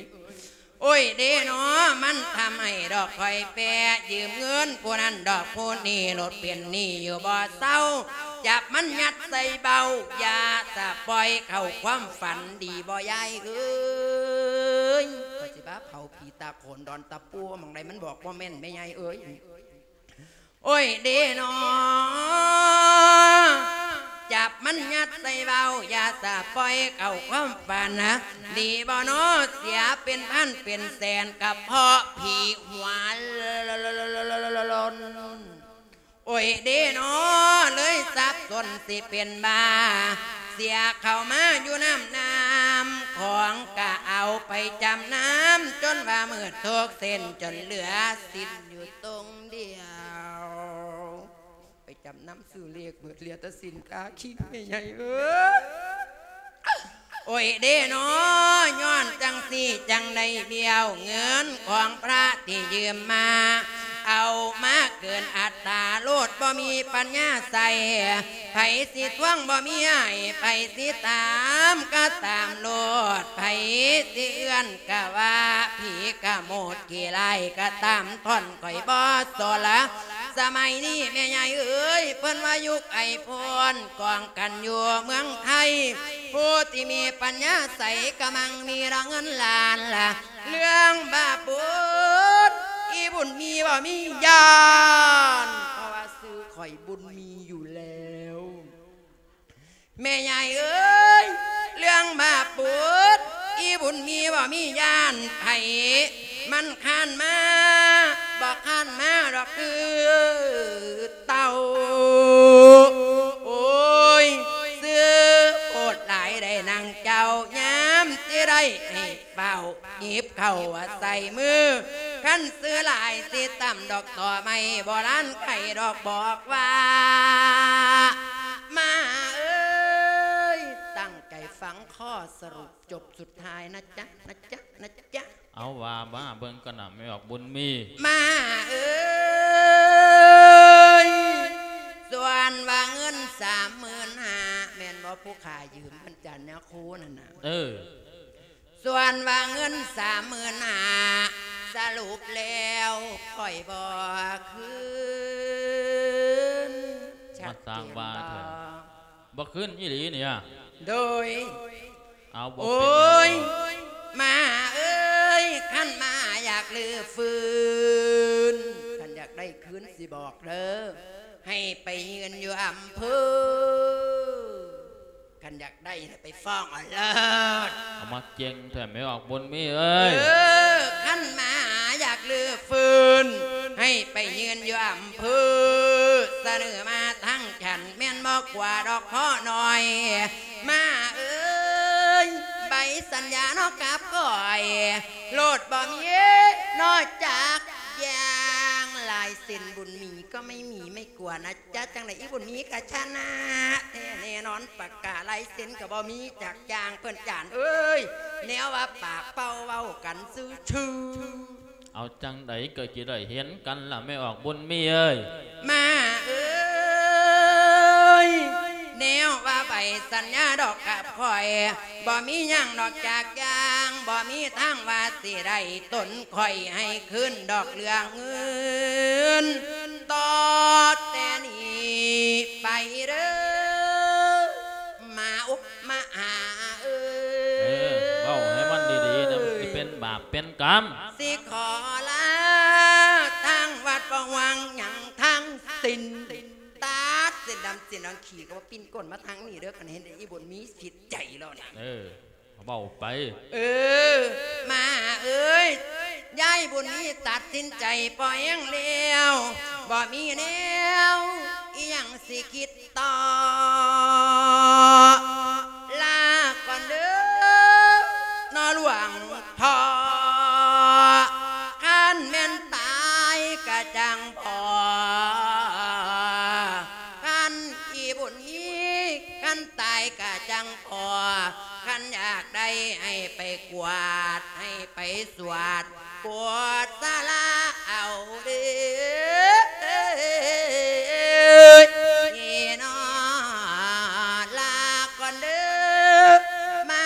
ໂອ້ຍເດເນາະ ມັນທຳໃຫ້ດອກຂ້ອຍແປ ຢືມເງິນຜູ້ນັ້ນດອກຜູ້ນີ້ ໂລດເປັນໜີ້ຢູ່ບໍ່ເຊົາ ຈັບມັນຍັດໃສ່ເບົາ ຢ່າສະປ່ອຍເຂົ້າຄວາມຝັນ ດີບໍ່ຍາຍເອີຍ? ຂ້ອຍຊິມາເຜົາຜີຕາໂຂນດອນຕະປູ ໝ່ອງໃດມັນບອກບໍ່ແມ່ນແມ່ໃຫຍ່ເອີຍ. ໂອ້ຍເດເນາະ ຈັບມັນຍັດໃສ່ເບົາ ຢ່າສະປ່ອຍເຂົ້າຄວາມຝັນນະ ດີບໍ່ເນາະ ເສຍເປັນພັນເປັນແສນ ກະເພາະຜີຫົວໂລນ. ໂອ້ຍເດເນາະ ເລີຍສັບສົນຊິເປັນບ້າ ເສຍເຂົ້າມາຢູ່ນຳນ້ຳຂອງ ກະເອົາໄປຈຳນຳ ຈົນວ່າມືດທຸກເສັ້ນ ຈົນເຫຼືອສິ້ນຢູ່ຕົງ ດຽວ ໄປຈຳນຳຊື້ເລກເບິດ ເຫຼືອແຕ່ສິ້ນກາຄິງ ແມ່ໃຫຍ່ເອີຍ. ໂອ້ຍເດເນາະ ຍ້ອນຈັ່ງຊີ້ຈັ່ງໄດ້ບ້ຽວ ເງິນຂອງພະທີ່ຢືມມາ ເອົາມາເກີນອັດຕາໂລດ ບໍ່ມີປັນຍາໃຊ້ ໃຜຊິທວງບໍ່ມີໃຫ້ ໃຜຊິຕາມກະຕາມໂລດ ໃຜຊິເອື້ອນກະວ່າ ຜີກະໂມດຂີ້ຮ້າຍກະຕາມ ທ່ອນຂ້ອຍບໍ່ສົນລະ. ສະໄໝນີ້ແມ່ໃຫຍ່ເອີຍ ເພິ່ນວ່າຍຸກໄອໂຟນ ກອງກັນຢູ່ເມືອງໄທ ຜູ້ທີ່ມີປັນຍາໃສກະມັ່ງມີລະເງິນລ້ານລະ ເລື່ອງບາບບຸນ ອີບຸນມີບໍ່ມີຢ້ານ ເພາະວ່າຊື່ຂ້ອຍບຸນມີຢູ່ແລ້ວ ແມ່ໃຫຍ່ເອີຍ. ບຸດ ອີບຸນມີບໍ່ມີຢ້ານໃຜ ມັນຄານມາ ບໍ່ຄານມາດອກຄືເຕົ່າ. ໂອ້ຍ ຊື້ໂພດຫຼາຍໄດ້ນາງເຈົ້າ ຍາມຊິໄດ້ໃຫ້ ເຝົ້າຫຍິບເຂົ້າໃສ່ມື ຄັນຊື້ຫຼາຍຊິຕຳດອກຕໍໄມ້ ບໍ່ລ້ານໄຂ່ດອກບອກວ່າ ມາເອີຍ ຕັ້ງໃຈຟັງຂໍ້ສະຫຼຸບຈົບສຸດທ້າຍນະຈະ ນະຈະ ນະຈະ. ເອົາວ່າມາເບິ່ງກັນນະ ແມ່ອອກບຸນມີ. ມາເອີຍ ສ່ວນວ່າເງິນສາມໝື່ນຫ້າ ແມ່ນບໍ່ ຜູ້ຂ້າຢືມເພິ່ນຈານຍາຄູນັ້ນນະ? ເອີ ສ່ວນວ່າເງິນສາມໝື່ນຫ້າ ສະຫຼຸບແລ້ວຂ້ອຍບໍ່ຄືນ. ມາສ້າງວ່າແທ້ ບໍ່ຄືນອີ່ຫຼີນີ້. ໂດຍ ເອົາ ບໍ່ ໂອ້ຍ ເປັນຫຍັງ ມາເອີຍ ຄັນມາຢາກຮື້ຟື້ນ ຄັນຢາກໄດ້ຄືນຊິບອກເດີ ໃຫ້ໄປຍື່ນຢູ່ອຳເພີ ຄັນຢາກໄດ້ໃຫ້ໄປຟ້ອງເອົາເລີດ. ເອົາ ມາເກັ່ງແທ້ແມ່ອອກບຸນມີເອີຍ. ເອີ ຄັນມາຫາຢາກຮື້ຟື້ນ ໃຫ້ໄປຍື່ນຢູ່ອຳເພີ ສະເໜີມາທາງຊັ້ນ ແມ່ນບໍ່ກວ່າດອກພໍນ້ອຍ. ມາເອີຍ ໃບສັນຍາເນາະກັບຂ້ອຍ ໂລດບໍ່ມີເນາະຈັກຢ່າງ ລາຍເຊັນບຸນມີກໍໄມ່ມີໄມ່ກວນນະ. ຈະຈັ່ງໃດອີ່ບຸນມີກະຊະນະແທ້ແນ່ນອນ ປາກກາລາຍເຊັນກະບໍ່ມີຈັກຢ່າງ ເພິ່ນຈານເອີຍ ແນວວ່າປາກເປົ່າເວົ້າກັນຊື່ໆ. ເອົາ ຈັ່ງໃດກະຊິໄດ້ເຫັນກັນລະແມ່ອອກບຸນມີເອີຍ. ມາເອີຍ ແນວວ່າໃບສັນຍາດອກກັບຂ້ອຍ ບໍ່ມີຫຍັງນອກຈາກຢ່າງ ບໍ່ມີທາງວ່າຊິໄດ້ຕົນຂ້ອຍໃຫ້ຄືນດອກເລື່ອງເງິນ ຕໍ່ແຕ່ນີ້ໄປເດີ ມາອຸມາຫາເອີຍ. ເອີ ເວົ້າໃຫ້ມັນດີໆນະ ມັນຊິເປັນບາບເປັນກຳ. ຊິຂໍລາທາງວັດ ບໍ່ຫວັງຫຍັງທັງສິ້ນ ຕັດເສັ້ນດຳເສັ້ນດອນ ຂີ້ກໍບໍ່ປິ່ນກົ້ນມາທາງນີ້ເດີ ຄັນເຫັນອີ່ບຸນມີຜິດໃຈແລ້ວນີ້. ເອີ ເວົ້າໄປ. ເອີ ມາເອີຍ ຍາຍບຸນມີຕັດສິນໃຈພໍແຮງແລ້ວ ບໍ່ມີແນວອີ່ຫຍັງຊິຄິດຕໍ່ ລາກ່ອນເດີ ນອຫຼວງພໍ່ ຄັນແມ່ນຕາຍກະຈັ່ງພໍ ຄັນອີ່ບຸນອີ ຄັນຕາຍກະຈັ່ງພໍ ຄັນຢາກໄດ້ໃຫ້ໄປກວາດ ໃຫ້ໄປສວດ ກວດສາລາເອົາເດີ ນອ ລາກ່ອນເດີ ມາ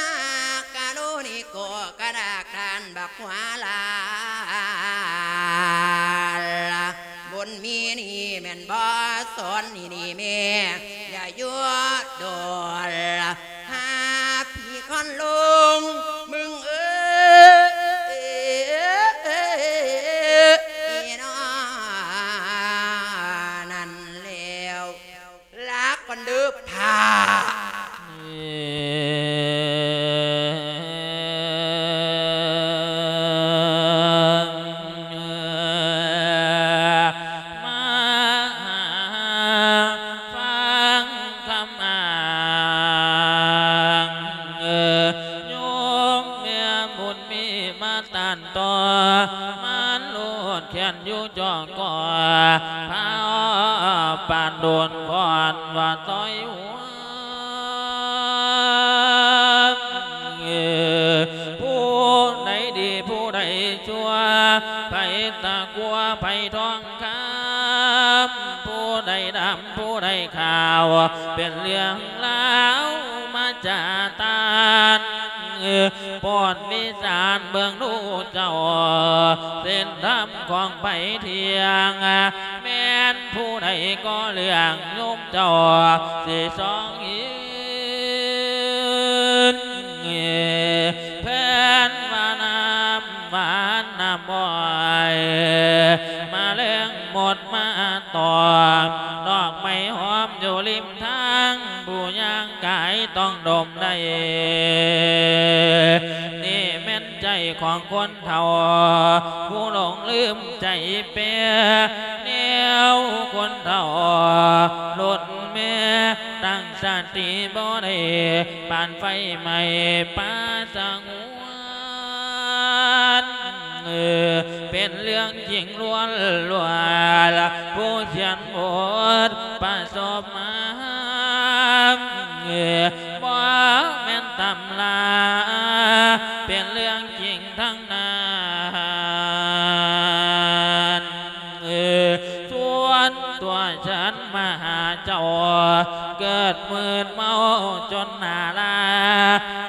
ກະໂລນີໂກ ກະດາກທ່ານບັກຫົວລາ ບຸນມີນີ້ແມ່ນບໍ່ ສອນນີ້ນີ້ແມ່ ຢ່າຢູ່ດົນ ຫາຜີຄອນລົງ ມຶງເອີຍ ນອ ນັ້ນແລ້ວ ລາກ່ອນເດີ ພາ ມາຫາຟັງຄຳອ້າງ ໂຍມແມ່ບຸນມີມາ ຕັນຕໍ່ ມັນໂລດແຂນຢູ່ຈອກກໍ ພາປານໂດນກ່ອນວ່າຕ່ອຍຫົວ ຜູ້ໃດດີຜູ້ໃດຊົ່ວ ໃຜຕະກົ່ວໃຜທອງຄຳ ຜູ້ໃດດຳຜູ້ໃດຂາວ ເປັນເລື່ອງລາວມາຈາຕານ ໂປດວິຈານເບິ່ງດູເຈົ້າ ເສັ້ນທຳຂອງໃຜທ່ຽງ ແມ່ນຜູ້ໃດກໍເລື່ອງໂຍມເຈົ້າ ຊິຊອງເຫັນ ແຜ່ນວ່ານ້ຳຫວານນ້ຳອ້ອຍ ມາແລງໝົດມາຕອມ ດອກໄມ້ຫອມຢູ່ລິມທາງ ຜູ້ຍ່າງກາຍຕ້ອງດົມໄດ້ ຄົນເຖົ້າຜູ້ຫຼົງລືມໃຈແປ ແນວຄົນເຖົ້າລຸ້ນແມ່ ຕັ້ງສະຕິບໍ່ໄດ້ ປານໄຟໄໝ້ປ່າສະຫງວນ ເປັນເລື່ອງຈິງລ້ວນໆ ຜູ້ຂຽນບົດປະສົບມາ ບໍ່ແມ່ນຕຳລາ ເປັນເລື່ອງຈິງທັງນັ້ນ ສ່ວນຕົວສັນມະຫາເຈົ້າ ເກີດມືດເມົາຈົນໜ້າລາ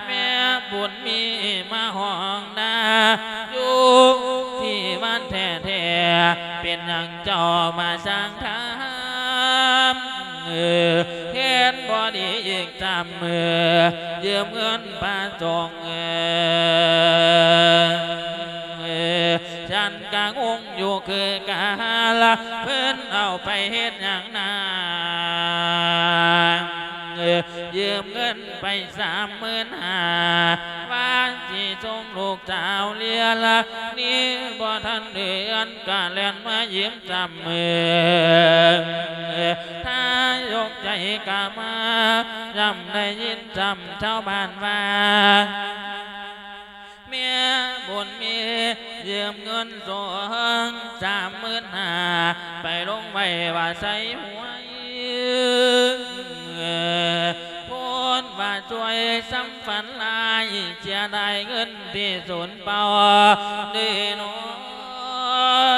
ແມ່ບຸນມີມາຮ້ອງນາ ຢູ່ທີ່ບ້ານແທ້ໆ ເປັນຫຍັງເຈົ້າມາສ້າງທຳ ເຫັນບໍ່ດີອີກສາມມື້ ຢືມເງິນພະສົງ ເອີ ເອີ ສັນກະງົງຢູ່ຄືກັນ ເພິ່ນເອົາໄປເຮັດຫຍັງນາ ເອີ ຢືມເງິນໄປສາມໝື່ນຫ້າ ວ່າຊິສົ່ງລູກສາວຮຽນ ນີ້ບໍ່ທັນເດືອນ ກະແລ່ນມາຢືມຊ້ຳມື້ ເອີ ຖ້າຍົກໃຈກະມາ ຢ້ຳໄດ້ຍິນຊ້ຳຊາວບ້ານວ່າ ແມ່ບຸນມີຢືມເງິນສອງສາມໝື່ນຫ້າ ໄປລົງໄວ້ວ່າໃສ່ຫວຍ ໂພດວ່າຊ່ວຍຊ້ຳຝັນຮ້າຍ ເສຍດາຍເງິນທີ່ສູນເປົ່າເດ້ນ້ອ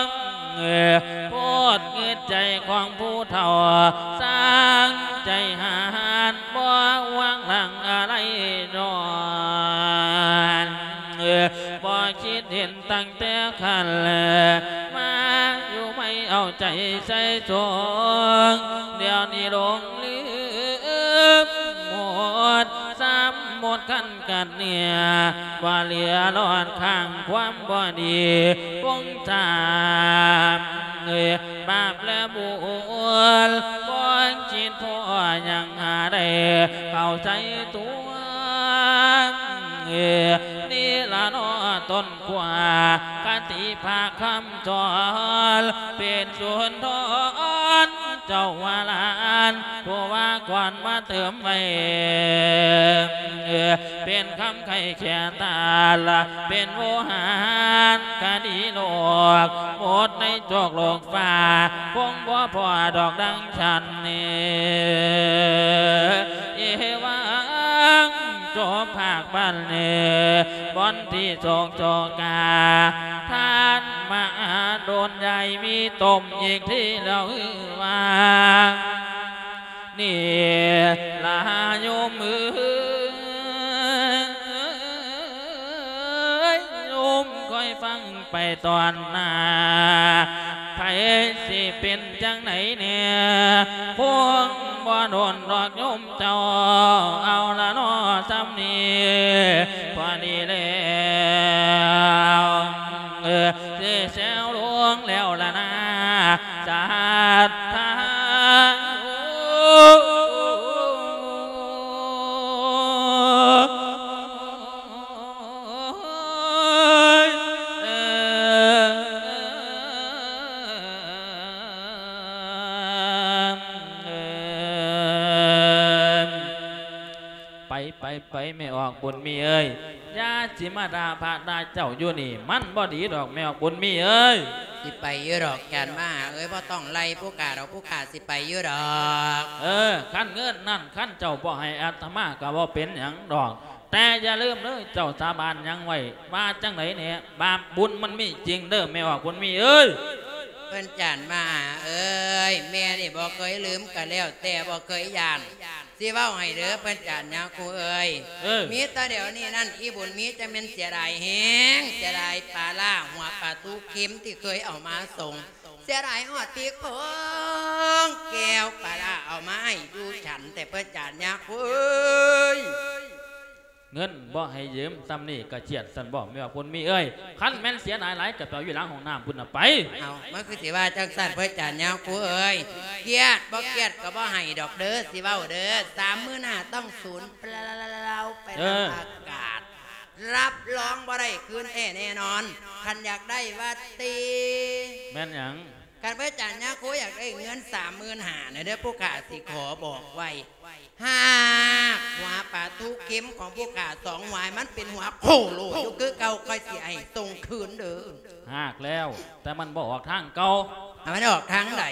ງ ໂພດງຶດໃຈຂອງຜູ້ເຖົ້າ ຊ່າງໃຈຫານ ບໍ່ຫວັງຫຼັງອາໄລນອນ ບໍ່ຄິດເຫັນຕັ້ງແຕ່ຂັ້ນ ມາຢູ່ໃໝ່ເອົາໃຈໃສ່ສົງ ດຽວນີ້ຫຼົງລືມໝົດ ຊ້ຳໝົດຄັນກັດເນຍ ວ່າເຫຼືອລອດຂ້າງຄວາມບໍ່ດີ ຄົງຈຳ ບາບແລະບຸນ ບໍ່ຄິດພໍຫຍັງຫາໄດ້ເຂົ້າໃຈຕົວ ນີ້ລະເນາະຕົ້ນ ກວ່າຄະຕິພາຄຳສອນ ເປັນສູນທອນເຈົ້າວ່າຫຼານ ຜູ້ວ່າກ່ອນມາເຕີມໄວ້ ເປັນຄຳໄຂ້ແຄ່ຕານ ເປັນໂວຫານຄະດີໂລກ ໝົດໃນໂລກໂລກຟ້າ ຄົງບໍ່ພໍດອກດັ່ງ ສັນນີ້ ເອວັງ ຈົບພາກບັນເນ ບ່ອນທີ່ໂສກໂສກາ ທ່ານມະຫາດົນ ຢ່າມີຕົມອີກທີແລ້ວ ຄືວ່ານີ້ລະໂຍມເອີຍ ໂຍມຄອຍຟັງ ໄປຕອນໜ້າ ໃຜຊິເປັນຈັ່ງໃດແດ່ ຄົງບໍ່ດົນດອກໂຍມເຈົ້າ ເອົາລະເນາະ ສ່ຳນີ້ພໍດີແລ້ວ ເອີ ຊິແຊວລົງແລ້ວລະນາ ສາດທາ ໄປ ໄປ ໄປ ແມ່ອອກບຸນມີເອີຍ ຢ່າຊິມາດ່າພະດ່າເຈົ້າຢູ່ນີ້ ມັນບໍ່ດີດອກ ແມ່ອອກບຸນມີເອີຍ. ຊິໄປຢູ່ດອກ ຈານມະຫາເອີຍ ບໍ່ຕ້ອງໄລ່ຜູ້ຂ້າດອກ ຜູ້ຂ້າຊິໄປຢູ່ດອກ. ເອີ ຄັນເງິນນັ້ນ ຄັນເຈົ້າບໍ່ໃຫ້ອາດຕະມາກໍບໍ່ເປັນຫຍັງດອກ ແຕ່ຢ່າລືມເດີ ເຈົ້າສາບານຫຍັງໄວ້ ວ່າຈັ່ງໃດແດ່ ບາບບຸນມັນມີຈິງເດີ ແມ່ອອກບຸນມີເອີຍ. ເພິ່ນຈານມະຫາເອີຍ ແມ່ນີ້ບໍ່ເຄີຍລືມກໍແລ້ວແຕ່ ບໍ່ເຄີຍຢ້ານ ຊິເວົ້າໃຫ້ເດີ ເພິ່ນຈານຍາຄູເອີຍ ເອີ ມີແຕ່ດຽວນີ້ນັ້ນ ອີບຸນມີຈັ່ງແມ່ນເສຍດາຍແຮງ ເສຍດາຍປາລ້າຫົວປາຕູເຄັມທີ່ເຄີຍເອົາມາສົ່ງ ເສຍດາຍຮອດຕິກຂອງແກ້ວປາລ້າເອົາມາໃຫ້ຢູ່ສັນແຕ່ ເພິ່ນຈານຍາຄູເອີຍ. ເງິນບໍ່ໃຫ້ຢືມ ສ່ຳນີ້ກະຄຽດຊັ້ນບໍ ແມ່ອອກບຸນມີເອີຍ? ຄັນແມ່ນເສຍດາຍຫຼາຍກະໄປເອົາຢູ່ຫຼັງຫ້ອງນ້ຳພຸ້ນນະໄປ. ເອົ້າ ມັນຄືຊິວ່າຈັ່ງຊັ້ນ ເພິ່ນຈານຍາຄູເອີຍ? ຄຽດບໍ່ຄຽດກະບໍ່ໃຫ້ດອກເດີ ຊິເວົ້າເດີ ສາມໝື່ນຫ້າຕ້ອງສູນເປົ່າໄປນຳອາກາດ. ຮັບຮອງບໍ່ໄດ້ຄືນແທ້ແນ່ນອນ. ຄັນຢາກໄດ້ວ່າຕິ ແມ່ນຫຍັງ? ຄັນພະອາຈານຍາໂຄຢາກໄດ້ເງິນສາມໝື່ນຫ້ານະເດີ ຜູ້ຂ້າຊິຂໍບອກໄວ້ ຫາກຫົວປາທູເຂັມຂອງຜູ້ຂ້າສອງຫົວ ໃຫ້ມັນເປັນຫົວໂຄໂລຢູ່ຄືເກົ່າ ຂ້ອຍຊິໃຫ້ສົ່ງຄືນເດີ. ຫາກແລ້ວ ແຕ່ມັນບໍ່ອອກທາງເກົ່າ. ໃຫ້ມັນອອກທາງໃດ?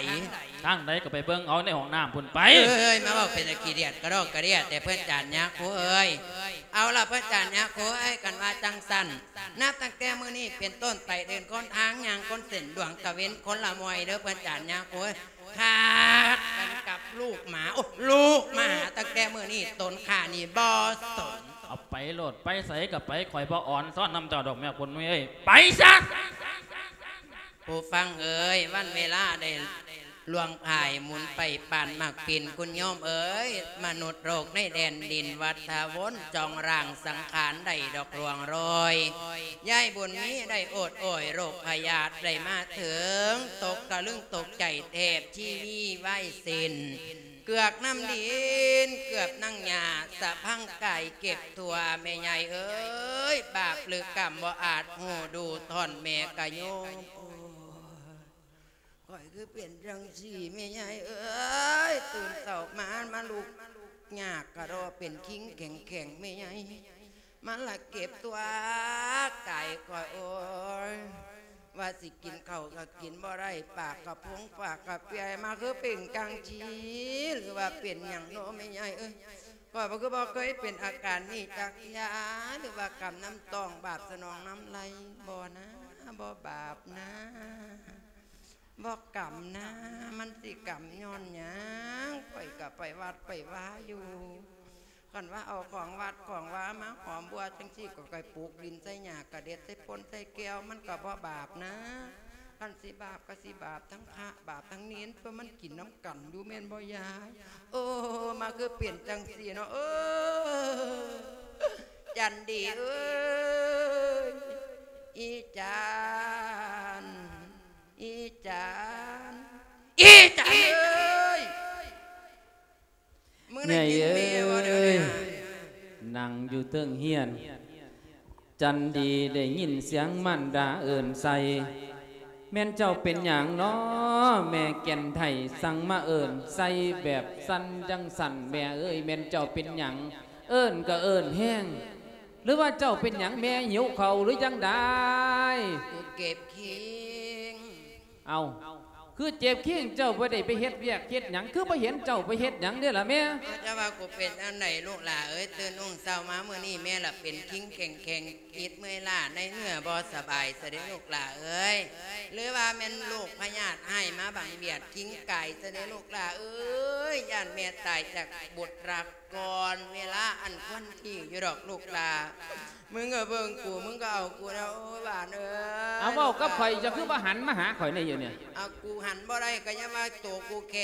ທາງໃດກໍໄປເບິ່ງເອົາໃນຫ້ອງນ້ຳພຸ້ນໄປ. ເອີຍ ມາເວົ້າເປັນຕາຂີ້ດຽດກະດອກກະເດຍແທ້ ພະອາຈານຍາໂຄເອີຍ. ເອົາລະ ພະອາຈານຍາໂຄເອີຍ ຄັນວ່າຈັ່ງຊັ້ນ ນັບຕັ້ງແຕ່ມື້ນີ້ເປັນຕົ້ນໄປ ເດີນຄົນທາງ ຍ່າງຄົນເສັ້ນ ດວງຕາເວັນຄົນລະມວຍເດີ ພະອາຈານຍາໂຄເອີຍ. ຂັດກັນກັບລູກໝາ ໂອ້ ລູກໝາ ຕັ້ງແຕ່ມື້ນີ້ຕົນຂ້ານີ້ບໍ່ສົນ. ເອົາໄປໂລດ ໄປໃສກໍໄປ ຂ້ອຍບໍ່ອອນຊອນນຳເຈົ້າດອກ ແມ່ບຸນມີເອີຍ ໄປຊະ. ຜູ້ຟັງເອີຍ ວັນເວລາໄດ້ລ່ວງຜ່າຍໝູນໄປປານໝາກປິ່ນ ຄຸນໂຍມເອີຍ. ມະນຸດໂລກໃນແດນດິນວັດທະວົນ ຈອງຮ່າງສັງຂານໄດ້ດອກລ່ວງໂລຍ. ຍາຍບຸນມີໄດ້ໂອດໂອຍ ໂລກພະຍາດໄດ້ມາເຖິງ ຕົກຕະລຶງຕົກໃຈແທບຊີວິໄວເສັ້ນ ເກືອກນ້ຳດິນເກືອບນາງຫຍ້າ ສະພັງກາຍເກັບທົ່ວ ແມ່ໃຫຍ່ເອີຍ ບາບຫຼືກຳບໍ່ອາດຮູ້ດູ ທ່ອນແມ່ກະໂຍມ. ໂອ້ຍ ຂ້ອຍຄືເປັນຈັ່ງຊີ້ແມ່ໃຫຍ່ເອີຍ ຕື່ນເຊົ້າມາ ມາລຸກຍາກກະດໍ ເປັນຄີງແຂງໆ ແມ່ໃຫຍ່ ມັນລະເກັບຕົວກາຍຂ້ອຍ ໂອ້ຍ ວ່າຊິກິນເຂົ້າກໍກິນບໍ່ໄດ້ ປາກກະພົງປາກກະເປຍ ມາຄືເປັນຈັ່ງຊີ້ ຫຼືວ່າເປັນຫຍັງເນາະແມ່ໃຫຍ່ເອີຍ. ຂ້ອຍບໍ່ ຄືບໍ່ເຄີຍເປັນອາການນີ້ຈັກເທື່ອ ຫຼືວ່າກຳນ້ຳຕ້ອງບາບສະໜອງນ້ຳໄຫຼ ບໍ່ນາ ບໍ່ບາບນາ ບໍ່ກຳນາ ມັນຊິກຳຍ້ອນຫຍັງ? ຂ້ອຍກໍໄປວັດໄປວາຢູ່ ຄັນວ່າເອົາຂອງວັດຂອງວາມາຫອມບົວຈັ່ງຊີ້ ກໍໄປປູກດິນໃສ່ຫຍ້າກະເດັດໃສ່ພົ່ນໃສ່ແກ້ວ ມັນກໍບໍ່ບາບນາ. ຄັນຊິບາບກໍຊິບາບທັງພະບາບທັງເນນ ເພາະມັນກິນນຳກັນຢູ່ແມ່ນບໍ່ຍາຍ? ໂອ້ ມາຄືເປັນຈັ່ງຊີ້ເນາະ ເອີ ຈັນດີເອີຍ ອີຈັນ ອີຈັນ ອີຈັນເອີຍ. ເອີຍ ນັ່ງຢູ່ເທິງຮຽນ ຈັນດີໄດ້ຍິນສຽງມານດາເອີ້ນໃສ່ ແມ່ນເຈົ້າເປັນຫຍັງນໍ ແມ່ແກ່ນໄທ ສັ່ງມາເອີ້ນໃສ່ແບບສັ່ນຈັ່ງຊັ້ນ ແມ່ເອີຍ ແມ່ນເຈົ້າເປັນຫຍັງ ເອີ້ນກໍເອີ້ນແຮງ ຫຼືວ່າເຈົ້າເປັນຫຍັງ ແມ່ຫິວເຂົ້າຫຼືຈັ່ງໃດ? ເຈັບຄີງ. ເອົ້າ ຄືເຈັບຄີງ ເຈົ້າບໍ່ໄດ້ໄປເຮັດວຽກເຮັດຫຍັງ ຄືບໍ່ເຫັນເຈົ້າໄປເຮັດຫຍັງເດ້ລະແມ່? ເຈົ້າວ່າກູເປັນອັນໃດລູກຫຼ້າເອີຍ ຕື່ນຮຸ່ງເຊົ້າມາມື້ນີ້ ແມ່ລະເປັນຄີງແຂງໆ ອິດເມື່ອຍລ້າໃນເນື້ອບໍ່ສະບາຍຊະເດ້ລູກຫຼ້າເອີຍ ຫຼືວ່າແມ່ນໂລກພະຍາດຮ້າຍມາບັງບຽດຄີງກາຍຊະເດ້ລູກຫຼ້າເອີຍ ຢ້ານແມ່ຕາຍຈາກບຸດລັກ ກ່ອນເວລາອັນຄວນທີ່ຢູ່ດອກລູກຫຼ້າ. ມຶງກໍເບິ່ງກູ ມຶງກໍເອົາກູແລ້ວ ໂອ້ຍ ຫຼານເອີຍ. ເອົາ ເວົ້າກັບຂ້ອຍ ເຈົ້າຄືບໍ່ຫັນມາຫາຂ້ອຍແດ່ຢູ່ນີ້? ເອົາ ກູຫັນບໍ່ໄດ້ກໍຢ່າວ່າໂຕກູແຂ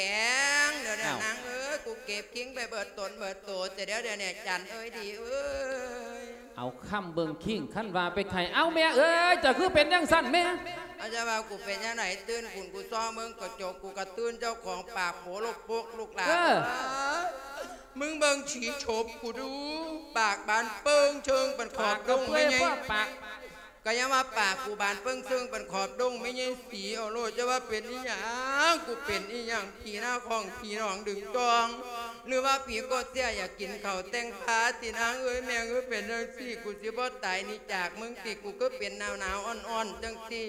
ງ ດຽວນີ້ນາງເອີຍ ກູເກັບຄີງໄປເບິດຕົນເບິດໂຕ ແຕ່ດຽວນີ້ ຈັນເອີຍ ດີເອີຍ. ເອົາ ຄຳເບິ່ງຄີງ ຄັນວ່າໄປໄຂ້ ເອົ້າ ແມ່ເອີຍ ເຈົ້າຄືເປັນຈັ່ງຊັ້ນແມ່? ເອົາ ຈະວ່າກູເປັນຈັ່ງໃດ ຕື່ນຂຸນກູຊອງເບິ່ງກະຈົກ ກູກະຕື່ນເຈົ້າຂອງປາກໂປໂລກໂປກລູກຫຼ້າ. ເອີ ມຶງເບິ່ງສີໂສບກູດູ ປາກບານເປິ້ງເຊີງປານຂອບດົງແມ່ໃຫຍ່. ກະຍັງວ່າປາກກູບານເປິ້ງເຊີງປານຂອບດົງແມ່ໃຫຍ່ສີ ເອົາໂລດ ຈະວ່າເປັນອີ່ຫຍັງ ກູເປັນອີ່ຫຍັງ ຜີໜ້າຂອງ ຜີໜອງດຶງຈອງ ຫຼືວ່າຜີໂກດເສຍຢາກກິນເຂົ້າແຕ່ງພາຕິນາງເອີຍ. ແມ່ເອີຍ ເປັນຈັ່ງຊີ້ ກູຊິບໍ່ຕາຍໜີຈາກມຶງຕິ ກູຄືເປັນໜາວໆ ອ່ອນໆ ຈັ່ງຊີ້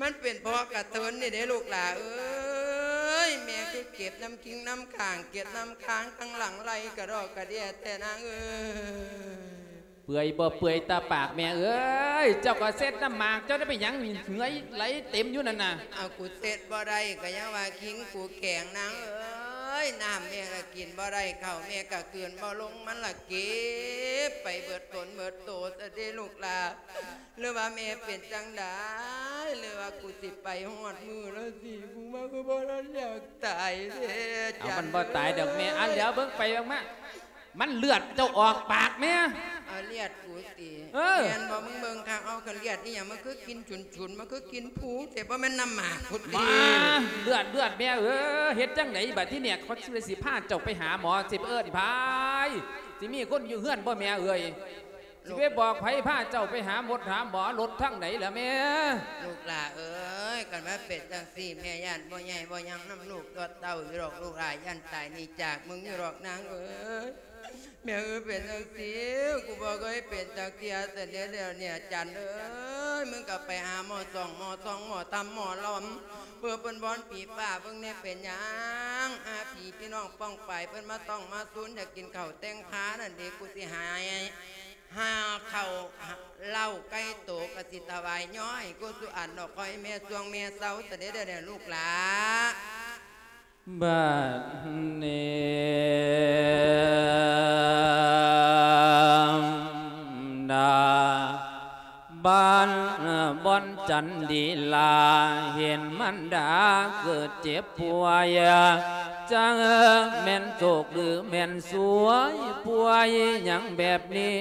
ມັນເປັນເພາະກະເທີນນີ້ເດ້ລູກຫຼ້າເອີຍ. ແມ່ຄືເກັບນ້ຳຄິງນ້ຳຂາງ ເກັບນ້ຳຄ້າງທັງຫຼັງໄຫຼກະດອກກະເດຍແທ້ນາງເອີຍ. ເປື່ອຍບໍ່ເປື່ອຍຕາປາກແມ່ເອີຍ ເຈົ້າກໍເຊັດນ້ຳໝາກ ເຈົ້າໄດ້ໄປຫຍັງເຫື່ອໄຫຼເຕັມຢູ່ນັ້ນນະ? ເອົາ ກູເຊັດບໍ່ໄດ້ ກໍຍັງວ່າຄິງກູແຂງນາງເອີຍ ນ້ຳແມ່ກໍກິນບໍ່ໄດ້ ເຂົ້າແມ່ກໍກືນບໍ່ລົງ ມັນລະເກັບໄປເບິດຕົນເບິດໂຕຊະເດ້ລູກຫຼ້າ. ຫຼືວ່າແມ່ເປັນຈັ່ງໃດ ຫຼືວ່າກູຊິໄປຮອດມື້ແລ້ວຊິ ກູມາຄືບໍ່ທັນຢາກຕາຍແທ້. ເອົາ ມັນບໍ່ຕາຍດອກແມ່ ອັນດຽວເບິ່ງໄປເບິ່ງມາ ມັນເລືອດເຈົ້າອອກປາກແມ່. ເອົາ ເລືອດກູຕິ? ເອີ ແມ່ນບໍ່? ມຶງເບິ່ງຄັກ ເອົາ ຄັນເລືອດອີ່ຫຍັງ ມັນຄືກິ່ນຊຸນໆ ມັນຄືກິ່ນພູແທ້ ບໍ່ແມ່ນນ້ຳໝາກພຸ້ນຕິ? ມາ ເລືອດ ເລືອດແມ່ເອີຍ ເຮັດຈັ່ງໃດບັດທີນີ້ ຂ້ອຍຊິພາເຈົ້າໄປຫາໝໍ ຊິໄປເອີ້ນໃຜ? ຊິມີຄົນຢູ່ເຮືອນບໍ່ແມ່ເອີຍ? ຊິໄປບອກໃຜພາເຈົ້າໄປຫາໝົດຫາໝໍ ລົດທາງໃດລະແມ່? ລູກຫຼ້າເອີຍ ຄັນວ່າເປັນຈັ່ງຊີ້ ແມ່ຢ້ານບໍ່ໃຫຍ່ບໍ່ຍັງນຳລູກຕົວເຕົ້າຢູ່ດອກ ລູກຫຼ້າຢ້ານຕາຍໜີຈາກມຶງຢູ່ດອກນາງເອີຍ. ແມ່ເອີຍ ເປັນຈັ່ງຊີ້ ກູບໍ່ເຄີຍເປັນຈັກເທື່ອຊັ້ນເດ ດຽວນີ້ ຈັນເອີຍ ມຶງກໍໄປຫາໝໍສ່ອງ ໝໍສ່ອງ ໝໍທຳ ໝໍລຳ ເພື່ອເພິ່ນວອນຜີຟ້າເບິ່ງແດ່ ເປັນຫຍັງ ອາ ຜີພີ່ນ້ອງປ້ອງປາຍ ເພິ່ນມາຕ້ອງມາຊູນ ຢາກກິນເຂົ້າແຕ່ງພານັ້ນເດ ກູຊິໃຫ້ ຫາເຂົ້າເຫຼົ້າໄກ່ໂຕ ກະຊິຖວາຍຍ້ອຍ ກູສຸອັນດອກ ຂໍໃຫ້ແມ່ຊ່ວງແມ່ເຊົາ ຕະເດດແດ່ລູກຫຼ້າ. ບັດນີ້ນາ ບ້ານ ບ່ອນຈັນດີລາ ເຫັນມັນດາເກີດເຈັບປ່ວຍ ຈັກແມ່ນໂຊກຫຼືແມ່ນສວຍ ປ່ວຍຫຍັງແບບນີ້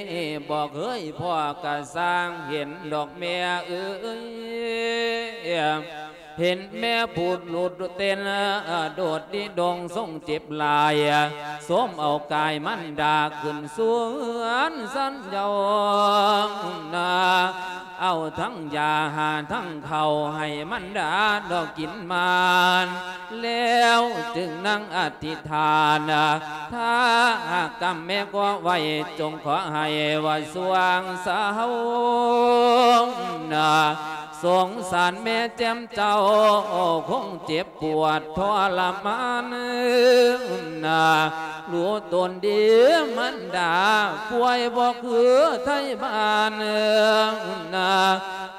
ບໍ່ເຄີຍພໍ້ກະຊ່າງ ເຫັນດອກແມ່ເອີຍ ເຫັນແມ່ຜູດຫຼຸດເຕັ້ນ ໂດດດິດົງຊົງເຈັບຫຼາຍ ໂສມເອົາກາຍມັນດາຂຶ້ນສວນຊັ້ນເຍົານາ ເອົາທັງຢາຫາທັງເຂົ້າໃຫ້ມັນດາດອກກິນມານ ແລ້ວຈຶ່ງນັ່ງອະທິຖານ ຖ້າຫາກກຳແມ່ກໍໄວ້ ຈົ່ງຂໍໃຫ້ວ່າຊ່ວງເຊົານາ ສົງສານແມ່ແຈ່ມເຈົ້າ ຄົງເຈັບປວດທໍລະມານນາ ຮູ້ຕົນດີມັນດາ ປ່ວຍບໍ່ຄືໄທບ້ານນາ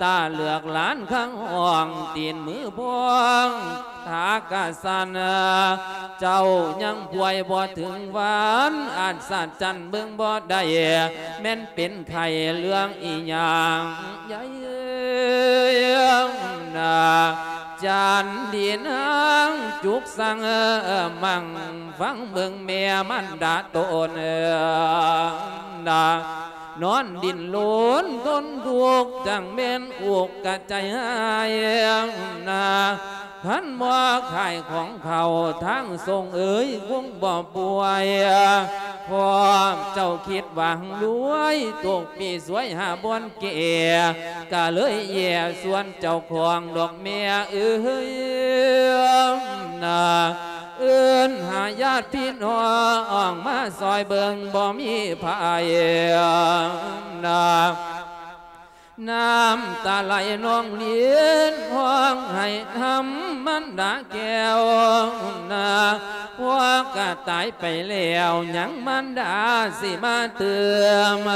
ຕາເລືອກຫຼານຄັງຫ້ອງ ຕີນມືພອງ ທາກະສັນ ເຈົ້າຍັງປ່ວຍບໍ່ເຖິງວັນ ອັດສະຈັນເບິ່ງບໍ່ໄດ້ ແມ່ນເປັນໄຂ້ເລື່ອງອີຫຍັງໃຫຍ່ນາ ຈັນດີນາງຈຸກສັງ ມັ່ງຟັງເບິ່ງແມ່ມັນດາຕົນນາ ນອນດີ້ນລົນທົນທຸກ ຈັ່ງແມ່ນອຸກກະໃຈຫາຍນາ ຄັນບໍ່ຂາຍຂອງເຂົ້າທາງສົ່ງເອີຍ ຄົງບໍ່ປ່ວຍ ພວກເຈົ້າຄິດຫວັງລວຍ ຕົກປີສວຍຫາບ່ອນແກ່ ກະເລີຍແຍ່ຊວນເຈົ້າຂອງດອກແມ່ເອີຍນາ ເອີ້ນຫາຍາດພີ່ນ້ອງມາຊ່ອຍເບິ່ງ ບໍ່ມີໃຜນາ ນ້ຳຕາໄຫຼນອງລິນ ຮ້ອງໄຫ້ນຳມັນດາແກ້ວນາ ພວກກະຕາຍໄປແລ້ວ ຍັງມັນດາຊິມາຕື່ມ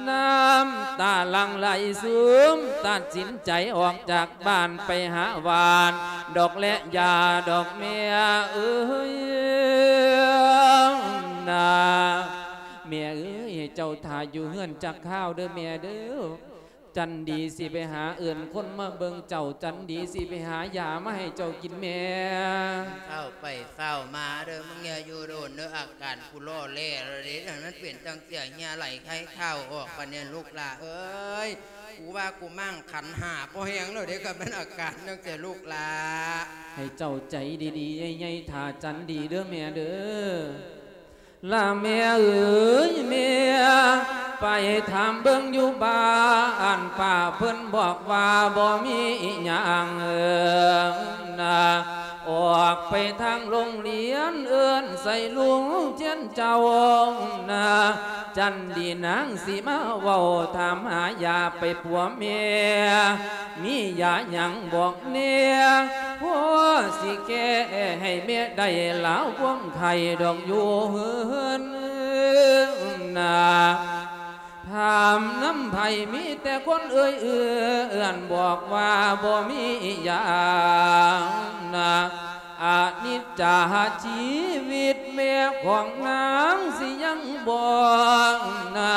ນ້ຳຕາຫຼັ່ງໄຫຼຊຶມ ຕັດສິນໃຈອອກຈາກ ບ້ານໄປຫາຫວານດອກແລະຢາດອກແມ່ເອີຍນາ ແມ່ເອີຍ ໃຫ້ເຈົ້າຖ້າຢູ່ເຮືອນຈັກຄາວເດີແມ່ເດີ ຈັນດີຊິໄປຫາເອີ້ນຄົນມາເບິ່ງເຈົ້າ ຈັນດີຊິໄປຫາຢາມາໃຫ້ເຈົ້າກິນແມ່. ເຝົ້າໄປເຝົ້າມາເດີ ມຶງຢ່າຢູ່ດົນເດີ ອາການກູຫຼໍ່ແຫຼແລ້ວເດ້ ມັນເປັນຈັ່ງຊີ້ ເຫື່ອໄຫຼໄຄຄາວອອກປານນີ້ລູກຫຼ້າເອີຍ. ກູວ່າກູມ້າງຂັນຫ້າພໍແຮງແລ້ວເດ້ ຄັນແມ່ນອາການຈັ່ງຊີ້ລູກຫຼ້າ. ໃຫ້ເຈົ້າໃຈດີໆ ໃຫຍ່ໆ ຖ້າຈັນດີເດີແມ່ເດີ. ລະແມ່ເອີຍແມ່ ໄປຖາມເບິ່ງຢູ່ບ້ານປ້າ ເພິ່ນບອກວ່າບໍ່ມີອີ່ຫຍັງນາ. ອອກໄປທາງໂຮງຮຽນ ເອີ້ນໃສ່ລຸງຈຽນເຈົ້ານາ ຈັນດີນາງຊິມາເວົ້າຖາມຫາຢາໄປປົວແມ່ ມີຢາຫຍັງບອກແດ່ ພໍຊິແກ້ໃຫ້ແມ່ໄດ້ລາວຄວາມໄຂ້ດອກຢູ່ເຮືອນນາ. ຖາມນຳໃຜມີແຕ່ຄົນເອີ່ຍເອື້ອນ ບອກວ່າບໍ່ມີອີ່ຫຍັງນາ. ອະນິດຈາຊີວິດແມ່ຂອງນາງຊິຍັງບໍ່ນາ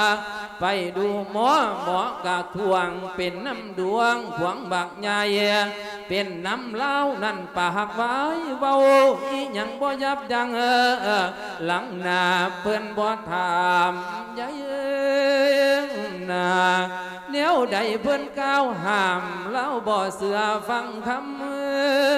ໄປດູໝໍ ໝໍກະທ້ວງ ເປັນນຳດວງພວງບັກໃຫຍ່ ເປັນນຳລາວນັ້ນປາກວາຍ ເວົ້າອີ່ຫຍັງບໍ່ຢັບຢັ້ງ ຫຼັງໜ້າເພິ່ນບໍ່ຖາມໃຫຍ່ນາ. ແນວໃດເພິ່ນກ່າວຫ້າມ ລາວບໍ່ເຊື່ອຟັງຄຳ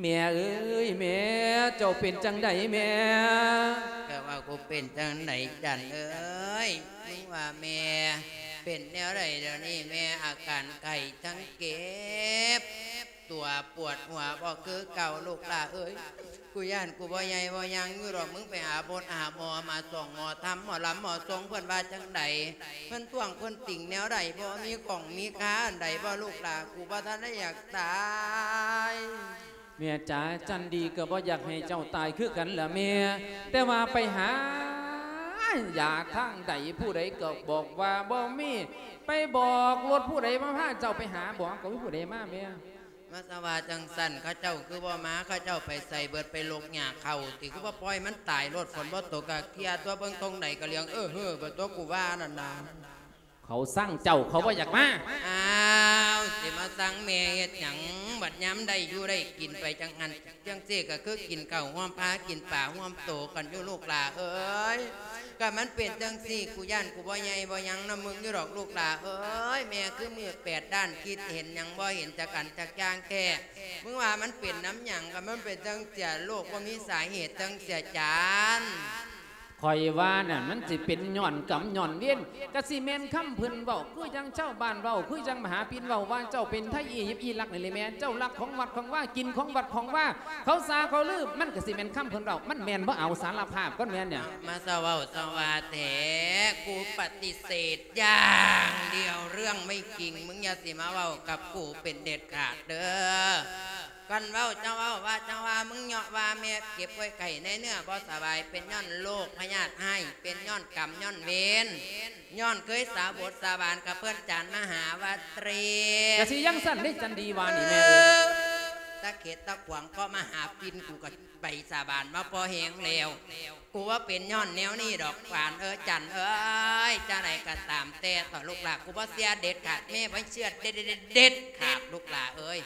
ແມ່ເອີຍແມ່ ເຈົ້າເປັນຈັ່ງໃດແມ່? ກະວ່າກູເປັນຈັ່ງໃດຈັນເອີຍ ມຶງວ່າແມ່ເປັນແນວໃດດຽວນີ້ ແມ່ອາການໄຂ້ທັງເຈັບຕົວປວດຫົວບໍ່ຄືເກົ່າລູກຫຼ້າເອີຍ. ກູຢ້ານກູບໍ່ໃຫຍ່ບໍ່ຍັງຢູ່ດອກ ມຶງໄປຫາບົດຫາໝໍ ມາສອງໝໍທຳ ໝໍລຳໝໍຊົງ ເພິ່ນວ່າຈັ່ງໃດ? ເພິ່ນທ້ວງເພິ່ນຕິງແນວໃດ? ບໍ່ມີຂອງມີຄ່າອັນໃດບໍ່ລູກຫຼ້າ? ກູບໍ່ທັນໄດ້ຢາກຕາຍ. ແມ່ຈ໋າ ຈັນດີກໍບໍ່ຢາກໃຫ້ເຈົ້າຕາຍຄືກັນລະແມ່ ແຕ່ວ່າໄປຫາຢາທາງໃດ ຜູ້ໃດກໍບອກວ່າບໍ່ມີ ໄປບອກລົດຜູ້ໃດມາພາເຈົ້າໄປຫາ ບອກ ກໍມີຜູ້ໃດມາແມ່? ມາສະວ່າຈັ່ງຊັ້ນ ເຂົາເຈົ້າຄືບໍ່ມາ? ເຂົາເຈົ້າໄປໃສເບິດ? ໄປລົກຫຍ້າເຂົ້າຕິ? ຄືບໍ່ປ່ອຍມັນຕາຍໂລດ? ຝົນບໍ່ຕົກກະເຄຍຕົວະ ເບິ່ງຕົງໃດກະຫຼຽງເອີເຮີເບິດຕົວະ ກູວ່ານັ້ນນະ. ເຂົາຊັງເຈົ້າ ເຂົາບໍ່ຢາກມາ. ອ້າວ ຊິມາຊັງແມ່ເຮັດຫຍັງ? ບັດຍາມໄດ້ຢູ່ໄດ້ກິນໄປຈັ່ງຫັ້ນ ຈັ່ງຊີ້ກະຄືກິນເຂົ້າຮ່ວມພາ ກິນປາຮ່ວມໂຕກັນຢູ່ລູກຫຼ້າເອີຍ. ກະມັນເປັນຈັ່ງຊີ້ ກູຢ້ານກູບໍ່ໃຫຍ່ບໍ່ຍັງນຳມຶງຢູ່ດອກລູກຫຼ້າເອີຍ. ແມ່ຄືມືດແປດດ້ານ ຄິດເຫັນຫຍັງບໍ່ເຫັນຈັກອັນຈັກຢ່າງແທ້. ມຶງວ່າມັນເປັນນຳຫຍັງ? ກະມັນເປັນຈັ່ງຊີ້ ໂລກບໍ່ມີສາເຫດຈັ່ງຊີ້ຈັນ. ຂ້ອຍວ່ານັ້ນ ມັນຊິເປັນຍ້ອນກຳຍ້ອນເວນ ກະຊິແມ່ນຄຳເພິ່ນເວົ້າ ຄືຈັ່ງຊາວບ້ານເວົ້າ ຄືຈັ່ງມະຫາປິນເວົ້າວ່າ ເຈົ້າເປັນໄທອີຢິບອີລັກນີ້ແຫຼະແມ່ ເຈົ້າລັກຂອງວັດຂອງວາ ກິນຂອງວັດຂອງວາ ເຂົາສາເຂົາລື ມັນກະຊິແມ່ນຄຳເພິ່ນເວົ້າ ມັນແມ່ນບໍ່? ເອົາ ສາລະພາບກ່ອນແມ່ນຫຍັງ? ມາສະເວົ້າສະວ່າແທ້ ກູປະຕິເສດຢ່າງດຽວ ເລື່ອງໄມ່ຈິງ ມຶງຢ່າຊິມາເວົ້າກັບກູເປັນເດັດຂາດເດີ້. ຄັນເວົ້າເຈົ້າເວົ້າວ່າເຈົ້າວ່າ ມຶງເຍາະວ່າແມ່ເຈັບປ່ວຍໄຂ້ໃນເນື້ອບໍ່ສະບາຍ ເປັນຍ້ອນໂລກພະຍາດຮ້າຍ ເປັນຍ້ອນກຳຍ້ອນເວນ ຍ້ອນເຄີຍສາບົດສາບານກັບເພິ່ນຈານມະຫາວັດເຕ. ກະຊິຈັ່ງຊັ້ນເດ້ ຈັນດີວ່ານີ້ແມ່. ຕາເຂດຕາຂວາງເກາະມະຫາປິນ ກູກະໄປສາບານມາພໍແຮງແລ້ວ ກູວ່າເປັນຍ້ອນແນວນີ້ດອກ ຫວານເອີຍ ຈັນເອີຍ. ຈັ່ງໃດກະຕາມແຕ່ເຖາະລູກຫຼ້າ ກູບໍ່ເຊື່ອເດັດຂາດ ແມ່ບໍ່ເຊື່ອເດັດ ເດັດຂາດລູກຫຼ້າເອີຍ.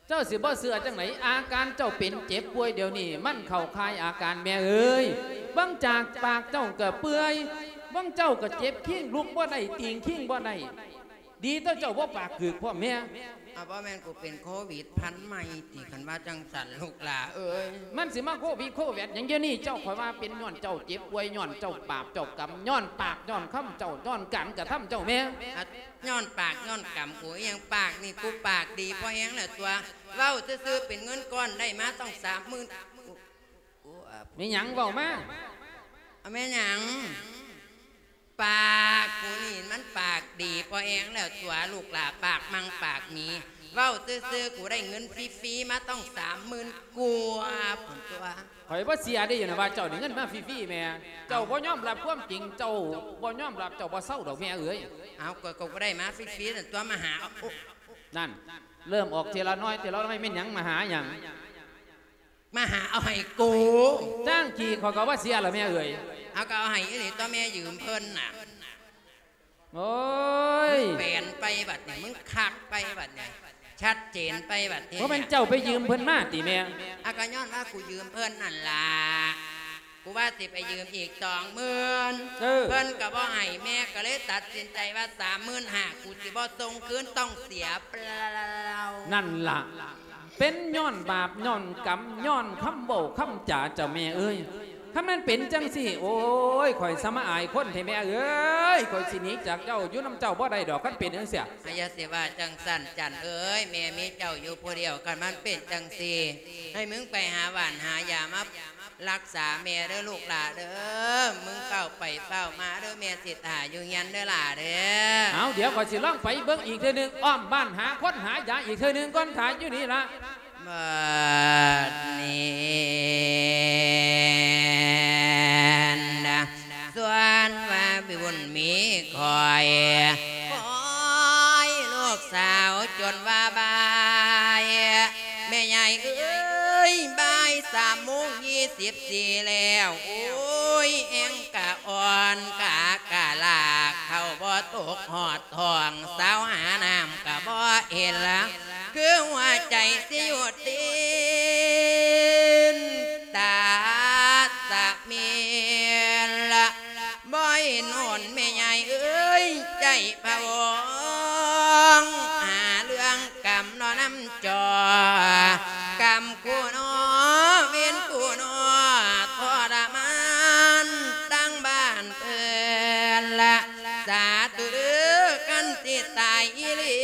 ເຈົ້າຊິບໍ່ເຊື່ອຈັ່ງໃດ? ອາການເຈົ້າເປັນເຈັບປ່ວຍດຽວນີ້ ມັນເຂົ້າຂ່າຍອາການແມ່ເອີຍ. ເບິ່ງຈາກປາກເຈົ້າກະເປື່ອຍ ເບິ່ງເຈົ້າກະເຈັບຄີງ ລຸກບໍ່ໄດ້ ຕີງຄີງບໍ່ໄດ້. ດີແຕ່ເຈົ້າບໍ່ປາກກືກພ້ອມແມ່. ອາ ບໍ່ແມ່ນກູເປັນໂຄວິດພັນໃໝ່ຕິ ຄັນວ່າຈັ່ງຊັ້ນລູກຫຼ້າເອີຍ? ມັນຊິມາໂຄວິດໂຄແວັດຫຍັງດຽວນີ້? ເຈົ້າ ຂ້ອຍວ່າເປັນຍ້ອນເຈົ້າເຈັບປ່ວຍ ຍ້ອນເຈົ້າບາບເຈົ້າກຳ ຍ້ອນປາກຍ້ອນຄຳເຈົ້າ ຍ້ອນການກະທຳເຈົ້າແມ່. ອາ ຍ້ອນປາກຍ້ອນກຳ ກູອີ່ຫຍັງ? ປາກນີ້ ກູປາກດີພໍແຮງແລ້ວຕົວະ ເວົ້າຊື່ໆ ເປັນເງິນກ້ອນໄດ້ມາຕ້ອງສາມໝື່ນ. ໂອ້ ໂອ້ ອາ ແມ່ນຫຍັງ? ເວົ້າມາ. ອາ ແມ່ນຫຍັງ? ປາກກູນີ້ມັນປາກດີພໍແຮງແລ້ວຕົວະ ລູກຫຼ້າ ປາກມັ່ງປາກມີ. ເວົ້າຊື່ໆ ກູໄດ້ເງິນຟຣີໆ ມາຕ້ອງສາມໝື່ນກວ່າພຸ້ນຕົວະ. ຂ້ອຍບໍ່ເຊື່ອເດ້ ຢູ່ນະວ່າເຈົ້າໄດ້ເງິນມາຟຣີໆແມ່. ເຈົ້າບໍ່ຍອມຮັບຄວາມຈິງ ເຈົ້າບໍ່ຍອມຮັບ ເຈົ້າບໍ່ເຊົາດອກແມ່ເອີຍ. ເອົາ ກະ ກະໄດ້ມາຟຣີໆນັ້ນຕົວະ ມາຫາເອົາ. ໂອ້ ນັ້ນ ເລີ່ມອອກເທື່ອລະໜ້ອຍເທື່ອລະໜ້ອຍ ແມ່ນຫຍັງ? ມາຫາຫຍັງ? ມາຫາເອົາໃຫ້ກູ. ຈ້າງຂີ້ ຂ້ອຍກະບໍ່ເຊື່ອລະແມ່ເອີຍ. ເອົາ ກະເອົາໃຫ້ອີ່ຫຼີຕົວະແມ່ ຢືມເພິ່ນນະ. ໂອ້ຍ ມຶງແປນໄປບັດນີ້ ມຶງຄັກໄປບັດນີ້ ຊັດເຈນໄປບັດນີ້. ບໍ່ແມ່ນເຈົ້າໄປຢືມເພິ່ນມາຕິແມ່? ອາ ກະຍ້ອນວ່າກູຢືມເພິ່ນຫັ້ນລະ ກູວ່າຊິໄປຢືມອີກສອງໝື່ນ ເອີ ເພິ່ນກະບໍ່ໃຫ້ ແມ່ກະເລີຍຕັດສິນໃຈວ່າສາມໝື່ນຫ້າ ກູຊິບໍ່ສົ່ງຄືນ ຕ້ອງເສຍເປົ່າ. ນັ້ນລະ ເປັນຍ້ອນບາບຍ້ອນກຳ ຍ້ອນຄຳເວົ້າຄຳຈາເຈົ້າແມ່ເອີຍ. ຄັນແມ່ນເປັນຈັ່ງຊີ້ ໂອ້ຍ ຂ້ອຍສະມາອາຍຄົນແທ້ແມ່ເອີຍ. ຂ້ອຍຊິໜີຈາກເຈົ້າ ຢູ່ນຳເຈົ້າບໍ່ໄດ້ດອກ ຄັນເປັນຈັ່ງຊີ້. ອາ ຢ່າຊິວ່າຈັ່ງຊັ້ນ ຈັນເອີຍ. ແມ່ມີເຈົ້າຢູ່ຜູ້ດຽວ ຄັນມັນເປັນຈັ່ງຊີ້ ໃຫ້ມຶງໄປຫາຫວ່ານຫາຢາມາ ລັກສາແມ່ເດີລູກຫຼ້າເດີ ມຶງເຝົ້າໄປເຝົ້າມາເດີ ແມ່ຊິຖ້າຢູ່ເຮືອນເດີຫຼ້າເດີ. ເອົາ ດຽວຂ້ອຍຊິລອງໄປເບິ່ງອີກເທື່ອໜຶ່ງ ອ້ອມບ້ານຫາຄົນຫາຢາອີກເທື່ອໜຶ່ງກ່ອນ ຖ້າຢູ່ນີ້ລະ. ບັດນີ້ນະ ສ່ວນວ່າບຸນມີຂ້ອຍ ຄອຍລູກສາວຈົນວ່າບ່າຍ ແມ່ຍາຍເອີຍ ບ່າຍສາມໂມງຊາວສີ່ແລ້ວ ໂອ້ຍ ແຮງກະອ່ອນ ຂາກະລາກ ເຂົ້າບໍ່ຕົກຮອດທ້ອງ ສາວຫານ້ຳກະບໍ່ເຫັນ ຄືຫົວໃຈຊິຢຸດເຕັ້ນ ຕາສະເມນລະ ບໍ່ເຫັນຫົນແມ່ຍາຍເອີຍ ໃຈພະວົງ ຫາເລື່ອງກຳເນາະນຳຈໍ ກຳຄູ່ເນາະ ເວນຄູ່ເນາະ ທໍລະມານ ທັງບ້ານເພິ່ນລະ ສາທຸເດີ ຄັນຊິຕາຍອີ່ຫຼີ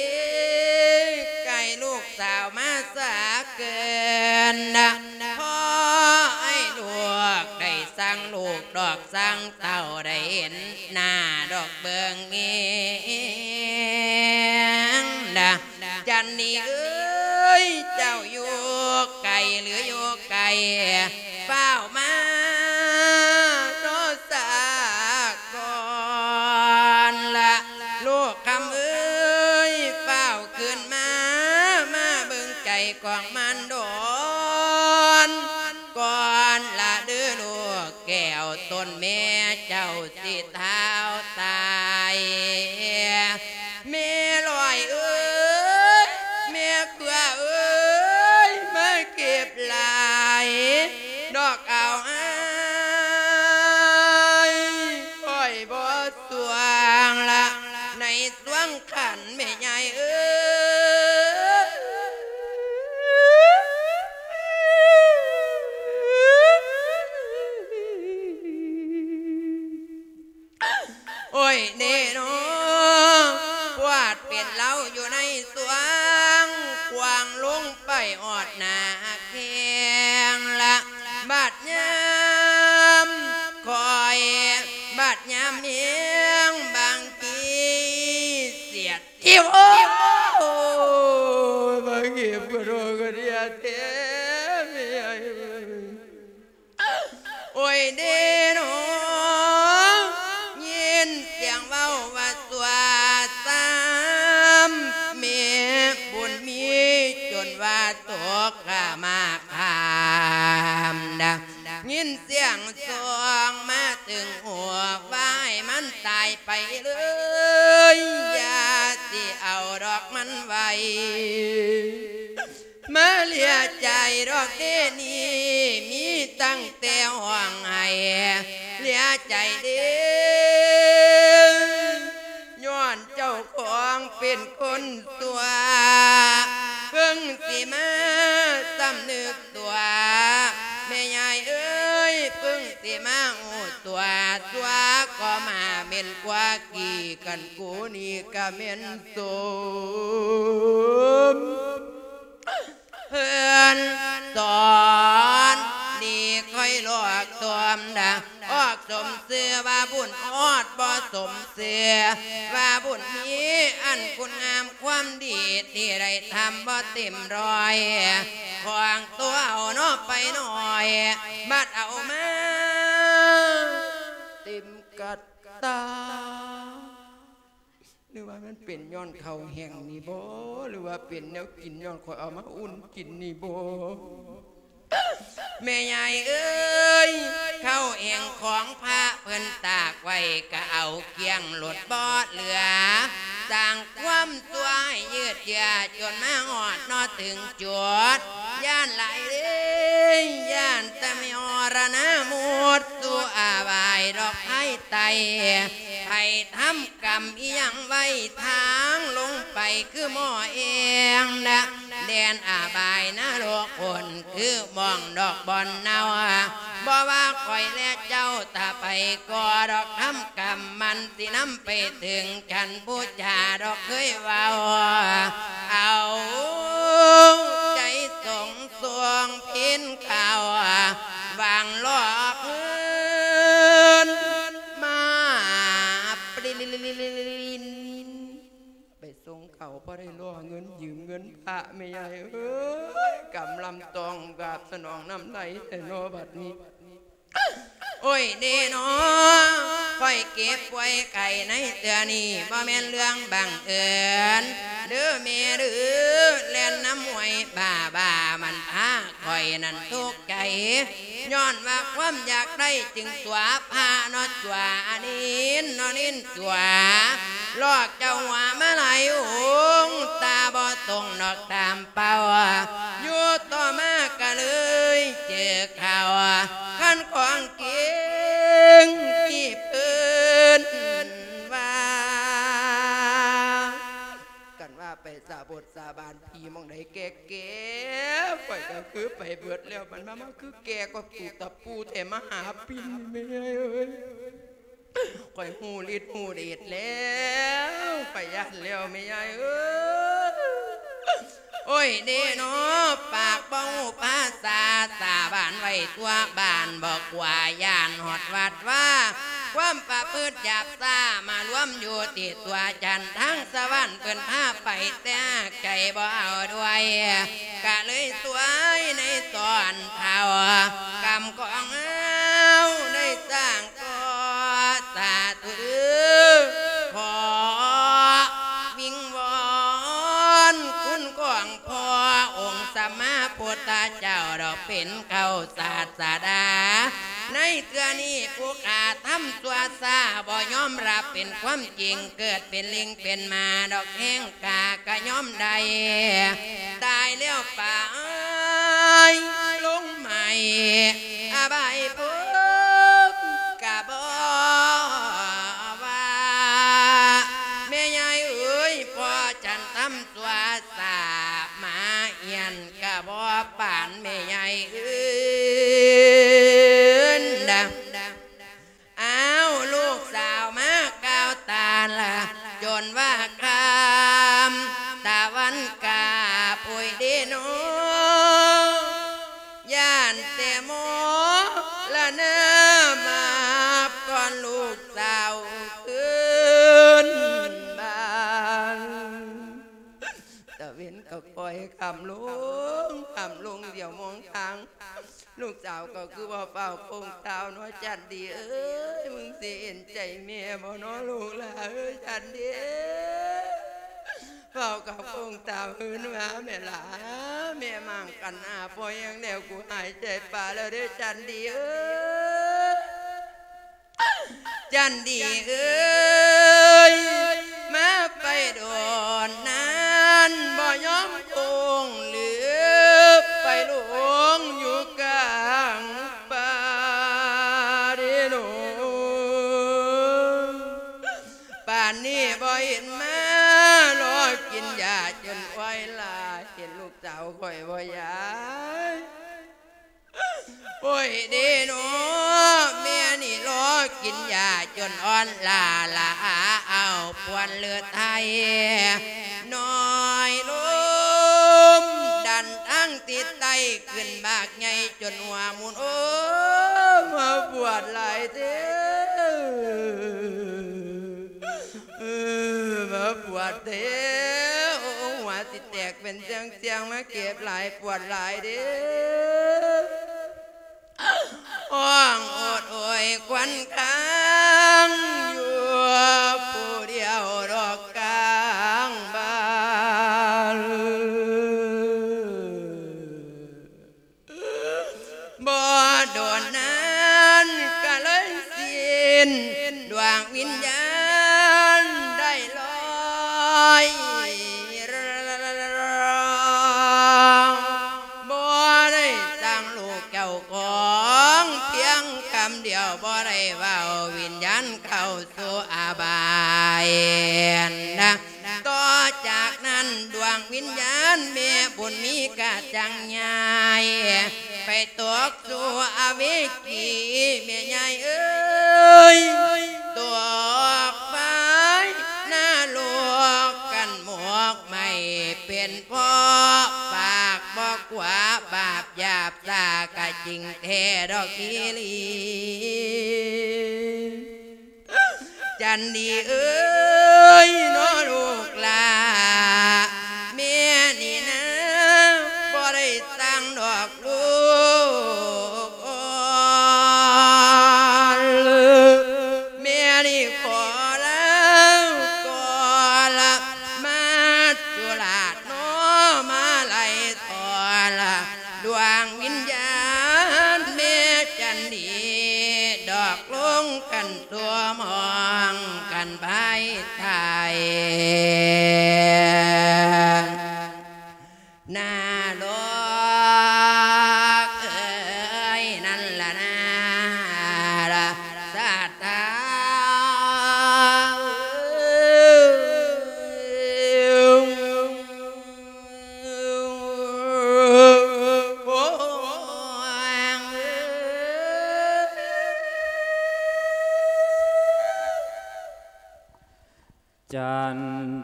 ໃກ້ລູກສາວມາສາເກີນນະ ຂໍໃຫ້ລູກໄດ້ສັງລູກດອກສັງເຕົ້າ ໄດ້ເຫັນໜ້າດອກເບິ່ງແຍງນະ ຈັນນີເອີຍ ເຈົ້າຢູ່ໄກຫຼືຢູ່ໃກ້ ຟ້າວມາເນາະສາກ່ອນລະ ລູກຄຳເອີຍ ຟ້າວຄືນມາ ມາເບິ່ງໃຈຂອງມານດອນ ກ່ອນລະເດີລູກແກ້ວ ຕົນແມ່ເຈົ້າຊິທ້າວຕາຍ ແມ່ລອຍເອີຍ ແມ່ເກືອເອີຍ ມາເກັບຫຼາຍ ດອກເອົາອ້າຍ ຂ້ອຍບໍ່ສວງລະ ໃນ ສວງຂັນແມ່ຍາຍເອີຍ ໂອ້ຍເນເນາະ ປວດເປັນເລົາຢູ່ໃນສວງ ຂວາງລົງໄປຮອດໜ້າແຂ້ງລະ ບາດຍາມຂ້ອຍ ບາດຍາມແຮງບາງທີສຽດ ອີໂອ້ ມາເກັບກະໂດກກະເດຍແທ້ແມ່ໃຫຍ່ເອີຍ ໂອ້ຍເດເນາະ ຍິນສຽງເວົ້າວ່າຊົ່ວຊ້ຳ ແມ່ບຸນມີຈົນວ່າຕົກກະມາຄາມນະ ຍິນສຽງຊອງມາຕຶງຫູ ວ່າໃຫ້ມັນຕາຍໄປເລີຍ ຢ່າຊິເອົາດອກມັນໄວ້ ມາເລຍໃຈດອກເດນີ້ ມີຕັ້ງແຕ່ຮ້ອງໄຫ້ເລຍໃຈເດ ຍ້ອນເຈົ້າຂອງເປັນຄົນຊົ່ວ ເພິ່ງຊິມາສຳນຶກຕົວ ແມ່ຍາຍເອີຍ ເພິ່ງຊິມາຮູ້ຕົວ ຊົ່ວກໍມາເໝັນກວ່າກີ້ ຄັນກູນີ້ກະແມ່ນສົມ ເພິ່ນສອນດີຄ່ອຍຫຼອກຕົວມດາ ອອກສົມຊື່ວ່າບຸນ ອອດບໍ່ສົມຊື່ວ່າບຸນມີ ອັນຄຸນງາມຄວາມດີທີ່ໄດ້ທຳບໍ່ເຕັມຮ້ອຍ ຂອງຕົວເອົາເນາະໄປໜ້ອຍ ບັດເອົາມາເຕັມກະຕາ. ຫຼືວ່າມັນເປັນຍ້ອນເຂົ້າແຫ້ງນີ້ບໍ? ຫຼືວ່າເປັນແນວກິນຍ້ອນຂ້ອຍເອົາມາອຸ່ນກິນນີ້ບໍ? ແມ່ຍາຍເອີຍ ເຂົ້າແຫ້ງຂອງພະເພິ່ນຕາກໄວ້ ກະເອົາກ້ຽງໂລດບໍ່ເຫຼືອ ສ້າງຄວາມຊົ່ວໃຫ້ຍືດເຢື້ອ ຈົນມາຮອດເນາະເຖິງຈຸດ ຢ້ານຫຼາຍເດ້ ຢ້ານແຕ່ມີມໍລະນະໝົດສູ່ອາບາຍດອກພາຍໃຕ້ ໃຜທຳ ກຳອີ່ຫຍັງໄວ້ທາງລົງໄປຄືໝໍ້ແອງນະ ແດນອາບາຍນະລົກຄົນຄືໝ່ອງດອກບ່ອນເນົ່າ ບໍ່ວ່າຂ້ອຍແລະເຈົ້າ ຖ້າໄປກໍດອກທຳກຳ ມັນຊິນຳໄປເຖິງຊັ້ນບູຊາດອກເຄີຍເວົ້າ ເອົາໃຈສົງສວງພິນເຂົ້າ ຫວັງ ລໍເງິນຢືມເງິນພະ ແມ່ໃຫຍ່ເອີຍ ກຳລຳຕ້ອງກາບສະໜອງນຳໄດ້ແທ້ນໍບັດນີ້. ໂອ້ຍເດນໍ ຂ້ອຍເຈັບປ່ວຍໄຂ້ໃນເທື່ອນີ້ ບໍ່ແມ່ນເລື່ອງບັງເອີນເດີແມ່ເດີ ແລ່ນນຳຫ້ວຍບ້າໆ ມັນພາຂ້ອຍນັ້ນທຸກໃຈ ຍ້ອນວ່າຄວາມຢາກໄດ້ຈຶ່ງຕົວະພະເນາະ ຕົວະອານິນເນາະ ນິນຕົວະ ຫຼອກເຈົ້າຫົວມາຫຼາຍອົງ ຕາບໍ່ຕົງນອກຕາມເປົ້າ ຢູ່ຕໍ່ມາກະເລີຍເຈີຂ່າວ ຄັນຂອງເກັ່ງທີ່ເພິ່ນວ່າ ກັນວ່າໄປສາບົດສາບານ ຜີໝ່ອງໃດແກ່ໆ ຂ້ອຍກໍຄືໄປເບິດແລ້ວ ມັນມາ ມາຄືແກ່ກວ່າຕູກຕະປູແທ້ ມາຫາປິ່ນແມ່ເອີຍ. ຂ້ອຍຮູ້ລິດຮູ້ເດດແລ້ວ ຂ້ອຍຢ້ານແລ້ວແມ່ຍາຍເອີຍ. ໂອ້ຍເດນໍ ປາກບໍ່ຮູ້ພາສາ ສາບານໄວ້ທົ່ວບ້ານ ບໍ່ກົວຢ້ານຮອດວັດວາ ຄວາມປະພຶດຫຍາບຊ້າ ມາລວມຢູ່ທີ່ຕົວຈັນ ທາງສະຫວັນເພິ່ນພາໄປ ແຕ່ໃຈບໍ່ເອົາດ້ວຍ ກະເລີຍສວຍໃນຕອນເຖົ້າ ກຳຂອງເຮົາໄດ້ສ້າງກໍສາທຸເດີ ຂໍວິງວອນຄຸນຂອງພໍ່ອົງສຳມາພຸດທະເຈົ້າດອກ ເປັນເຂົ້າສາສະດາ ໃນເທື່ອນີ້ຜູ້ຂ້າທຳຊົ່ວຊ້າ ບໍ່ຍອມຮັບເປັນຄວາມຈິງ ເກີດເປັນລິງເປັນໝາດອກ ແຮງກາກະຍອມໄດ້ ຕາຍແລ້ວໄປລົງໃໝ່ ອະບາຍພູມກະບໍ່ວ່າ ແມ່ຍາຍເອີຍ ພໍ່ຈັນທຳ ຕົວສາມາຮຽນກະບໍ່ປານແມ່ໃຫຍ່ອື່ນດາ. ອ້າວ ລູກສາວມາກ່າວຕານລະ ຈົນວ່າຄ່ຳຕາວັນກາບ ໂອ້ຍເດນໍ ຢ້ານແຕ່ມໍລະນາມາບກ່ອນລູກສາວຄືນບ້ານ. ຕາເວັນກໍຄ່ອຍຄ່ຳລົງ ຄ່ຳລົງ ດຽວມອງທາງ ລູກສາວກໍຄືວ່າຟ້າວໂຄ້ງທ້າວເນາະ ຈັນດີເອີຍ ມຶງຊິເຫັນໃຈແມ່ບໍ່ເນາະ ລູກຫຼ້າເອີຍ ຈັນດີ ຟ້າວກັບໂຄ້ງທ້າວຄືນມາແມ່ຫຼ້າ ແມ່ໝາງກັນອາ ພໍແຮງແລ້ວ ກູຫາຍໃຈປາແລ້ວເດີ ຈັນດີເອີຍ. ຈັນດີເອີຍ ມາໄປໂດນນານ ບໍ່ຍອມຄົງຫຼື ໄປຫຼົງຢູ່ກາງປ່າເດໂນ ປານນີ້ບໍ່ເຫັນມາ ລໍກິນຢາຈົນອ້ອຍຫຼ້າ ເຫັນລູກສາວຂ້ອຍບໍ່ຍາຍ? ໂອ້ຍເດເນາະ ແມ່ນີ້ລໍກິນຢາຈົນອ່ອນລ້າລະອາ ເອົາປວນເລືອດໄທນ້ອຍລົງ ດັນທາງທິດໃຕ້ຂຶ້ນບາກໃຫຍ່ຈົນຫົວໝູນ ໂອ້ ມາປວດຫຼາຍເດ້ ເອີ ມາປວດເດ້ ໂອ້ ຫົວຊິແຕກເປັນເຊືອງໆ ມາເຈັບຫຼາຍປວດຫຼາຍເດ້ ຮ້ອງໂອດໂອຍຄວັນຄາງຢູ່ຜູ້ດຽວດອກກາງບ້ານ. ບໍ່ດົນນານກະເລີຍສິ້ນ ດວງວິນຍານໄດ້ລອຍ ບໍ່ໄດ້ສ້າງລູກເຈົ້າຂອງ ພຽງຄຳດຽວບໍ່ໄດ້ເວົ້າ ວິນຍານເຂົ້າສູ່ອະບາຍນະ. ຕໍ່ຈາກນັ້ນດວງວິນຍານແມ່ບຸນມີກະຈັ່ງຍ້າຍ ໄປຕົກສູ່ອະເວກີ ແມ່ຍາຍເອີຍ ຕົກໄຟນະລົກກັນໝອກໄໝ້ ເປັນເພາະປາກບໍ່ກວາ ບາບຫຍາບຊ້າກະຈິງແທ້ດອກອີ່ຫຼີ. ຈັນດີເອີຍເນາະລູກຫຼ້າ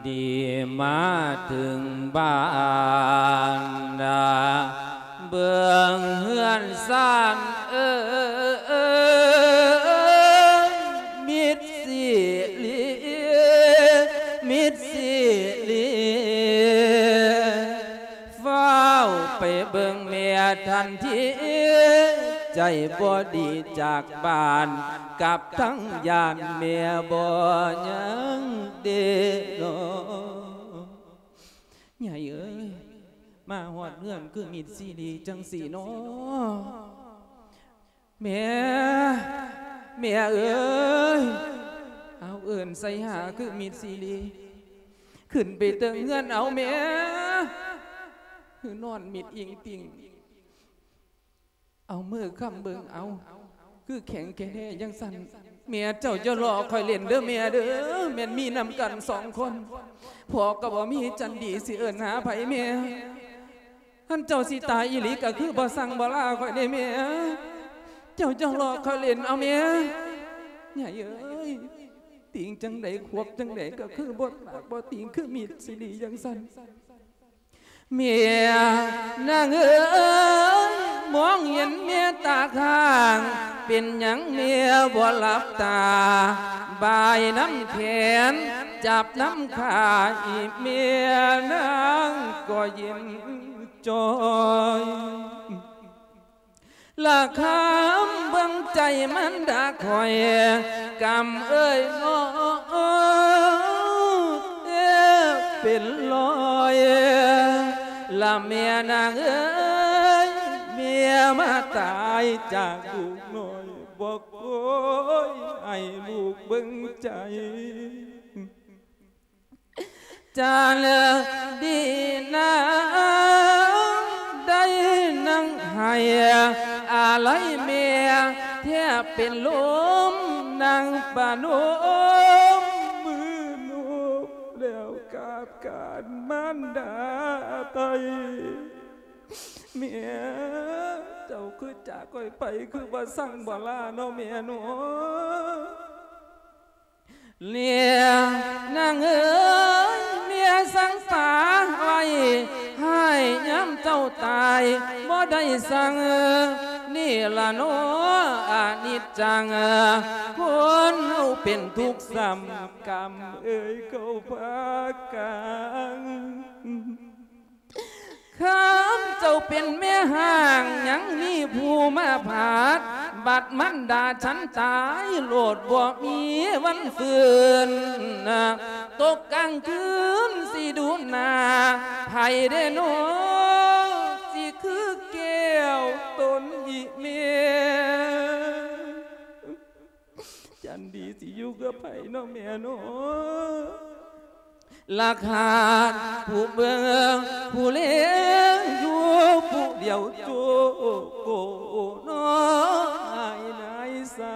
ດີມາເຖິງບ້ານນາ ເບິ່ງເຮືອນຊານເອີຍ ມິດຊີລີ ມິດຊີລີ ຟ້າວໄປເບິ່ງແມ່ທັນທີ ໃຈບໍ່ດີຈາກບ້ານ ກັບທັງຢ້ານແມ່ບໍ່ຍັງເດເນາະ. ຍາຍເອີຍ ມາຮອດເຮືອນຄືມິດຊີລີຈັ່ງຊີ້ເນາະ. ແມ່ ແມ່ເອີຍ ເອົາເອີ້ນໃສ່ຫາຄືມິດຊີລີ ຂຶ້ນໄປເທິງເຮືອນເອົາແມ່ ຄືນອນມິດອີງຕິ່ງ ເອົາມືຄ້ຳເບິ່ງເອົາ ຄືແຂງແທ້ຈັ່ງຊັ້ນ. ແມ່ເຈົ້າຢ່າລໍ້ຂ້ອຍຫຼິ້ນເດີແມ່ເດີ ແມ່ນມີນຳກັນສອງຄົນ ພໍ່ກໍບໍ່ມີ ຈັນດີຊິເອີ້ນຫາໃຜແມ່ ຄັນເຈົ້າຊິຕາຍອີ່ຫຼີກໍຄືບໍ່ສັ່ງບໍ່ລາຂ້ອຍເດ້ແມ່ ເຈົ້າຢ່າລໍ້ຂ້ອຍຫຼິ້ນເອົາແມ່. ຍາຍເອີຍ ຕີງຈັ່ງໃດຂວບຈັ່ງໃດກໍຄືບໍ່ຕາກບໍ່ຕີງ ຄືມີດຊິດີຈັ່ງຊັ້ນ. ແມ່ນາງເອີຍ ມອງເຫັນແມ່ຕາຄ້າງ ເປັນຫຍັງແມ່ບໍ່ຫຼັບຕາ ບາຍນຳແຂນ ຈັບນຳຂາ ອີແມ່ນາງກໍເຢັນຈ່ອຍ ລະຄຳເບິ່ງໃຈມັນດາຂ້ອຍ ກຳເອີຍນ້ອງເອີຍ ເປັນລອຍ ລະແມ່ນາງເອີຍ ແມ່ມາຕາຍຈາກລູກນ້ອຍ ບໍ່ໂກຍໃຫ້ລູກເບິ່ງໃຈ. ຈັນດີນາງໄດ້ນັ່ງໄຫ້ອາໄລແມ່ ແທບເປັນລົມ ນັ່ງປະນົມມືນົບ ແລ້ວກາບການມານດາໄຕ ແມ່ ເຈົ້າຄືຈາກຂ້ອຍໄປ ຄືບໍ່ສັ່ງບໍ່ລາເນາະແມ່ເນາະ. ເນຍນາງເອີຍ ເມຍສັ່ງປາໄວ້ ໃຫ້ຍາມເຈົ້າຕາຍບໍ່ໄດ້ສັ່ງ ນີ້ລະເນາະອະນິດຈັງ ຄົນເຮົາເປັນທຸກຊ້ຳ ກຳເອີຍເຂົາພາກັນ. ຄຳເຈົ້າເປັນແມ່ຮ້າງ ຍັງມີຜູ້ມາຜາດ ບັດມັນດາສັນຕາຍ ໂລດບໍ່ມີວັນຟື້ນ ຕົກກາງຄືນຊິດູໜ້າໃຜເດເນາະ ຊິຄືແກ້ວຕົນອີແມ່. ຈັນດີຊິຢູ່ກັບໃຜເນາະແມ່ເນາະ ລະຂາດຜູ້ເບິ່ງຜູ້ແລຢູ່ຜູ້ດຽວໂຈໂກເນາະ ນາຍນາຍສາ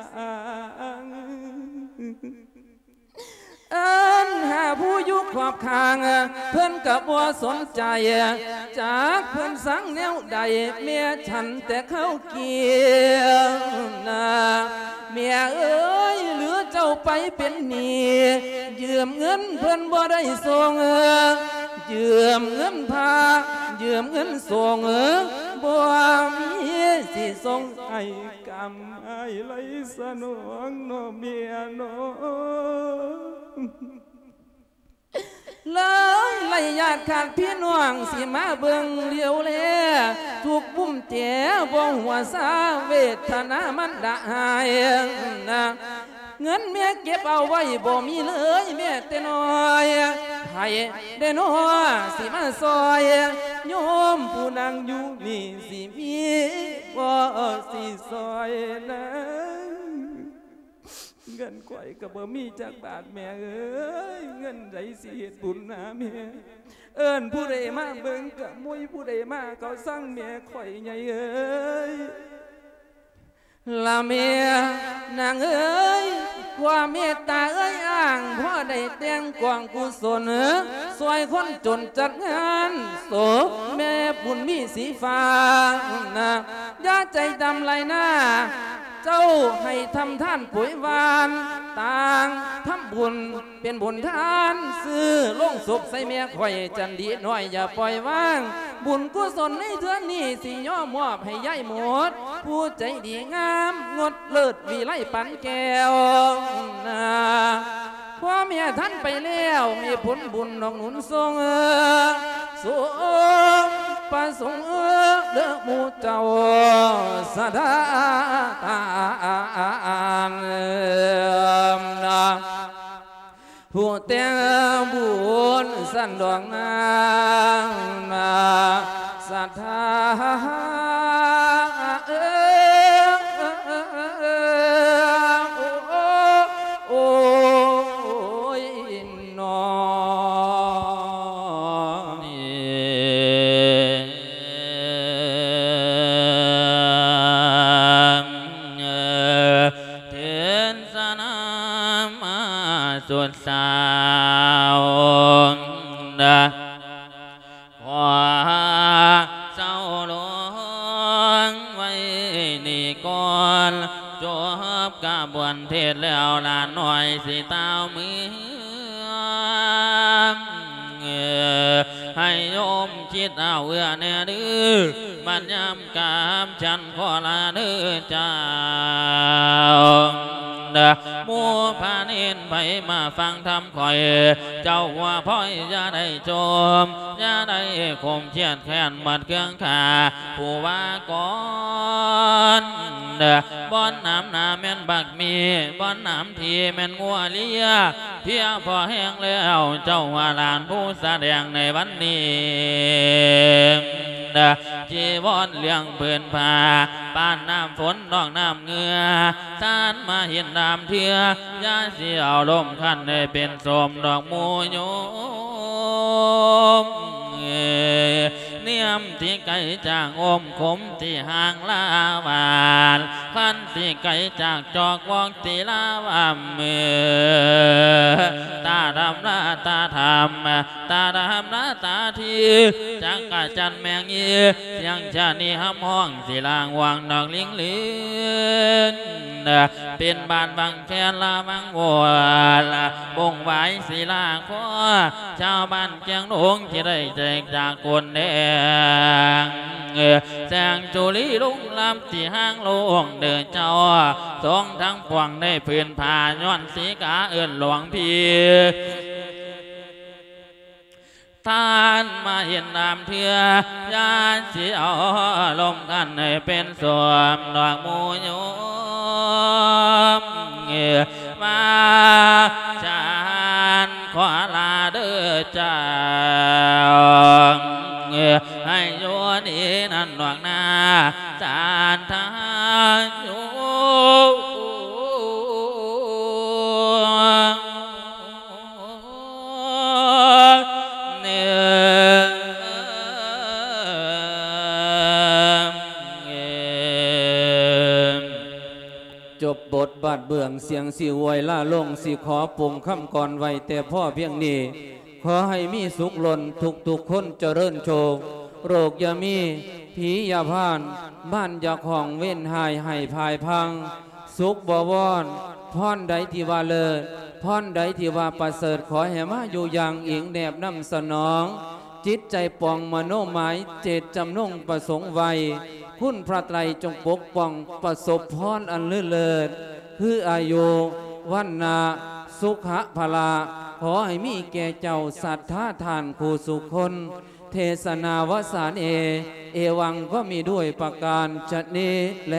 ງ ເອີ້ນຫາຜູ້ຢູ່ຂອບຂ້າງ ເພິ່ນກໍບໍ່ສົນໃຈ ຈັກເພິ່ນສັງແນວໃດ ແມ່ສັນແຕ່ເຂົາ ກຽມນາ ແມ່ເອີຍ ຫຼືເຈົ້າໄປເປັນໜີ້ ຢືມເງິນເພິ່ນບໍ່ໄດ້ສົ່ງ ຢືມເງິນພະ ຢືມເງິນສົງ ບໍ່ມີຊິສົ່ງໃຫ້ ກຳອ້າຍໄລສະໜອງເນາະແມ່ເນາະ. ເລີຍໄລຍາດຂາດພີ່ນ້ອງ ຊິມາເບິ່ງຫຼຽວແລ ທຸກບຸ້ມແຈບໍ່ຫົວຊາ ເວທະນາມັນລະຫາຍນາ ເງິນແມ່ເກັບເອົາໄວ້ບໍ່ມີເລີຍແມ້ແຕ່ນ້ອຍ ໃຜແດ່ນໍຊິມາຊ່ອຍ ໂຍມຜູ້ນັ່ງຢູ່ນີ້ ຊິມີບໍ່ຊິຊ່ອຍນາ? ເງິນຂ້ອຍກໍບໍ່ມີຈັກບາດແມ່ເອີຍ ເງິນໃດຊິເຮັດບຸນຫາແມ່ ເອີ້ນຜູ້ໃດມາເບິ່ງກໍບໍ່ມີຜູ້ໃດມາ ເຂົາຊັງແມ່ຂ້ອຍໃຫຍ່ເອີຍ ລະແມ່ນາງເອີຍ ຄວາມເມດຕາເອີຍອ້າງ ພໍໄດ້ແຕ່ງກອງກຸສົນ ຊ່ອຍຄົນຈົນຈັດງານສົບແມ່ບຸນມີສີຟ້າ ຢ່າໃຈດຳຫຼາຍນາ ເຈົ້າໃຫ້ທຳທານໂປຍຫວານ ຕ່າງທຳບຸນເປັນບຸນທານ ຊື້ໂລງສົບໃສ່ແມ່ຂ້ອຍ ຈັນດີນ້ອຍຢ່າປ່ອຍວາງ ບຸນກຸສົນໃນເທື່ອນີ້ ຊິຍອມມອບໃຫ້ຍາຍໝົດ ຜູ້ໃຈດີງາມ ງົດເລີດວິໄລປານແກ້ວນາ. ພໍ່ແມ່ທ່ານໄປແລ້ວ ໃຫ້ຜົນບຸນນອກໜູນສົ່ງ ສົມປະສົງເດີ້ໝູ່ເຈົ້າສະດາຕານ ຜູ້ແຕ່ງບຸນສັນດອກນາງສັດທາ ໂອ້ຍ ນ້ອງ ເທດສະນາມາສຸດສາວ ຂໍເຊົາລົງໄວ້ນີ້ກ່ອນ ຈົບກະບວນເທດແລ້ວ ຫຼານນ້ອຍຊິຕາວເມືອ ໃຫ້ໂຍມຄິດເອົາເອື້ອແນ່ເດີ້ ບັດຍາມກາບສັນຂໍລາເດີ້ເຈົ້າ ໝູ່ພະເນນໃຜມາຟັງທຳຂ້ອຍ ເຈົ້າຫົວພ້ອຍຢ່າໄດ້ຈົ່ມ ຢ່າໄດ້ຂົມຄຽດແຄ້ນໝົດເຄືອງຂ້າ ຜູ້ວ່າກ່ອນ ບ່ອນໜາມໜ້າແມ່ນບັກໝີ່ ບ່ອນໜາມທີ່ແມ່ນງົວເລຍ ເພຍພໍແຮງແລ້ວ ເຈົ້າວ່າຫຼານຜູ້ສະແດງໃນວັນນີ້ ຈີວອນເລື່ອງຜືນຜ້າ ປານນ້ຳຝົນນອກນ້ຳເຫື່ອ ສານມະຫິນດາມເທື່ອ ຢ່າຊິເອົາລົມຄັນໃຫ້ເປັນໂສມດອກໝູ່ໂຍມ ນຽມທີ່ໄກຈາກອົມຂົມ ທີ່ຫ່າງລາວານ ຄັນທີ່ໄກຈາກຈອກວອກທີ່ລາວາເມືອ ຕາດຳລາຕາທຳ ຕາດຳລາຕາທີ ຈັກກະຈັນແມງອີ ສຽງຊະນີຮຳຮ້ອງ ຊິລາງຫວ່າງນອກລິງເລນ ເປັນບ້ານວັງແຄນລາວັງວອນ ບົງຫວາຍສີລາຄໍ ຊາວບ້ານແກ້ງດົງທີ່ໄດ້ແຈກຈາກຄົນແດງ ແສງຈຸລີລຸງລຳທີ່ຫ້າງໂລງເດີເຈົ້າ ສົງທັງປວງໄດ້ຜືນຜ້າຍ້ອນສີກາເອີ້ນຫຼວງພີ່ ທ່ານມາເຫັນນຳເທື່ອ ຢ່າຊິເອົາລົມກັນໃຫ້ເປັນສວມດອກໝູ່ໂຍມ ມາຈານຂໍລາເດີເຈົ້າ ໃຫ້ຢູ່ດີນັ້ນດອກນາ ສານທາຢູ່ ຈົບບົດບາດເບື້ອງ ສຽງຊິຫວຍລາລົງ ຊິຂໍປົງຄຳກອນໄວ້ແຕ່ພໍພຽງນີ້. ຂໍໃຫ້ມີສຸກລົ້ນທຸກໆຄົນ ຈະເລີນໂຊກ ໂລກຢ່າມີ ຜີຢ່າຜ່ານ ບ້ານຢ່າຂອງ ເວນຮ້າຍໃຫ້ພາຍພັງ ສຸກບໍວອນ ພອນໃດທີ່ວ່າເລີດ ພອນໃດທີ່ວ່າປະເສີດ ຂໍໃຫ້ມາຢູ່ຢ່າງອີງແນບນຳສະໜອງ ຈິດໃຈປອງມະໂນໝາຍ ເຈດຈຳນົງປະສົງໄວ້ ຄຸນພະໄຕຣຈົ່ງປົກປ້ອງ ປະສົບພອນອັນເລີດເລີດ ຄືອາຍຸ ວັນນະ ສຸຂະ ພະລະ ຂໍໃຫ້ມີແກ່ເຈົ້າສັດທາທ່ານຄູ່ສູ່ຄົນ ເທສະນາວະສາເນ ເອວັງ ກໍມີດ້ວຍປະການຊະນີ້ແລ.